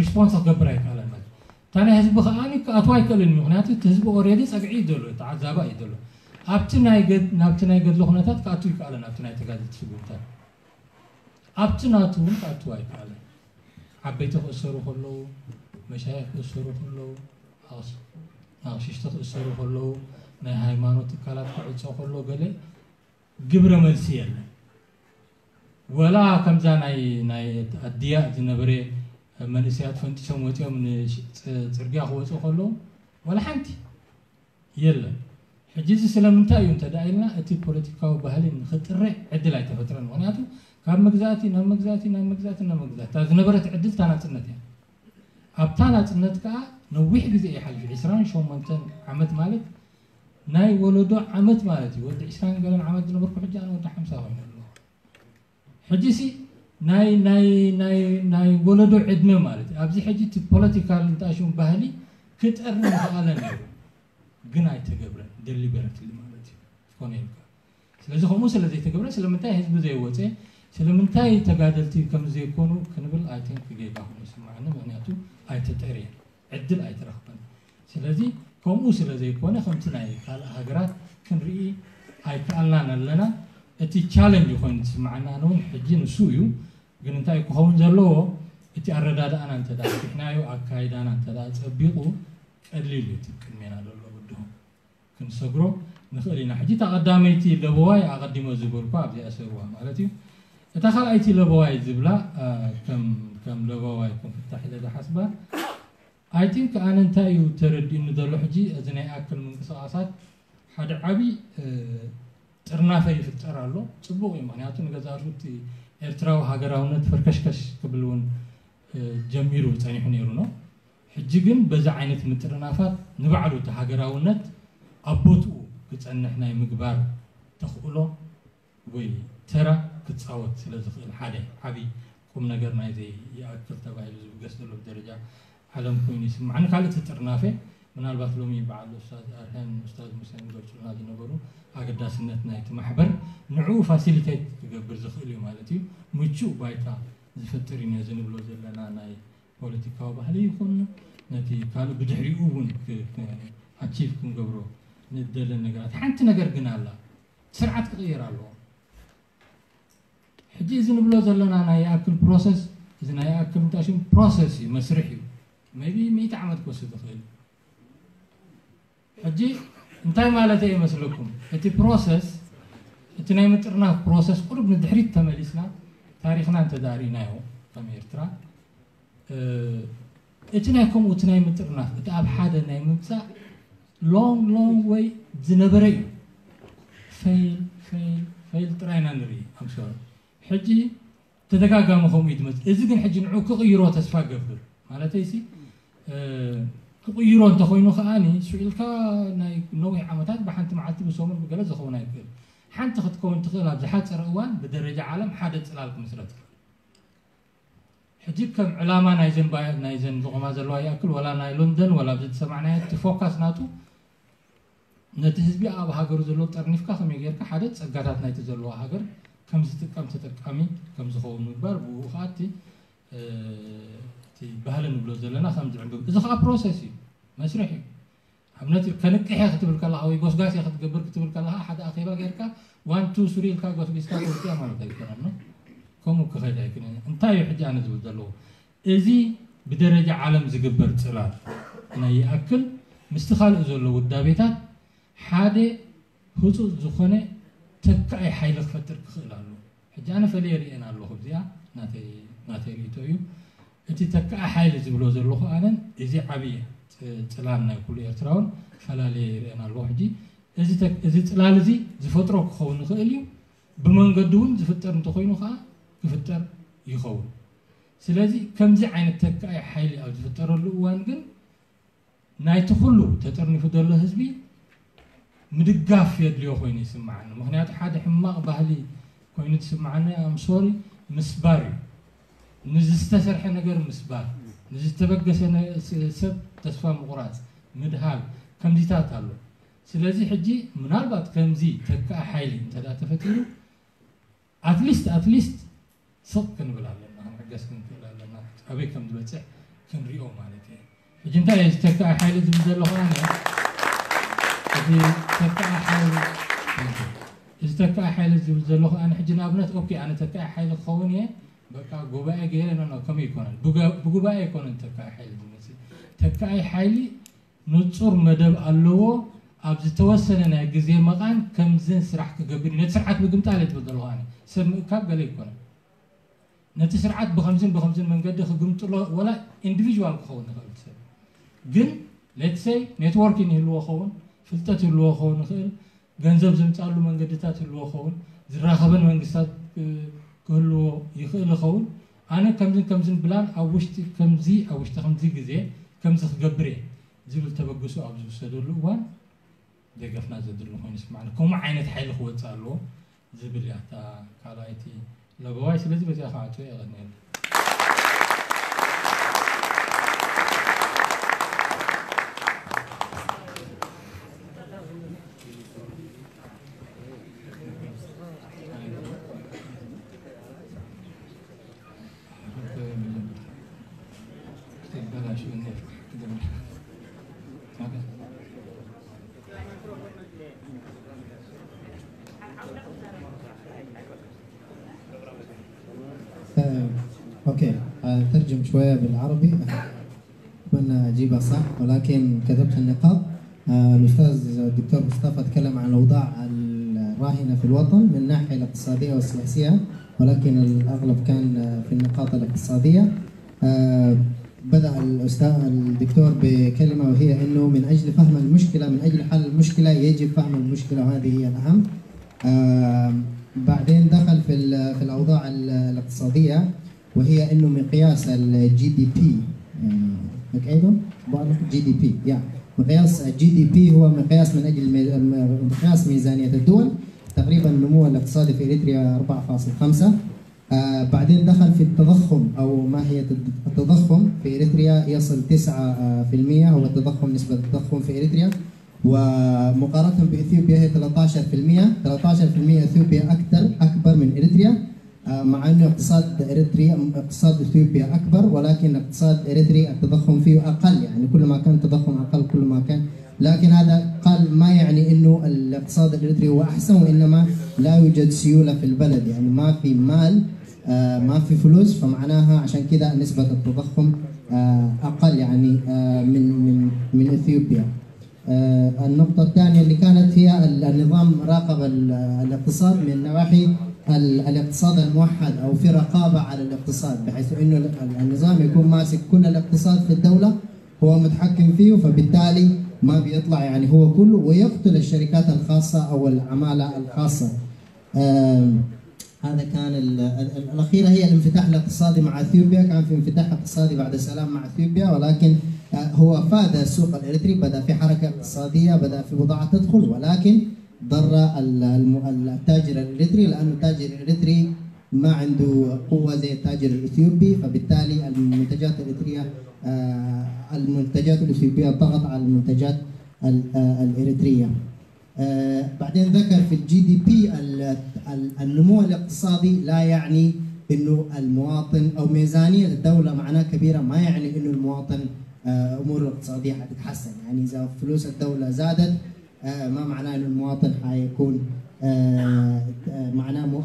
ሪስፖንስ ክገብር ኣይከኣለን ማለት እዩ። እታ ናይ ህዝቢ ከኣ ክኣትዋ ኣይክእልን እዩ። ምክንያቱ እቲ ህዝቢ ኦሬዲ ፀግዒ እዩ ዘሎ፣ ተዓዛባ እዩ ዘሎ። ኣብቲ ናይ ገድ ናብቲ ናይ ገድሊ ኩነታት ክኣትው ይከኣለን ኣብቲ ናይ ተጋደልቲ ስጉምታት ኣብቲ ናቱ እውን ክኣትው ኣይከኣለን። ዓበይቲ ክእሰሩ ከለዉ፣ መሻይኽ ክእሰሩ ከለዉ፣ ኣቕሽሽቲ ክእሰሩ ከለዉ፣ ናይ ሃይማኖት ትካላት ክዕፆ ከሎ ገለ ግብረ መልሲ የለን። ወላ ከምዛ ናይ ናይ ኣድያ ዝነበረ መንእሰያት ፈንጢሶም ወፂኦም ንፅርግያ ክወፁ ከለዉ ወላ ሓንቲ የለን። ሕጂ እዚ ስለምንታይ እዩ እንተ ኢልና እቲ ፖለቲካዊ ባህሊ ንክጥረ ዕድል ኣይተፈጥረን። ምክንያቱ ካብ መግዛእቲ ናብ መግዛእቲ ናብ መግዛእቲ ናብ መግዛእቲ እታ ዝነበረት ዕድል እታ ናፅነት እያ። ኣብታ ናፅነት ከዓ ነዊሕ ግዜ ይሓልፍ። ዕስራን ሸሞንተን ዓመት ማለት ናይ ወለዶ ዓመት ማለት እዩ። ወዲ ዕስራን ገለን ዓመት ዝነበርኩ ሕጂ ኣነ ወዲ ሓምሳ ኮይኑ ኣለኹ። ሕጂ ሲ ናይ ናይ ናይ ናይ ወለዶ ዕድመ ማለት እዩ። ኣብዚ ሕጂ እቲ ፖለቲካል እንተኣሽሙ ባህሊ ክጠርኒ ምኽኣለ ነይሩ፣ ግን ኣይተገብረን። ደሊበረትሊ ማለት እዩ ትኾነ ኢልካ። ስለዚ ከምኡ ስለ ዘይተገብረ ስለምንታይ ህዝቢ ዘይወፀ ስለምንታይ ተጋደልቲ ከም ዘይኮኑ ክንብል ኣይቲንክ ጌጋ ኮይኑ ይስማዓኒ። ምክንያቱ ኣይተጠርየን። ዕድል ኣይትረኽበን። ስለዚ ከምኡ ስለ ዘይኮነ ከምቲ ናይ ካልእ ሃገራት ክንርኢ ኣይከኣልናን ኣለና። እቲ ቻለንጅ ኮይኑ ዝስምዓና ኣነ እውን ሕጂ ንሱ እዩ። ግን እንታይ ክኸውን ዘለዎ እቲ ኣረዳድኣና እንተ ደኣ ኣስፊሕናዮ ኣካይዳና እንተ ደኣ ጸቢቑ ቀሊል እዩ እቲ ቅድሜና ዘሎ ብድሆ ክንሰግሮ ንኽእል ኢና። ሕጂ እታ ቀዳመይቲ ለበዋይ ኣቐዲሞ ዝበልኳ ኣብዚኣ ሰሩዋ ማለት እዩ። እታ ካልኣይቲ ለበዋይ ዝብላ ከም ለበዋይ ከም ፍታሕ ኢለ ዝሓስባ ኣይ ቲንክ ኣነ እንታይ እዩ ተረዲኡኒ ዘሎ ሕጂ እዚ ናይ ኣክል ምንቅስቃሳት ሓደ ዓብዪ ጥርናፈ ይፍጠር ኣሎ። ፅቡቕ እዩ። ምክንያቱ ንገዛእቱ እቲ ኤርትራዊ ሃገራውነት ፈርከሽከሽ ክብል እውን ጀሚሩ ፀኒሑ ነይሩ ነው። ሕጂ ግን በዚ ዓይነት ምጥርናፋት ንባዕሉ እቲ ሃገራውነት ኣብ ቦትኡ ክጸንሕ ናይ ምግባር ተኽእሎ ወይ ተራ ክጻወት ስለ ዝኽእል፣ ሓደ ዓቢ ቁም ነገር ናይዚ ይኣክል ተባሂሉ ዝብገስ ዘሎ ብደረጃ ዓለም ኮይኑ ይስምዓኒ። ካልእ እቲ ጥርናፈ ምናልባት ሎሚ በዓል ኡስታዝ ኣርሀን ኡስታዝ ሙሴን ዝገልጹልና ዝነበሩ ኣገዳስነት ናይቲ ማሕበር ንዕኡ ፋሲሊቴት ክገብር ዝኽእል እዩ ማለት እዩ። ምቹእ ባይታ ዝፈጥር እዩ ነዚ ንብሎ ዘለና ናይ ፖለቲካዊ ባህሊ ይኹን ነቲ ካልእ ብድሕሪኡ እውን ኣቺቭ ክንገብሮ ንደለን ነገራት። ሓንቲ ነገር ግን ኣላ፣ ስርዓት ክቕየር ኣለዎ። ሕጂ እዚ ንብሎ ዘለና ናይ ይኣክል ፕሮሰስ፣ እዚ ናይ ይኣክል እንታይ ሽም ፕሮሰስ እዩ፣ መስርሕ እዩ። ሜቢ ሚእቲ ዓመት ክወስድ ይኽእል። ሕጂ እንታይ ማለት እየ ይመስለኩም? እቲ ፕሮሰስ፣ እቲ ናይ ምጥርናፍ ፕሮሰስ ቁሩብ ንድሕሪት ተመሊስና ታሪኽና እንተ ዳኣ ርኢናዮ ከም ኤርትራ፣ እ፣ እቲ ናይ ከምኡ እቲ ናይ ምጥርናፍ፣ እቲ ኣብ ሓደ ናይ ምምጻእ ሎንግ ሎንግ ወይ ዝነበረ እዩ። ፌል ፌል ፌል ጥራይ ኢና ንርኢ። ኣምሶሪ ሕጂ ተደጋጋሚ ከምኡ እዩ ዝመጽእ። እዚ ግን ሕጂ ንዑ ክቕይሮ ተስፋ ገብር ማለተይ ሲ፣ እ፣ ክቕይሮ እንተኾይኑ ከኣኒ ስኢልካ ናይ ነዊሕ ዓመታት ብሓንቲ መዓልቲ ብሰሙን ብገለ ዝኸውን ኣይክእል። ሓንቲ ክትከውን ትኽእል ኣብ ዝሓጸረ እዋን ብደረጃ ዓለም ሓደ ጽላል ክምስረት ይኽእል። ሕጂ ከም ዕላማ ናይዘን ባያ-፣ ናይዘን ዝቆማ ዘለዋ ይኣክል፣ ወላ ናይ ሎንደን፣ ወላ ኣብዚ ዝሰማዕናዮ፣ እቲ ፎካስ ናቱ ነቲ ህዝቢ ኣብ ሃገሩ ዘሎ ጠርኒፍካ ከመይ ጌርካ ሓደ ጸጋታት ናይቲ ዘለዋ ሃገር ከም ዝጥቀም ተጠቃሚ ከም ዝኸውን ምግባር፣ ብኡ ኸኣ እቲ፣ እ፣ እቲ ባህሊ ንብሎ ዘለና ከም ዝዕንብብ። እዚ ኸኣ ፕሮሰስ እዩ፣ መስርሕ እዩ። ኣብነት ከንቅሕ እየ ክትብል ከለኻ ወይ ጎስጋስ እየ ክትገብር ክትብል ከለኻ ሓደ ኣኼባ ጌርካ ዋን ቱ ስሪ ኢልካ ጎስጊስካ ተውፅያ ማለት ኣይኮነን። ከምኡ ክኸይድ ኣይክእልን። እንታይ እዩ ሕጂ ኣነ ዝብል ዘለዎ? እዚ ብደረጃ ዓለም ዝግበር ጽላል ናይ ይኣክል ምስቲ ካልእ ዘሎ ውዳቤታት ሓደ ህጹጽ ዝኾነ ተካኢ ሓይሊ ክፈጥር ክኽእል ኣለዎ። ሕጂ ኣነ ፈልየ ርእየን ኣለኹ። እዚኣ ናተይ፣ ናተይ ርእይቶ እዩ። እቲ ተካኢ ሓይሊ ዝብሎ ዘለኹ ኣነን እዚ ዓብዪ ጽ-፣ ጽላል ናይ ኩሉ ኤርትራውን ፈላለየ ይርእየን ኣለኹ። ሕጂ እዚ ተ-፣ እዚ ጽላል እዚ ዝፈጥሮ ክኸውን ይኽእል እዩ። ብመንገዲ እውን ዝፍጠር እንተኾይኑ ከኣ ክፍጠር ይኸውን። ስለዚ ከምዚ ዓይነት ተካኢ ሓይሊ ኣብ ዝፍጠረሉ እዋን ግን ናይቲ ኩሉ ተጠርኒፉ ዘሎ ህዝቢ ምድጋፍ የድልዮ ኮይኑ ይስምዓኒ። ምኽንያቱ ሓደ ሕማቕ ባህሊ ኮይኑ ዝስምዓኒ፣ ኣምሶሪ፣ ምስባር እዩ። ንዝተሰርሐ ነገር ምስባር፣ ንዝተበገሰ ነ-፣ ስ-፣ ሰብ ተስፋ ምቑራጽ፣ ምድሃል፣ ከምዚታት ኣሎ። ስለዚ ሕጂ ምናልባት ከምዚ ተካኢ ሓይሊ እንተ ደኣ ተፈጢሩ፣ ኣትሊስት፣ ኣትሊስት ስቕ ክንብል ኣለና፣ ክንዕገስ ክንክእል ኣለና። ኣበይ ከም ዝበጽሕ ክንሪኦ ማለት እየ። ሕጂ እንታይ እየ ዝተካእ ሓይሊ ዝብል ዘለኹ ኣነ? እቲ ተካእ ሓይሊ፣ እዚ ተካእ ሓይሊ ዝብል ዘለኹ ኣነ ሕጂ ንኣብነት፣ ኦኬ፣ ኣነ ተካእ ሓይሊ ክኸውን እየ፣ በቃ ጉባኤ ገይረ፣ ኖ፣ ኖ፣ ከምኡ ኣይኮነን። ብገ-፣ ብጉባኤ ኣይኮነን ተካእ ሓይሊ ዝመጽእ። ተካእ ሓይሊ ንጹር መደብ ኣለዎ። ኣብ ዝተወሰነ ናይ ግዜ መቓን ከምዝን ስራሕ ክገብር እዩ። ነቲ ስርዓት ምግምጣል እየ ዝብል ዘለኹ ኣነ። ሰብ ምእካብ ገለ ኣይኮነን። ነቲ ስርዓት ብኸምዝን ብኸምዝን መንገዲ ክግምጥሎ፣ ወላ ኢንዲቪዥዋል ክኸውን ይኽእል እቲ ሰብ። ግን ሌትስ ሰይ ኔትወርኪንግ ይህልዎ ኸውን፣ ፍልጠት ይህልዎ ኸውን ይኽእል፣ ገንዘብ ዝምጻሉ መንገድታት ይህልዎ ኸውን፣ ዝራኸበን መንግስታት፣ እ፣ ክህልዎ ይኽእል ይኸውን። ኣነ ከምዝን ከምዝን ብላን ኣብ ውሽጢ ከምዚ፣ ኣብ ውሽጢ ከምዚ ግዜ ከምዚ ክገብር እየ ዝብል ተበግሶ ኣብ ዝውሰደሉ እዋን ደገፍና ዘድሊ ኮይኑ ይስማዕኒ። ከምኡ ዓይነት ሓይሊ ክወጽእ ኣለዎ ዝብል እያ እታ ካልኣይቲ ለበዋይ። ስለዚ በዚኣ ክዓጽዎ እየ። የቐንየለይ። آه، أوكي، آه، ترجم شوية بالعربي. أتمنى أجيبها صح، ولكن كتبت النقاط. آه، الأستاذ الدكتور مصطفى تكلم عن الأوضاع الراهنة في الوطن من الناحية الاقتصادية والسياسية، ولكن الأغلب كان، آه، في النقاط الاقتصادية. آه، بدأ الأستاذ الدكتور بكلمة، وهي إنه من أجل فهم المشكلة، من أجل حل المشكلة يجب فهم المشكلة، وهذه هي الأهم. آه، بعدين دخل في ال-، في الأوضاع ال-، الاقتصادية، وهي إنه مقياس ال G D P، آه، مقيده؟ بعرف G D P، يا. مقياس ال G D P هو مقياس من أجل مي- مقياس ميزانية الدول. تقريبا النمو الاقتصادي في إريتريا أربعة فاصل خمسة. آه، بعدين دخل في التضخم، أو ما هي التضخم في إريتريا يصل تسعة في المية، هو التضخم، نسبة التضخم في إريتريا، ومقارنة بإثيوبيا هي ثلاثة عشر في المية. ثلاثة عشر في المية إثيوبيا أكثر، أكبر من إريتريا، آه، مع أنه اقتصاد إريتريا، اقتصاد إثيوبيا أكبر، ولكن اقتصاد إريتريا التضخم فيه أقل. يعني كل ما كان التضخم أقل، كل ما كان، لكن هذا قال ما يعني أنه الاقتصاد الإريتري هو أحسن، وإنما لا يوجد سيولة في البلد، يعني ما في مال، آه، ما في فلوس، فمعناها عشان كده نسبة التضخم، آه، أقل، يعني، آه، من من من إثيوبيا. آه، النقطة الثانية اللي كانت هي ال- النظام راقب ال- الاقتصاد من نواحي ال- الاقتصاد الموحد، أو في رقابة على الاقتصاد، بحيث إنه ال- ال- النظام يكون ماسك كل الاقتصاد في الدولة، هو متحكم فيه، فبالتالي ما بيطلع يعني هو كله، ويقتل الشركات الخاصة أو العمالة الخاصة. آم، هذا كان ال- ال- ال- الأخيرة هي الانفتاح الاقتصادي مع أثيوبيا. كان في انفتاح اقتصادي بعد السلام مع أثيوبيا، ولكن، آه، هو فاد السوق الإريتري، بدأ في حركة اقتصادية، بدأ في بضاعة تدخل، ولكن ضر ال- الم- ال- التاجر الإريتري، لأنه التاجر الإريتري ما عنده قوة زي التاجر الإثيوبي، فبالتالي المنتجات الإريترية، آه، المنتجات الإثيوبية طغت على المنتجات ال- آه، الإريترية. آه، بعدين ذكر في ال G D P ال- ال- النمو الاقتصادي لا يعني إنه المواطن أو ميزانية الدولة معناها كبيرة، ما يعني إنه المواطن، آه، أموره الاقتصادية حتتحسن. يعني إذا فلوس الدولة زادت، آه، ما معناه إنه المواطن حيكون، آه، آه، معناه مو-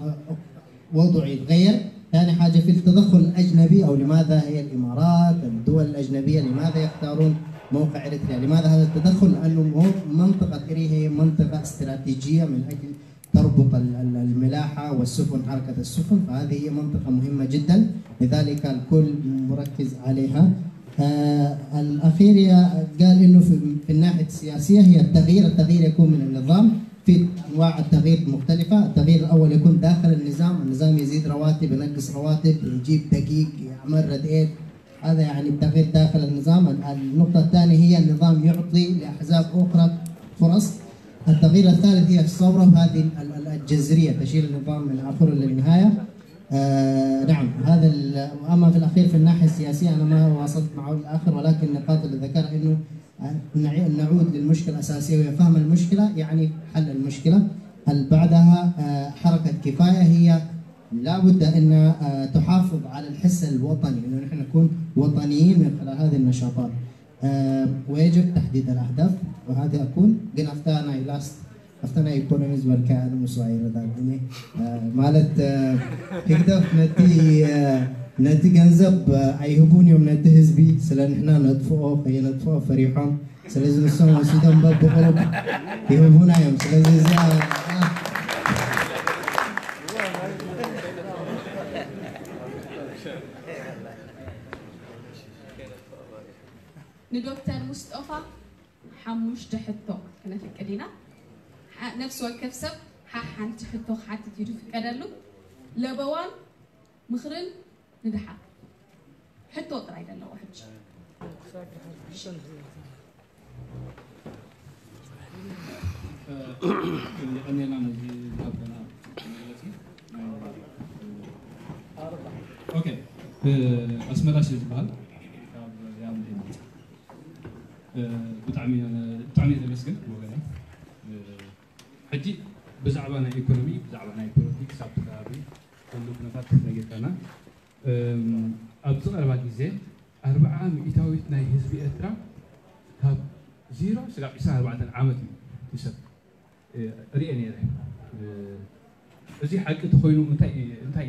وضعه يتغير. ثاني حاجة في التدخل الأجنبي، أو لماذا هي الإمارات، الدول الأجنبية، لماذا يختارون موقع إريتريا؟ لماذا هذا التدخل؟ لأنه مو- منطقة إري هي منطقة استراتيجية من أجل تربط ال- ال- الملاحة والسفن، حركة السفن، فهذه هي منطقة مهمة جدا، لذلك الكل مركز عليها. آه، الأخير يا- قال إنه في في الناحية السياسية هي التغيير، التغيير يكون من النظام، في أنواع التغيير مختلفة. التغيير الأول يكون داخل النظام، النظام يزيد رواتب، ينقص رواتب، يجيب دقيق، يعمل رديت، هذا يعني التغيير داخل النظام. النقطة الثانية هي النظام يعطي لأحزاب أخرى فرص. التغيير الثالث هي الثورة، وهذه ال- ال- الجذرية تشيل النظام من آخره للنهاية. آه نعم، هذا ال- أما في الأخير في الناحية السياسية أنا ما واصلت معه الآخر، ولكن النقاط اللي ذكرها إنه نعي- نعود للمشكلة الأساسية، وهي فهم المشكلة يعني حل المشكلة. بعدها، آه، حركة كفاية هي لا بد أن، آه، تحافظ على الحس الوطني، إنه نحن نكون وطنيين من خلال هذه النشاطات. آه، ويجب تحديد الأهداف، وهذا أكون قلنا أفتانا إلاست أفتانا إيكونوميز والكيان مسوعي رداقني. آه، ማለት، آه، ህግደፍ ነቲ፣ آه، ነቲ ገንዘብ፣ آه، ኣይህቡን እዮም ነቲ ህዝቢ፣ ስለ ንሕና ነጥፍኦ፣ ከየነጥፍኦ ፈሪሖም። ስለዚ ንሶም ወሲዶም በብቕሩብ ይህቡና እዮም። ስለዚ እዚኣ ንዶክተር ሙስጦፋ ሓሙሽተ ሕቶ ክነፍቅድ ኢና። ሓ- ነፍሲ ወከፍ ሰብ ሓ ሓንቲ ሕቶ ክሓትት እዩ ዝፍቀደሉ። ለበዋን ምኽርን ንድሓር ሕቶ ጥራይ ዘለዎ ሕጂ። የቐንየልና ነዚ ዝሃብከና መግለፂ። ኦኬ፣ ኣስመላሽ ዝበሃል ካብ ያምል መፅእ። ብጣዕሚ ብጣዕሚ ዘመስግን ወገና። ሕጂ ብዛዕባ ናይ ኢኮኖሚ፣ ብዛዕባ ናይ ፖለቲክስ ኣብቲ ከባቢ ዘሎ ኩነታት ነጊርካና። ኣብዚ ቀረባ ግዜ ኣርብዓ ሚእታዊት ናይ ህዝቢ ኤርትራ ካብ ዜሮ ስጋብ ዕስራን ኣርባዕተን ዓመት እዩ ይሰብ ርእየ ነይረ። እዚ ሓቂ ተኾይኑ እንታይ እንታይ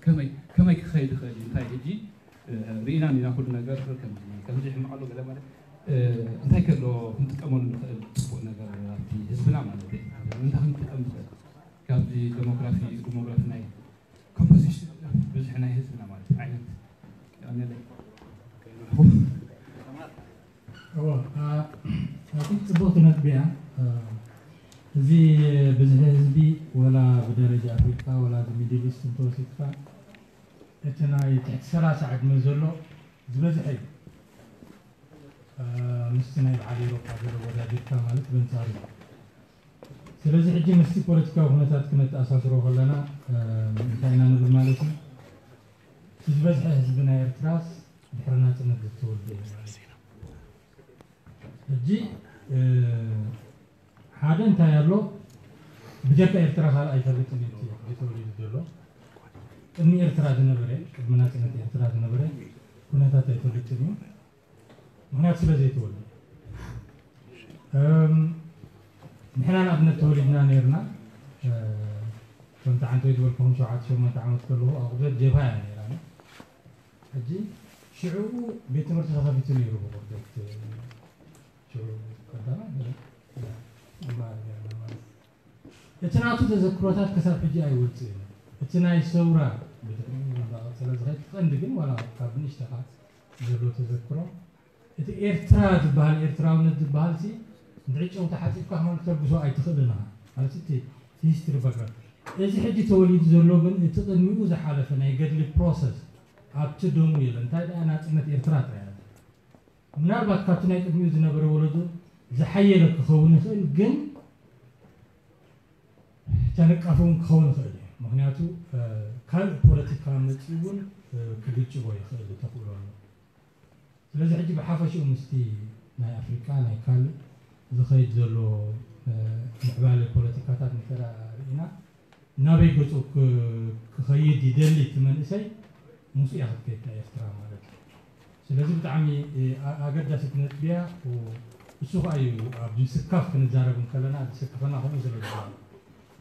ከመይ ከመይ ክኸይድ ይኽእል እዩ? እንታይ ሕጂ ርኢና ኢና ኩሉ ነገር ከምዚ ከምዚ ሕማቕ ኣሎ ገለ ማለት እንታይ ከሎ ክንጥቀመሉ ንኽእል ጽቡቕ ነገር ኣብቲ ህዝብና ማለት እዩ። እንታይ ክንጥቀም ንኽእል ካብዚ ዴሞግራፊ ዲሞግራፊ ናይ ኮምፖዚሽን ብዙሕ ናይ ህዝብና ማለት ዓይነት ኣነለ እዎ ኣቲ ጽቡቕቲ ነጥቢ እያ። እዚ ብዝሒ ህዝቢ ወላ ብደረጃ ኣፍሪቃ ወላ ብሚድል ኢስት እንተወሲድካ እቲ ናይ ትሕቲ ሰላሳ ዕድመ ዘሎ ዝበዝሐ እዩ። ምስቲ ናይ በዓል ኤውሮጳ ዘሎ ወዳዲርካ ማለት በንጻሩ እዩ። ስለዚ ሕጂ ምስቲ ፖለቲካዊ ኩነታት ክነተኣሳስሮ ከለና እንታይ ኢና ንብል ማለት እዩ? እቲ ዝበዝሐ ህዝቢ ናይ ኤርትራስ ድሕሪ ናጽነት ዝተወልደ እዩ ማለት እዩ። ሕጂ ሓደ እንታይ ኣሎ? ብጀካ ኤርትራ ካልእ ኣይፈልጥን እዩ እቲ ተወሊዱ ዘሎ። ቅድሚ ኤርትራ ዝነበረ፣ ቅድሚ ናጽነት ኤርትራ ዝነበረ ኩነታት ኣይፈልጥን እዩ። ምክንያቱ ስለ ዘይተወልደ። ንሕና ንኣብነት ተወሊድና ነርና። ከምቲ ዓንተይ ዝበልኩኹም ሸውዓተ ሸሞንተ ዓመት ከለኹ ኣቑደት ጀብሃ እያ ነይራ። ሕጂ ሽዑ ቤት ትምህርቲ ተኸፊቱ ነይሩ ብቑርደት ሽዑ ቀዳማ ንማሃር ነርና ማለት እዩ። እቲ ናቱ ተዘክሮታት ክሳብ ሕጂ ኣይወፅእን። እቲ ናይ ሰውራ ብድሕሪኡ እንዳቐፀለ ዝኸይድ ቀንዲ ግን ዋላ ካብ ንእሽተኻ ዘሎ ተዘክሮ እቲ ኤርትራ ዝበሃል ኤርትራውነት ዝበሃል ሲ እንድዒ ጨው ተሓፂብካ ከማን ክተልግሶ ኣይትኽእልን ኢኻ ማለት እቲ ሂስትሪ ባክግራውንድ እዚ ሕጂ ተወሊዱ ዘሎ ግን እቲ ቅድሚኡ ዝሓለፈ ናይ ገድሊ ፕሮሰስ ኣብቲ ደሙ የለ እንታይ ደኣ ናፅነት ኤርትራ ጥራይ ምናልባት ካብቲ ናይ ቅድሚኡ ዝነበረ ወለዶ ዝሓየለ ክኸውን ይኽእል ግን ተነቃፊ እውን ክኸውን ይኽእል እዩ። ምክንያቱ ካልእ ፖለቲካ መፂኡ እውን ክግጭቦ ይኽእል ተኽእሎ ኣሎ። ስለዚ ሕጂ ብሓፈሽኡ ምስቲ ናይ ኣፍሪቃ ናይ ካልእ ዝኸይድ ዘሎ ምዕባለ ፖለቲካታት እንተ ርኢና ናበይ ገፁ ክኸይድ ይደሊ እቲ መንእሰይ ምስኡ እያ ክትከይድ ኤርትራ ማለት እዩ። ስለዚ ብጣዕሚ ኣገዳሲት ነጥቢ እያ። እሱ ከዓ እዩ ኣብ ምስካፍ ክንዛረብ እንከለና ዝስክፈና ከምኡ ስለ ዝበሃል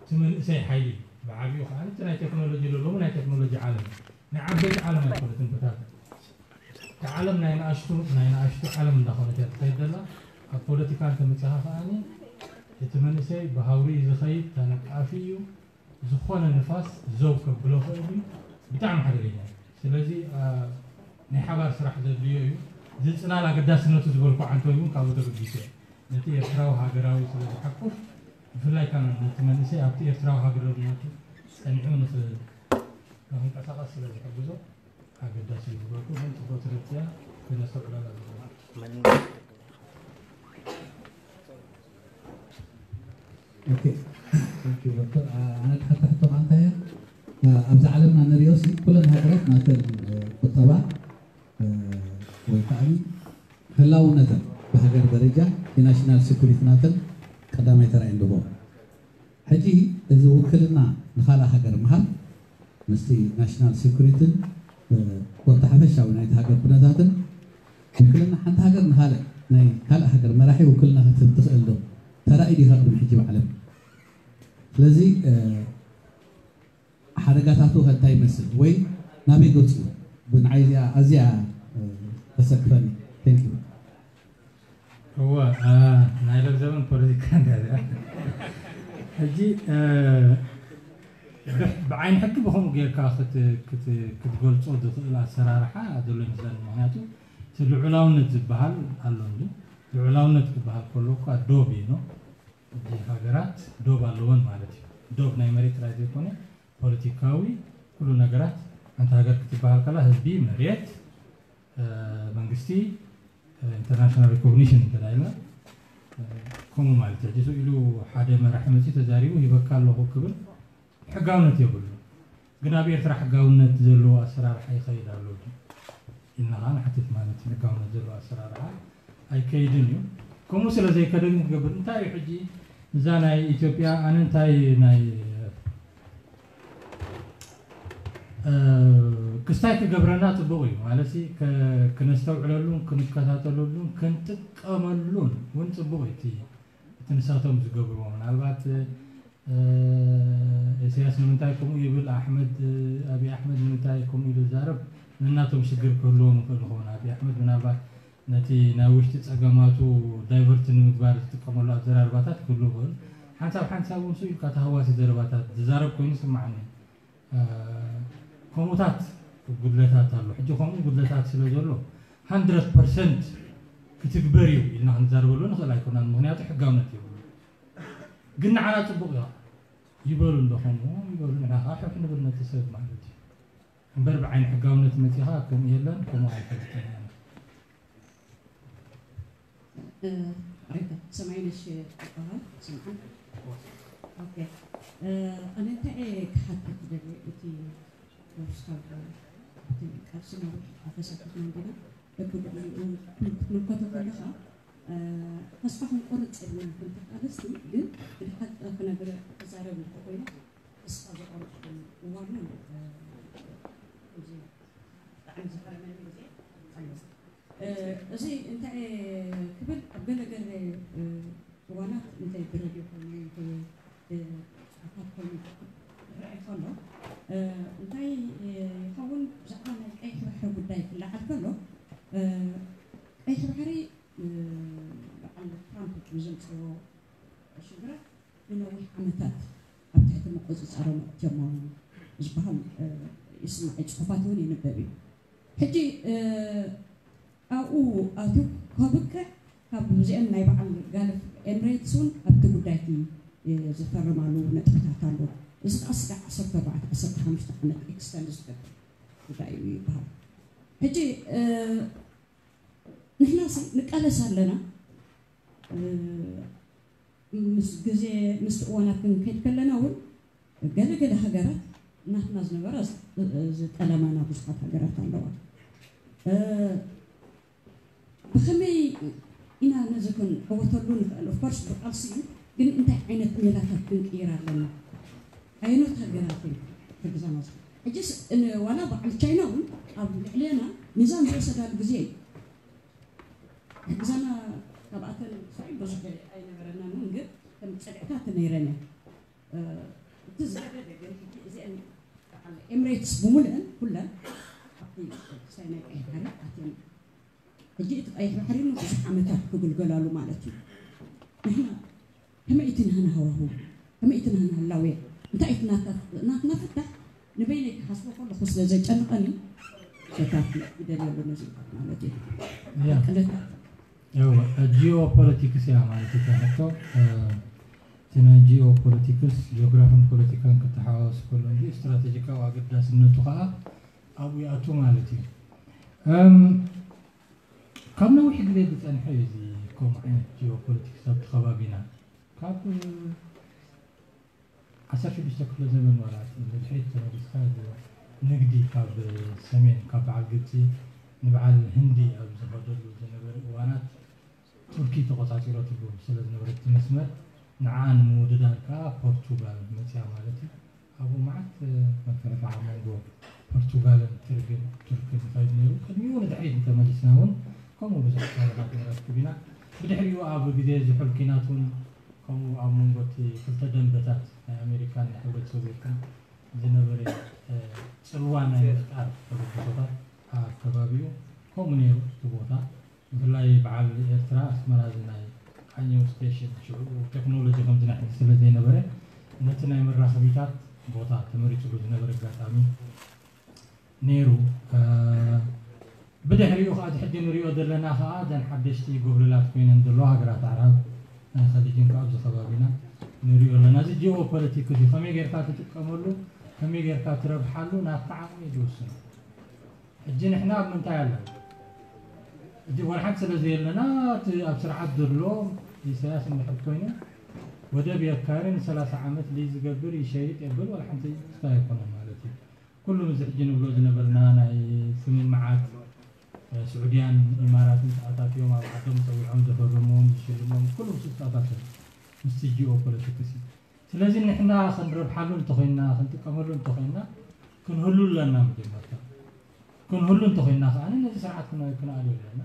እቲ መንእሰይ ሓይሊ ብዓብኡ ከዓ እቲ ናይ ቴክኖሎጂ ለሎሙ ናይ ቴክኖሎጂ ዓለም ናይ ዓበይቲ ዓለም ኣይኮነትን ብታተ እቲ ዓለም ናይ ንኣሽቱ ናይ ንኣሽቱ ዓለም እንዳኾነት እያ ትኸይድ ዘላ። ኣብ ፖለቲካ እንተመፂኻ ከዓኒ እቲ መንእሰይ ብሃውሪ እዩ ዝኸይድ፣ ተነቃፊ እዩ። ዝኾነ ንፋስ ዘው ከብሎ ኽእል እዩ። ብጣዕሚ ሓደገኛ እዩ። ስለዚ ናይ ሓባር ስራሕ ዘድልዮ እዩ። እዚ ፅላል ኣገዳስነቱ ዝበልኩ ዓንቶ እውን ካብኡ ተበጊሰ ነቲ ኤርትራዊ ሃገራዊ ስለ ዝሓቁፍ ብፍላይ ከዓ ነቲ መንእሰይ ኣብቲ ኤርትራዊ ሃገራዊነቱ ፀኒዑ ንኽንቀሳቐስ ስለ ዝሕግዞ ኣገዳሲ እዩ ዝበልኩ ግን ፅቡቅ ትርትያ ክነስተውዕለላ ዝግባእ ኦኬ ዶክተር ኣነ ትሓተ ሕቶ ከ እንታይ እያ ኣብዚ ዓለምና ንሪኦ ሲ ኩለን ሃገራት ናተን ቁጠባ ወይ ከዓ ህላውነተን ብሃገር ደረጃ የናሽናል ሴኩሪቲ ናተን ቀዳማይ ተራ እየን ዝህቦ ሕጂ እዚ ውክልና ንካልእ ሃገር ምሃብ ምስቲ ናሽናል ሴኩሪትን ኮታ ሓፈሻዊ ናይቲ ሃገር ኩነታትን ውክልና ሓንቲ ሃገር ንካልእ ናይ ካልእ ሃገር መራሒ ውክልና ክትህብ ትኽእል ዶ? ተራእዩ ዲኻ ቅድሚ ሕጂ ብዓለም? ስለዚ ሓደጋታቱ ከ እንታይ ይመስል ወይ ናበይ ገፁ? ብንዓይ እዚኣ ኣዝያ ተሰክፈኒ። Thank you። እወ ናይ ሎምዘበን ፖለቲካ እንዳ እዚኣ ሕጂ ብዓይኒ ሕጊ ብኸምኡ ጌርካ ክትገልፆ ዝኽእል ኣሰራርሓ ዘሎ ይመስለኒ። ምክንያቱ እቲ ልዑላውነት ዝበሃል ኣሎ እንዲ ልዑላውነት ክበሃል ከሎ እኳ ዶብ እዩ ነው። ሕጂ ሃገራት ዶብ ኣለወን ማለት እዩ። ዶብ ናይ መሬት ጥራይ ዘይኮነ ፖለቲካዊ ኩሉ ነገራት ሓንቲ ሃገር ክትበሃል ከላ ህዝቢ፣ መሬት፣ መንግስቲ፣ ኢንተርናሽናል ሪኮግኒሽን እንተ ኢልና ከምኡ ማለት እዩ። ሕጂ ኢሉ ሓደ መራሒ መፅኡ ተዛሪቡ ሂበካ ኣለኹ ክብል ሕጋውነት የብሉ። ግን ኣብ ኤርትራ ሕጋውነት ዘለዎ ኣሰራርሓ ይኸይድ ኣሎ ኢልና ከዓ ንሓትት ማለት እዩ። ሕጋውነት ዘለዎ ኣሰራርሓ ኣይከይድን እዩ። ከምኡ ስለ ዘይከደ ግን ክገብር እንታይ እዩ ሕጂ እዛ ናይ ኢትዮጵያ ኣነ እንታይ ናይ ክስታይ ክገብረና ፅቡቕ እዩ ማለት ክነስተውዕለሉን ክንከታተለሉን ክንጥቀመሉን እውን ፅቡቕ እዩ እቲ ንሳቶም ዝገብርዎ ምናልባት ኢሳያስ ንምንታይ ከምኡ ይብል ኣሕመድ ኣብይ ኣሕመድ ንምንታይ ከምኡ ኢሉ ዝዛረብ ነናቶም ሽግር ክህልዎም ይኽእል ይኸውን ኣብይ ኣሕመድ ምናልባት ነቲ ናይ ውሽጢ ፀገማቱ ዳይቨርት ንምግባር ዝጥቀመሉ ኣዘራርባታት ክህሉ ይኽእል ሓንሳብ ሓንሳብ እውን ስኡ ኢልካ ተሃዋሲ ዘረባታት ዝዛረብ ኮይኑ ይስምዓኒ ከምኡታት ጉድለታት ኣሎ ሕጂ ከምኡ ጉድለታት ስለ ዘሎ ሃንድረድ ፐርሰንት ክትግበር እዩ ኢልና ክንዛረበሉ ንኽእል ኣይኮናን ምክንያቱ ሕጋውነት የብሉ ግን ንዓና ፅቡቅ እዩ ይበሉ እንዶ ከምኡ ይበሉ ንሕና ከዓ ሕሕ ንብል ነቲ ሰብ ማለት እዩ እምበር ብዓይኒ ሕጋውነት መፂኻ ከምኡ የለን ከምኡ ኣይፈልጥን ሬታ ሰማይነሽ ይበሃል። ስምዓን ኦኬ። ኣነ እንታይ እየ ክሓትት ደልየ እቲ ፖለቲካል እቲ ቃልሲ ነዊሕ ኣተሳቲፍና እንዲና በብግዜኡ ክትምልከቶ ከለኻ ተስፋ ክንቆርፅ የብልናን ከም ተቃለስቲ። ግን ብድሓት ክነግር ክዛረብ እንተኮይነ ተስፋ ዘቆርፅ እዋን እውን እዚ ብጣዕሚ ዝፈረመኒ ግዜ ኣሎ። እዚ እንታይ ክብል ኣብ ገለ ገለ እዋናት እንታይ ብረድዮ ኮይኑ ይኸውን ብፅሑፋት ኮይኑ ይረኣይ ከሎ እንታይ ይኸውን ብዛዕባ ናይ ቀይሕ ባሕሪ ጉዳይ ክለዓል ከሎ ቀይሕ ባሕሪ በዓል ትራምፕ ንዘምፅዎ ሽግራት ንነዊሕ ዓመታት ኣብ ትሕቲ ምቁፅፃሮም ኣእትዮሞ ዝበሃል ይስማዕ እዩ። ፅሑፋት እውን ይንበብ እዩ። ሕጂ ኣብኡ ኣትዩ ከብቅዕ ካብ እዚአን ናይ በዓል ጋልፍ ኤምሬትስ እውን ኣብቲ ጉዳይ እቲ ዝፈርማሉ ነጥብታት ኣሎ። እዚ ከዓ ስጋዕ ዓሰርተ ኣርባዕተ ዓሰርተ ሓሙሽተ ዓመት ኤክስተንድ ዝገብር ጉዳይ እዩ ይበሃል። ሕጂ ንሕና ንቃለስ ኣለና። ምስ ግዜ ምስቲ እዋናት ክንከይድ ከለና እውን ገለ ገለ ሃገራት ናትና ዝነበራ ዝጠለማና ብዙሓት ሃገራት ኣለዋ። ብኸመይ ኢና ነዚ ክንዕወተሉ ንኽእል? ኦፍኮርስ ብቃልሲ እዩ፣ ግን እንታይ ዓይነት ሜላታት ክንቅይር ኣለና? ኣየኖት ሃገራት እየን ክሕግዛና ዝኽእል? ሕጅስ ዋላ በዓል ቻይና እውን ኣብ ልዕሌና ሚዛን ዝወሰዳሉ ግዜ እዩ። ክሕግዛና ካብኣተን ሳይ ብዙሕ ኣይነበረናን እውን፣ ግን ከም ፅግዕታት ነይረን እየን። እቲ ዝገደደ ግን ሕጂ እዚአን በዓል ኤምሬትስ ብምሉአን ኩለን ኣብቲ ሳይ ናይ ቀይሕ ባሕሪ ኣትየን። ሕጂ እቲ ቀይሕ ባሕሪ እውን ብዙሕ ዓመታት ክግልገላሉ ማለት እዩ። ንሕና ከመይ እቲ ናህና ሃዋህው ከመይ እቲ ናህና ህላዌ እንታይ እቲ ናትና ፍታሕ ንበይነይ ክሓስቦ ከለኹ ስለ ዘጨንቐኒ ፈታሒ ይደልየሉ ነዚ ማለት እዩ። ቅለታ ጂኦ ፖለቲክስ እያ ማለት እታ ሕቶ። እቲ ናይ ጂኦ ፖለቲክስ ጂኦግራፍን ፖለቲካን ክተሓዋወስ ከሎ እንጂ ስትራቴጂካዊ ኣገዳስነቱ ከዓ ኣብኡ ይኣቱ ማለት እዩ። ካብ ነዊሕ ግዜ ዝፀንሐ እዩ እዚ ከምኡ ዓይነት ጂኦ ፖለቲክስ ኣብቲ ከባቢና ካብ ዓሰርተ ሽዱሽተ ክፍለ ዘመን ዋላ ንድሕሪት ተመሊስካ ንግዲ ካብ ሰሜን ካብ በዓል ግብፂ ንበዓል ህንዲ ኣብ ዝኸደሉ ዝነበረ እዋናት ቱርኪ ተቆፃፂረትሉ ስለ ዝነበረት እቲ መስመር ንዓ ንምውድዳር ከዓ ፖርቱጋል መፅያ ማለት እዩ። ኣብኡ መዓት መፈረቃ ኣብ መንጎ ፖርቱጋልን ትርግን ቱርክን ይኸይድ ነይሩ። ቅድሚኡ ንድሕሪት እንተመሊስና እውን ከምኡ ብዙሕ ታሪኻት ንረክብ ኢና። ብድሕሪኡ ኣብ ግዜ ዝሑል ኲናት እውን ከምኡ ኣብ መንጎ እቲ ክልተ ደንበታት ናይ ኣሜሪካን ናይ ሕብረት ሶቪየትን ዝነበረ ፅልዋ ናይ ምፍጣር ተበግሶታት ኣብ ከባቢኡ ከምኡ ነይሩ እቲ ቦታ። ብፍላይ በዓል ኤርትራ ኣስመራ እዚ ናይ ቃኘው ስቴሽን ሽዑ ቴክኖሎጂ ከምዚ ናይ ሕጂ ስለ ዘይነበረ ነቲ ናይ መራኸቢታት ቦታ ተመሪፅሉ ዝነበረ ኣጋጣሚ ነይሩ። ብድሕሪኡ ከዓ እዚ ሕጂ ንሪኦ ዘለና ከዓ እዘን ሓደሽቲ ጎብለላት ኮይነን ዘለዋ ሃገራት ኣዕራብ ናይ ኸሊጅን ከዓ ኣብዚ ከባቢና ንሪኦ ኣለና። እዚ ጂኦ ፖለቲክስ እዩ። ከመይ ጌርካ ትጥቀመሉ፣ ከመይ ጌርካ ትረብሓሉ ናትካ ዓቕሚ እዩ ዝውስን። ሕጂ ንሕና ኣብ ምንታይ ኣለና? ሕጂ ዋላ ሓንቲ ስለ ዘየለና እቲ ኣብ ስርዓት ዘሎ ኢሳያስ እንድሕር ኮይኑ ወደብ የካሪ ንሰላሳ ዓመት ሊዝ ዝገብር ይሸይጥ የብል ዋላ ሓንቲ ክስታይ ኣይኮነን ማለት እዩ። ኩሉ ምዚ ሕጂ ንብሎ ዝነበርና ናይ ስምምዓት ስዑድያን ኢማራትን ተኣታትዮም ኣብ ዓዶም ፀዊዖም ዘፈረምዎም ዝሽልሞም ኩሉ ምስ ተኣታተዩ ምስቲ ጂኦ ፖለቲክስ እዩ። ስለዚ ንሕና ክንረብሓሉ እንተኾይንና ክንጥቀመሉ እንተኾይንና ክንህሉ ኣለና። መጀመርታ ክንህሉ እንተኾይንና ከዓ ነዚ ስርዓት ክንኣልዮ ኣለና።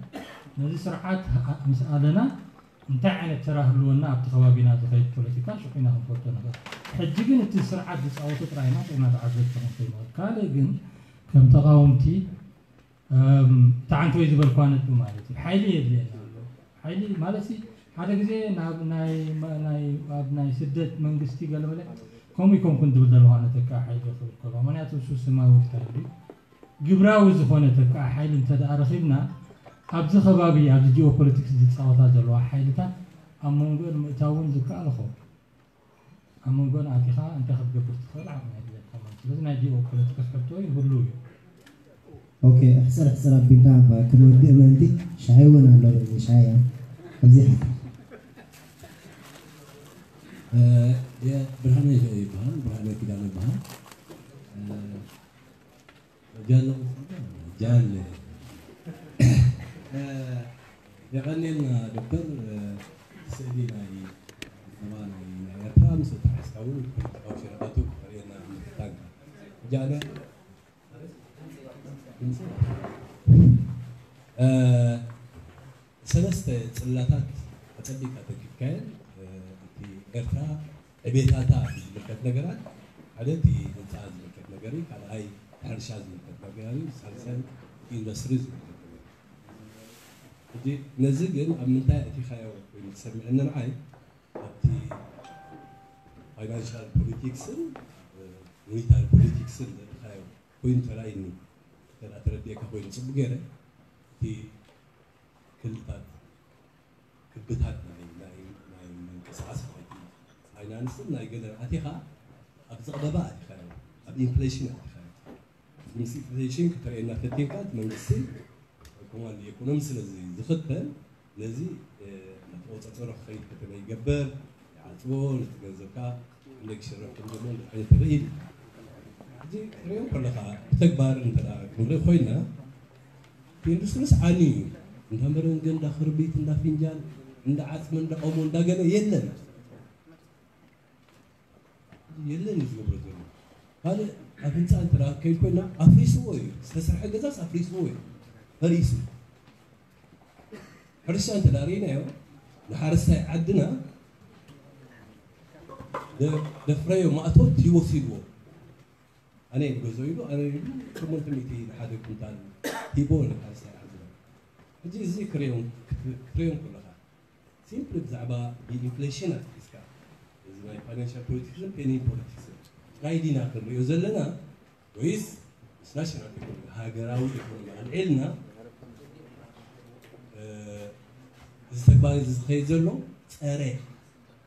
ነዚ ስርዓት ምስ ኣለና እንታይ ዓይነት ተራ ህልወና ኣብቲ ከባቢና ዝኸይድ ፖለቲካ ሽዑ ኢና ክንፈልጦ ንኽእል። ሕጂ ግን እቲ ስርዓት ዝፃወቶ ጥራይ ኢና ጥዕና ተዓዘብቲ ክንኮይኑ። ካልእ ግን ከም ተቃወምቲ እቲ ዓንተወይ ዝበልኳ ነጥቢ ማለት እዩ። ሓይሊ የድልየና ኣሎ። ሓይሊ ማለት ሲ ሓደ ግዜ ናብ ናይ ኣብ ናይ ስደት መንግስቲ ገለመለ ከምኡ ይኮንኩን ትብል ዘለዋ ነተካ ሓይሊ ክብል ከሎ ምክንያቱ እሱ ስማዊ ክታል ግብራዊ ዝኾነ ተካ ሓይሊ እንተ ደኣ ረኺብና ኣብዚ ከባቢ ኣብዚ ጂኦፖለቲክስ ዝፃወታ ዘለዋ ሓይልታት ኣብ መንጎ ምእታውን ዝከኣል ኾ ኣብ መንጎን ኣቲኻ እንታይ ክትገብር ትኽእል ዓቕሚ የድልየካ ማለት እዩ። ስለዚ ናይ ጂኦ ፖለቲክስ ሕቶ ይህሉ እዩ። ኦኬ፣ ሕፅር ሕፅር ኣቢልና እባ ክንወድእ ምእንቲ ሻሂ እውን ኣሎ። በዚ ሻሂ እያ። ኣብዚ ሓታ ብርሃነ ይበሃል። ብርሃነ ኪዳነ ይበሃል። ጃለ ጃለ የቐንየልና ዶክተር። ስእሊ ናይ ባ ናይ ኤርትራ ምስ ተሓስካ እውን ፖለቲካዊ ሽረታቱ ክተርእየና ምፍታንካ ጃለ ሰለስተ ጽላታት ኣጸቢቕካ ተኪብካየን። እቲ ኤርትራ ዕቤታታ ዝምልከት ነገራት፣ ሓደ እቲ ህንጻ ዝምልከት ነገር እዩ፣ ካልኣይ ሕርሻ ዝምልከት ነገር እዩ፣ ሳልሳይ ኢንዱስትሪ ዝምልከት ነገር እዩ። ሕጂ ነዚ ግን ኣብ ምንታይ ኣእቲኻዮ ኮይኑ ዝሰምዐኒ ንዓይ ኣብቲ ፋይናንሻል ፖሊቲክስን ሚሊታሪ ፖሊቲክስን ዘእቲኻዮ ኮይኑ ተራእይኒ። ተረዲኤካ ኮይኑ ጽቡቅ ገይረ እቲ ክልታት ክብታት ናይ ናይ ናይ ምንቅስቃስ ናይቲ ፋይናንስን ናይ ገለን ኣቲኻ ኣብ ዝቕበባ ኣቲኻ ኣብ ኢንፍሌሽን ኣቲኻ ምስ ኢንፍሌሽን ክትርእየና ፈቲንካ እቲ መንግስቲ ኮማንድ ኢኮኖሚ ስለዚ ዝኽተል ነዚ ተቆጻጸሮ ክኸይድ ከተመ ይገበር ይዓጽዎ ነቲ ገንዘብካ እንደግ ሽረፍ ከም ዘሎ እንታይ ዓይነት ርኢ ሕጂ ክትሪኦ ከለኻ ብተግባር እንተ ክንርኢ ኮይና ኢንዱስትሪስ ዓኒ እዩ። እንዳ መረንገ፣ እንዳ ክርቢት፣ እንዳ ፍንጃል፣ እንዳ ዓፅሚ፣ እንዳ ኦሞ፣ እንዳ ገለ የለን። የለን እዩ ዝገብሮ ዘሎ። ካልእ ኣብ ህንፃ እንተ ከይድ ኮይና ኣፍሪስዎ እዩ። ዝተሰርሐ ገዛስ ኣፍሪስዎ እዩ። ፈሪሱ። ሕርሻ እንተ ርኢናዮ ንሓረስታይ ዓድና ደፍረዮ ማእቶት ይወሲድዎ። ኣነ ገዞ ኢሉ ኣነ ኢሉ ሸሞንተ ሚእቲ ንሓደ ኩንታል ሂቦ ንካልሳይ ዓድና። ሕጂ እዚ ክሬዮን ክሬዮን ከለኻ ሲምፕሊ ብዛዕባ ብኢንፍሌሽን ኣትሒዝካ እዚ ናይ ፋይናንሻል ፖለቲክስን ፔኒ ፖለቲክስን ጥራይ ዲና ክንሪኦ ዘለና ወይስ ምስ ናሽናል ኢኮኖሚ ሃገራዊ ኢኮኖሚ ኣልዒልና እዚ ተግባር እዚ ዝኸይድ ዘሎ ፀረ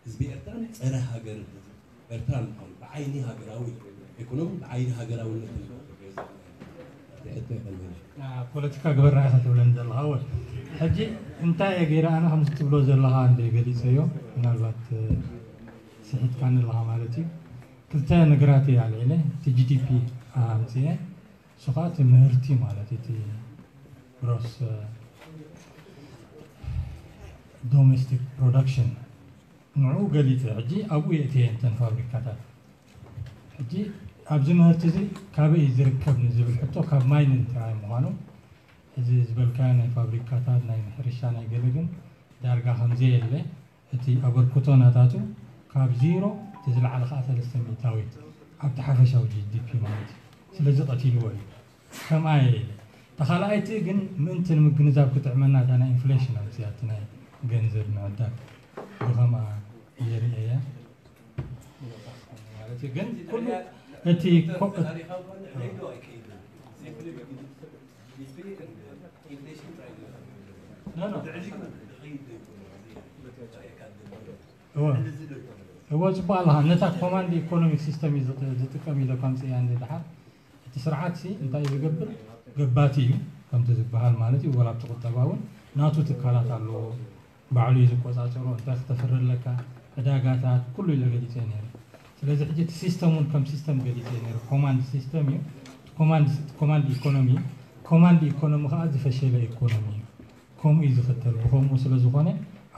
ህዝቢ ኤርትራን ጸረ ሃገርን ህዝቢ ኤርትራን ምዃኑ ብዓይኒ ሃገራዊ ኢኮኖሚ ብዓይኒ ሃገራውነት ንሕቶ ይቐልበና። ፖለቲካ ግበርና ኢኻ ትብለኒ ዘለኻ ወ ሕጂ እንታይ እየ ገይረ ኣነ ከምዚ ትብሎ ዘለኻ እንደ ገሊፀዮ ምናልባት ስሒትካኒ ኣለኻ ማለት እዩ። ክልተ ነገራት እየ ኣልዒለ እቲ ጂ ዲ ፒ ኣምፅኤ እሱ ከዓ እቲ ምህርቲ ማለት እቲ ግሮስ ዶሜስቲክ ፕሮዳክሽን ንዕኡ ገሊፀ ሕጂ ኣብኡ የእትየ እንተን ፋብሪካታት ሕጂ ኣብዚ ምህርቲ እዚ ካበይ ዝርከብ ንዝብል ሕቶ ካብ ማይንን ጥራይ ምዃኑ እዚ ዝበልካዮ ናይ ፋብሪካታት ናይ ሕርሻ ናይ ገለ ግን ዳርጋ ከምዘየለ እቲ ኣበርክቶ ናታቱ ካብ ዜሮ እቲ ዝለዓለ ከዓ ሰለስተ ሚእታዊት ኣብቲ ሓፈሻዊ ጂ ዲ ፒ ማለት እዩ ስለዚ ቀቲልዎ እዩ ከምኣ እየ ኢለ። እታ ካልኣይቲ ግን ምእንቲ ንምግንዛብ ክጥዕመና እታ ናይ ኢንፍሌሽን ኣምፅያ እቲ ናይ ገንዘብ ምዕዳግ ብኸምኣ እየ ርእየያ ማለት እዩ። ግን ኩሉ እቲ ኮ- እወ እወ ፅቡቅ ኣለኻ ነታ ኮማንድ ኢኮኖሚክ ሲስተም እዩ ዝጥቀም ኢለ ኳምፅያ እንደ ድሓር እቲ ስርዓት ሲ እንታይ እዩ ዝገብር ገባቲ እዩ ከምቲ ዝበሃል ማለት እዩ ወላ ኣብቲ ቁጠባ እውን ናቱ ትካላት ኣለዎ ባዕሉ እዩ ዝቆፃፀሮ እንታይ ክተፍሪ ኣለካ ዕዳጋታት ኩሉ ኢለ ገሊፀ ነይረ ስለዚ ሕጂ እቲ ሲስተም እውን ከም ሲስተም ገሊፀ ነይረ ኮማንድ ሲስተም እዩ ኮማንድ ኢኮኖሚ ኮማንድ ኢኮኖሚ ከዓ ዝፈሸለ ኢኮኖሚ እዩ ከምኡ እዩ ዝኽተል ብኸምኡ ስለ ዝኾነ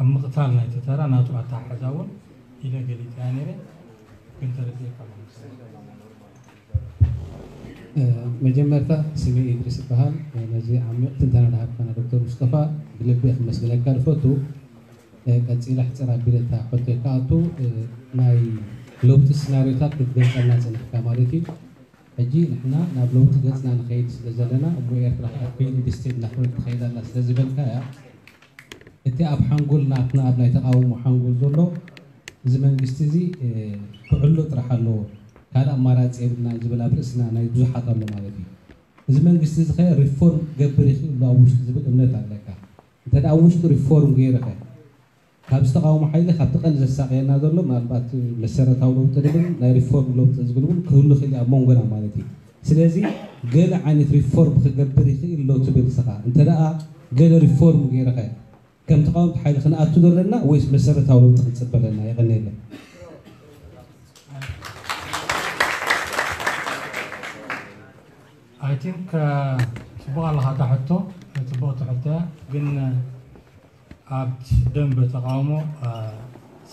ኣብ ምቕታል ናይቲ ተራ ናቱ ኣተሓሕዛ እውን ኢለ ገሊፀያ ነይረ ግን ተረዲእካ መጀመርታ ስመይ ኢድሪስ ይበሃል ነዚ ዓሚቕ ትንተና ዝሃብካና ዶክተር ሙስጠፋ ብልቢ ክመስግነካ ዝፈቱ ቀፂለ ሕፅር ኣቢለ እታ ሕቶይ ክኣቱ ናይ ለውጢ ስናሪዮታት ክትገልፀልና ፅንሕካ ማለት እዩ ሕጂ ንሕና ናብ ለውጢ ገፅና ንኸይድ ስለ ዘለና እሞ ኤርትራ ከዓ ሪል ስቴት እናኾነት ትኸይድ ኣላ ስለ ዝበልካ እያ እቲ ኣብ ሓንጎል ናትና ኣብ ናይ ተቃውሞ ሓንጎል ዘሎ እዚ መንግስቲ እዚ ክዕሎ ጥራሕ ኣለዎ ካልእ ኣማራፂ የብልና ዝብል ኣብ ርእስና ናይ ብዙሓት ኣሎ ማለት እዩ እዚ መንግስቲ እዚ ከ ሪፎርም ክገብር ይኽእል ዶ ኣብ ውሽጢ ዝብል እምነት ኣለካ እንተ ኣብ ውሽጡ ሪፎርም ገይርኸ ካብዚ ተቃውሞ ሓይሊ ካብቲ ቀንዲ ዘሳቀየና ዘሎ ምናልባት መሰረታዊ ለውጢ ንብል ናይ ሪፎርም ለውጢ ዝብል እውን ክህሉ ክእል ኣብ መንጎና ማለት እዩ ስለዚ ገለ ዓይነት ሪፎርም ክገብር ይኽእል ሎ ትብል ስኻ እንተ ደኣ ገለ ሪፎርም ገይርኸ ከም ተቃወምቲ ሓይሊ ክንኣቱ ዘለና ወይስ መሰረታዊ ለውጢ ክንጽበ ኣለና? የቐንየለይ። I think ጽቡቕ ኣለኻ እታ ሕቶ፣ ጽቡቕቲ ሕቶ እያ። ግን ኣብ ደንበ ተቃውሞ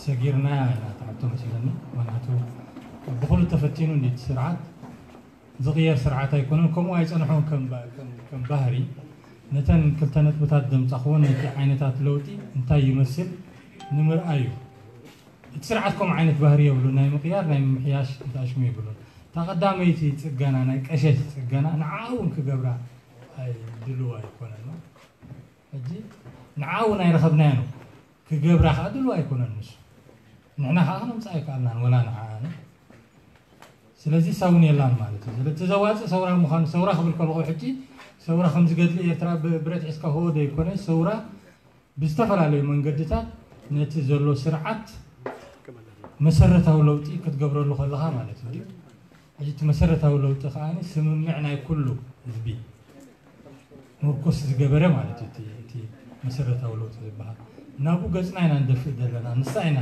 ሰጊርናያ ኢና እታ ሕቶ መስለኒ። ምክንያቱ ብኹሉ ተፈቲኑ እንዲ እቲ ስርዓት ዝቕየር ስርዓት ኣይኮነን። ከምኡ ኣይጸንሖን ከም ባህሪ ነተን ክልተ ነጥብታት ዘምጻኽዎን ነቲ ዓይነታት ለውጢ እንታይ ይመስል ንምርኣይ እዩ። እቲ ስርዓት ከምኡ ዓይነት ባህሪ የብሉን። ናይ ምቕያር ናይ ምምሕያሽ እንተኣሽሙ የብሉን። እታ ቀዳመይቲ ጽገና ናይ ቀሸት ጽገና ንዓ እውን ክገብራ ድልው ኣይኮነን። ሕጂ ንዓ እውን ኣይረኸብናዮ ነው ክገብራ ከዓ ድልው ኣይኮነን። ንሱ ንሕና ከዓ ክነምፅኣ ኣይከኣልናን ወላ ንዓ። ስለዚ ሳውን የላን ማለት እዩ። ስለዚ ዘዋፅእ ሰውራ ምዃኑ ሰውራ ክብል ከለኹ ሕጂ ሰውራ ከምዝገድሊ ኤርትራ ብረት ሒዝካ ሆ ዘይኮነ ሰውራ ብዝተፈላለዩ መንገድታት ነቲ ዘሎ ስርዓት መሰረታዊ ለውጢ ክትገብረሉ ከለኻ ማለት እዩ። ሕጂ እቲ መሰረታዊ ለውጢ ከዓ ስምምዕ ናይ ኩሉ ህዝቢ ምርኩስ ዝገበረ ማለት እዩ። እቲ መሰረታዊ ለውጢ ዝበሃል ናብኡ ገፅና ኢና ንደፍእ ዘለና። ንሳ ኢና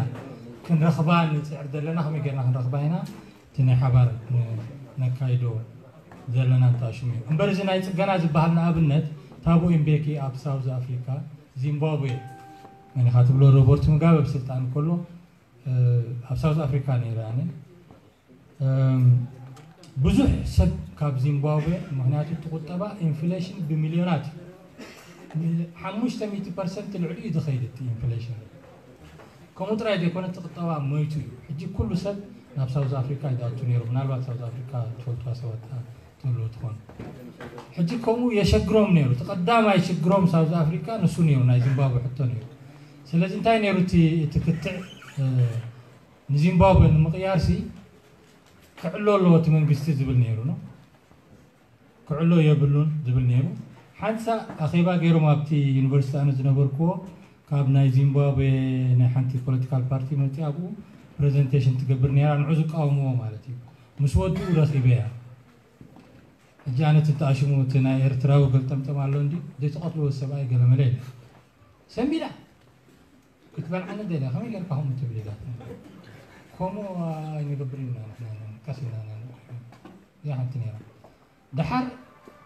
ክንረኽባ ንፅዕር ዘለና። ከመይ ጌርና ክንረኽባ ኢና? እቲ ናይ ሓባር ነካይዶ ዘለና እንተኣሽሙ እዩ እምበር እዚ ናይ ፅገና ዝበሃል ንኣብነት ታቦ ኢምቤኪ ኣብ ሳውዝ ኣፍሪካ ዚምባብዌ መኒኻ ትብሎ ሮበርት ሙጋበ ብስልጣን ከሎ ኣብ ሳውዝ ኣፍሪካ ነይረ ኣነ ብዙሕ ሰብ ካብ ዚምባብዌ ምክንያቱ እቲ ቁጠባ ኢንፍሌሽን ብሚልዮናት ሓሙሽተ ሚእቲ ፐርሰንት ልዕሊ እዩ ዝኸይድ እቲ ኢንፍሌሽን ከምኡ ጥራይ ዘይኮነ እቲ ቁጠባ ሞይቱ እዩ ሕጂ ኩሉ ሰብ ናብ ሳውዝ ኣፍሪካ ይኣቱ ነይሩ ምናልባት ሳውዝ ኣፍሪካ ትፈልጥዋ ሰባት ትህልው ትኾኑ ሕጂ ከምኡ የሸግሮም ነይሩ እቲ ቀዳማይ ሽግሮም ሳውዝ ኣፍሪካ ንሱ ነይሩ ናይ ዚምባብዌ ሕቶ ነይሩ ስለዚ እንታይ ነይሩ እቲ ክትዕ ንዚምባብወ ንምቕያር ሲ ክዕሎ ኣለዎ እቲ መንግስቲ ዝብል ነይሩ ነው ክዕሎ የብሉን ዝብል ነይሩ ሓንሳ ኣኼባ ገይሮም ኣብቲ ዩኒቨርሲቲ ኣነ ዝነበርክዎ ካብ ናይ ዚምባብወ ናይ ሓንቲ ፖለቲካል ፓርቲ መፂ ኣብኡ ፕሬዘንቴሽን ትገብር ነይራ ንዑ ዝቃወምዎ ማለት እዩ ምስ ወድኡ ረኺበያ ሕጂ ኣነ ትተኣሽሙ እቲ ናይ ኤርትራዊ ገልጠምጠም ኣሎ እንዲ ዘይተቐትልዎ ሰብኣይ ገለመለ የለ ሰንቢዳ ክትበልዓኒ ደልያ ከመይ ጌርካ ከምኡ ትብል ኢላ ከምኡ ኣይንገብር ኢና ንሕና ቀስ ኢልና ኢና ንቆም እዚኣ ሓንቲ ነይራ ደሓር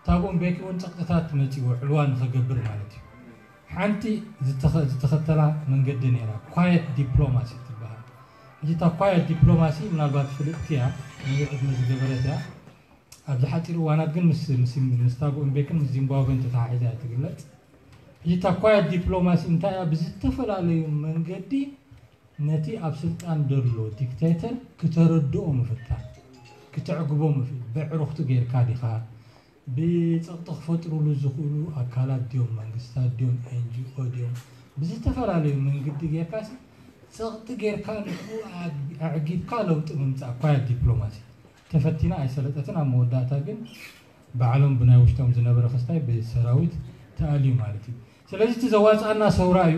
ታቦ እምቤኪ እውን ፀቕጥታት መፂዎ ዕልዋ ንኸገብር ማለት እዩ ሓንቲ ዝተኸተላ መንገዲ ነይራ ኳየት ዲፕሎማሲ ትበሃል ሕጂ እታ ኳየት ዲፕሎማሲ ምናልባት ፍልጥቲ እያ ነዚ ዕድመ ዝገበረት እያ ኣብዚ ሓፂር እዋናት ግን ምስ ታቦ እምቤክን ምስ ዚምባብዌን ተተሓሒዛ እያ ትግለፅ ሕጂ እታ ኳየት ዲፕሎማሲ እንታይ እያ ብዝተፈላለዩ መንገዲ ነቲ ኣብ ስልጣን ዘሎ ዲክቴተር ክተረድኦ ምፍታን ክተዕግቦ ምፍል በዕሩኽቱ ጌርካ ዲኻ ብፀቕጢ ክፈጥሩሉ ዝኽእሉ ኣካላት ድዮም መንግስታት ድዮም ኤንጂኦ ድዮም ብዝተፈላለዩ መንግዲ ጌርካ ሲ ፀቕጢ ጌርካ ንኡ ኣዕጊብካ ለውጢ ምምፃእ ኳያ ዲፕሎማሲ ተፈቲና ኣይሰለጠትን ኣብ መወዳእታ ግን ባዕሎም ብናይ ውሽጦም ዝነበረ ክስታይ ብሰራዊት ተኣልዩ ማለት እዩ ስለዚ እቲ ዘዋፅኣና ሰውራ እዩ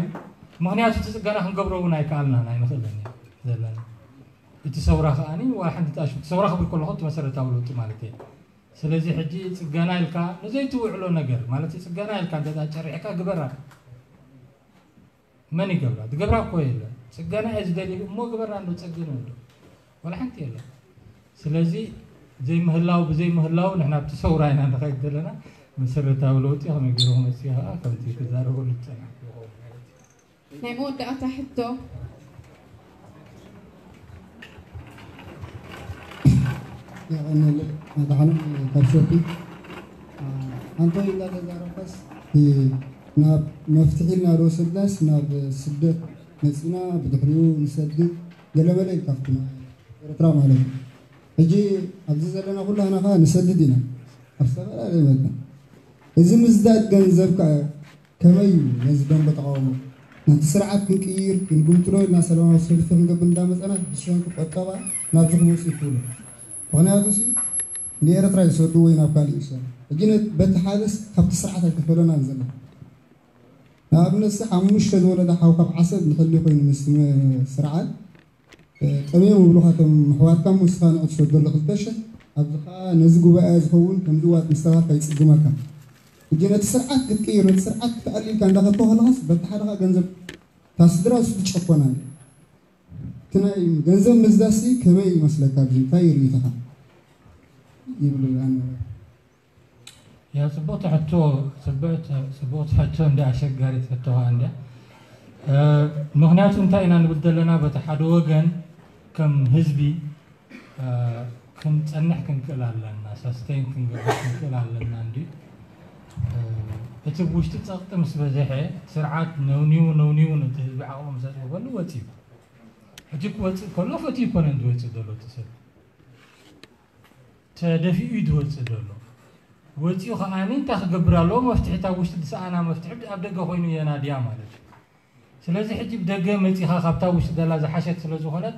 ምክንያቱ እቲ ፅገና ክንገብሮ እውን ኣይከኣልናን ኣይንኽእልን ዘለና እቲ ሰውራ ከዓኒ ዋላ ሓንቲ ተኣሽሙ እቲ ሰውራ ክብል ከለኹ እቲ መሰረታዊ ለውጢ ማለት እየ ስለዚ ሕጂ ፅገና ኢልካ ንዘይትውዕሎ ነገር ማለት ፅገና ኢልካ እንተ ጨሪሕካ ግበራ መን ይገብራ ዝገብራ እኮ የለ ፅገና እየ ዝደሊ እሞ ግበራ እንዶ ፀግን እንዶ ወላ ሓንቲ የለ ስለዚ ዘይምህላው ብዘይምህላው ንሕና ኣብቲ ሰውራ ኢና ንኸይድ ዘለና መሰረታዊ ለውጢ ከመይ ገይሩ ክመፅእ ከዓ ከምቲ ክዛረበሉ ዝፀናሕኩ ይኸውን ማለት እዩ ናይ መወዳእታ ሕቶ የቐንየለይ መድሓኖም ካብ ሸፒ ኣንቶይ እንዳተዛረብካስ ናብ መፍትሒ ኢልና ዶ ወሰድናስ ናብ ስደት መፂና ብድሕሪኡ ንሰድድ ገለመለ ኢልካ ክትና ኤርትራ ማለት እዩ ሕጂ ኣብዚ ዘለና ኩላና ከዓ ንሰድድ ኢና ኣብ ዝተፈላለየ መጠን እዚ ምዝዳድ ገንዘብ ከዓ ከመይ እዩ ነዚ ደንበ ተቃውሞ ነቲ ስርዓት ክንቅይር ክንግምጥሎ ኢልና ሰላማዊ ሰልፊ ክንገብር እንዳመፀና ብሰንኪ ቆጠባ ናብዚ ክመፁ ይክእሉ ምክንያቱ ሲ ንኤርትራ ይሰዱ ወይ ናብ ካሊእ ይሰዱ ሕጂ በቲ ሓደስ ካብቲ ስርዓት ኣይተፈለናን ዘለና ንኣብነት ሲ ሓሙሽተ ዝወለደ ሓው ካብ ዓሰብ ንሕሊ ኮይኑ ምስ ስርዓት ጠምዮም ይብሉኻ እቶም ኣሕዋትካ እሞ ንስኻ ንዑ ትሰደሉ ክልተ ሽሕ ኣብዚ ኸዓ ነዚ ጉባኤ ዝኸውን ከምዚ ዋጥ ምስ ተባልካ ይፅግመካ ሕጂ ነቲ ስርዓት ክትቅይር፣ ነቲ ስርዓት ክትኣሊ ኢልካ እንዳኸድካ ከለኻስ፣ በቲ ሓደ ኸኣ ገንዘብ እታ ስድራ እሱ ትጨቆና። እቲ ናይ ገንዘብ ምዝዛዝሲ ከመይ ይመስለካ? ኣብዚ እንታይ እዩ ርእይቶኻ? ይብል ኣነ። ያ ጽቡቕቲ ሕቶ፣ ጽብቕቲ ሕቶ እንዲ ኣሸጋሪት ሕቶ ኸኣ እንድያ። ምኽንያቱ እንታይ ኢና ንብል ዘለና? በቲ ሓደ ወገን ከም ህዝቢ ክንጸንሕ ክንክእል ኣለና፣ ሳስተይን ክንገብር ክንክእል ኣለና። እንዲ እቲ ውሽጢ ጸቕጢ ምስ በዝሐ፣ ስርዓት ነውኒው ነውኒው ነቲ ህዝቢ ዓቕሙ ምስ ኣጽበበሉ ወጺኡ። ሕጂ ክወጽእ ከሎ ፈትዩ ይኮነን ዝወጽእ ዘሎ እቲ ሰብ፣ ተደፊኡ እዩ ዝወጽእ ዘሎ። ወጺኡ ከኣኒ እንታይ ክገብር ኣለዎ? መፍትሒ እታ ውሽጢ ዝሰኣና መፍትሒ ኣብ ደገ ኮይኑ የናድያ ማለት እዩ። ስለዚ ሕጂ ብደገ መጺኻ ካብታ ውሽጢ ዘላ ዝሓሸት ስለ ዝኾነት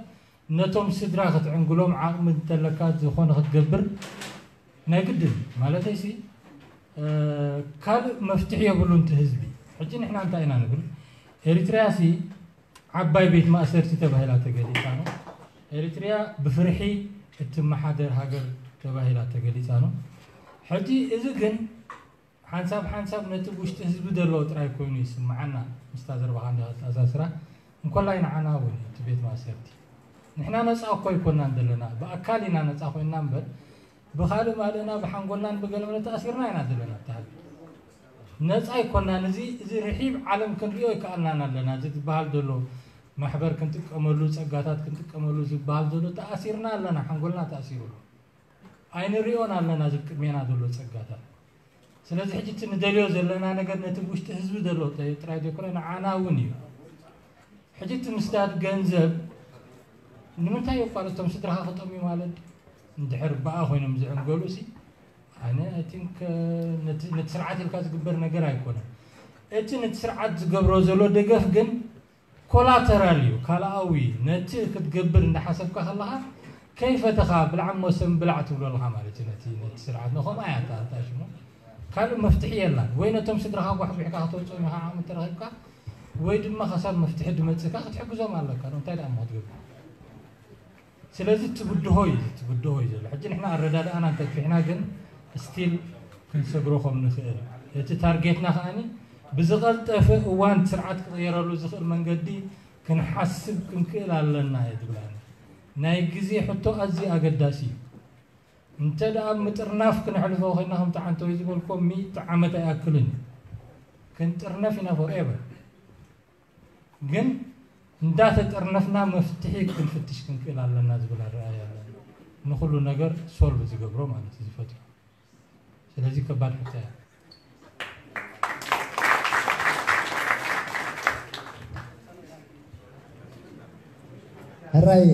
ነቶም ስድራ ክትዕንግሎም ዓቕሚ እንተለካ ዝኾነ ክትገብር ናይ ግድን ማለተይሲ ካልእ መፍትሒ የብሉን እቲ ህዝቢ። ሕጂ ንሕና እንታይ ኢና ንብል? ኤሪትሪያ ሲ ዓባይ ቤት ማእሰርቲ ተባሂላ ተገሊጻ ነው። ኤሪትሪያ ብፍርሒ እትመሓደር ሃገር ተባሂላ ተገሊጻ ነው። ሕጂ እዚ ግን ሓንሳብ ሓንሳብ ነቲ ውሽጢ ህዝቢ ዘለዎ ጥራይ ኮይኑ ይስምዓና። ምስታ ዘረባኻ እንዲኻ ተኣሳስራ እንኮላይ ንዓና እውን እቲ ቤት ማእሰርቲ ንሕና ነፃ እኮ ኣይኮናን ዘለና፣ ብኣካል ኢና ነፃ ኮይንና እምበር ብኻልእ ማለና ብሓንጎልናን ብገለመለ ተኣሲርና ኢና ዘለና። ተሃቢ ነፃ ኣይኮናን። እዚ እዚ ርሒብ ዓለም ክንሪኦ ይከኣልናን ኣለና። እዚ ዝበሃል ዘሎ ማሕበር ክንጥቀመሉ፣ ጸጋታት ክንጥቀመሉ ዝበሃል ዘሎ ተኣሲርና ኣለና፣ ሓንጎልና ተኣሲሩ ኣሎ። ኣይንሪኦን ኣለና እዚ ቅድሜና ዘሎ ጸጋታት። ስለዚ ሕጂ እቲ ንደልዮ ዘለና ነገር ነቲ ውሽጢ ህዝቢ ዘሎ ጥራይ ዘይኮነ ንዓና እውን እዩ። ሕጂ እቲ ምስዳድ ገንዘብ ንምንታይ የቋርጾም? ስድራኻ ክጠምዩ ማለት እንድሕር በኣ ኮይኖም ዝዕንገሉ ሲ ኣነ I think ነቲ ነቲ ስርዓት ኢልካ ዝግበር ነገር ኣይኮነን። እቲ ነቲ ስርዓት ዝገብሮ ዘሎ ደገፍ ግን ኮላተራል እዩ፣ ካልኣዊ። ነቲ ክትገብር እንዳሓሰብካ ከለኻ ከይፈተኻ ብላዕ እሞ ሰም ብላዕ ትብሎ ኣለኻ ማለት እዩ። ነቲ ነቲ ስርዓት ንኸምኣ እያ እታ እታ ሽሙ ካልእ መፍትሒ የላን። ወይ ነቶም ስድራኻ ጓሕጒሕካ ከተውፅኦም ኢኻ ዓቕሚ እንተረኺብካ፣ ወይ ድማ ከሳብ መፍትሒ ድመፅእካ ክትሕግዞም ኣለካ። እንታይ ደኣ እሞ ክትገብር? ስለዚ ትብድሆ እዩ ትብድሆ እዩ ዘሎ። ሕጂ ንሕና ኣረዳድኣና እንተግፊሕና ግን ስቲል ክንሰግሮ ከም ንኽእል እቲ ታርጌትና ከኣኒ ብዝቐልጠፈ እዋን ስርዓት ክቕየረሉ ዝኽእል መንገዲ ክንሓስብ ክንክእል ኣለና እየ ዝብላኒ። ናይ ግዜ ሕቶ ኣዝዩ ኣገዳሲ እዩ። እንተ ደኣ ምጥርናፍ ክነሕልፎ ኮይና ከምቲ ዓንተወይ ዝበልኮ ሚእቲ ዓመት ኣይኣክልን እዩ። ክንጥርነፍ ኢና ፎርኤቨር። ግን እንዳተጠርነፍና መፍትሒ ክንፍትሽ ክንክእል ኣለና ዝብል ኣረኣእያ ኣለና። ንኹሉ ነገር ሶልቭ ዝገብሮ ማለት እዩ ዝፈትሑ። ስለዚ ከባድ ሕቶ እያ። ሕራይ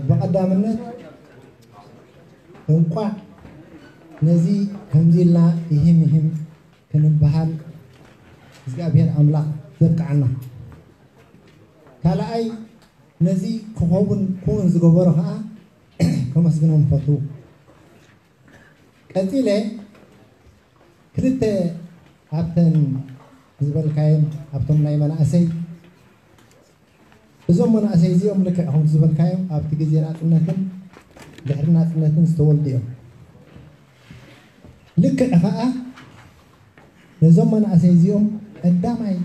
ብቐዳምነት እንቋዕ ነዚ ከምዚ ኢልና ይህም ይህም ክንበሃል እግዚኣብሔር ኣምላኽ ዘብቅዓና። ካልኣይ ነዚ ክኸውን ክውን ዝገበሮ ከዓ ከመስግኖም ፈቱ። ቀፂለ ክልተ ኣብተን ዝበልካየን ኣብቶም ናይ መናእሰይ እዞም መናእሰይ እዚኦም ልክዕ ከምቲ ዝበልካዮም ኣብቲ ግዜ ናፅነትን ድሕሪ ናፅነትን ዝተወልዱ እዮም። ልክዕ ከዓ ነዞም መናእሰይ እዚኦም ቀዳማይ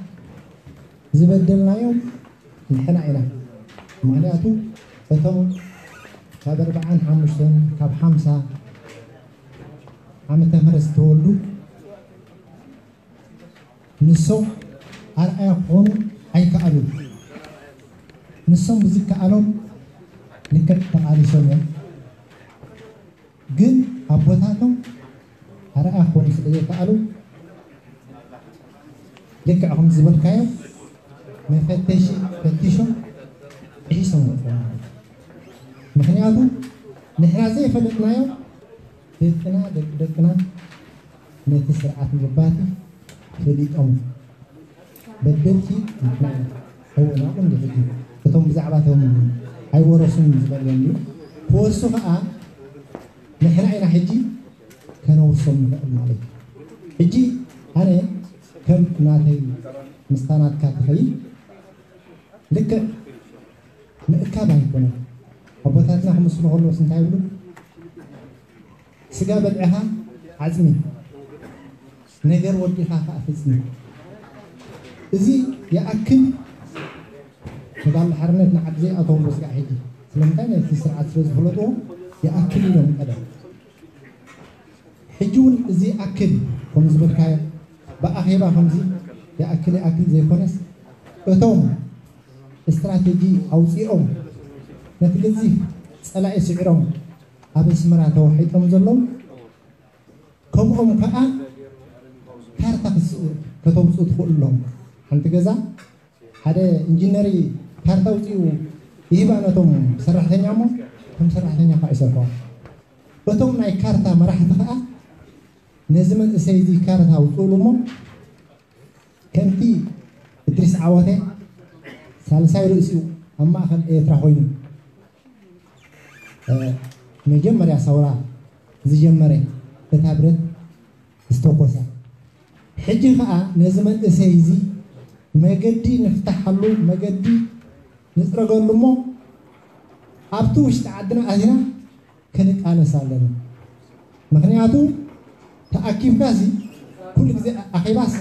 ዝበደልናዮም ንሕና ኢና። ምክንያቱ እቶም ካብ ኣርብዓን ሓሙሽተን ካብ ሓምሳ ዓመተ ምህረት ዝተወልዱ ንሶም ኣርኣያ ክኾኑ ኣይከኣሉን። ንሶም ብዝከኣሎም ልክዕ ተቓሊሶም እዮም። ግን ኣቦታቶም ኣርኣያ ክኾኑ ስለ ዘይከኣሉ ልክዕ ከም ዝበልካዮም መፈተሺ ፈቲሾም ጥሒሶም ወፅኦም ማለት እዩ። ምክንያቱ ንሕና ዘይፈለጥናዮም ደቅና ደቂ ደቅና ነቲ ስርዓት ምግባቲ ፈሊጦም በደልቲ ንሕና ኢና። እወ ናብኡ እንዲ ሕጂ እቶም ብዛዕባ እቶም ኣይወረሱን ዝበልዮም እዩ ክወርሱ ከዓ ንሕና ኢና ሕጂ ከነውርሶም ንኽእል ማለት እዩ። ሕጂ ኣነ ከም ናተይ ምስታ ናትካ ትኸይድ ልክዕ ምእካብ ኣይኮነን። ኣቦታትና ክምስሉ ከለዎስ እንታይ ይብሉ? ስጋ በልዕኻ ዓፅሚ፣ ነገር ወዲኻ ከዓ ፍፅሚ። እዚ ይኣክል። ተጋድሎ ሓርነት ንዓዲ ዘይኣተውሉ ስጋዕ ሕጂ ስለምንታይ ነቲ ስርዓት ስለ ዝፈለጥዎ ይኣክል ኢሎም ቀደም። ሕጂ እውን እዚ ይኣክል ከም ዝበልካዮ ብኣኼባ ከምዚ ይኣክል ይኣክል ዘይኮነስ እቶም ስትራቴጂ ኣውፂኦም ነቲ ገዚፍ ፀላኢ ስዒሮም ኣብ ኣስመራ ተዋሒጦም ዘለዉ ከምኦም ከዓ ካርታ ክስ- ከተውፅኡ ትኽእሉ ኣለኹም። ሓንቲ ገዛ ሓደ ኢንጂነር ካርታ ኣውፂኡ ይህባ ነቶም ሰራሕተኛ እሞ እቶም ሰራሕተኛ ከዓ ይሰርሕዋ። እቶም ናይ ካርታ መራሕቲ ከዓ ነዚ መንእሰይ እዚ ካርታ ኣውፅእሉ እሞ ከምቲ እድሪስ ዓወተ ሳልሳይ ርእሲኡ ኣብ ማእኸል ኤርትራ ኮይኑ መጀመርያ ሰውራ ዝጀመረ እታ ብረት ዝተኮሰ ሕጂ ከዓ ነዚ መንእሰይ እዚ መገዲ ንፍታሓሉ መገዲ ንፅረገሉ እሞ ኣብቲ ውሽጢ ዓድና ኣዚና ክንቃለስ ኣለና። ምክንያቱ ተኣኪብካ ሲ ኩሉ ግዜ ኣኼባስ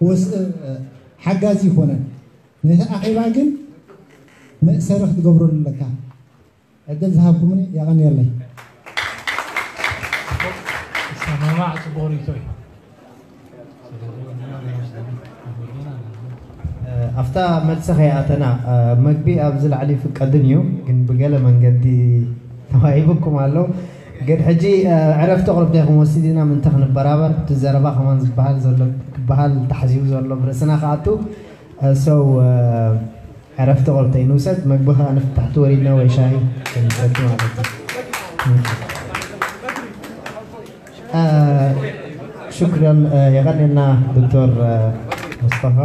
ወስ ሓጋዚ ይኮነን። ነቲ ኣኼባ ግን መእሰሪ ክትገብረሉ ኣለካ። ዕድል ዝሃብኩምኒ የቐንየለይ። ሰማማዕ ጽቡቕ ርእይቶ እዩ። ኣብታ መልሲ ከይኣተና መግቢ ኣብዚ ላዕሊ ይፍቀድን እዩ፣ ግን ብገለ መንገዲ ተዋሂቡኩም ኣሎ። ግን ሕጂ ዕረፍቲ ቁርብ ዲኹም ወሲድና ምንተ ክንበራበር እቲ ዘረባ ከማን ዝበሃል ዘሎ ክበሃል ተሓሲቡ ዘሎ ብርእስና ክኣቱ ሰው ዕረፍቲ ቁርብ ተይንውሰድ መግቢ ከዓ ንፍታሕቲ ወሪድና ወይ ሻሂ ክንሰቲ ማለት እዩ። ሽክረን የቐንየልና ዶክተር ሙስጠፋ።